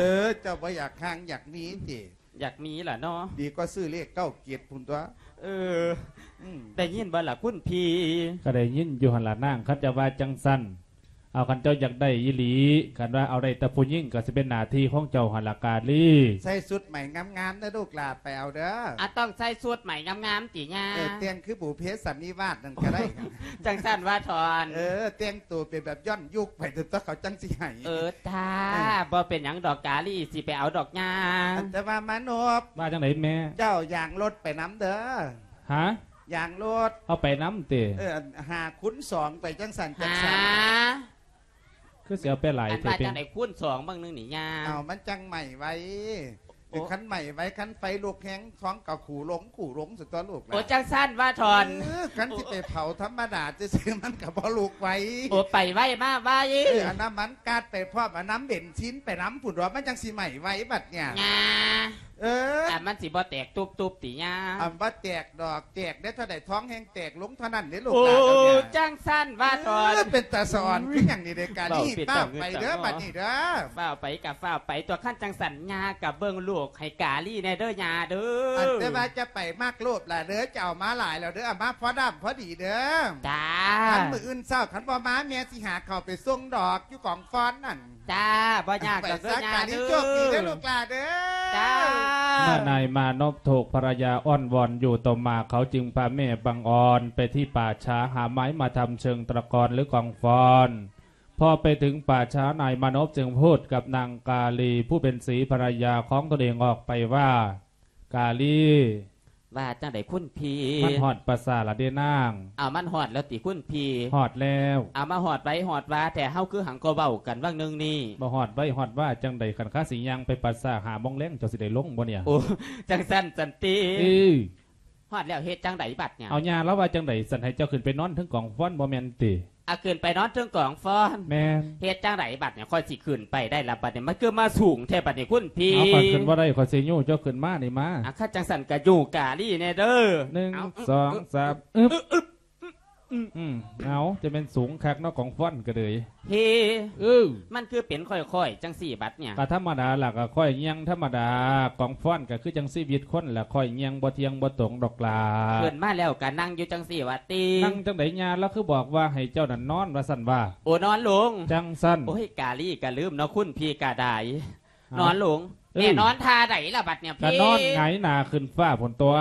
ເຈົ້າບໍ່ຢາກຮ່າງຢາກມີຕິ? ຢາກມີລະເນາະ. ດີກວ່າຊື້ເລກເກົ້າເຈັດພຸ້ນຕົວະ. ເອີ ອືມ ໄດ້ຍິນບໍ່ລະຄຸນພີ່? ກໍໄດ້ຍິນຢູ່ຫັ້ນລະນາງ. ຄັນຈະວ່າຈັ່ງຊັ້ນ ເອົາ ຄັນເຈົ້າຢາກໄດ້ອີ່ຫຼີ ຄັນວ່າເອົາໄດ້ແຕ່ຜູ້ຍິງ ກໍຊິເປັນໜ້າທີ່ຂອງເຈົ້າຫັ້ນລະກາລີ. ໃສ່ຊຸດໃໝງາມໆເດີລູກຫຼ້າ ໄປເອົາເດີ. ອາ ຕ້ອງໃສ່ຊຸດໃໝງາມໆຕິຫຍ້າ? ເອີ ແຕ່ງຄືບຸບເພສັນນິວາດນັ້ນກໍໄດ້. ຈັ່ງຊັ້ນວ່າທ່ອນ. ເອີ ແຕ່ງໂຕເປັນແບບຍ້ອນຍຸກໄປ ຕົວະ ເຂົາຈັ່ງຊິໃຫ້. ເອີ ຈ້າ ເອີ ບໍ່ເປັນຫຍັງດອກ ກາລີຊິໄປເອົາດອກຫຍ້າ. ອັນ ແຕ່ວ່າມານົບ. ວ່າຈັ່ງໃດແມ່? ເຈົ້າຢາງລົດໄປນຳເດີ. ຫາ? ຢາງລົດ ເອົາໄປນຳຕິ? ເອີ ອັນ ຫ້າຄູນສອງໄປຈັ່ງຊັ້ນ ຫາ? ຈັ່ງຊັ້ນ ຄືຊິເອົາໄປຫຼາຍ ອັນ ແທ້ ວ່າຈັ່ງໃດຄູນສອງເບິ່ງໜຶ່ງນີ້ຫຍ້າ? ເອົາ ມັນຈັ່ງໄໝໄວ. ໂອ້ ຄັນໄໝ້ໄວ ຄັນໄຟລຸກແຮງ ທ້ອງກໍຂູລົງ ຂູລົງ ຊັ້ນຕົວະລູກຫຼານ. ໂອ້ ຈັ່ງຊັ້ນວ່າທອນ. ເອີ ຄັນຊິໄປເຜົາທຳມະດາຊື່ໆ ມັນກໍບໍ່ລຸກໄວ. ໂອ້ ໄປໄວມາໄວ. ເອີ ເອົານ້ຳມັນກາດໄປພ້ອມ ເອົານ້ຳເບັນຊິນໄປນຳພຸ້ນຕົວະ ມັນຈັ່ງຊິໄໝ້ໄວບັດນີ້. ເອີ ອັນມັນຊິບໍ່ແຕກຕຸບໆຕິຍາ? ອັນບໍ່ແຕກດອກ ແຕກໄດ້ເທົ່າໃດ ທ້ອງແຮງແຕກລົງເທົ່ານັ້ນເດ້ລູກຫຼານ. ໂອ້ ຈັ່ງຊັ້ນວ່າທອນ. ເອີ ເປັນຕາສະອອນຄືຫຍັງນີ້ເດ້ ກາລີ້. ຟ້າວໄປເດີບັດນີ້ເດີ. ຟ້າວໄປກໍຟ້າວໄປຕົວະ ຄັນຈັ່ງຊັ້ນຍາກໍເບິ່ງລູກໃຫ້ກາລີ້ແດ່ເດີຍາເດີ. ອັນແຕ່ວ່າຈະໄປມັກໂລບຫຼາຍເດີ ຈະເອົາມາຫຼາຍແລ້ວເດີ ເອົາມາພໍດຳພໍດີເດີ. ຈ້າ. ຄັນມື້ອື່ນເຊົ້າ ຄັນບໍ່ມາ ແມ່ຊິຫາເຂົ້າໄປສົ່ງດອກ ຢູ່ກອງຟອນນັ້ນ. ຈ້າ ບໍ່ຍາກດອກເດີຍາເດີ. ໂຊກດີເດີລູກຫຼານເດີ. ຈ້າ. ເມື່ອນາຍມານົບຖືກພັນລະຍາອ້ອນວອນຢູ່ຕໍ່ມາ ເຂົາຈຶ່ງພາແມ່ບັງອອນໄປທີ່ປ່າຊ້າ ຫາໄມ້ມາທຳເຊີງຕະກອນ ຫຼື ກອງຟອນ. ພໍໄປເຖິງປ່າຊ້າ ນາຍມານົບຈຶ່ງພູດກັບນາງກາລີ ຜູ້ເປັນສີພັນລະຍາຂອງຕົນເອງອອກໄປວ່າ ກາລີ ວ່າຈັ່ງໃດຄຸນພີ່? ມັນຮອດປ່າຊ້າລະເດນາງ. ເອົາ ມັນຮອດແລ້ວຕິຄຸນພີ່? ຮອດແລ້ວ. ເອົາ ມາຮອດໄວຮອດວາແທ້ ເຮົາຄືຫາກໍເວົ້າກັນຫວ່າງໜຶ່ງນີ້. ບໍ່ຮອດໄວຮອດວາຈັ່ງໃດ ຄັນຂ້າຊິຍ່າງໄປປ່າຊ້າຫ້າໂມງແລງ ເຈົ້າຊິໄດ້ລົງບໍ່ເນຍ? ໂອ້ ຈັ່ງຊັ້ນຊັ້ນຕິ. ເອີ ຮອດແລ້ວເຮັດຈັ່ງໃດບັດເນຍ? ເອົາ ຍ່າລາວວ່າຈັ່ງໃດ ຊັ້ນໃຫ້ເຈົ້າຂຶ້ນໄປນອນເທິງກອງຟອນບໍ່ແມ່ນຕິ? ອາ ຂຶ້ນໄປນອນເທິງກອງຟອນ. ແມ່ນ. ເຮັດຈັ່ງໃດບັດນີ້ ຂ້ອຍຊິຂຶ້ນໄປໄດ້ລະບັດນີ້ ມັນຄືມາສູງແທ້ບັດນີ້ຄຸນພີ່. ເອົາ ຂ້ອຍຂຶ້ນບໍ່ໄດ້ ຂ້ອຍຊິຍູ້ເຈົ້າຂຶ້ນມານີ້ມາ. ອາ ຄັນຈັ່ງຊັ້ນກໍຍູ້ກາລີ້ແດ່ເດີ. ໜຶ່ງ ເອົາ ສອງ ສາມ ອຶບ ອຶບ ອືມ ເອົາ ຈະແມ່ນສູງຄັກເນາະ ກອງຟອນກໍເລີຍ. ເຮ ເອີ ມັນຄືເປັນຂ້ອຍໆຈັ່ງຊີ້ບັດນີ້? ກໍທຳມະດາລະ ກໍຂ້ອຍຍ່າງທຳມະດາ ກອງຟອນກໍຄືຈັ່ງຊີວິດຄົນລະ ຂ້ອຍຍ່າງບໍ່ທ່ຽງບໍ່ຕົງດອກລະ. ຂຶ້ນມາແລ້ວກໍນັ່ງຢູ່ຈັ່ງຊີ້ວ່າຕິ? ນັ່ງຈັ່ງໃດຍາ ລາວຄືບອກວ່າໃຫ້ເຈົ້ານັ້ນນອນວ່າຊັ້ນວ່າ. ໂອ້ ນອນລົງ. ຈັ່ງຊັ້ນ. ໂອ້ຍ ກາລີ້ກໍລືມເນາະ ຄຸນພີ່ກໍໄດ້. ເອົ້າ ນອນລົງ. ເອີ ແມ່ນອນທ່າໃດລະບັດນີ້? ກໍນອນຫງາຍໜ້າຂຶ້ນຟ້າພຸ້ນຕົວະ.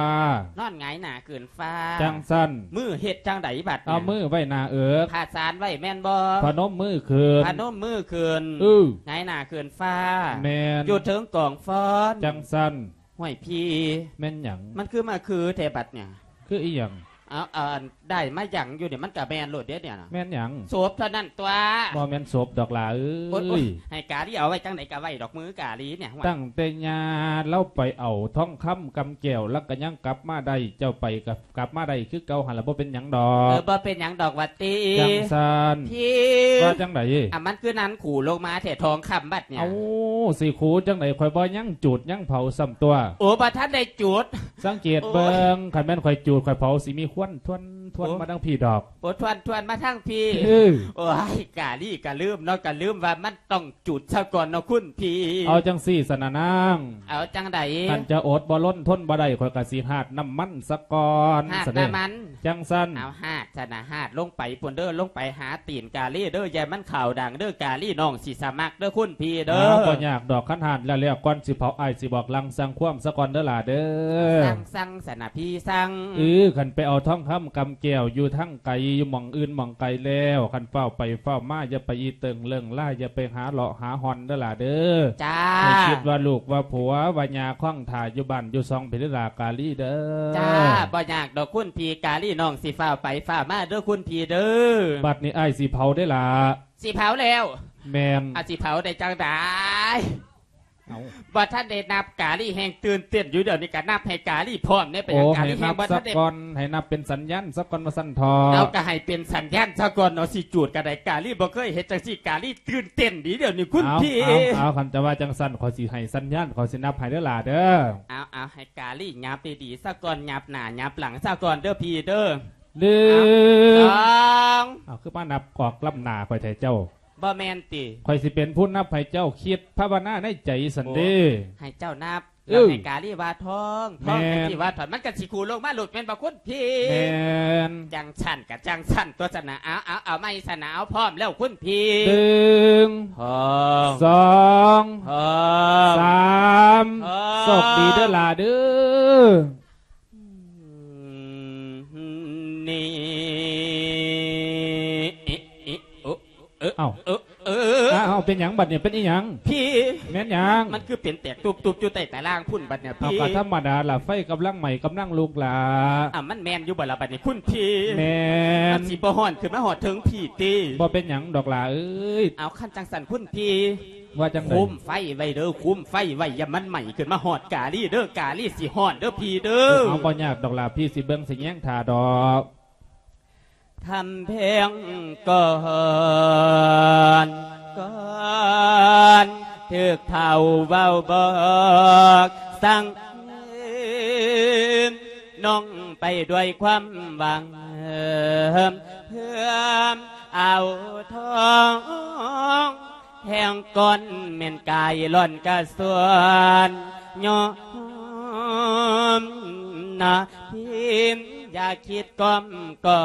ນອນຫງາຍໜ້າຂຶ້ນຟ້າ. ຈັ່ງຊັ້ນ. ມືເຮັດຈັ່ງໃດບັດນີ້? ເອົາມືໄວ້ໜ້າເອິກ. ພະສານໄວ້ແມ່ນບໍ່? ພະນົມມືຂຶ້ນ. ພະນົມມືຂຶ້ນ. ເອີ ຫງາຍໜ້າຂຶ້ນຟ້າ. ແມ່ນ. ຢູ່ເທິງກອງຟອນ. ຈັ່ງຊັ້ນ. ຫ້ວຍພີ່ ແມ່ນຫຍັງ? ມັນຄືມາຄືແທ້ບັດນີ້? ຄືອີຫຍັງ? ເອົາ ອັນ ໄດ້ມາຫຍັງຢູ່ນີ້ ມັນກະແມ່ນໂລດເດ້ນີ້ນະ. ແມ່ນຫຍັງ? ສົບເທົ່ານັ້ນຕົວະ. ບໍ່ແມ່ນສົບດອກຫຼ້າເອີຍ. ໂອ້ຍ ໃຫ້ກາລີ້ເອົາໄວ້ຈັ່ງໃດກະໄວ້ດອກ ມືກາລີ້ນີ້. ຕັ້ງແຕ່ຍ່າລາວໄປເອົາທອງຄຳກຳແກ້ວ ລາວກະຍັງກັບມາໄດ້ ເຈົ້າໄປກະກັບມາໄດ້ຄືເກົ່າຫັ້ນລະ ບໍ່ເປັນຫຍັງດອກ. ເອີ ບໍ່ເປັນຫຍັງດອກວ່າຕິ? ຈັ່ງຊັ້ນ. ພີ່ ວ່າຈັ່ງໃດ? ອາ ມັນຄືນັ້ນ ຂູລົງມາແທ້ທອງຄຳບັດນີ້. ເອົ້າ ຊິຂູຈັ່ງໃດ? ຂ້ອຍບໍ່ຍັງຈູດຍັງເຜົາຊ້ຳຕົວະ. ໂອ້ ບໍ່ທັນໄດ້ຈູດ. ສັງເກດເບິ່ງ ໂອ້ຍ ຄັນແມ່ນຂ້ອຍຈູດຂ້ອຍເຜົາ ຊິມີຄວັນທວນໆ ໂອ້ ມາທາງພີ້ດອກ. ໂອ້ ທວນໆ ມາທາງພີ້. ເອີ ໂອ້ຍ ກາລີ້ກະລືມເນາະ ກະລືມວ່າມັນຕ້ອງຈູດຊະກ່ອນເນາະຄຸນພີ່. ເອົາຈັ່ງຊີ້ຊັ້ນນະນາງ. ເອົາຈັ່ງໃດ? ຄັນຈະອົດບໍ່ທົນ ທົນບໍ່ໄດ້ ຂ້ອຍກະຊິຫາດນ້ຳມັນຊະກ່ອນ. ຫາດນ້ຳມັນ. ຈັ່ງຊັ້ນ. ເອົາຫາດຊັ້ນນະ ຫາດລົງໄປພຸ້ນເດີ ລົງໄປຫາຕີນກາລີ້ເດີ ຢ່າມັນຂາວດັງເດີ ກາລີ້ນ້ອງຊິສະໝັກເດີຄຸນພີ່ເດີ. ເອົາ ບໍ່ຍາກດອກ ຄັນຫາດແລ້ວໆ ກ່ອນຊິເຜົາ ອ້າຍຊິບອກລາງສັ່ງຄວາມຊະກ່ອນເດີຫຼ້າເດີ. ສັ່ງ ສັ່ງຊັ້ນນະພີ່ ສັ່ງ. ເອີ ຄັນໄປເອົາທອງຄຳກຳແກ້ວຢູ່ທາງໄກ ຢູ່ໝ່ອງອື່ນໝ່ອງໄກແລ້ວ ຄັນຟ້າວໄປຟ້າວມາ ຢ່າໄປອີ່ເຕີງເລິ້ງລາຍ ຢ່າໄປຫາເລາະຫາຮ່ອນເດີຫຼ້າເດີ. ຈ້າ. ໃຫ້ຄິດວ່າລູກວ່າຜົວວ່າຍ່າຄອງຖ້າຢູ່ບ້ານຢູ່ຊ່ອງພີ້ເດີຫຼ້າກາລີ້ເດີ. ຈ້າ ບໍ່ຍາກດອກຄຸນພີ່ ກາລີ້ນ້ອງຊິຟ້າວໄປຟ້າວມາເດີຄຸນພີ່ເດີ. ບັດນີ້ອ້າຍຊິເຜົາເດ້ຫຼ້າ. ຊິເຜົາແລ້ວ? ແມ່ນ. ອາ ຊິເຜົາໄດ້ຈັ່ງໃດ? ເອົ້າ ບໍ່ທັນໄດ້ນັບ ກາລີ້ແຮ່ງຕື່ນເຕັ້ນຢູ່ ດຽວນີ້ກະນັບໃຫ້ກາລີ້ພ້ອມແດ່. ເປັນຫຍັງກາລີ້ແຮ່ງບໍ່ທັນໄດ້? ໂອ້ ໃຫ້ນັບສະກ່ອນ ໃຫ້ນັບເປັນສັນຍານສະກ່ອນວ່າຊັ້ນເຖາະ. ເອົາ ກະໃຫ້ເປັນສັນຍານສະກ່ອນເນາະ ຊິຈູດກະໄດ້. ກາລີ້ບໍ່ເຄີຍເຮັດຈັ່ງຊີ້ ກາລີ້ຕື່ນເຕັ້ນດີ ດຽວນີ້ຄຸນພີ່. ເອົາ ເອົາ ຄັນຈະວ່າຈັ່ງຊັ້ນ ຂ້ອຍຊິໃຫ້ສັນຍານ ຂ້ອຍຊິນັບໃຫ້ເດີຫຼ້າເດີ. ເອົາ ເອົາ ໃຫ້ກາລີ້ຫຍັບດີໆສະກ່ອນ ຫຍັບໜ້າຫຍັບຫຼັງສະກ່ອນເດີພີ່ເດີ. ໜຶ່ງ ສອງ. ເອົາ ຄືມານັບອອກລ້ຳໜ້າຂ້ອຍແທ້ເຈົ້າ? ບໍ່ແມ່ນຕິ? ຂ້ອຍຊິເປັນຜູ້ນັບໃຫ້ເຈົ້າ ຄິດພາວະນາໃນໃຈຊັ້ນເດ້. ໂອ້ ໃຫ້ເຈົ້ານັບ ເອີ ແລ້ວໃຫ້ກາລີ້ວ່າທ້ອງ ແມ່ນ ທ້ອງຈັ່ງຊີ້ວ່າທ້ອງ ມັນກະຊິຂູລົງມາໂລດແມ່ນບໍ່ຄຸນພີ່? ແມ່ນ. ຈັ່ງຊັ້ນກະຈັ່ງຊັ້ນຕົວະຊັ້ນນະ. ເອົາ ເອົາ ເອົາໃໝ່ຊັ້ນນະ ເອົາ ພ້ອມແລ້ວຄຸນພີ່. ໜຶ່ງ ສອງ ສອງ ສາມ ສອງ. ໂຊກດີເດີຫຼ້າເດີ. ນີ້ ເອີ ເອົ້າ ເອີ ເອີ ອ້າວ ເປັນຫຍັງບັດນີ້ ເປັນອີ່ຫຍັງ? ພີ່ ແມ່ນຫຍັງ? ມັນຄືເປັນແຕກຕຸບໆຢູ່ໃຕ້ຕາລ່າງພຸ້ນບັດນີ້ ເອົ້າ ພີ່. ກໍທຳມະດາລະ ໄຟກຳລັງໄໝ້ກຳລັງລຸກລະ. ອາ ມັນແມ່ນຢູ່ບໍ່ລະບັດນີ້ຄຸນພີ່? ແມ່ນ. ມັນຊິບໍ່ຮ້ອນຂຶ້ນມາຮອດເທິງພີ້ຕິ? ບໍ່ເປັນຫຍັງດອກຫຼ້າເອີຍ. ເອົາ ຄັນຈັ່ງຊັ້ນຄຸນພີ່ ວ່າຈັ່ງໃດ? ຄຸມໄຟໄວ້ເດີ ຄຸມໄຟໄວ້ ຢ່າມັນໄໝ້ຂຶ້ນມາຮອດກາລີເດີ ກາລີຊິຮ້ອນເດີພີ່ເດີ. ເອີ ເອົາ ບໍ່ຍາກດອກຫຼ້າ ພີ່ຊິເບິ່ງຊິແຍງຖ້າດອກ. ທຳແພງກ່ອນ ກ່ອນ ຖືກເຖົ້າເວົ້າບອກສັ່ງ ນ້ອງໄປດ້ວຍຄວາມຫວັງ ເພື່ອເອົາທອງ ແທງກ່ອນແມ່ນກາຍລ້ອນກະຊວນ ຍອມນະພິມ ຢ່າຄິດກ້ອມກອ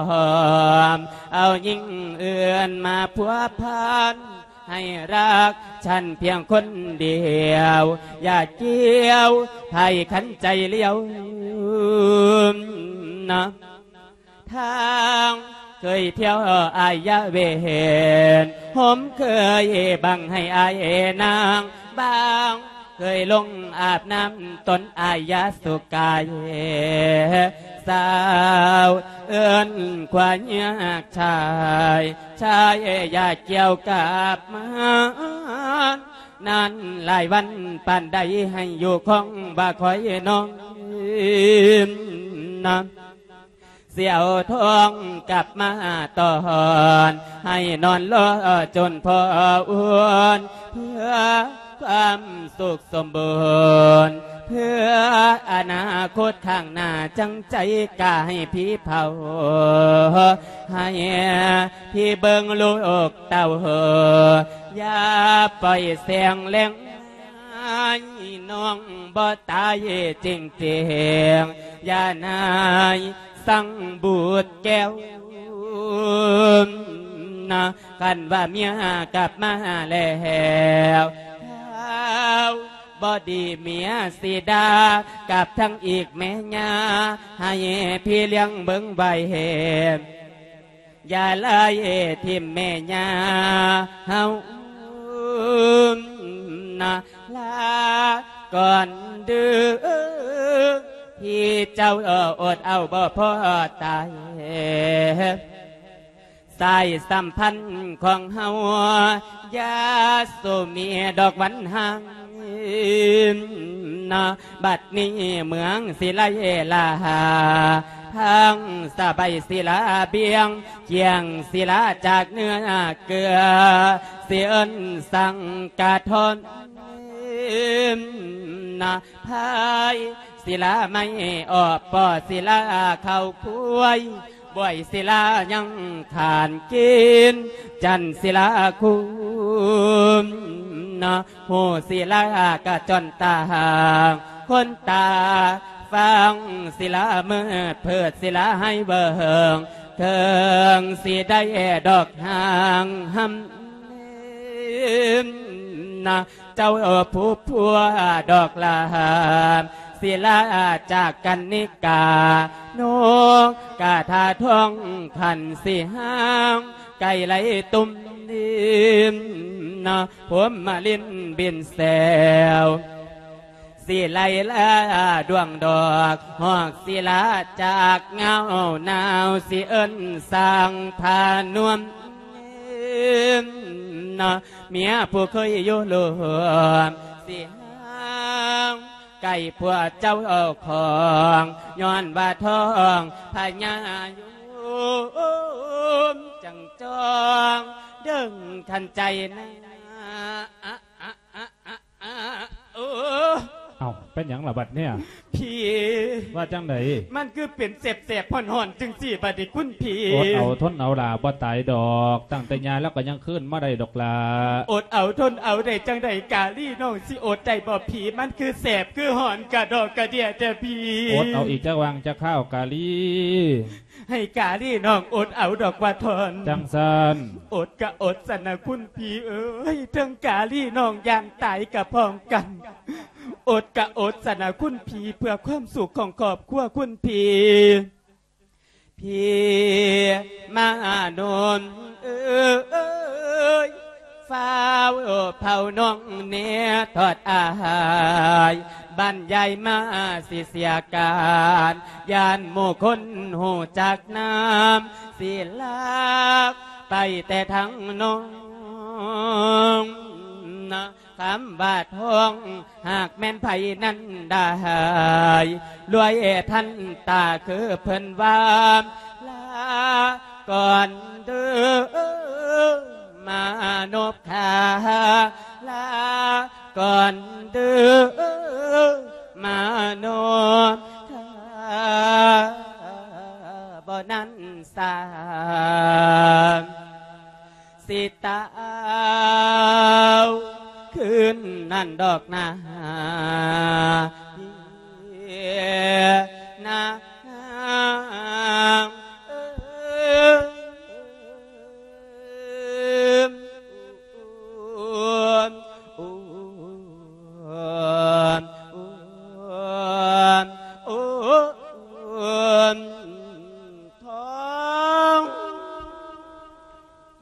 ມ ເອົາຍິງອື່ນມາພົວພັນ ໃຫ້ຮັກສັນພຽງຄົນດຽວ ຢ່າກ່ຽວໃຜຄັນໃຈຫຼຽວນະ. ທາງເຄີຍທ່ຽວອາຍຢາເວນ ໂຮມເຄີຍບັງໃຫ້ອາຍນາງບາງ ເຄີຍລົງອາບນ້ຳຕົນອາຍຢາສຸກາຍ ສາວເອີ້ນຄວາຍາກຊາຍ ຊາຍຢາກ່ຽວກັບມາ ນານຫຼາຍວັນປານໃດໃຫ້ຢູ່ຄອງວ່າຄອຍນ້ອງນະ. ສຽວທອງກັບມາຕອນ ໃຫ້ນອນລໍຈົນພໍອຸ່ນ ເພື່ອຄວາມສຸກສົມບູນ ເພື່ອອະນາຄົດຂ້າງໜ້າ ຈັ່ງໃຈກະໃຫ້ຜີເຜົາ ໃຫ້ຜີເບິ່ງລູກເຕົ້າ ຢ່າປ່ອຍແສງແລງ ໃຫ້ນ້ອງບໍ່ຕາຍເຈິງໆ ຢ່ານາຍສັງບູດແກ້ວນະ. ຄັນວ່າເມຍກັບມາແລ້ວ ເຮົາບໍ່ດີເມຍຊິດ່າ ກັບທັງອີກແມ່ຍ່າ ໃຫ້ພີ່ລ້ຽງເບິ່ງໄວ້ ຢ່າໄລ່ຖິ້ມແມ່ຍ່າເຮົານະ ລາກ່ອນເດີ ທີ່ເຈົ້າອົດເອົາບໍ່ພໍຕາຍ ສາຍສຳພັນຂອງເຮົາ ຢ່າສູ່ມີດອກວັນຫ່າງນະ. ບັດນີ້ເມືອງສິໄລລາ ທາງສະໄບສິລາບຽງ ຈຽງສິລາຈາກເນື້ອເກືອ ຊິເອີ້ນສັງກະທ້ອນນະ ພາຍສິລາໄມ້ອອກ ປໍສິລາເຂົ້າຄວາຍ ບວຍສິລາຍັງຂານກິນ ຈັນສິລາຄຸມນະ ຫູສິລາກະຈ້ອນຕາ ຄົນຕາຟັງສິລາມືດ ເພີດສິລາໃຫ້ເບິ່ງ ເຖິງຊິໄດ້ດອກຫາງຫຳນະ ເຈົ້າຜູ້ພົວດອກລາມ ສິລາຈາກກັນນິກາ ນົກກະທາທອງຂັນສີຫາງ ໄກ່ໄລ່ຕຸ້ມດິນນະ ພົມມະລິນບິນແຊວ ສິໄລລາດວງດອກ ຮອກສິລາຈາກເງົາໜາວ ຊິເອີ້ນສາງພານວມນະ ເມຍຜູ້ເຄີຍຢູ່ລວມ ຊິຫາງ ໄກ່ພວກເຈົ້າເອົາຂອງ ຍ້ອນວ່າທ້ອງພະຍາຍົມ ຈັ່ງຈອງດຶງທັນໃຈນະ ອະ ອະ ອະ ອະ ອະ ໂອ້ ເອົ້າ ເປັນຫຍັງລະບັດເນີ້ຍ? ພີ່ ວ່າຈັ່ງໃດ? ມັນຄືເປັນແສບໆ ຮ້ອນໆ ຈັ່ງຊີ້ບັດນີ້ຄຸນພີ່. ອົດເອົາທົນເອົາຫຼ້າ ບໍ່ຕາຍດອກ ຕັ້ງແຕ່ຍ່າແລ້ວກໍຍັງຄືນມາໄດ້ດອກຫຼ້າ. ອົດເອົາທົນເອົາໄດ້ຈັ່ງໃດ? ກາລີນ້ອງຊິອົດໄດ້ບໍ່ພີ່? ມັນຄືແສບຄືຮ້ອນກະດອກກະເດຍແທ້ພີ່. ອົດເອົາອີກຈັກຫວ່າງຈັກຄາວກາລີ. ໃຫ້ກາລີນ້ອງອົດເອົາດອກວ່າທ່ອນ. ຈັ່ງຊັ້ນ. ອົດກະອົດຊັ້ນນະຄຸນພີ່ເອີຍ ເຖິງກາລີນ້ອງຢ້ານຕາຍກະພ້ອມກັນ. ອົດກະອົດຊັ້ນນະຄຸນພີ່ ເພື່ອຄວາມສຸກຂອງຄອບຄົວຄຸນພີ່. ພີ່ມານົນເອີຍ ຟ້າວເຝົ້ານ້ອງແນ່ທອດອາຍ ບັນຍາຍມາຊິເສຍການ ຢ້ານໝູ່ຄົນຮູ້ຈັກນາມ ຊິລັກໄປແຕ່ທາງນ້ອງ ນະຄຳວ່າທອງ ຫາກແມ່ນໃຜນັ້ນໄດ້ ລວຍທັນຕາຄືເພິ່ນວ່າ ລາກ່ອນເດີມານົບຂ້າ ລາກ່ອນເດີມານົບຂ້າ ບໍ່ນັ້ນສາ ຊິຕາວຄືນນັ້ນດອກນາ ນາ ທອງ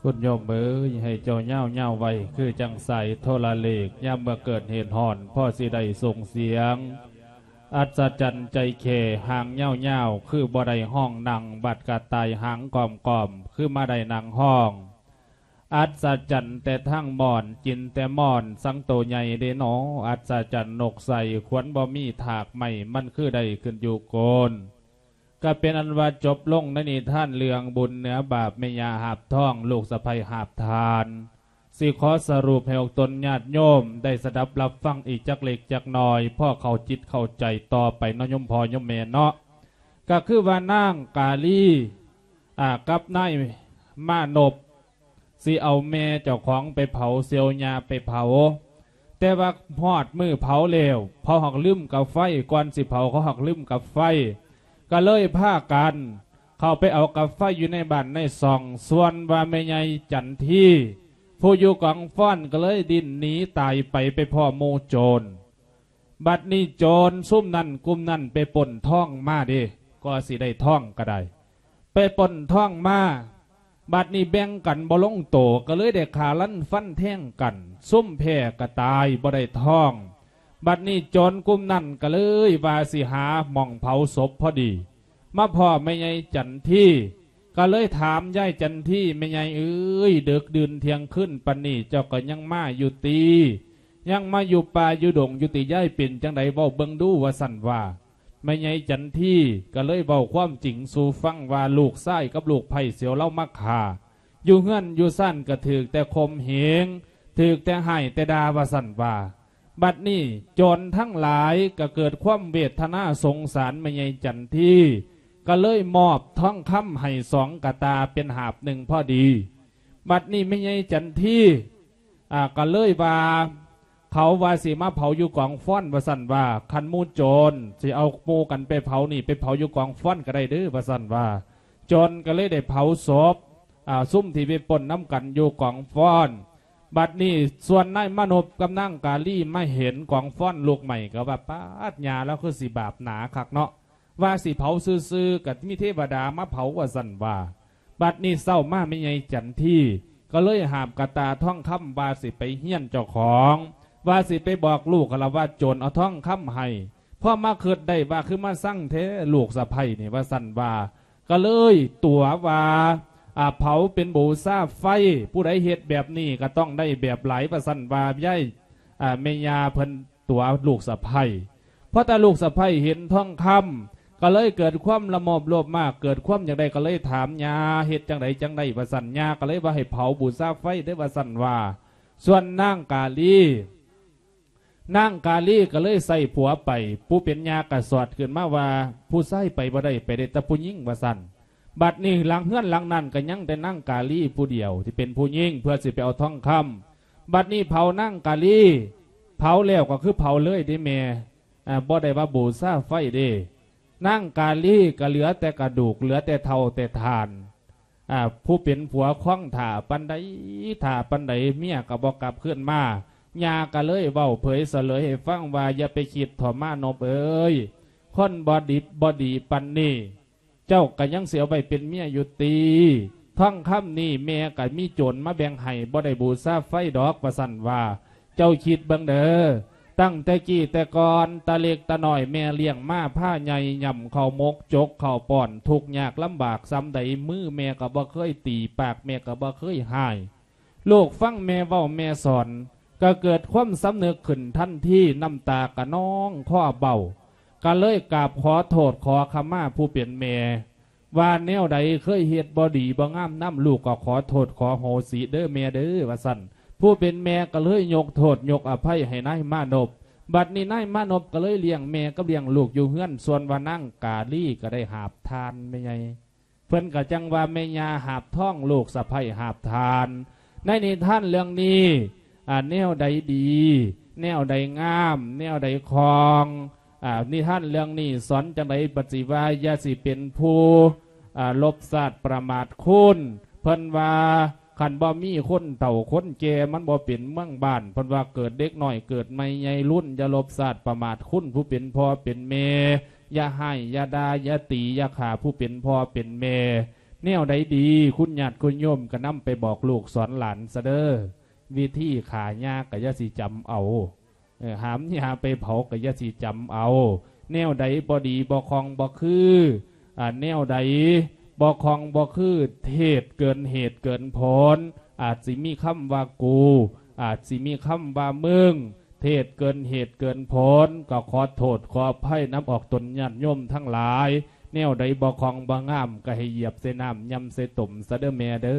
ຄຸນໂຍມເອີຍ ໃຫ້ເຈົ້າຍາວໆໄວ້ ຄືຈັ່ງສາຍໂທລະເລກ ຍາມເມື່ອເກີດເຫດຮ້ອນ ພໍຊິໄດ້ສົ່ງສຽງ ອັດສະຈັນໃຈແຄ່ ຫາງຍາວໆ ຄືບໍ່ໄດ້ຮ້ອງນັ່ງ ບັດກະຕ່າຍຫາງກອມໆ ຄືມາໄດ້ນັ່ງຮ້ອງ ອັດສະຈັນແຕ່ທັງມ່ອນ ກິນແຕ່ມ່ອນ ສັງໂຕໃຫຍ່ເດເນາະ ອັດສະຈັນນົກໃສ່ ຂວັນບໍ່ມີຖາກໄມ້ ມັນຄືໄດ້ຂຶ້ນຢູ່ໂກນ. ກະເປັນອັນວ່າຈົບລົງໃນນິທານເລື່ອງບຸນເໜືອບາບ ແມ່ຍ່າຫາບທອງ ລູກສະໃພ້ຫາບທານ. ຊິຂໍສະຫຼຸບໃຫ້ອອກຕົນຍາດໂຍມໄດ້ສະດັບຮັບຟັງອີກຈັກເລັກຈັກນ້ອຍ ພໍເຂົ້າຈິດເຂົ້າໃຈຕໍ່ໄປເນາະໂຍມພໍ່ໂຍມແມ່ເນາະ. ກະຄືວ່ານາງກາລີ ອາ ກັບນາຍມານົບ ຊິເອົາແມ່ເຈົ້າຂອງໄປເຜົາ ຊິເອົາຍ່າໄປເຜົາ ແຕ່ວ່າຮອດມື້ເຜົາແລ້ວ ເຂົາຫາກລືມກາໄຟ ກ່ອນຊິເຜົາເຂົາຫາກລືມກາໄຟ ກະເລີຍພາກັນເຂົ້າໄປເອົາກາໄຟຢູ່ໃນບ້ານໃນຊ່ອງ. ສ່ວນວ່າແມ່ໃຫຍ່ຈັນທີ ຜູ້ຢູ່ກອງຟອນ ກະເລີຍດີ້ນໜີຕາຍໄປ ໄປພໍ້ໝູ່ໂຈນ. ບັດນີ້ໂຈນຊຸມນັ້ນກຸ່ມນັ້ນໄປປຸ້ນທອງມາເດ້ ກໍຊິໄດ້ທອງກະໄດ້ ໄປປຸ້ນທອງມາ ບັດນີ້ແບ່ງກັນບໍ່ລົງໂຕ ກະເລີຍໄດ້ຂ້າຟັນແທງກັນ ຊຸມແພ້ກະຕາຍບໍ່ໄດ້ທອງ. ບັດນີ້ໂຈນກຸ່ມນັ້ນກະເລີຍວ່າຊິຫາໝ່ອງເຜົາສົບພໍດີ ມາພໍ້ແມ່ໃຫຍ່ຈັນທີ ກະເລີຍຖາມຍາຍຈັນທີ ແມ່ໃຫຍ່ເອີຍ ເດິກດື່ນທ່ຽງຄືນປານນີ້ ເຈົ້າກະຍັງມາຢູ່ຕິ? ຍັງມາຢູ່ປ່າຢູ່ດົງຢູ່ຕິຍາຍ? ເປັນຈັ່ງໃດເວົ້າເບິ່ງດູ ວ່າຊັ້ນວ່າ. ແມ່ໃຫຍ່ຈັນທີກະເລີຍເວົ້າຄວາມຈິງສູ່ຟັງວ່າ ລູກຊາຍກັບລູກໃພ້ສຽວລາວມາຂ້າ ຢູ່ເຮືອນຢູ່ຊານກະຖືກແຕ່ຂົ່ມເຫງ ຖືກແຕ່ຮ້າຍແຕ່ດ່າ ວ່າຊັ້ນວ່າ. ບັດນີ້ໂຈນທັງຫຼາຍກະເກີດຄວາມເວທະນາສົງສານແມ່ໃຫຍ່ຈັນທີ ກະເລີຍມອບທອງຄຳໃຫ້ສອງກະຕ່າເປັນຫາບໜຶ່ງພໍດີ. ບັດນີ້ແມ່ໃຫຍ່ຈັນທີ ອາ ກະເລີຍວ່າ ເຂົາວ່າຊິມາເຜົາຢູ່ກອງຟອນ ວ່າຊັ້ນວ່າ. ຄັນໝູ່ໂຈນຊິເອົາໝູ່ກັນໄປເຜົານີ້ ໄປເຜົາຢູ່ກອງຟອນກະໄດ້ເດີ ວ່າຊັ້ນວ່າ. ໂຈນກະເລີຍໄດ້ເຜົາສົບ ອາ ຊຸມທີ່ໄປປຸ້ນນຳກັນຢູ່ກອງຟອນ. ບັດນີ້ສ່ວນນາຍມານົບກັບນາງກາລີມາເຫັນກອງຟອນລຸກໄໝ້ ກະວ່າ ປາດ ຍ່າລາວຄືຊິບາບໜາຄັກເນາະ ວ່າຊິເຜົາຊື່ໆ ກະມີເທວະດາມາເຜົາ ວ່າຊັ້ນວ່າ. ບັດນີ້ເຊົ້າມາແມ່ໃຫຍ່ຈັນທີກະເລີຍຫາບກະຕ່າທອງຄຳວ່າຊິໄປຮຽນເຈົ້າຂອງ ວ່າຊິໄປບອກລູກຫັ້ນລະວ່າໂຈນເອົາທອງຄຳໃຫ້. ພໍມາຄິດໄດ້ວ່າ ຄືມາຊັງແທ້ລູກສະໃພ້ນີ້ ວ່າຊັ້ນວ່າ. ກະເລີຍຕົວະວ່າ ອາ ເຜົາເປັນບູຊາໄຟ ຜູ້ໃດເຮັດແບບນີ້ກະຕ້ອງໄດ້ແບບຫຼາຍ ວ່າຊັ້ນວ່າ ຍາຍ ອາ ແມ່ຍ່າເພິ່ນຕົວະລູກສະໃພ້. ພໍຕາລູກສະໃພ້ເຫັນທອງຄຳ ກະເລີຍເກີດຄວາມລະໂມບໂລບມາກ ເກີດຄວາມຢາກໄດ້ ກະເລີຍຖາມຍ່າ ເຮັດຈັ່ງໃດຈັ່ງໃດ ວ່າຊັ້ນ. ຍ່າກະເລີຍວ່າໃຫ້ເຜົາບູຊາໄຟເດີ ວ່າຊັ້ນວ່າ. ສ່ວນນາງກາລີ ນາງກາລີກະເລີຍໃສ່ຜົວໄປ ຜູ້ເປັນຍ່າກະສອດຂຶ້ນມາວ່າ ຜູ້ຊາຍໄປບໍ່ໄດ້ ໄປໄດ້ແຕ່ຜູ້ຍິງ ວ່າຊັ້ນ. ບັດນີ້ຫຼັງເຮືອນຫຼັງນັ້ນກະຍັງແຕ່ນາງກາລີຜູ້ດຽວທີ່ເປັນຜູ້ຍິງ ເພື່ອຊິໄປເອົາທອງຄຳ. ບັດນີ້ເຜົານາງກາລີ ເຜົາແລ້ວກະຄືເຜົາເລີຍເດ້ແມ່ ອາ ບໍ່ໄດ້ວ່າບູຊາໄຟເດ້. ນາງກາລີກະເຫຼືອແຕ່ກະດູກ ເຫຼືອແຕ່ເຖົ້າແຕ່ທ່ານ. ອາ ຜູ້ເປັນຜົວຄອງຖ້າປານໃດ ຖ້າປານໃດ ເມຍກະບໍ່ກັບຄືນມາ. ຍ່າກະເລີຍເວົ້າເຜີຍສະເຫຼີຍໃຫ້ຟັງວ່າ ຢ່າໄປຄິດເຖາະມານົບເອີຍ ຄົນບໍ່ດິບບໍ່ດີປານນີ້ ເຈົ້າກະຍັງຊິເອົາໄວ້ເປັນເມຍຢູ່ຕິ? ທອງຄຳນີ້ແມ່ກະມີໂຈນມາແບ່ງໃຫ້ ບໍ່ໄດ້ບູຊາໄຟດອກ ວ່າຊັ້ນວ່າ. ເຈົ້າຄິດເບິ່ງເດີ ຕັ້ງແຕ່ກີ້ແຕ່ກ່ອນ ຕາເລັກຕານ້ອຍແມ່ລ້ຽງມາ ພາໃຫຍ່ຫຍ້ຳເຂົ້າໝົກ ຈົກເຂົ້າປ້ອນ ທຸກຍາກລຳບາກສ່ຳໃດ ມືແມ່ກະບໍ່ເຄີຍຕີ ປາກແມ່ກະບໍ່ເຄີຍຮ້າຍ. ລູກຟັງແມ່ເວົ້າແມ່ສອນ ກໍເກີດຄວາມສຳນຶກຂຶ້ນທັນທີ ນ້ຳຕາກໍນອງຄໍເບົ້າ ກໍເລີຍກາບຂໍໂທດຂໍຂະມາຜູ້ເປັນແມ່ ວ່າແນວໃດເຄີຍເຮັດບໍ່ດີບໍ່ງາມນຳລູກ ກໍຂໍໂທດຂໍໂຫສິເດີແມ່ເດີ ວ່າຊັ້ນ. ຜູ້ເປັນແມ່ກໍເລີຍຍົກໂທດຍົກອະໄພໃຫ້ນາຍມານົບ. ບັດນີ້ນາຍມານົບກໍເລີຍລ້ຽງແມ່ກັບລ້ຽງລູກຢູ່ເຮືອນ ສ່ວນວ່ານາງກາລີກໍໄດ້ຫາບທ່ານແມ່ໃຫຍ່. ເພິ່ນກໍຈັ່ງວ່າແມ່ຍ່າຫາບທອງ ລູກສະໃພ້ຫາບທ່ານ. ໃນນິທານເລື່ອງນີ້ ອາ ແນວໃດດີ ແນວໃດງາມ ແນວໃດຄ່ອງ ອາ ນິທານເລື່ອງນີ້ສອນຈັ່ງໃດ ບັດຊິວ່າຢ່າຊິເປັນຜູ້ ອາ ລົບຊາດປະໝາດຄຸນ. ເພິ່ນວ່າຄັນບໍ່ມີຄົນເຖົ້າຄົນແກ່ ມັນບໍ່ເປັນເມືອງບ້ານ. ເພິ່ນວ່າເກີດເດັກນ້ອຍເກີດໃໝ່ໃຫຍ່ລຸນ ຢ່າລົບຊາດປະໝາດຄຸນຜູ້ເປັນພໍ່ເປັນແມ່. ຢ່າຮ້າຍ ຢ່າດ່າ ຢ່າຕີ ຢ່າຂ້າຜູ້ເປັນພໍ່ເປັນແມ່. ແນວໃດດີ ຄຸນຍາດຄຸນໂຍມກໍນຳໄປບອກລູກສອນຫຼານຊະເດີ. ວິທີຂ້າຍ່າກໍຢ່າຊິຈຳເອົາ ເອີ ຫາມຍ່າໄປເຜົາກໍຢ່າຊິຈຳເອົາ. ແນວໃດບໍ່ດີບໍ່ຄ່ອງບໍ່ຄື ອາ ແນວໃດບໍ່ຄ່ອງບໍ່ຄື ເທດເກີນເຫດເກີນຜົນ ອາດຊິມີຄຳວ່າກູ ອາດຊິມີຄຳວ່າມຶງ ເທດເກີນເຫດເກີນຜົນ ກໍຂໍໂທດຂໍອະໄພນຳອອກຕົນຍາດໂຍມທັງຫຼາຍ. ແນວໃດບໍ່ຄ່ອງບໍ່ງາມ ກໍໃຫ້ຢຽບໃສ່ນ້ຳ ຍຳໃສ່ຕົ້ມຊະເດີແມ່ເດີ.